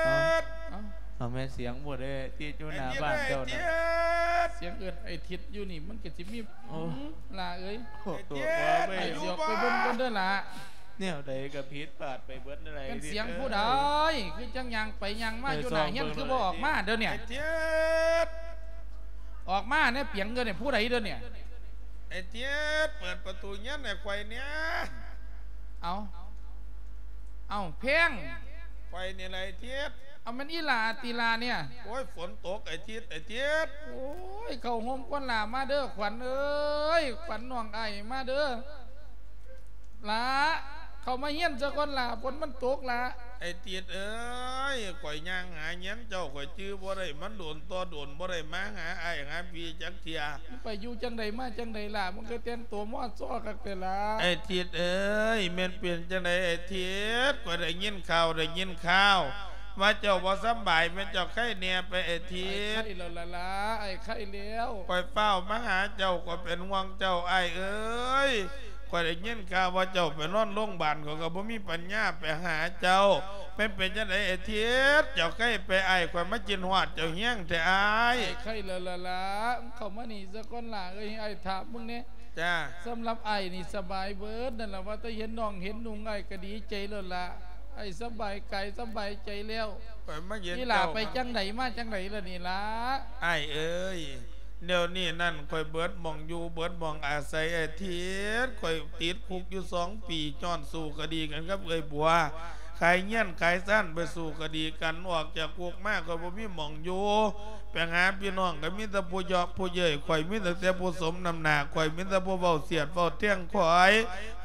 ເອົາ ເອົາແມ່ ສຽງບໍ່ໄດ້ທີ່ຢູ່ໜ້າບ້ານເຈົ້ານະ ສຽງເອີ້ນໄອ້ທິດຢູ່ນີ້ ມັນກໍຊິມີ ໂອ້ ຫຼ້າເອີຍ ໂອ້ ໄອ້ທິດ ໄອ້ຊິອອກໄປເບິ່ງກ່ອນເດີ້ຫຼ້າ. ແນວໃດກໍຜິດພາດໄປເບິດນັ້ນແຫຼະ ແມ່ນສຽງຜູ້ໃດ ຄືຈັ່ງຍ່າງໄປຍ່າງມາຢູ່ໜ້າເຮືອນ ຄືບໍ່ອອກມາເດີນີ້ ໄອ້ທິດ. ອອກມາແດ່ປຽງເດີນີ້ ຜູ້ໃດເດີນີ້ ໄອ້ທິດ ເປີດປະຕູເຮືອນໃຫ້ຂ້ອຍແດ່. ເອົາ ເອົາ ແພງ ຂ້ອຍນີ້ແຫຼະໄອ້ທິດ. ເອົາ ແມ່ນອີ່ຫຼ້າຕິຫຼ້ານີ້? ໂອ້ຍ ຝົນຕົກໄອ້ທິດ ໄອ້ທິດ. ໂອ້ຍ ເຂົ້າໂຮມກ່ອນຫຼ້າ ມາເດີຂວັນເອີຍ ຂວັນນ້ອງອ້າຍ ມາເດີຫຼ້າ ເຂົ້າມາເຮືອນຊະກ່ອນຫຼ້າ ຝົນມັນຕົກຫຼ້າ. ໄອ້ທິດເອີຍ ຂ້ອຍຍ່າງຫາເຮືອນເຈົ້າ ຂ້ອຍຈື່ບໍ່ໄດ້ ມັນໂດນຕໍ່ໂດນ ບໍ່ໄດ້ມາຫາອ້າຍຫາພີ່ຈັກເທື່ອ. ໄປຢູ່ຈັ່ງໃດມາຈັ່ງໃດລະ ມັນຄືແຕ່ງໂຕມໍຊໍຄັກແທ້ລະ. ໄອ້ທິດເອີຍ ແມ່ນເປັນຈັ່ງໃດໄອ້ທິດ? ຂ້ອຍໄດ້ຍິນຂ່າວ ໄດ້ຍິນຂ່າວວ່າເຈົ້າບໍ່ສຳບາຍ ແມ່ນເຈົ້າໄຄແດ່ໄປໄອ້ທິດ? ໄອ້ໄຄແລ້ວລະລະ ໄອ້ໄຄແລ້ວ. ຂ້ອຍຟ້າວມາຫາເຈົ້າ ຂ້ອຍເປັນຫ່ວງເຈົ້າອ້າຍເອີຍ. ຂ້ອຍໄດ້ຍິນຂ່າວວ່າເຈົ້າໄປນອນໂລງບານ ຂ້ອຍກໍບໍ່ມີປັນຍາໄປຫາເຈົ້າ. ແມ່ນເປັນຈັ່ງໃດໄອ້ທິດ? ເຈົ້າໄຄໄປອ້າຍ ຂ້ອຍມາຄິດຮອດເຈົ້າແຮງແທ້ອ້າຍ. ໄອ້ໄຄແລ້ວລະລະ ເຂົ້າມານີ້ຊະກ່ອນຫຼ້າເອີຍ ໃຫ້ອ້າຍຖາມເບິ່ງແດ່. ຈ້າ. ສຳລັບອ້າຍນີ້ສະບາຍເບີດນັ້ນລະ ວ່າແຕ່ເຫັນນ້ອງເຫັນນຸ່ງອ້າຍກໍດີໃຈແລ້ວລະ ອ້າຍສະບາຍກາຍສະບາຍໃຈແລ້ວ. ຂ້ອຍມາເຫັນ ອີ່ຫຼ້າ ເຈົ້າ ໄປຈັ່ງໃດມາຈັ່ງໃດລະນີ້ລະ? ອ້າຍເອີຍ ແນວນີ້ນັ້ນ ຂ້ອຍເບີດໝ່ອງຢູ່ເບີດໝ່ອງອາໄສໄອ້ທິດ ຂ້ອຍຕິດຄຸກຢູ່ສອງປີ ຍ້ອນສູ້ຄະດີກັນກັບເອື້ອຍບົວ. ຂາຍເຮືອນຂາຍຊານໄປສູ້ຄະດີກັນ ອອກຈາກຄຸກມາຂ້ອຍບໍ່ມີໝ່ອງຢູ່ ໄປຫາພີ່ນ້ອງກໍມີແຕ່ຜູ້ເຍາະຜູ້ເຍີ້ຍ ຂ້ອຍມີຕັ້ງແຕ່ຜູ້ສົມນ້ຳໜ້າ ຂ້ອຍມີແຕ່ຜູ້ເວົ້າສຽດເວົ້າແທງຂ້ອຍ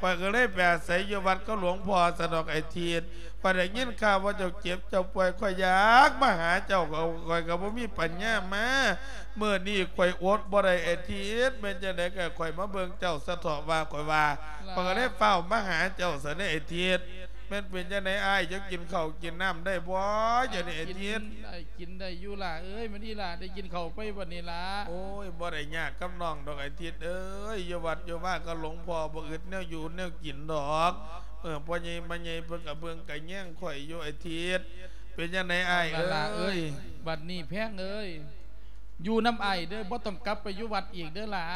ຂ້ອຍກໍເລີຍໄປອາໄສຢູ່ວັດກັບຫຼວງພໍ່ຊະດອກໄອ້ທິດ ຂ້ອຍໄດ້ຍິນຂ່າວວ່າເຈົ້າເຈັບເຈົ້າປ່ວຍ ຂ້ອຍຢາກມາຫາເຈົ້າ ຂ້ອຍກໍບໍ່ມີປັນຍາມາ ມື້ນີ້ຂ້ອຍອົດບໍ່ໄດ້ໄອ້ທິດ ແມ່ນຈັ່ງໃດກໍໃຫ້ຂ້ອຍມາເບິ່ງເຈົ້າສະເທາະວ່າຂ້ອຍວ່າ ຂ້ອຍກໍເລີຍຟ້າວມາຫາເຈົ້າຊະເດ້ໄອ້ທິດ ແມ່ນເປັນຈັ່ງໃດອ້າຍ ເຈົ້າກິນເຂົ້າກິນນ້ຳໄດ້ບໍ່ ດຽວນີ້ໄອ້ທິດ? ກິນໄດ້ ກິນໄດ້ຢູ່ຫຼ້າເອີຍ ແມ່ນອີ່ຫຼ້າໄດ້ກິນເຂົ້າໄປບັດນີ້ຫຼ້າ? ໂອ້ຍ ບໍ່ໄດ້ຍາກກັບນ້ອງດອກໄອ້ທິດເອີຍ ຢູ່ວັດຢູ່ວາກັບຫຼວງພໍ່ ບໍ່ອຶດແນວຢູ່ແນວກິນດອກ ເອີ ພໍ່ໃຫຍ່ແມ່ໃຫຍ່ເພິ່ນກໍເບິ່ງກໍແຍງຂ້ອຍຢູ່ໄອ້ທິດ ເປັນຈັ່ງໃດອ້າຍເອີຍ? ບັດນີ້ແພງເອີຍ ຢູ່ນຳອ້າຍເດີ ບໍ່ຕ້ອງກັບໄປຢູ່ວັດອີກເດີຫຼ້າ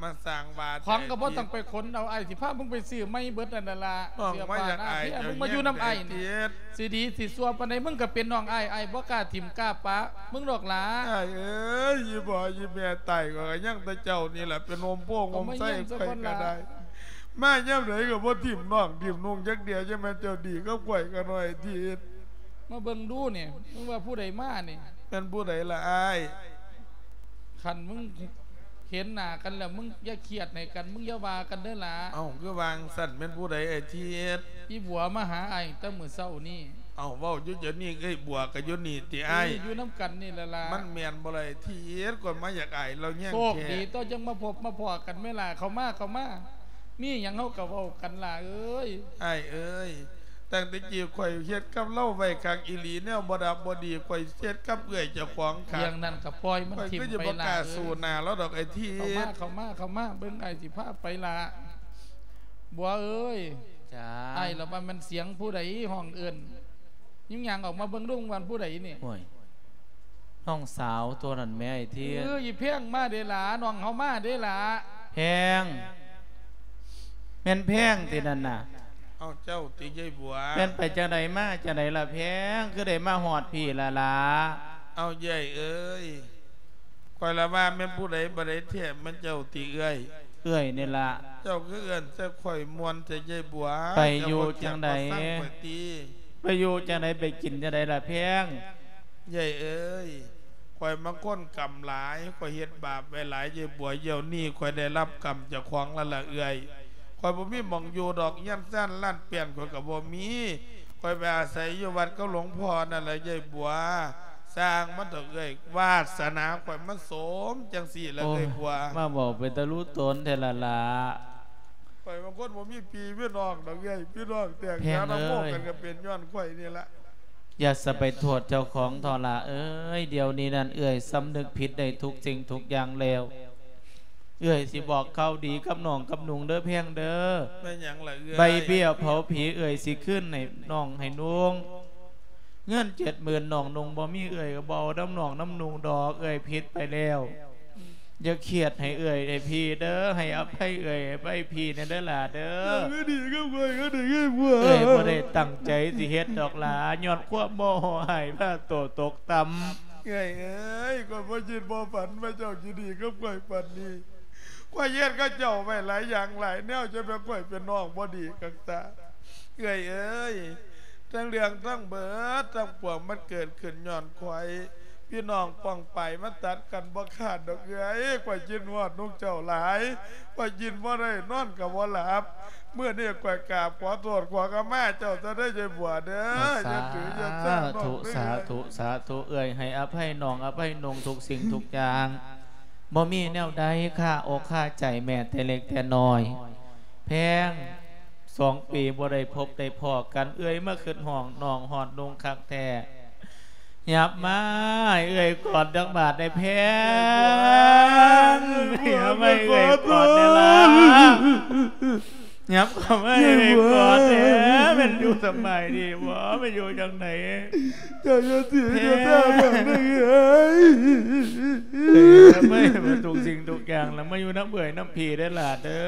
ມາສ້າງວ່າ ຂອງກໍບໍ່ຕ້ອງໄປຂົນເອົາ ອ້າຍຊິພາມຶງໄປຊື້ໃໝ່ເບິດນັ້ນລະຫຼ້າ ເສື້ອຜ້າໜ້າແພ ເຈົ້າ ມຶງມາຢູ່ນຳອ້າຍນີ້ ຊິດີຊິຊົ່ວປານໃດ ມຶງກໍເປັນນ້ອງອ້າຍ ອ້າຍບໍ່ກ້າຖິ້ມກ້າປະມຶງດອກຫຼ້າ ອ້າຍເອີຍ ອີ່ພໍ່ອີ່ແມ່ຕາຍ ຂ້ອຍກໍຍັງແຕ່ເຈົ້ານີ້ລະ ເປັນຮົ່ມໂພຮົ່ມໄຊຂ້ອຍກໍໄດ້ ມາຍາມໃດກໍບໍ່ຖິ້ມນ້ອງຖິ້ມນຸ່ງຈັກເທື່ອ ຈັ່ງແມ່ນເຈົ້າດີກັບຂ້ອຍກະໜ້ອຍທີດ ມາເບິ່ງດູນີ້ ມຶງວ່າຜູ້ໃດມານີ້? ແມ່ນຜູ້ໃດລະອ້າຍ? ຄັນມຶງເຫັນໜ້າກັນແລ້ວ ມຶງຢ່າຄຽດໃຫ້ກັນ ມຶງຢ່າວ່າກັນເດີຫຼ້າ. ເອົ້າ ຄືວ່າຈັ່ງຊັ້ນ? ແມ່ນຜູ້ໃດໄອ້ທິດ? ອີ່ບົວມາຫາອ້າຍແຕ່ມື້ເຊົ້ານີ້. ເອົ້າ ເວົ້າຢູ່ດຽວນີ້ ເອື້ອຍບົວກໍຢູ່ນີ້ຕິອ້າຍ? ເອີ ຢູ່ນຳກັນນີ້ແຫຼະຫຼ້າ. ມັນແມ່ນບໍ່ລະໄອ້ທິດ? ຂ້ອຍມາຢາກອາຍລາວແຮງແທ້. ໂຊກດີຕົວະ ຈັ່ງມາພົບມາພໍ້ກັນແມ່ນລະ. ເຂົ້າມາ ເຂົ້າມາ. ມີຫຍັງເຮົາກໍເວົ້າກັນຫຼ້າເອີຍ. ອ້າຍເອີຍ ຕັ້ງແຕ່ກີ້ຂ້ອຍເຮັດກັບລາວໄວ້ຄັກອີ່ຫຼີ ແນວບໍ່ດັບບໍ່ດີ ຂ້ອຍເຮັດກັບເອື້ອຍເຈົ້າຂອງຄັກ. ເລື່ອງນັ້ນກໍປ່ອຍມັນຖິ້ມໄປຫຼ້າເອີຍ. ຂ້ອຍຄືຊິບໍ່ກ້າສູ້ໜ້າລາວດອກໄອ້ທິດ. ເຂົ້າມາ ເຂົ້າມາ ເຂົ້າມາ ເບິ່ງອ້າຍຊິພາໄປຫຼ້າ. ບົວເອີຍ. ຈ້າ. ອ້າຍລະວ່າແມ່ນສຽງຜູ້ໃດຮ້ອງເອີ້ນ. ຍິງຍ່າງອອກມາເບິ່ງດູວ່າຜູ້ໃດນີ້. ໂອ້ຍ ນ້ອງສາວຕົວນັ້ນແໝ່ໄອ້ທິດ. ເອີ ອີ່ແພງມາເດ້ຫຼ້າ ນ້ອງເຮົາມາເດ້ຫຼ້າ. ແພງ ແມ່ນແພງຕິນັ້ນນະ? ເອົ້າ ເຈົ້າຕິເອື້ອຍບົວ. ແມ່ນໄປຈັ່ງໃດມາຈັ່ງໃດລະແພງ ຄືໄດ້ມາຮອດພີ້ລະຫຼ້າ? ເອົ້າ ເອື້ອຍເອີຍ ຂ້ອຍລະວ່າແມ່ນຜູ້ໃດບໍ່ໄດ້ແທ້ ແມ່ນເຈົ້າຕິເອື້ອຍ? ເອື້ອຍນີ້ລະ. ເຈົ້າຄືເອີ້ນໃສ່ຂ້ອຍມ່ວນແທ້ເອື້ອຍບົວ. ໄປຢູ່ຈັ່ງໃດ? ໄປຢູ່ຈັ່ງໃດ ໄປກິນຈັ່ງໃດລະແພງ? ເອື້ອຍເອີຍ ຂ້ອຍມັນຄົນກຳຫຼາຍ ຂ້ອຍເຮັດບາບໄວ້ຫຼາຍເອື້ອຍບົວ. ດຽວນີ້ຂ້ອຍໄດ້ຮັບກຳຈາກຂອງແລ້ວລະເອື້ອຍ. ຂ້ອຍບໍ່ມີໝ່ອງຢູ່ດອກ ເຮືອນຊານລານແປ້ນຂ້ອຍກໍບໍ່ມີ. ຂ້ອຍໄປອາໄສຢູ່ວັດກັບຫຼວງພໍ່ນັ້ນລະເອື້ອຍບົວ. ຊ່າງມັນເຖາະເອື້ອຍ ວາດສະໜາຂ້ອຍມັນໂສມຈັ່ງຊີ້ລະເອື້ອຍບົວ. ໂອ້ຍ ມາເວົ້າເປັນຕາລຸຕົນແທ້ລະຫຼ້າ. ຂ້ອຍມັນຄົນບໍ່ມີພີ່ມີນ້ອງດອກເອື້ອຍ ພີ່ນ້ອງແຕກຢານຳໂມກັນກໍເປັນຍ້ອນຂ້ອຍນີ້ລະ. ຢ່າສະໄປໂທດເຈົ້າຂອງເຖາະຫຼ້າເອີຍ. ດຽວນີ້ນັ້ນເອື້ອຍສຳນຶກຜິດໄດ້ທຸກສິ່ງທຸກຢ່າງແລ້ວ. ເອື້ອຍຊິບອກຂ່າວດີກັບນ້ອງກັບນຸ່ງເດີແພງເດີ. ແມ່ນຫຍັງລະເອື້ອຍ? ໃບເບ້ຍເຜົາຜີເອື້ອຍຊິຄືນໃຫ້ນ້ອງໃຫ້ນຸ່ງ. ເງິນເຈັດໝື່ນນ້ອງນຸ່ງບໍ່ມີ ເອື້ອຍກໍບໍ່ເອົານຳນ້ອງນຳນຸ່ງດອກ. ເອື້ອຍຜິດໄປແລ້ວ. ຢ່າຄຽດໃຫ້ເອື້ອຍໃຫ້ພີ່ເດີ ໃຫ້ອະໄພເອື້ອຍໃຫ້ໄພພີ່ແດ່ເດີຫຼ້າເດີ. ເອື້ອຍບໍ່ໄດ້ຕັ້ງໃຈຊິເຮັດດອກຫຼ້າ ຍ້ອນຄວາມໂມໂຫຮ້າຍພາໂຕຕົກຕ່ຳ. ເອື້ອຍເອີຍ ຂ້ອຍບໍ່ຄິດບໍ່ຝັນວ່າເຈົ້າຊິດີກັບຂ້ອຍປານນີ້. ຂ້ອຍເຮັດກັບເຈົ້າໄວ້ຫຼາຍຢ່າງຫຼາຍແນວ ຈະແມ່ນຂ້ອຍເປັນນ້ອງບໍ່ດີຄັກຕາ. ເອື້ອຍເອີຍ ທັງເລື່ອງທັງເບີດທັງປວງ ມັນເກີດຂຶ້ນຍ້ອນຂ້ອຍ. ພີ່ນ້ອງປ້ອງປາຍມາຕັດກັນບໍ່ຂາດດອກເອື້ອຍ. ຂ້ອຍຄິດຮອດລູກເຈົ້າຫຼາຍ ຂ້ອຍກິນບໍ່ໄດ້ນອນກໍບໍ່ຫຼັບ. ມື້ນີ້ຂ້ອຍກາບຂໍໂທດຂໍຂະມາເຈົ້າຊະເດີ ເອື້ອຍບົວເດີ. ເອົາ ສາທຸ ສາທຸ ສາທຸ ເອື້ອຍໃຫ້ອະໄພນ້ອງ ອະໄພນຸ່ງທຸກສິ່ງທຸກຢ່າງ. ບໍ່ມີແນວໃດຄາອົກຄາໃຈແມ້ແຕ່ເລັກແຕ່ນ້ອຍ. ແພງ ສອງປີບໍ່ໄດ້ພົບໄດ້ພໍ້ກັນ ເອື້ອຍມາຄຶດຮອດນ້ອງຮອດນຸ່ງຄັກແທ້. ຫຍັບມາໃຫ້ເອື້ອຍກອດຈັກບາດໄດ້ແພງ. ຫຍັບມາໃຫ້ເອື້ອຍກອດແດ່ລະ. ຫຍັບເຂົ້າມາໃຫ້ເອື້ອຍກອດແດ່. ແມ່ນຢູ່ສະບາຍດີບໍ່? ແມ່ນຢູ່ຈັ່ງໃດ? ເຈົ້າຢ່າເສຍເຈົ້າຕາບາງເດີເອື້ອຍ. ເອື້ອຍ ເອື້ອຍ ເອື້ອຍ ທຸກສິ່ງທຸກຢ່າງລະມາຢູ່ນຳເອື້ອຍນຳພີ່ເດີຫຼ້າເດີ.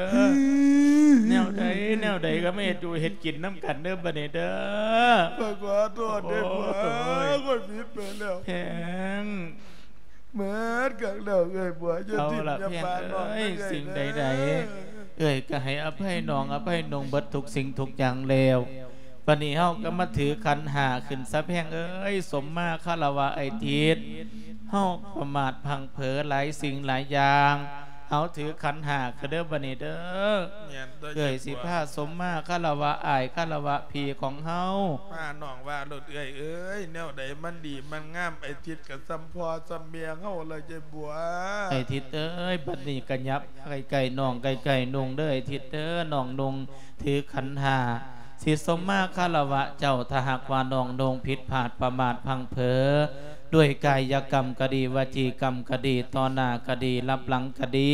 ແນວໃດແນວໃດກໍມາເຮັດຢູ່ເຮັດກິນນຳກັນເດີບັດນີ້ເດີ. ຂ້ອຍຂໍໂທດເດີ ໂອ້ຍ ຂ້ອຍຜິດໄປແລ້ວ. ແພງ ເໝິດກັນແລ້ວເອື້ອຍບົວ. ຢ່າຖິ້ມຢ່າປະນ້ອງເດີ. ເອົາລະແພງເອີຍ ເອື້ອຍ ສິ່ງໃດໆ ເອື້ອຍກໍໃຫ້ອະໄພນ້ອງອະໄພນຸ່ງເບິດທຸກສິ່ງທຸກຢ່າງແລ້ວ. ບັດນີ້ເຮົາກໍມາຖືຂັນຫ້າຂຶ້ນຊະແພງເອີຍ ສົມມາຄາລະວະອ້າຍທິດ ເຮົາປະໝາດພລັ້ງເຜີຫຼາຍສິ່ງຫຼາຍຢ່າງ ເຮົາຖືຂັນຫ້າຂຶ້ນເດີບັດນີ້ເດີ ແມ່ນເດີ ເອື້ອຍຊິພາສົມມາຄາລະວະອ້າຍ ຄາລະວະພີ່ຂອງເຮົາ ພານ້ອງວ່າໂລດເອື້ອຍເອີຍ ແນວໃດມັນດີມັນງາມ ອ້າຍທິດກໍສ່ຳພໍ່ສ່ຳແມ່ເຮົາລະ ຍາຍບົວ ອ້າຍທິດເອີຍ ບັດນີ້ກໍຫຍັບໃກ້ໆນ້ອງ ໃກ້ໆນຸ່ງເດີ ອ້າຍທິດເດີ ນ້ອງນຸ່ງ ຖືຂັນຫ້າ ຊິສົມມາຄາລະວະເຈົ້າ ຖ້າຫາກວ່ານ້ອງນຸ່ງຜິດພາດປະໝາດພລັ້ງເຜີ ດ້ວຍກາຍະກຳກໍດີ ວະຈີກຳກໍດີ ຕໍ່ໜ້າກໍດີ ລັບຫຼັງກໍດີ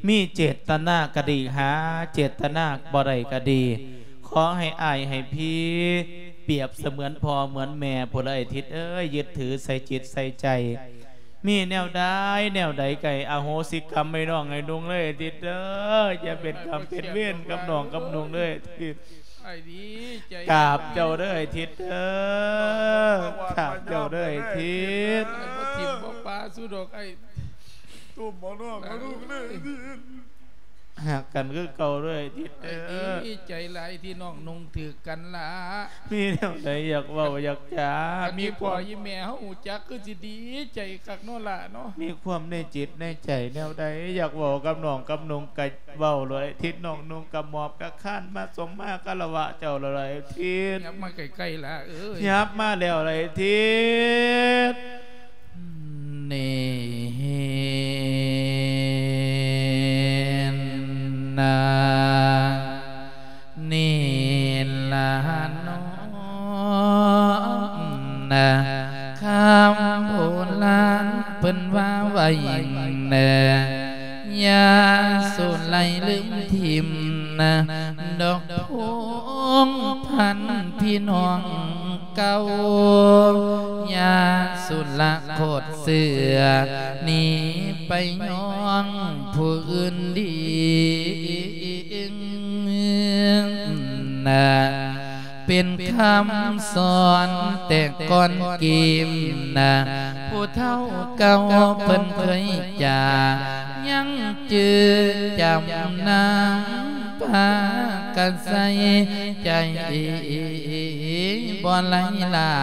ມີເຈດຕະນາກໍດີ ຫາເຈດຕະນາບໍ່ໄດ້ກໍດີ ຂໍໃຫ້ອ້າຍໃຫ້ພີ່ ປຽບສະເໝືອນພໍ່ເໝືອນແມ່ ຜູ້ໃດທິດເອີຍ ຍຶດຖືໃສ່ຈິດໃສ່ໃຈ ມີແນວໃດແນວໃດກໍໃຫ້ອະໂຫສິກຳໃຫ້ນ້ອງໃຫ້ນຸ່ງເລີຍ ທິດເດີ ຢ່າເປັນກຳເປັນເວນກັບນ້ອງກັບນຸ່ງເລີຍ ທິດ ອ້າຍດີໃຈ ກາບເຈົ້າເດີ ທິດເດີ ກາບເຈົ້າເດີ ທິດ ອ້າຍບໍ່ຖິ້ມບໍ່ປະຊູດອກ ອ້າຍ ຕຸ້ມເອົານ້ອງເອົານຸ່ງເລີຍ ທິດ ຮັກກັນຄືເກົ່າເດີ ທິດເດີ ອ້າຍດີໃຈຫຼາຍທີ່ນ້ອງນຸ່ງຖືກກັນລະ ມີແນວໃດຢາກເວົ້າຢາກຈາ ຄັນມີພໍ່ມີແມ່ເຮົາຮູ້ຈັກຄືຊິດີໃຈຄັກເນາະຫຼ້າເນາະ ມີຄວາມໃນຈິດໃນໃຈແນວໃດ ຢາກເວົ້າກັບນ້ອງກັບນຸ່ງກະເວົ້າໂລດ ທິດ ນ້ອງນຸ່ງກະໝອບກະຄານມາສົມມາຄາລະວະເຈົ້າໂລດ ທິດ ຫຍັບມາໃກ້ໆຫຼ້າເອີຍ ຫຍັບມາແລ້ວລະ ທິດ ນີ້ນະ ນີ້ລະເນາະ ຄຳໂບລານເພິ່ນວ່າໄວ້ ນະ ຢ່າສູ່ໄຫຼລືມຖິ້ມນະ ດອກພວງພັນພີ່ນ້ອງເກົ່າ ຢ່າສູ່ລະໂຄດເຊື່ອ ໜີໄປຍ້ອງຜູ້ອື່ນດີ ນະ ເປັນຄຳສອນແຕ່ກ່ອນກີ້ມນະ ຜູ້ເຖົ້າເກົ່າເພິ່ນເຄີຍຈາ ຍັງຈື່ຈຳນຳ ພາກັນໃສ່ໃຈ ບໍ່ໄຫຼລາ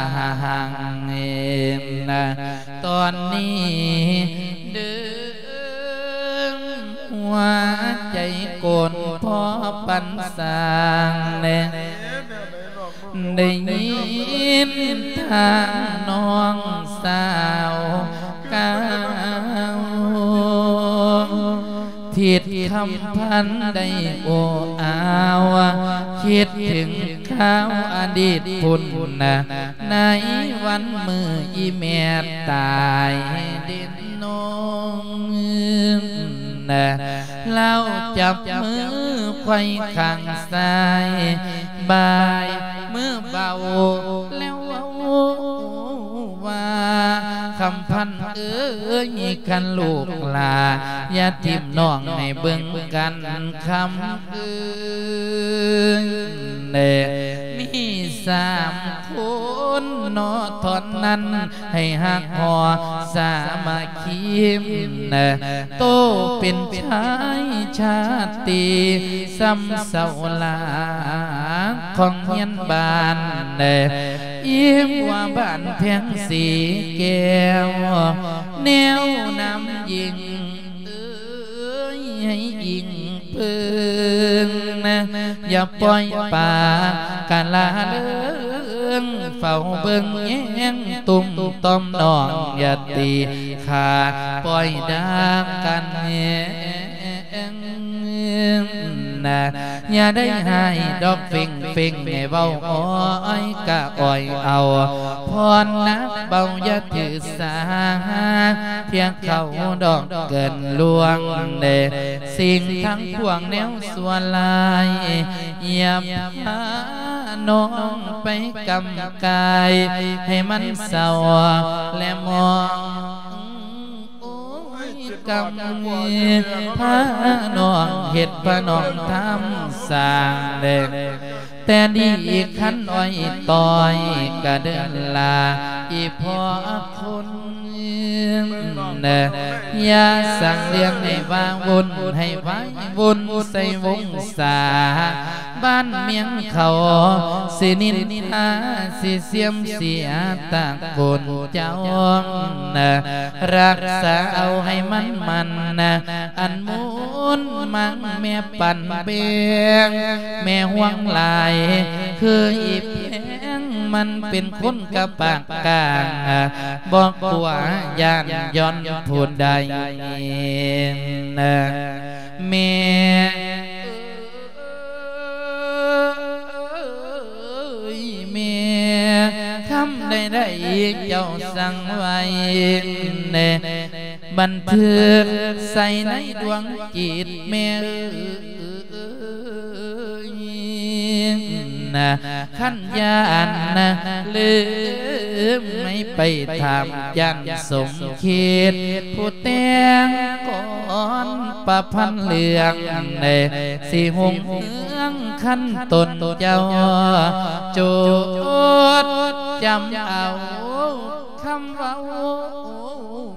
ງນະ ຕອນນີ້ເດີ ຫົວໃຈໂກນພໍປັນສ້າງແດ່ ໄດ້ຍິນທາງນ້ອງສາວກ່າວ ທິດຄຳພັນໄດ້ໂອ້ອາວ ຄິດເຖິງຄາວອະດີດພຸ້ນນະ ໃນວັນມື້ອີ່ແມ່ຕາຍເດ ນ້ອງ ລາວຈັບມືໄຂວ້ຂ້າງຊ້າຍ ບາຍມືເບົາແລ້ວເວົ້າວ່າ ຄຳພັນເອີຍ ຄັນລູກຫຼ້າ ຢ່າຖິ້ມນ້ອງໃຫ້ເບິ່ງກັນ ຄຳເອີຍ ມີສາມຄົນເນາະ ທ່ອນນັ້ນ ໃຫ້ຮັກຫໍ່ສາມັກຄີ ໂຕເປັນຊາຍຊາດຕີ ສ່ຳເສົາຫຼັກຂອງຮຽນບ້ານ ອີ່ຫົວບ້ານແພງສີແກ້ວ ແນວນຳຍິງເອີຍ ໃຫ້ອີງເພິ່ງນະ ຢ່າປ່ອຍປາກະລະເລີງ ເຝົ້າເບິ່ງແຍງຕຸ້ມຕ່ອມນ້ອງ ຢ່າຕີຂ້າປ່ອຍດາກັນແຮງນະ ຢ່າໄດ້ຮ້າຍດອກເຟັງເຟັງ ໃຫ້ເວົ້າອ້ອຍກະອ້ອຍເອົາ ພອນໜັກເບົາຢ່າຖືສາ ພຽງເຂົາດອກເກີນລ່ວງເດ ສິ່ງທັງປວງແນວຊົ່ວຮ້າຍ ຢ່າພານ້ອງໄປກຳກາຍ ໃຫ້ມັນເສົ້າແລະໝອງ ໂອ້ຍ ກຳ ພານ້ອງເຮັດ ພານ້ອງທຳສ້າງແດ ແຕ່ດີຄັນອ້ອຍຕ້ອຍກະເດີນລາ ອີ່ພໍ່ຄົນ ນະ ຢ່າສ້າງເລື່ອງໃຫ້ວ້າວຸ່ນ ໃຫ້ວາຍວຸ່ນໃສ່ວົງສາ ບ້ານເມືອງເຂົາ ຊິນິນທາ ຊິເສື່ອມເສຍຕະໂກນເຈົ້ານະ ຮັກສາເອົາໃຫ້ມັນໝັ້ນນະ ອັນມູນມັງແມ່ປັນແບ່ງ ແມ່ຫ່ວງຫຼາຍ ຄືອີແພງ ມັນເປັນຄົນກະປາກກາງ ບໍ່ກົວຢ້ານຢ່ອນຜູ້ໃດ ແມ່ເອີຍ ແມ່ຄຳໃດໆ ເຈົ້າສັ່ງໄວ້ ບັນທຶກໃສ່ໃນດວງຈິດແມ່ເອີຍ ນະ ຄັນຢ້ານນະ ລືມໃຫ້ໄປຖາມ ຢ້ານສົມເຂດ ຜູ້ແຕ່ງກອນປະພັນເລື່ອງ ໄດ້ຊິຮຸ່ງເຮືອງຄັນຕົນເຈົ້າ ໂຈດຈຳເອົາ ຄຳເວົ້າ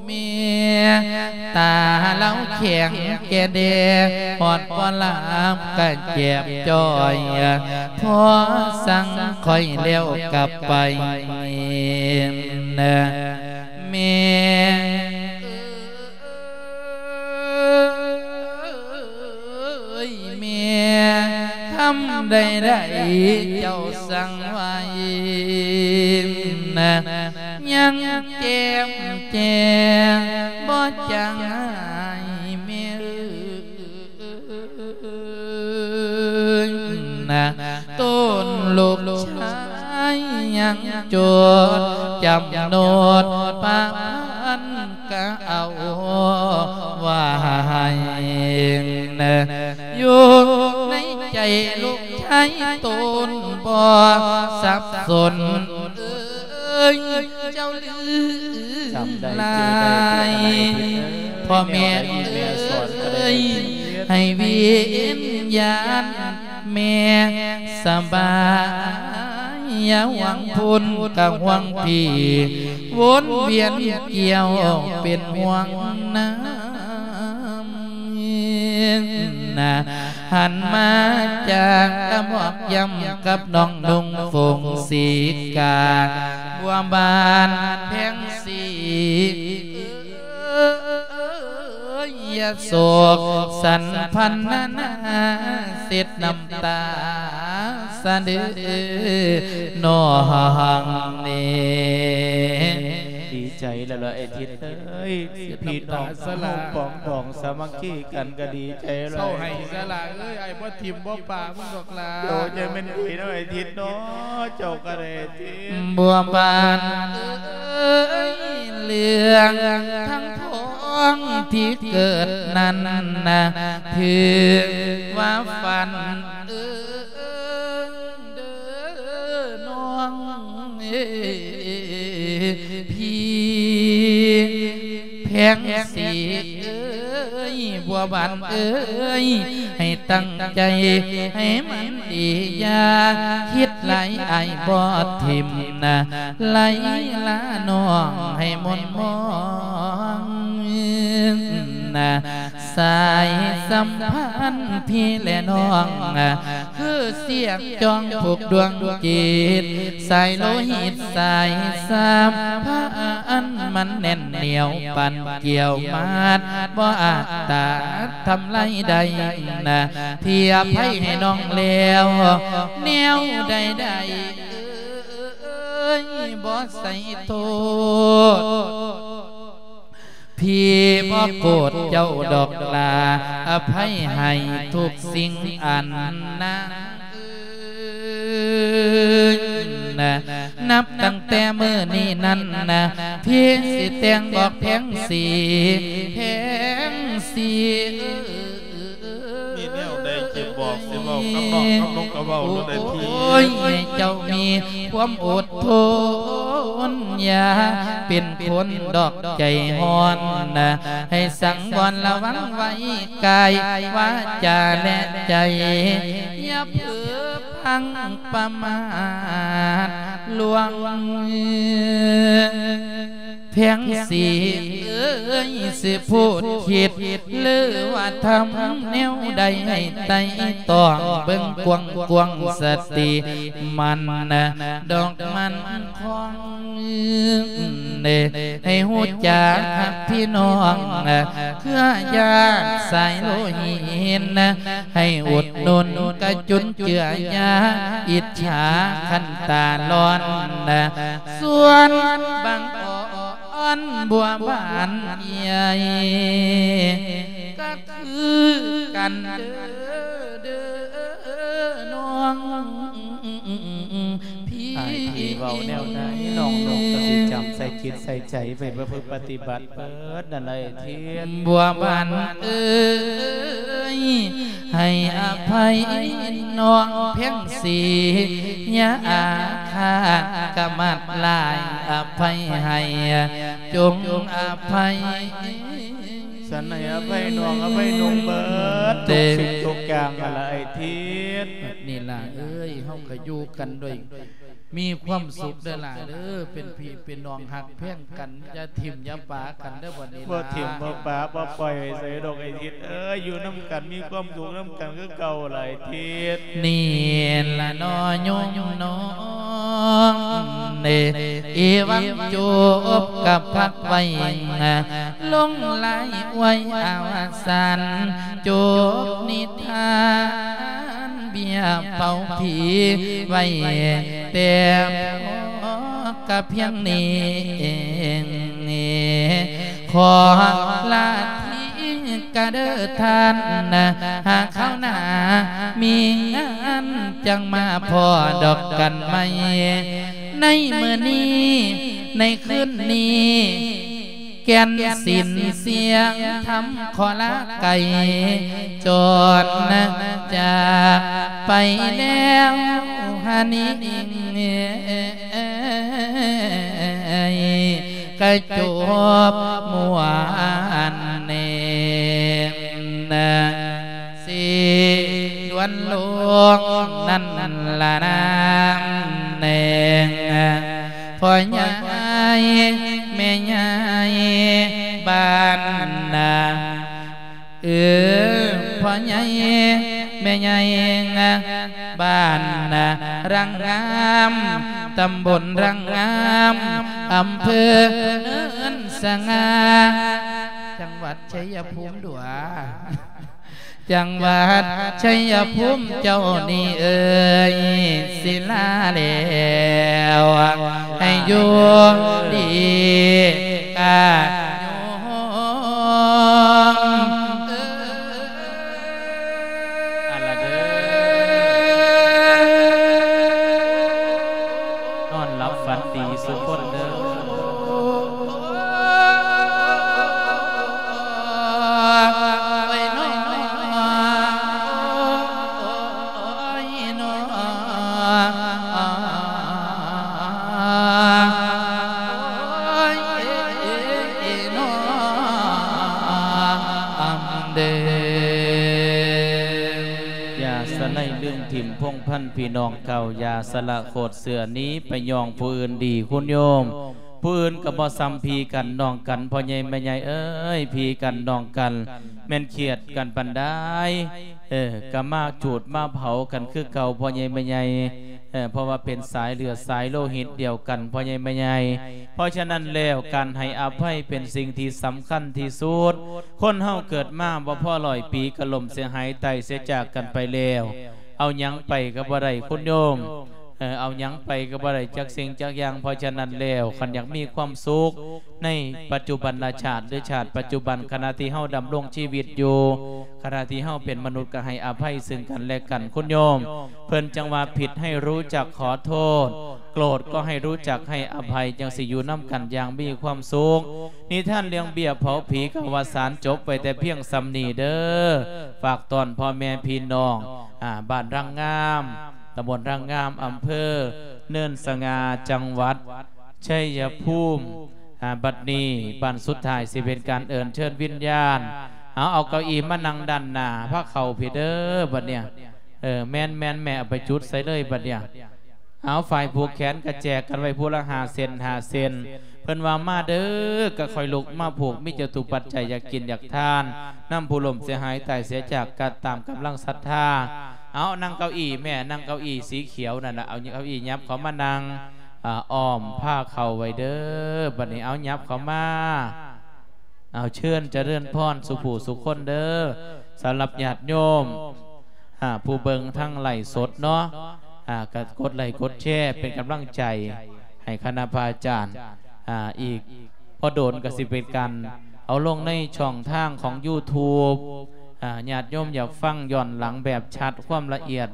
ແມ່ ຕາລາວແຂງແກ່ແດ່ ຮອດບໍ່ຫຼັບກະແຈບຈ່ອຍ ພໍສັ່ງຂ້ອຍແລ້ວກັບໄປ ແມ່ເອີຍ ເອີຍ ແມ່ຄຳໃດໆ ເຈົ້າສັ່ງໄວ້ນະ ຍັງແຈ່ມແຈ້ງບໍ່ຈາງໃຫ້ແມ່ເອີຍນະ ຕົນລູກຊາຍຍັງຈົດຈຳໂນດປະພັນ ກະເອົາໄວ້ໃນໃຈລູກຊາຍຕົນບໍ່ສັບສົນເອີຍ ເຈົ້າລືມຫຼາຍ ພໍ່ແມ່ເອີຍ ໃຫ້ວິນຍານ ແມ່ສະບາຍ ຢ່າຫວັງພຸ້ນກະຫວັງພີ້ ວົນວຽນກ່ຽວເປັນຫ່ວງນຳນະ ຫັນມາຈາກກະບອກຢ້ຳກັບນ້ອງນຸ່ງຝົງສີກາ ບົວບານແພງສີ ເອີຍ ຢ່າໂສກສັນພັນນານາ ເຊັດນ້ຳຕາສະເດີນ້ອງນີ້ ດີໃຈແລ້ວລະໄອ້ທິດເອີຍ ພີ່ນ້ອງເຮົາປອງດອງສາມັກຄີກັນກະດີໃຈແລ້ວ ເຊົາໄຫ້ຊະລະເອີຍ ອ້າຍບໍ່ຖິ້ມບໍ່ປະມຶງດອກ ໂຕ ຈະແມ່ນດີເນາະ ໄອ້ທິດເນາະ ເຈົ້າກະໄດ້ຕິ ບົວບານເອີຍ ເລື່ອງທັງທ້ອງທີ່ເກີດນັ້ນນະ ຖືວ່າຝັນເອີຍ ເດີນ້ອງເອີຍ ພີ່ແພງສີເອີຍ ບົວບານເອີຍ ໃຫ້ຕັ້ງໃຈໃຫ້ມັນດີ ຢ່າຄິດຫຼາຍ ອ້າຍບໍ່ຖິ້ມນະ ໄລລານ້ອງໃຫ້ໝົນມອງນະ ສາຍສຳພັນພີ່ແລະນ້ອງ ຄືສຽກຈອງຜູກດວງຈິດ ສາຍໂລຫິດສາຍສຳພັນ ມັນແໜ້ນໜຽວປານກ້ຽວມັດ ບໍ່ອາດຕາດທຳລາຍໄດ້ນະ ພີ່ອະໄພໃຫ້ນ້ອງແລ້ວ ແນວໃດໆ ບໍ່ໃສ່ໂທດ ພີ່ບໍ່ໂກດເຈົ້າດອກຫຼ້າ ອະໄພໃຫ້ທຸກສິ່ງອັນນາງເອີຍນະ ນັບຕັ້ງແຕ່ມື້ນີ້ນັ້ນນະ ພີ່ຊິແຕ່ງບອກແພງສີ ແພງສີເອີຍ ມີແນວໃດຊິບອກຊິເວົ້າກັບນ້ອງກັບລຸງກະເວົ້າໂລດເດີພີ່ ໂອ້ຍ ໃຫ້ເຈົ້າມີຄວາມອົດທົນ ຢ່າເປັນຄົນດອກໃຈຮ້ອນນະ ໃຫ້ສັງວອນລະວັງໄວ້ ກາຍ ວາຈາ ແລະ ໃຈ ຢ່າເຜີພັງປະໝາດລ່ວງ ແພງສີເອີຍ ຊິພູດຄິດ ຫຼືວ່າທຳແນວໃດ ໃຫ້ໄຕ່ຕອງເບິ່ງກວ້າງໆ ສະຕິໝັ້ນດອກໝັ້ນຄອງ ໃຫ້ຮູ້ຈັກຮັກພີ່ນ້ອງ ເຄືອຍາດສາຍໂລຫິດ ໃຫ້ອຸດໜູນກະຈຸນເຈືອຢາ ອິດສາຄັນຕາຮ້ອນ ສ່ວນບັງອ່ອນບົວບານໃຫຍ່ ກະຄືກັນເດີ ເດີນ້ອງ ພີ່ ອ້າຍພີ່ເວົ້າແນວໃດ ນ້ອງນົກກະຊິຈຳໃສ່ຈິດໃສ່ໃຈໄປປະພຶດປະຕິບັດເບີດນັ້ນແຫຼະທິດ ບົວບານເອີຍ ໃຫ້ອະໄພນ້ອງແພງສີ ຢ່າອາຄາດກະມາດຫຼາຍ ອະໄພໃຫ້ຈົ່ງອະໄພ ສັນໃຫ້ອະໄພນ້ອງ ອະໄພນົກເບີດ ທຸກສິ່ງທຸກຢ່າງຫັ້ນລະອ້າຍທິດ ນີ້ລະເອີຍ ເຮົາກະຢູ່ກັນດ້ວຍ ມີຄວາມສຸກເດີຫຼ້າເດີ ເປັນພີ່ເປັນນ້ອງຮັກແພງກັນ ຢ່າຖິ້ມຢ່າປາກັນເດີບັດນີ້ ບໍ່ຖິ້ມບໍ່ປາ ບໍ່ປ່ອຍໄປໃສດອກໄອ້ທິດເອີຍ ຢູ່ນຳກັນມີຄວາມສຸກນຳກັນຄືເກົ່າຫຼາຍທິດ ນີ້ລະເນາະໂຍມນ້ອງເອີຍ ອີຫວັງຈົບກັບພັກໄວ້ ລົງລາຍອວຍອາວະສັນ ຈົບນິທານ ເບ້ຍເປົ່າຜີໄວ້ແຕ່ພໍກະພຽງນີ້ເອງ ຂໍລາທີກະເດີທ່ານ ຫາຄາວໜ້າມີງານ ຈັ່ງມາພໍ້ດອກກັນໃໝ່ ໃນມື້ນີ້ ໃນຄືນນີ້ ແກ່ນສິນສຽງທຳຂໍລາໄກ ຈອນຈາກໄປແລ້ວຫັ້ນນີ້ ກະຈົບມ່ວນນີ້ ຊິດ່ວນລົງນັ້ນລະນາ ແນງ ພໍ່ໃຫຍ່ແມ່ໃຫຍ່ບ້ານນາ ເອີ ພໍ່ໃຫຍ່ແມ່ໃຫຍ່ບ້ານນາ ຣາງງາມ ຕຳບົນຣາງງາມ ອຳເພີເນີນສະຫງ່າ ຈັງຫວັດໄຊຍະພູມດວ ຈັງຫວັດໄຊຍະພູມເຈົ້ານີ້ເອີຍ ສິລາແລ້ວ ໃຫ້ຢູ່ດີກະໂຍມເອີຍ ອັນລະເດີ ນອນຫຼັບຝັນດີສຸຄົນເດີ. ຢ່າສະໄນລືມຖິ້ມພົງພັນພີ່ນ້ອງເກົ່າ ຢ່າສະລະໂຄດເສື້ອໜີໄປຍ້ອງຜູ້ອື່ນດີຄຸນໂຍມ. ຜູ້ອື່ນກໍບໍ່ສ່ຳພີ່ກັນນ້ອງກັນ ພໍ່ໃຫຍ່ແມ່ໃຫຍ່ເອີຍ ພີ່ກັນນ້ອງກັນ ແມ່ນຄຽດກັນປານໃດ ເອີ ກໍມາຈູດມາເຜົາກັນຄືເກົ່າ ພໍ່ໃຫຍ່ແມ່ໃຫຍ່ ເອີ ເພາະວ່າເປັນສາຍເລືອດສາຍໂລຫິດດຽວກັນ ພໍ່ໃຫຍ່ແມ່ໃຫຍ່. ເພາະສະນັ້ນແລ້ວ ການໃຫ້ອະໄພເປັນສິ່ງທີ່ສຳຄັນທີ່ສຸດ. ຄົນເຮົາເກີດມາບໍ່ພໍຮ້ອຍປີ ກໍລົ້ມເສຍຫາຍຕາຍເສຍຈາກກັນໄປແລ້ວ ເອົາຫຍັງໄປກໍບໍ່ໄດ້ຄຸນໂຍມ. ເອີ ເອົາຫຍັງໄປກໍບໍ່ໄດ້ຈັກສິ່ງຈັກຢ່າງ. ເພາະສະນັ້ນແລ້ວ ຄັນຢາກມີຄວາມສຸກໃນປັດຈຸບັນນະຊາດ ຫຼື ຊາດປັດຈຸບັນ ຂະນະທີ່ເຮົາດຳລົງຊີວິດຢູ່ ຂະນະທີ່ເຮົາເປັນມະນຸດ ກໍໃຫ້ອະໄພຊຶ່ງກັນແລະກັນຄຸນໂຍມ. ເພິ່ນຈັ່ງວ່າ ຜິດໃຫ້ຮູ້ຈັກຂໍໂທດ ໂກດກໍໃຫ້ຮູ້ຈັກໃຫ້ອະໄພ ຈັ່ງຊິຢູ່ນຳກັນຢ່າງມີຄວາມສຸກ. ນິທານເລື່ອງເບ້ຍເຜົາຜີ ກໍວ່າສານຈົບໄວ້ແຕ່ພຽງສ່ຳນີ້ເດີ. ຝາກຕ້ອນພໍ່ແມ່ພີ່ນ້ອງ ອາ ບ້ານຣາງງາມ ຕຳບົນຣາງງາມ ອຳເພີເນີນສະຫງ່າ ຈັງຫວັດໄຊຍະພູມ. ອາ ບັດນີ້ບັ້ນສຸດທ້າຍ ຊິເປັນການເອີ້ນເຊີນວິນຍານ. ເອົາ ເອົາເກົ້າອີ່ມານັ່ງດ້ານໜ້າພາເຂົ້າພີ້ເດີ ບັດເນີ້ຍ. ເອີ ແມ່ນໆ ແມ່ ເອົາໄປຈຸດໃສ່ເລີຍບັດເນີ້ຍ. ເອົາ ຝ່າຍຜູກແຂນກະແຈກກັນໄວ້ຜູ້ລະຫ້າເສັ້ນ ຫ້າເສັ້ນ. ເພິ່ນວ່າ ມາເດີ ກະຄ່ອຍລຸກມາຜູກ ມີຈະຕຸປັດໄຈ ຢາກກິນຢາກທານ ນຳຜູ້ລົ້ມເສຍຫາຍຕາຍເສຍຈາກ ກະຕາມກຳລັງສັດທາ. ເອົາ ນັ່ງເກົ້າອີ່ແມ່ ນັ່ງເກົ້າອີ່ສີຂຽວນັ້ນລະ ເອົາເກົ້າອີ່ຫຍັບເຂົ້າມານັ່ງ ອາ ອ້ອມພາເຂົ້າໄວ້ເດີ. ບັດນີ້ ເອົາ ຫຍັບເຂົ້າມາ. ເອົາ ເຊີນຈະເລີນພອນສູ່ຜູ້ສູ່ຄົນເດີ. ສຳລັບຍາດໂຍມ ອາ ຜູ້ເບິ່ງທາງໄລຟ໌ສົດເນາະ ອາ ກະກົດໄລຄ໌ກົດແຊເປັນກຳລັງໃຈໃຫ້ຄະນະພະອາຈານ. ອາ ອີກບໍ່ດົນກະຊິເປັນການເອົາລົງໃນຊ່ອງທາງຂອງຢູທູບ. ອາ ຍາດໂຍມຢາກຟັງຍ້ອນຫຼັງແບບຊັດ ຄວາມລະອຽດ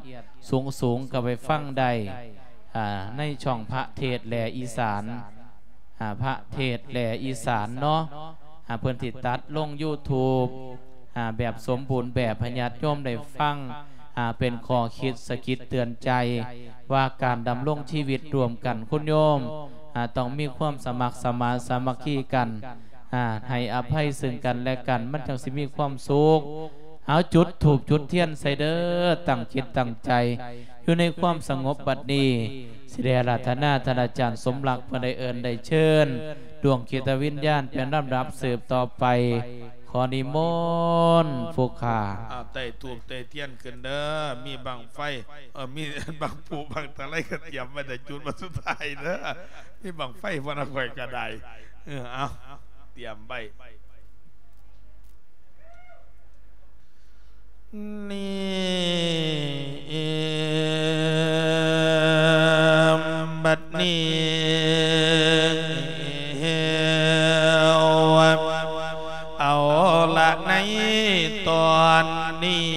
ສູງໆ ກະໄປຟັງໄດ້ ອາ ໃນຊ່ອງພະເທດແຫຼອີສານ. ອາ ພະເທດແຫຼອີສານເນາະ ອາ ເພິ່ນຊິຕັດລົງຢູທູບ ອາ ແບບສົມບູນແບບໃຫ້ຍາດໂຍມໄດ້ຟັງ ອາ ເປັນຂໍ້ຄິດສະກິດເຕືອນໃຈ ວ່າການດຳລົງຊີວິດຮ່ວມກັນ ຄຸນໂຍມ ອາ ຕ້ອງມີຄວາມສະໝັກສະໝານສາມັກຄີກັນ ອາ ໃຫ້ອະໄພເຊິ່ງກັນແລະກັນ ມັນຈັ່ງຊິມີຄວາມສຸກ. ເອົາ ຈຸດທູບຈຸດທຽນໃສ່ເດີ ຕັ້ງຈິດຕັ້ງໃຈຢູ່ໃນຄວາມສະຫງົບ. ບັດນີ້ ຊິໄດ້ອາລາທະນາທ່ານອາຈານສົມລັກ ເພື່ອໄດ້ເອີ້ນໄດ້ເຊີນດວງຈິດວິນຍານເປັນລຳດັບສືບຕໍ່ໄປ. ຂໍນິມົນຜູ້ຂ້າ. ອາ ໄຕ້ທູບໄຕ້ທຽນຂຶ້ນເດີ ມີບັ້ງໄຟ ເອີ ມີບັ້ງຜູ ບັ້ງຕະໄລກະຕຽມໄວ້ ໄດ້ຈຸດວັນສຸດທ້າຍເດີ. ມີບັ້ງໄຟບໍ່ນະ ຂ້ອຍກະໄດ້. ເອີ ເອົາ ຕຽມໄວ້. ນີ້ ບັດນີ້ ເອົາລະ ໃນຕອນນີ້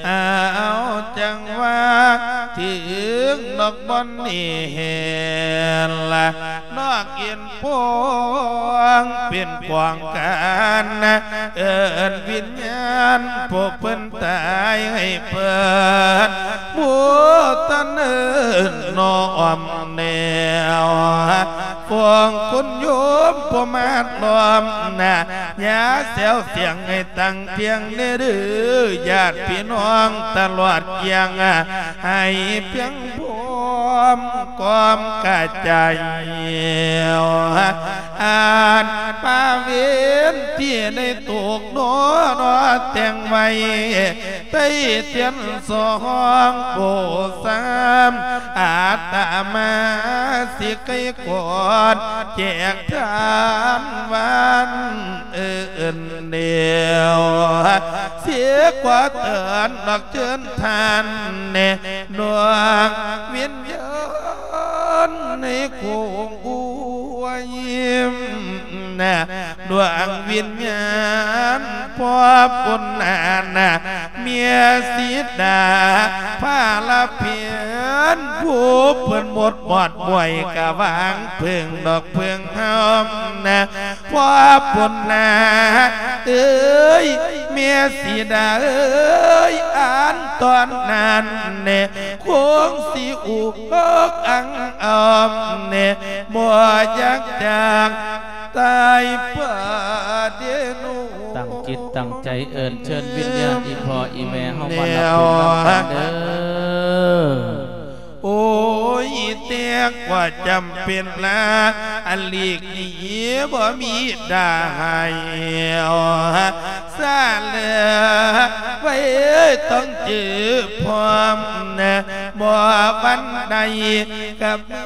ເອົາ ຈັ່ງວ່າເຖິງນອກບ່ອນນີ້ແລະ ນອກເອັນ ພວງເປັນກວາງການ ເອີ້ນວິນຍານຜູ້ເພິ່ນຕາຍໃຫ້ເພິ່ນ ຜູ້ທ່ານເອີ້ນນ້ອມແນວ ພວງຄຸນໂຍມຜູ້ມາລ້ອມໜ້າ ຢ່າແຊວສຽງໃຫ້ຕັ້ງພຽງເດີ ຍາດພີ່ນ້ອງຕະຫຼອດກຽງ ໃຫ້ພຽງ ພ້ອມກອມກະຈາຍ ອານປະເວນທີ່ໄດ້ຕົກໜໍ ແຕ່ງໄວ້ໃຕ້ທຽນສອງໂກສາມ ອາດຕະມາຊິໄກກອດແຈກທານວັນເອີ້ນແນວ ເສຍກວ່າເຕືອນນອກເຊີນທ່ານແນ່ ໜ່ວງວິນຍານໃນໂຄງອວຍນະ ໜ່ວງວິນຍານພໍ່ບຸນນານະ ເມຍສີດາພາລະເພັນ ຜູ້ເພິ່ນໝົດໝອດມວຍກະຫວັງເພິ່ງດອກເພິ່ງເຮົານະ ພໍ່ບຸນນາເອີຍ ເມຍສີດາເອີຍ ອັນຕອນນັ້ນແນ່ ຄົງຊິອຸກອັງອອມແນ່ ບໍ່ຢາກຈາກຕາຍປາເດໂນ. ຕັ້ງຈິດຕັ້ງໃຈເອີ້ນເຊີນວິນຍານອີ່ພໍ່ອີ່ແມ່ເຮົາມານັບບຸນນຳກັນເດີ. ໂອ້ຍ ແຕ່ກວ່າຈຳເປັນລາ ອັນຫຼີກໜີບໍ່ມີດາໃຫ້ ສາເຫຼືອໄວ້ຕ້ອງຈື່ພ້ອມນະ ບໍ່ວັນໃດກັບມື້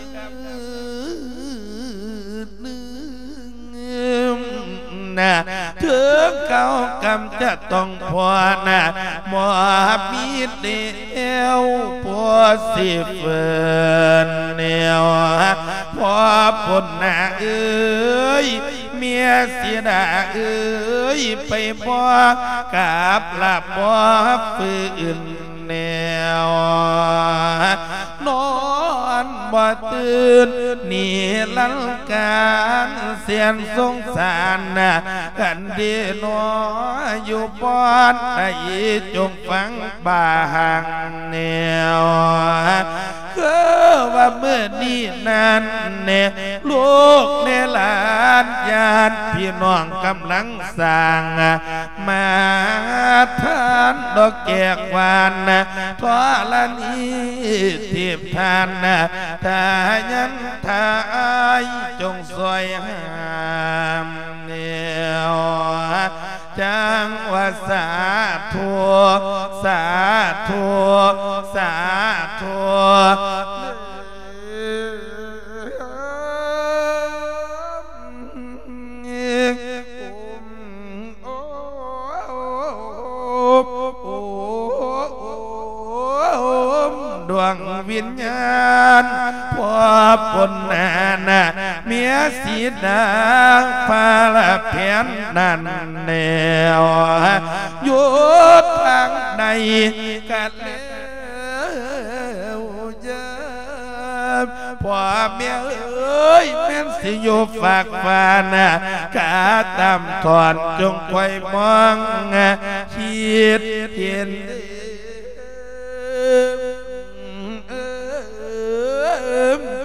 ໜຶ່ງ ນະ ເຖິງເກົ່າກຳຈະຕ້ອງພໍນະ ບໍ່ມີແນວພໍຊິເຟີນແນວ ພໍ່ປຸນນາເອີຍ ເມຍສີດາເອີຍ ໄປບໍ່ກັບລະບໍ່ຟື້ນ ແນວ ນອນບໍ່ຕື່ນນິລັນການ ແສນສົງສານນະ ກັນເດນອ ຢູ່ບ່ອນໃດຈົ່ງຟັງບາງແນວ ຄືວ່າມື້ນີ້ນັ້ນແນ່ ລູກແນ່ຫຼານ ຍາດພີ່ນ້ອງກຳລັງສ້າງມາ ທານດອກແຈກຫວານ ທໍລະນີເທບທ່ານ ຖ້າຍັນຖ້າອາຍ ຈົ່ງຊ່ອຍຫ້າມແນວ ຈັ່ງວ່າສາທຸ ສາທຸ ສາທຸ ດວງວິນຍານ ພວບພົນນານ ເມຍສີດາ ພາລະແຜນນັ້ນແລ້ວ ຢູ່ທາງໃດກະແລ້ວ ເອີ ພໍ່ແມ່ເອີຍ ແມ່ນຊິຢູ່ຟາກຟ້ານະ ກະຕາມທອນ ຈົ່ງຄອຍມອງ ຄິດເຫັນ ເອີ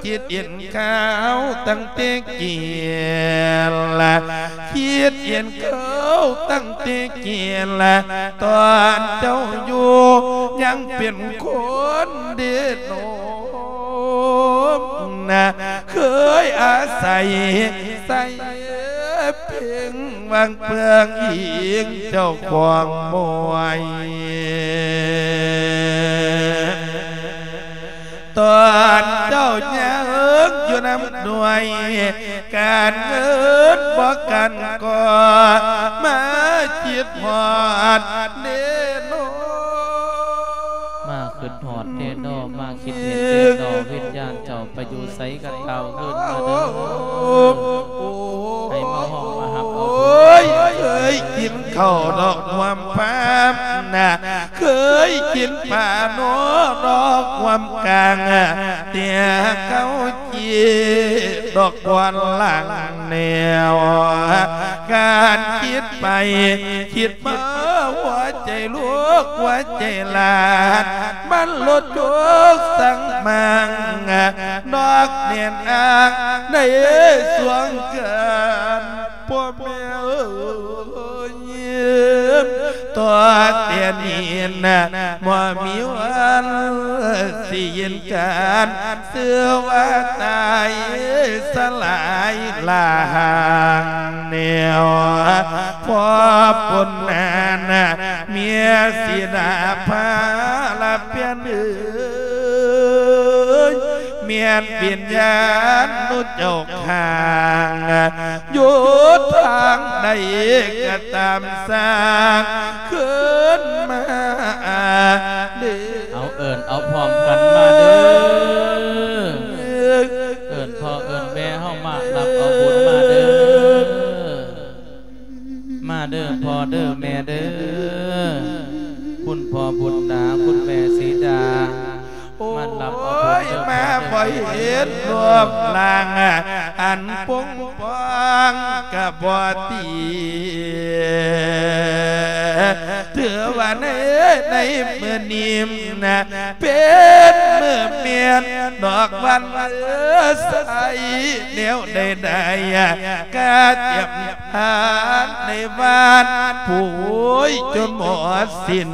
ຄິດເຫັນຂ່າວຕັ້ງແຕ່ກີ້ລະ ຄິດເຫັນຂ່າວຕັ້ງແຕ່ກີ້ລະ ຕອນເຈົ້າຢູ່ຍັງເປັນຄົນເດໂນມນະ ເຄີຍອາໄສໃສ່ເພິ່ງຫວັງເພິ່ງອີງເຈົ້າຂອງມວຍ ຕອນເຈົ້າຍັງຢູ່ນຳໜ່ວຍ ການເງິນບໍ່ກັນກໍມາຄິດຮອດເດໂນ ມາຄິດຮອດເດໂນ ມາຄິດເຫັນເດໂນ ວິນຍານເຈົ້າໄປຢູ່ໃສກໍກ່າວຄືນມາເດີ ໃຫ້ມາຮ້ອງມາຮັບເອົາບຸນ ເຄີຍກິນເຂົ້າດອກຮ່ວມພາມນະ ເຄີຍກິນປາໂນດອກຮ່ວມກາງ ແຕ່ເຂົາ ເຈັບດອກບວນຫຼັງແນວ ການຄິດໄປຄິດມາ ຫົວໃຈລູກຫົວໃຈຫຼານ ມັນຫຼຸດໂຈກສັງມັງ ນອກແໜ້ນອ້າງໃນສວງກັນ ພໍ່ແມ່ເອີຍ ຕໍ່ແຕ່ນີ້ນະ ບໍ່ມີວັນຊິເຫັນກັນ ຊື່ວ່າຕາຍສະຫຼາຍລ່າງແນວ ພໍ່ປຸນນານະ ເມຍສີດາພາລະເປັນເອີຍ ແມ່ນວິນຍານນຸເຈົ້າຂ້າງ ຢູ່ທາງໃດກໍຕາມສ້າງຄືນມາເດີ ເອົາເອີ້ນເອົາພ້ອມກັນມາເດີ ເອີ້ນພໍ່ເອີ້ນແມ່ເຮົາມາຮັບເອົາບຸນມາເດີ ມາເດີພໍ່ເດີແມ່ເດີ ຄຸນພໍ່ບຸນຕາ ຄຸນແມ່ສີດາ ໂອ້ຍ ມາຮັບເອົາບຸນເດີ ມາບໍ່ເຫັນຮູບຮ່າງ ອັນປົງປອງກະບໍ່ຕີ ຖືວ່າໃນ ໃນມື້ນີ້ນະ ເປັນມື້ແມ່ນດອກວັນໃສ ແນວໃດໆ ກະຕຽມ ທານໃນວານ ໂອ້ຍ ຈົນໝົດສິ້ນ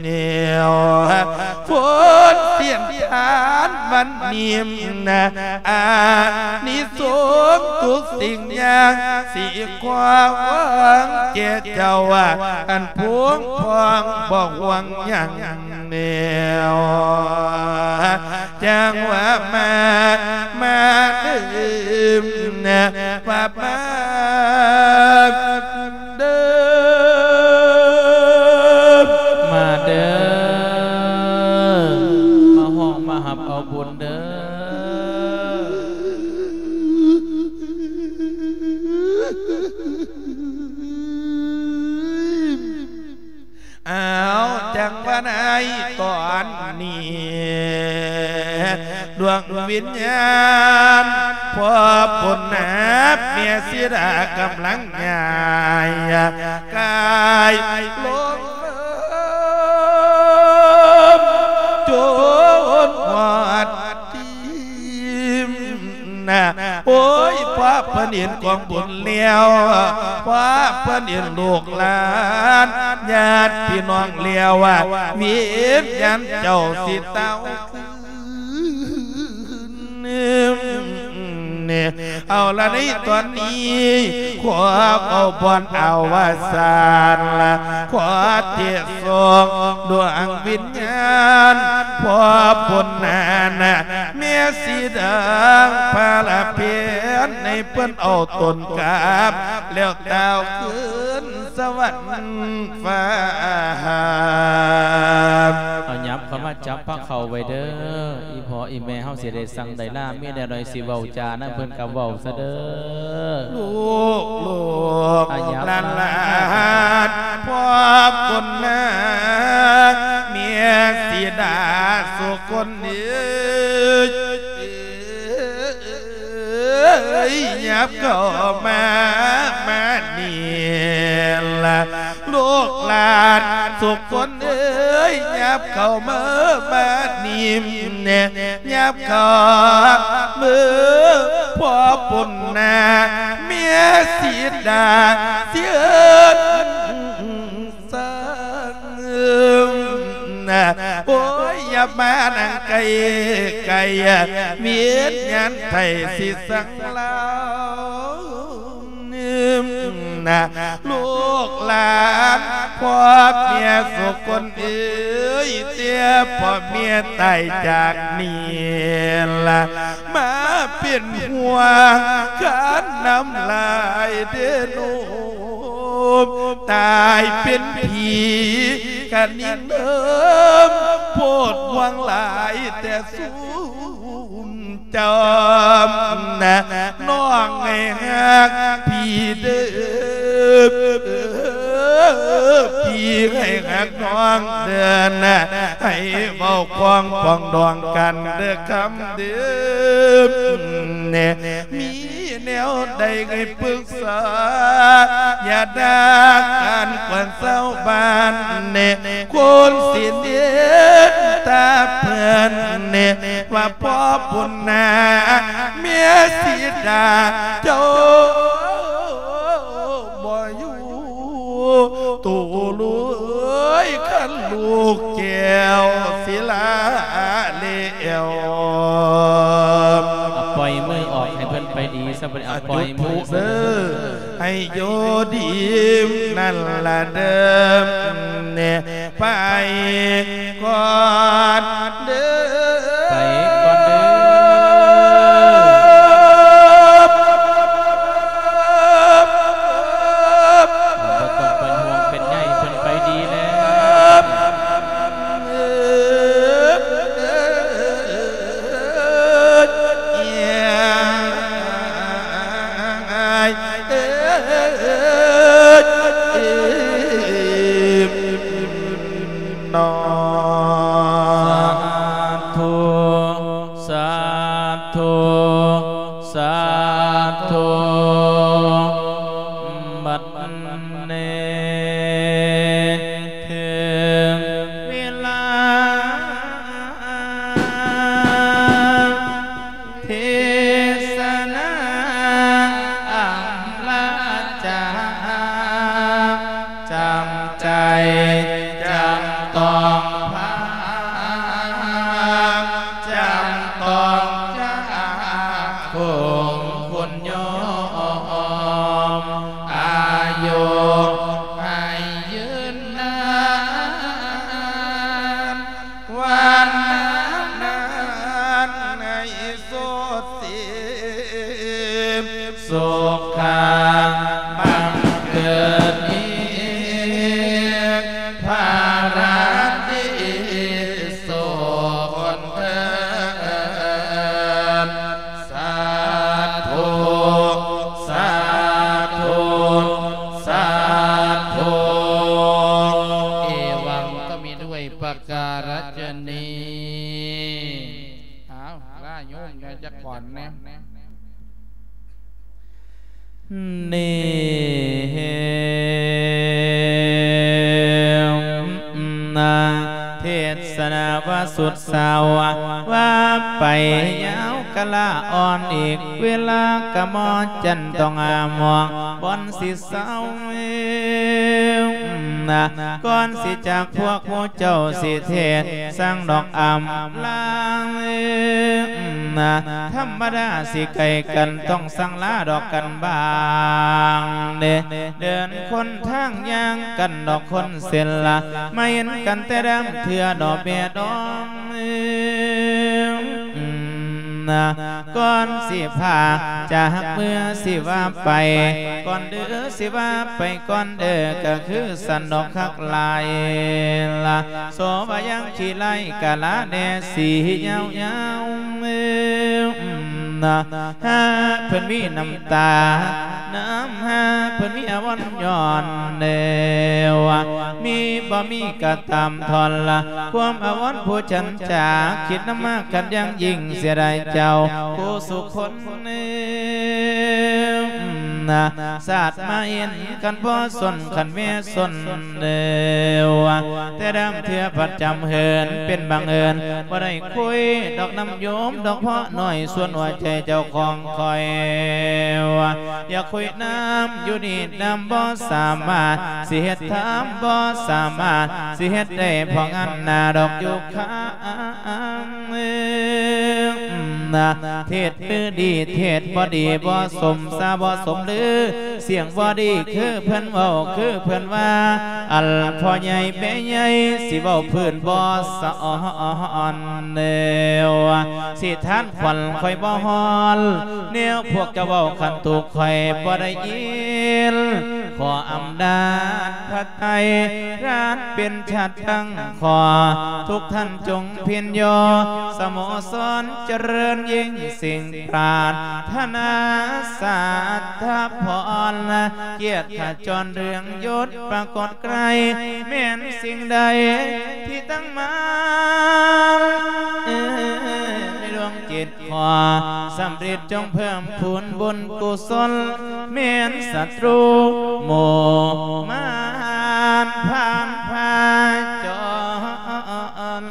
ແນວ ຜົນສິນທານວັນນີ້ນະ ອານິສົງທຸກສິ່ງຢ່າງ ຊິຂໍຫວັງແກ່ເຈົ້າ ອັນພວງພ້ອງບໍ່ຫ່ວງຫຍັງແນວ ຈັ່ງວ່າມາ ມາເດີ ວ່າມາເດີ ມາເດີ ມາຮ້ອງມາຮັບເອົາບຸນເດີ. ອ້າວ ຈັ່ງວ່າໃນຕອນນີ້ ດວງວິນຍານ ພວບພົນນາບ ເມຍສີດາກຳລັງຍ້າຍກາຍລົງ ຈົນຮອດທີ່ ນະ ໂອ້ຍ ພໍເພິ່ນເຫັນກອງບຸນແລ້ວ ພໍເພິ່ນເຫັນລູກຫຼານ ຍາດພີ່ນ້ອງແລ້ວ ວິນຍານເຈົ້າຊິເຕົ້າຄືນ. ເອົາລະ ໃນຕອນນີ້ ຂໍເອົາບ່ອນອາວະສານ ຂໍເທດສົ່ງດວງວິນຍານ ພໍ່ບຸນນານະ ແມ່ສີດາ ພະລະເພັນ ໃຫ້ເພິ່ນເອົາຕົນກັບ ແລ້ວຕ່າວຄືນສະຫວັນຟ້າ. ເອົາ ຫຍັບເຂົ້າມາຈັບພາເຂົ້າໄວ້ເດີ ອີ່ພໍ່ອີ່ແມ່ເຮົາຊິໄດ້ສັ່ງໄດ້ລາ ມີແນວໃດຊິເວົ້າຈານຳເພິ່ນກໍເວົ້າຊະເດີ. ລູກ ລູກ ອາ ຫຍັບ ຫຼານ ຫຼານ ພໍ່ບຸນນາ ແມ່ສີດາສຸຄົນເອີຍ ເອີຍ ຫຍັບເຂົ້າມາ ມານີ້ລະ ລູກຫຼານສຸຄົນເອີຍ ຫຍັບເຂົ້າມາ ມານີ້ແນ່ ຫຍັບເຂົ້າມາ ພໍ່ປຸນນາ ແມ່ສີດາ ເຊີນ ສັງ ໂອ້ຍ ຢ່າມານັ່ງໃກ້ໆ ວິນຍານໄທຊິສັງລາວ ນະ ລູກຫຼານ ພໍ່ແມ່ສຸຄົນເອີຍ ແຕ່ພໍ່ແມ່ຕາຍຈາກນີ້ລະ ມາເປັນຫ່ວງຄັນນ້ຳລາຍເດໂນ ຕາຍເປັນຜີກະນິງເດີມ ໂພດຫວັງຫຼາຍແຕ່ສູນຈອມນະ ນ້ອງໃຫ້ຮັກພີ່ເດີ ພີ່ໃຫ້ຮັກນ້ອງເດີນະ ໃຫ້ເວົ້າຄວາມປອງດອງກັນເດີຄຳເດີ ມີແນວໃດໃຫ້ປຶກສາ ຢ່າດ່າກັນກວນຊາວບ້ານແນ່ ຄົນຊິນິນທາເພິ່ນແນ່ ວ່າພໍ່ບຸນນາ ເມຍສີດາ ເຈົ້າບໍ່ຢູ່ໂຕເລີຍ ຄັນລູກແກ້ວສິລາແລ້ວ ອ່ະ ປ່ອຍມືອອກໃຫ້ເພິ່ນໄປດີຊະ ບໍ່ໄດ້ ອ່ະ ປ່ອຍມື ຈຸດທູບເດີ ໃຫ້ຢູ່ດີນັ້ນລະເດີ ແນ່ ໄປກ່ອນເດີ ໄປກ່ອນເດີ ບໍ່ຕ້ອງເປັນຫ່ວງເປັນໃຍ ເພິ່ນໄປດີແລ້ວ. ສາທຸ ສາທຸ ສາທຸ ບັດ ເນ ເຖິງເວລາເທສະນາອຳລາຈາ ຈຳໃຈ ຈຳຕ້ອງພາ ຈຳຕ້ອງຈາກ ຄົງຄົນຍອມ ອາຍຸໃຫ້ຍືນນານ ວັນນານໃຫ້ໂສດເສ ສຸຂະບັງເກີດອີກ ພາລາດີສຸກຄົນເທີນ ສາທຸ ສາທຸ ສາທຸ ເອວັງກະມິ ດ້ວຍປະກາລະຊະນີ. ອ້າວ ລາໂຍມແດ່ຈັກກ່ອນແນ່ ເນ ນາ ເທດ ສະນາວ່າສຸດເຊົາ ວ່າໄປຍາວກະລະອ່ອນອີກ ເວລາກະໝໍຈັນຕ້ອງອາມອງ ບ່ອນຊິເຊົານະ ກ່ອນຊິຈາກພວກໝູ່ເຈົ້າຊິເທດ ສ້າງດອກອຳລານະ ທຳມະດາຊິໄກກັນ ຕ້ອງສັ່ງລາດອກກັນບາງເດ ເດີນຄົນທາງຍ່າງກັນດອກຄົນເສັ້ນລະ ມາເຫັນກັນແຕ່ດຳເທື່ອດອກແມ່ດອງ ນະ ກ່ອນຊິພາຈາກເມືອຊິວ່າໄປ ກ່ອນເດີ ຊິວ່າໄປກ່ອນເດີ ກະຄືສັນດອກຄັກຫຼາຍລະ ໂສວ່າຍັງຂີ້ໄລ່ກະລາແດ່ສີຍາວໆ ນະ ຫາເພິ່ນມີນ້ຳຕາ ນ້ຳຫາເພິ່ນມີອາວອນຍ້ອນແນວ ມີບໍ່ມີກະຕາມທ່ອນລະ ຄວາມອາວອນຜູ້ສັນຈາ ຄິດນຳມາຄັນຢ່າງຍິ່ງ ເສຍດາຍເຈົ້າຜູ້ສຸຄົນ ນະ ຊາດມາເຫັນກັນບໍ່ສົນ ຄັນແມ່ສົນແລ້ວ ແຕ່ດຳເທື່ອພັດຈຳເຫີນ ເປັນບັງເອີນ ບໍ່ໄດ້ຄຸຍດອກນຳໂຍມ ດອກເພາະໜ້ອຍ ສ່ວນຫົວໃຈເຈົ້າຂອງຂ້ອຍ ຢາກຄຸຍນຳຢູ່ນີ້ນຳບໍ່ສາມາດ ຊິເຮັດຖາມບໍ່ສາມາດ ຊິເຮັດໄດ້ເພາະງານໜ້າດອກຢູ່ຂ້າງ ນະ ເທດຄືດີ ເທດບໍ່ດີ ບໍ່ສົມຊາ ບໍ່ສົມລື ສຽງບໍ່ດີຄືເພິ່ນເວົ້າ ຄືເພິ່ນວ່າ ອັນພໍ່ໃຫຍ່ແມ່ໃຫຍ່ ຊິເວົ້າພື້ນບໍ່ສະອອນແນວ ຊິທານຂວັນຂ້ອຍບໍ່ຮອດ ແນວພວກເຈົ້າເວົ້າຄັນຖືກຂ້ອຍບໍ່ໄດ້ຍິນ ຂໍອຳນາດພະໄຕ ລານເປັນຊາດຕັ້ງ ຂໍທຸກທ່ານຈົ່ງພິນຍໍ ສະໂມສອນຈະເລີນຍິ່ງ ສິ່ງປາດຖະໜາສາດຖະພອນ ກຽດຂະຈອນເລື່ອງຍົດປາກົດໄກ ແມ່ນສິ່ງໃດທີ່ຕັ້ງມາ ເອີ ໃນດວງຈິດ ຂໍສຳເລັດ ຈົ່ງເພີ່ມພູນບຸນກຸສົນ ແມ່ນສັດຕູໝູ່ມານຜ່ານພາຈອນ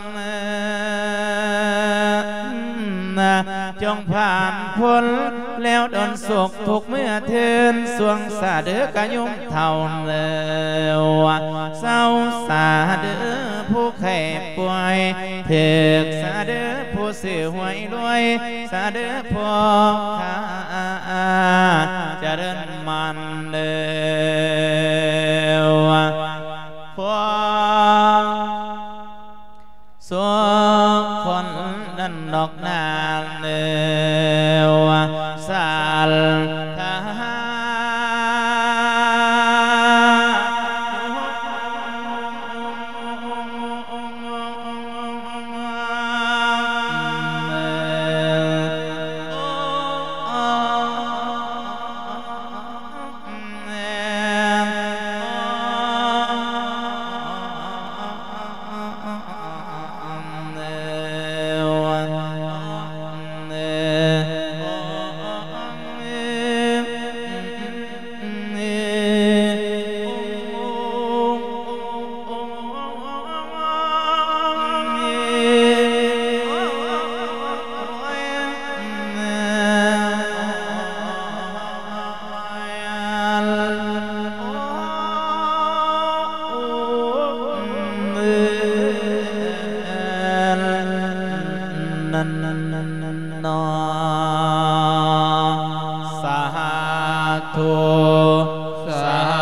ຈົ່ງຜ່ານພົ້ນແລ້ວດົນສຸກທຸກເມື່ອເທີນ ສວງສາເດີກະຍຸມເທົ້າແລ້ວ ເຊົາສາເດີຜູ້ໄຂ້ປ່ວຍ ຖືກສາເດີຜູ້ຊື້ຫວຍລວຍ ສາເດີພວກຂ້າຈະເດີນມັນເດີ ຄວາມສຸກຄົນນັ້ນດອກນາເດີ ສັດທາ ນັ້ນເນາະ ສາທຸ ສາ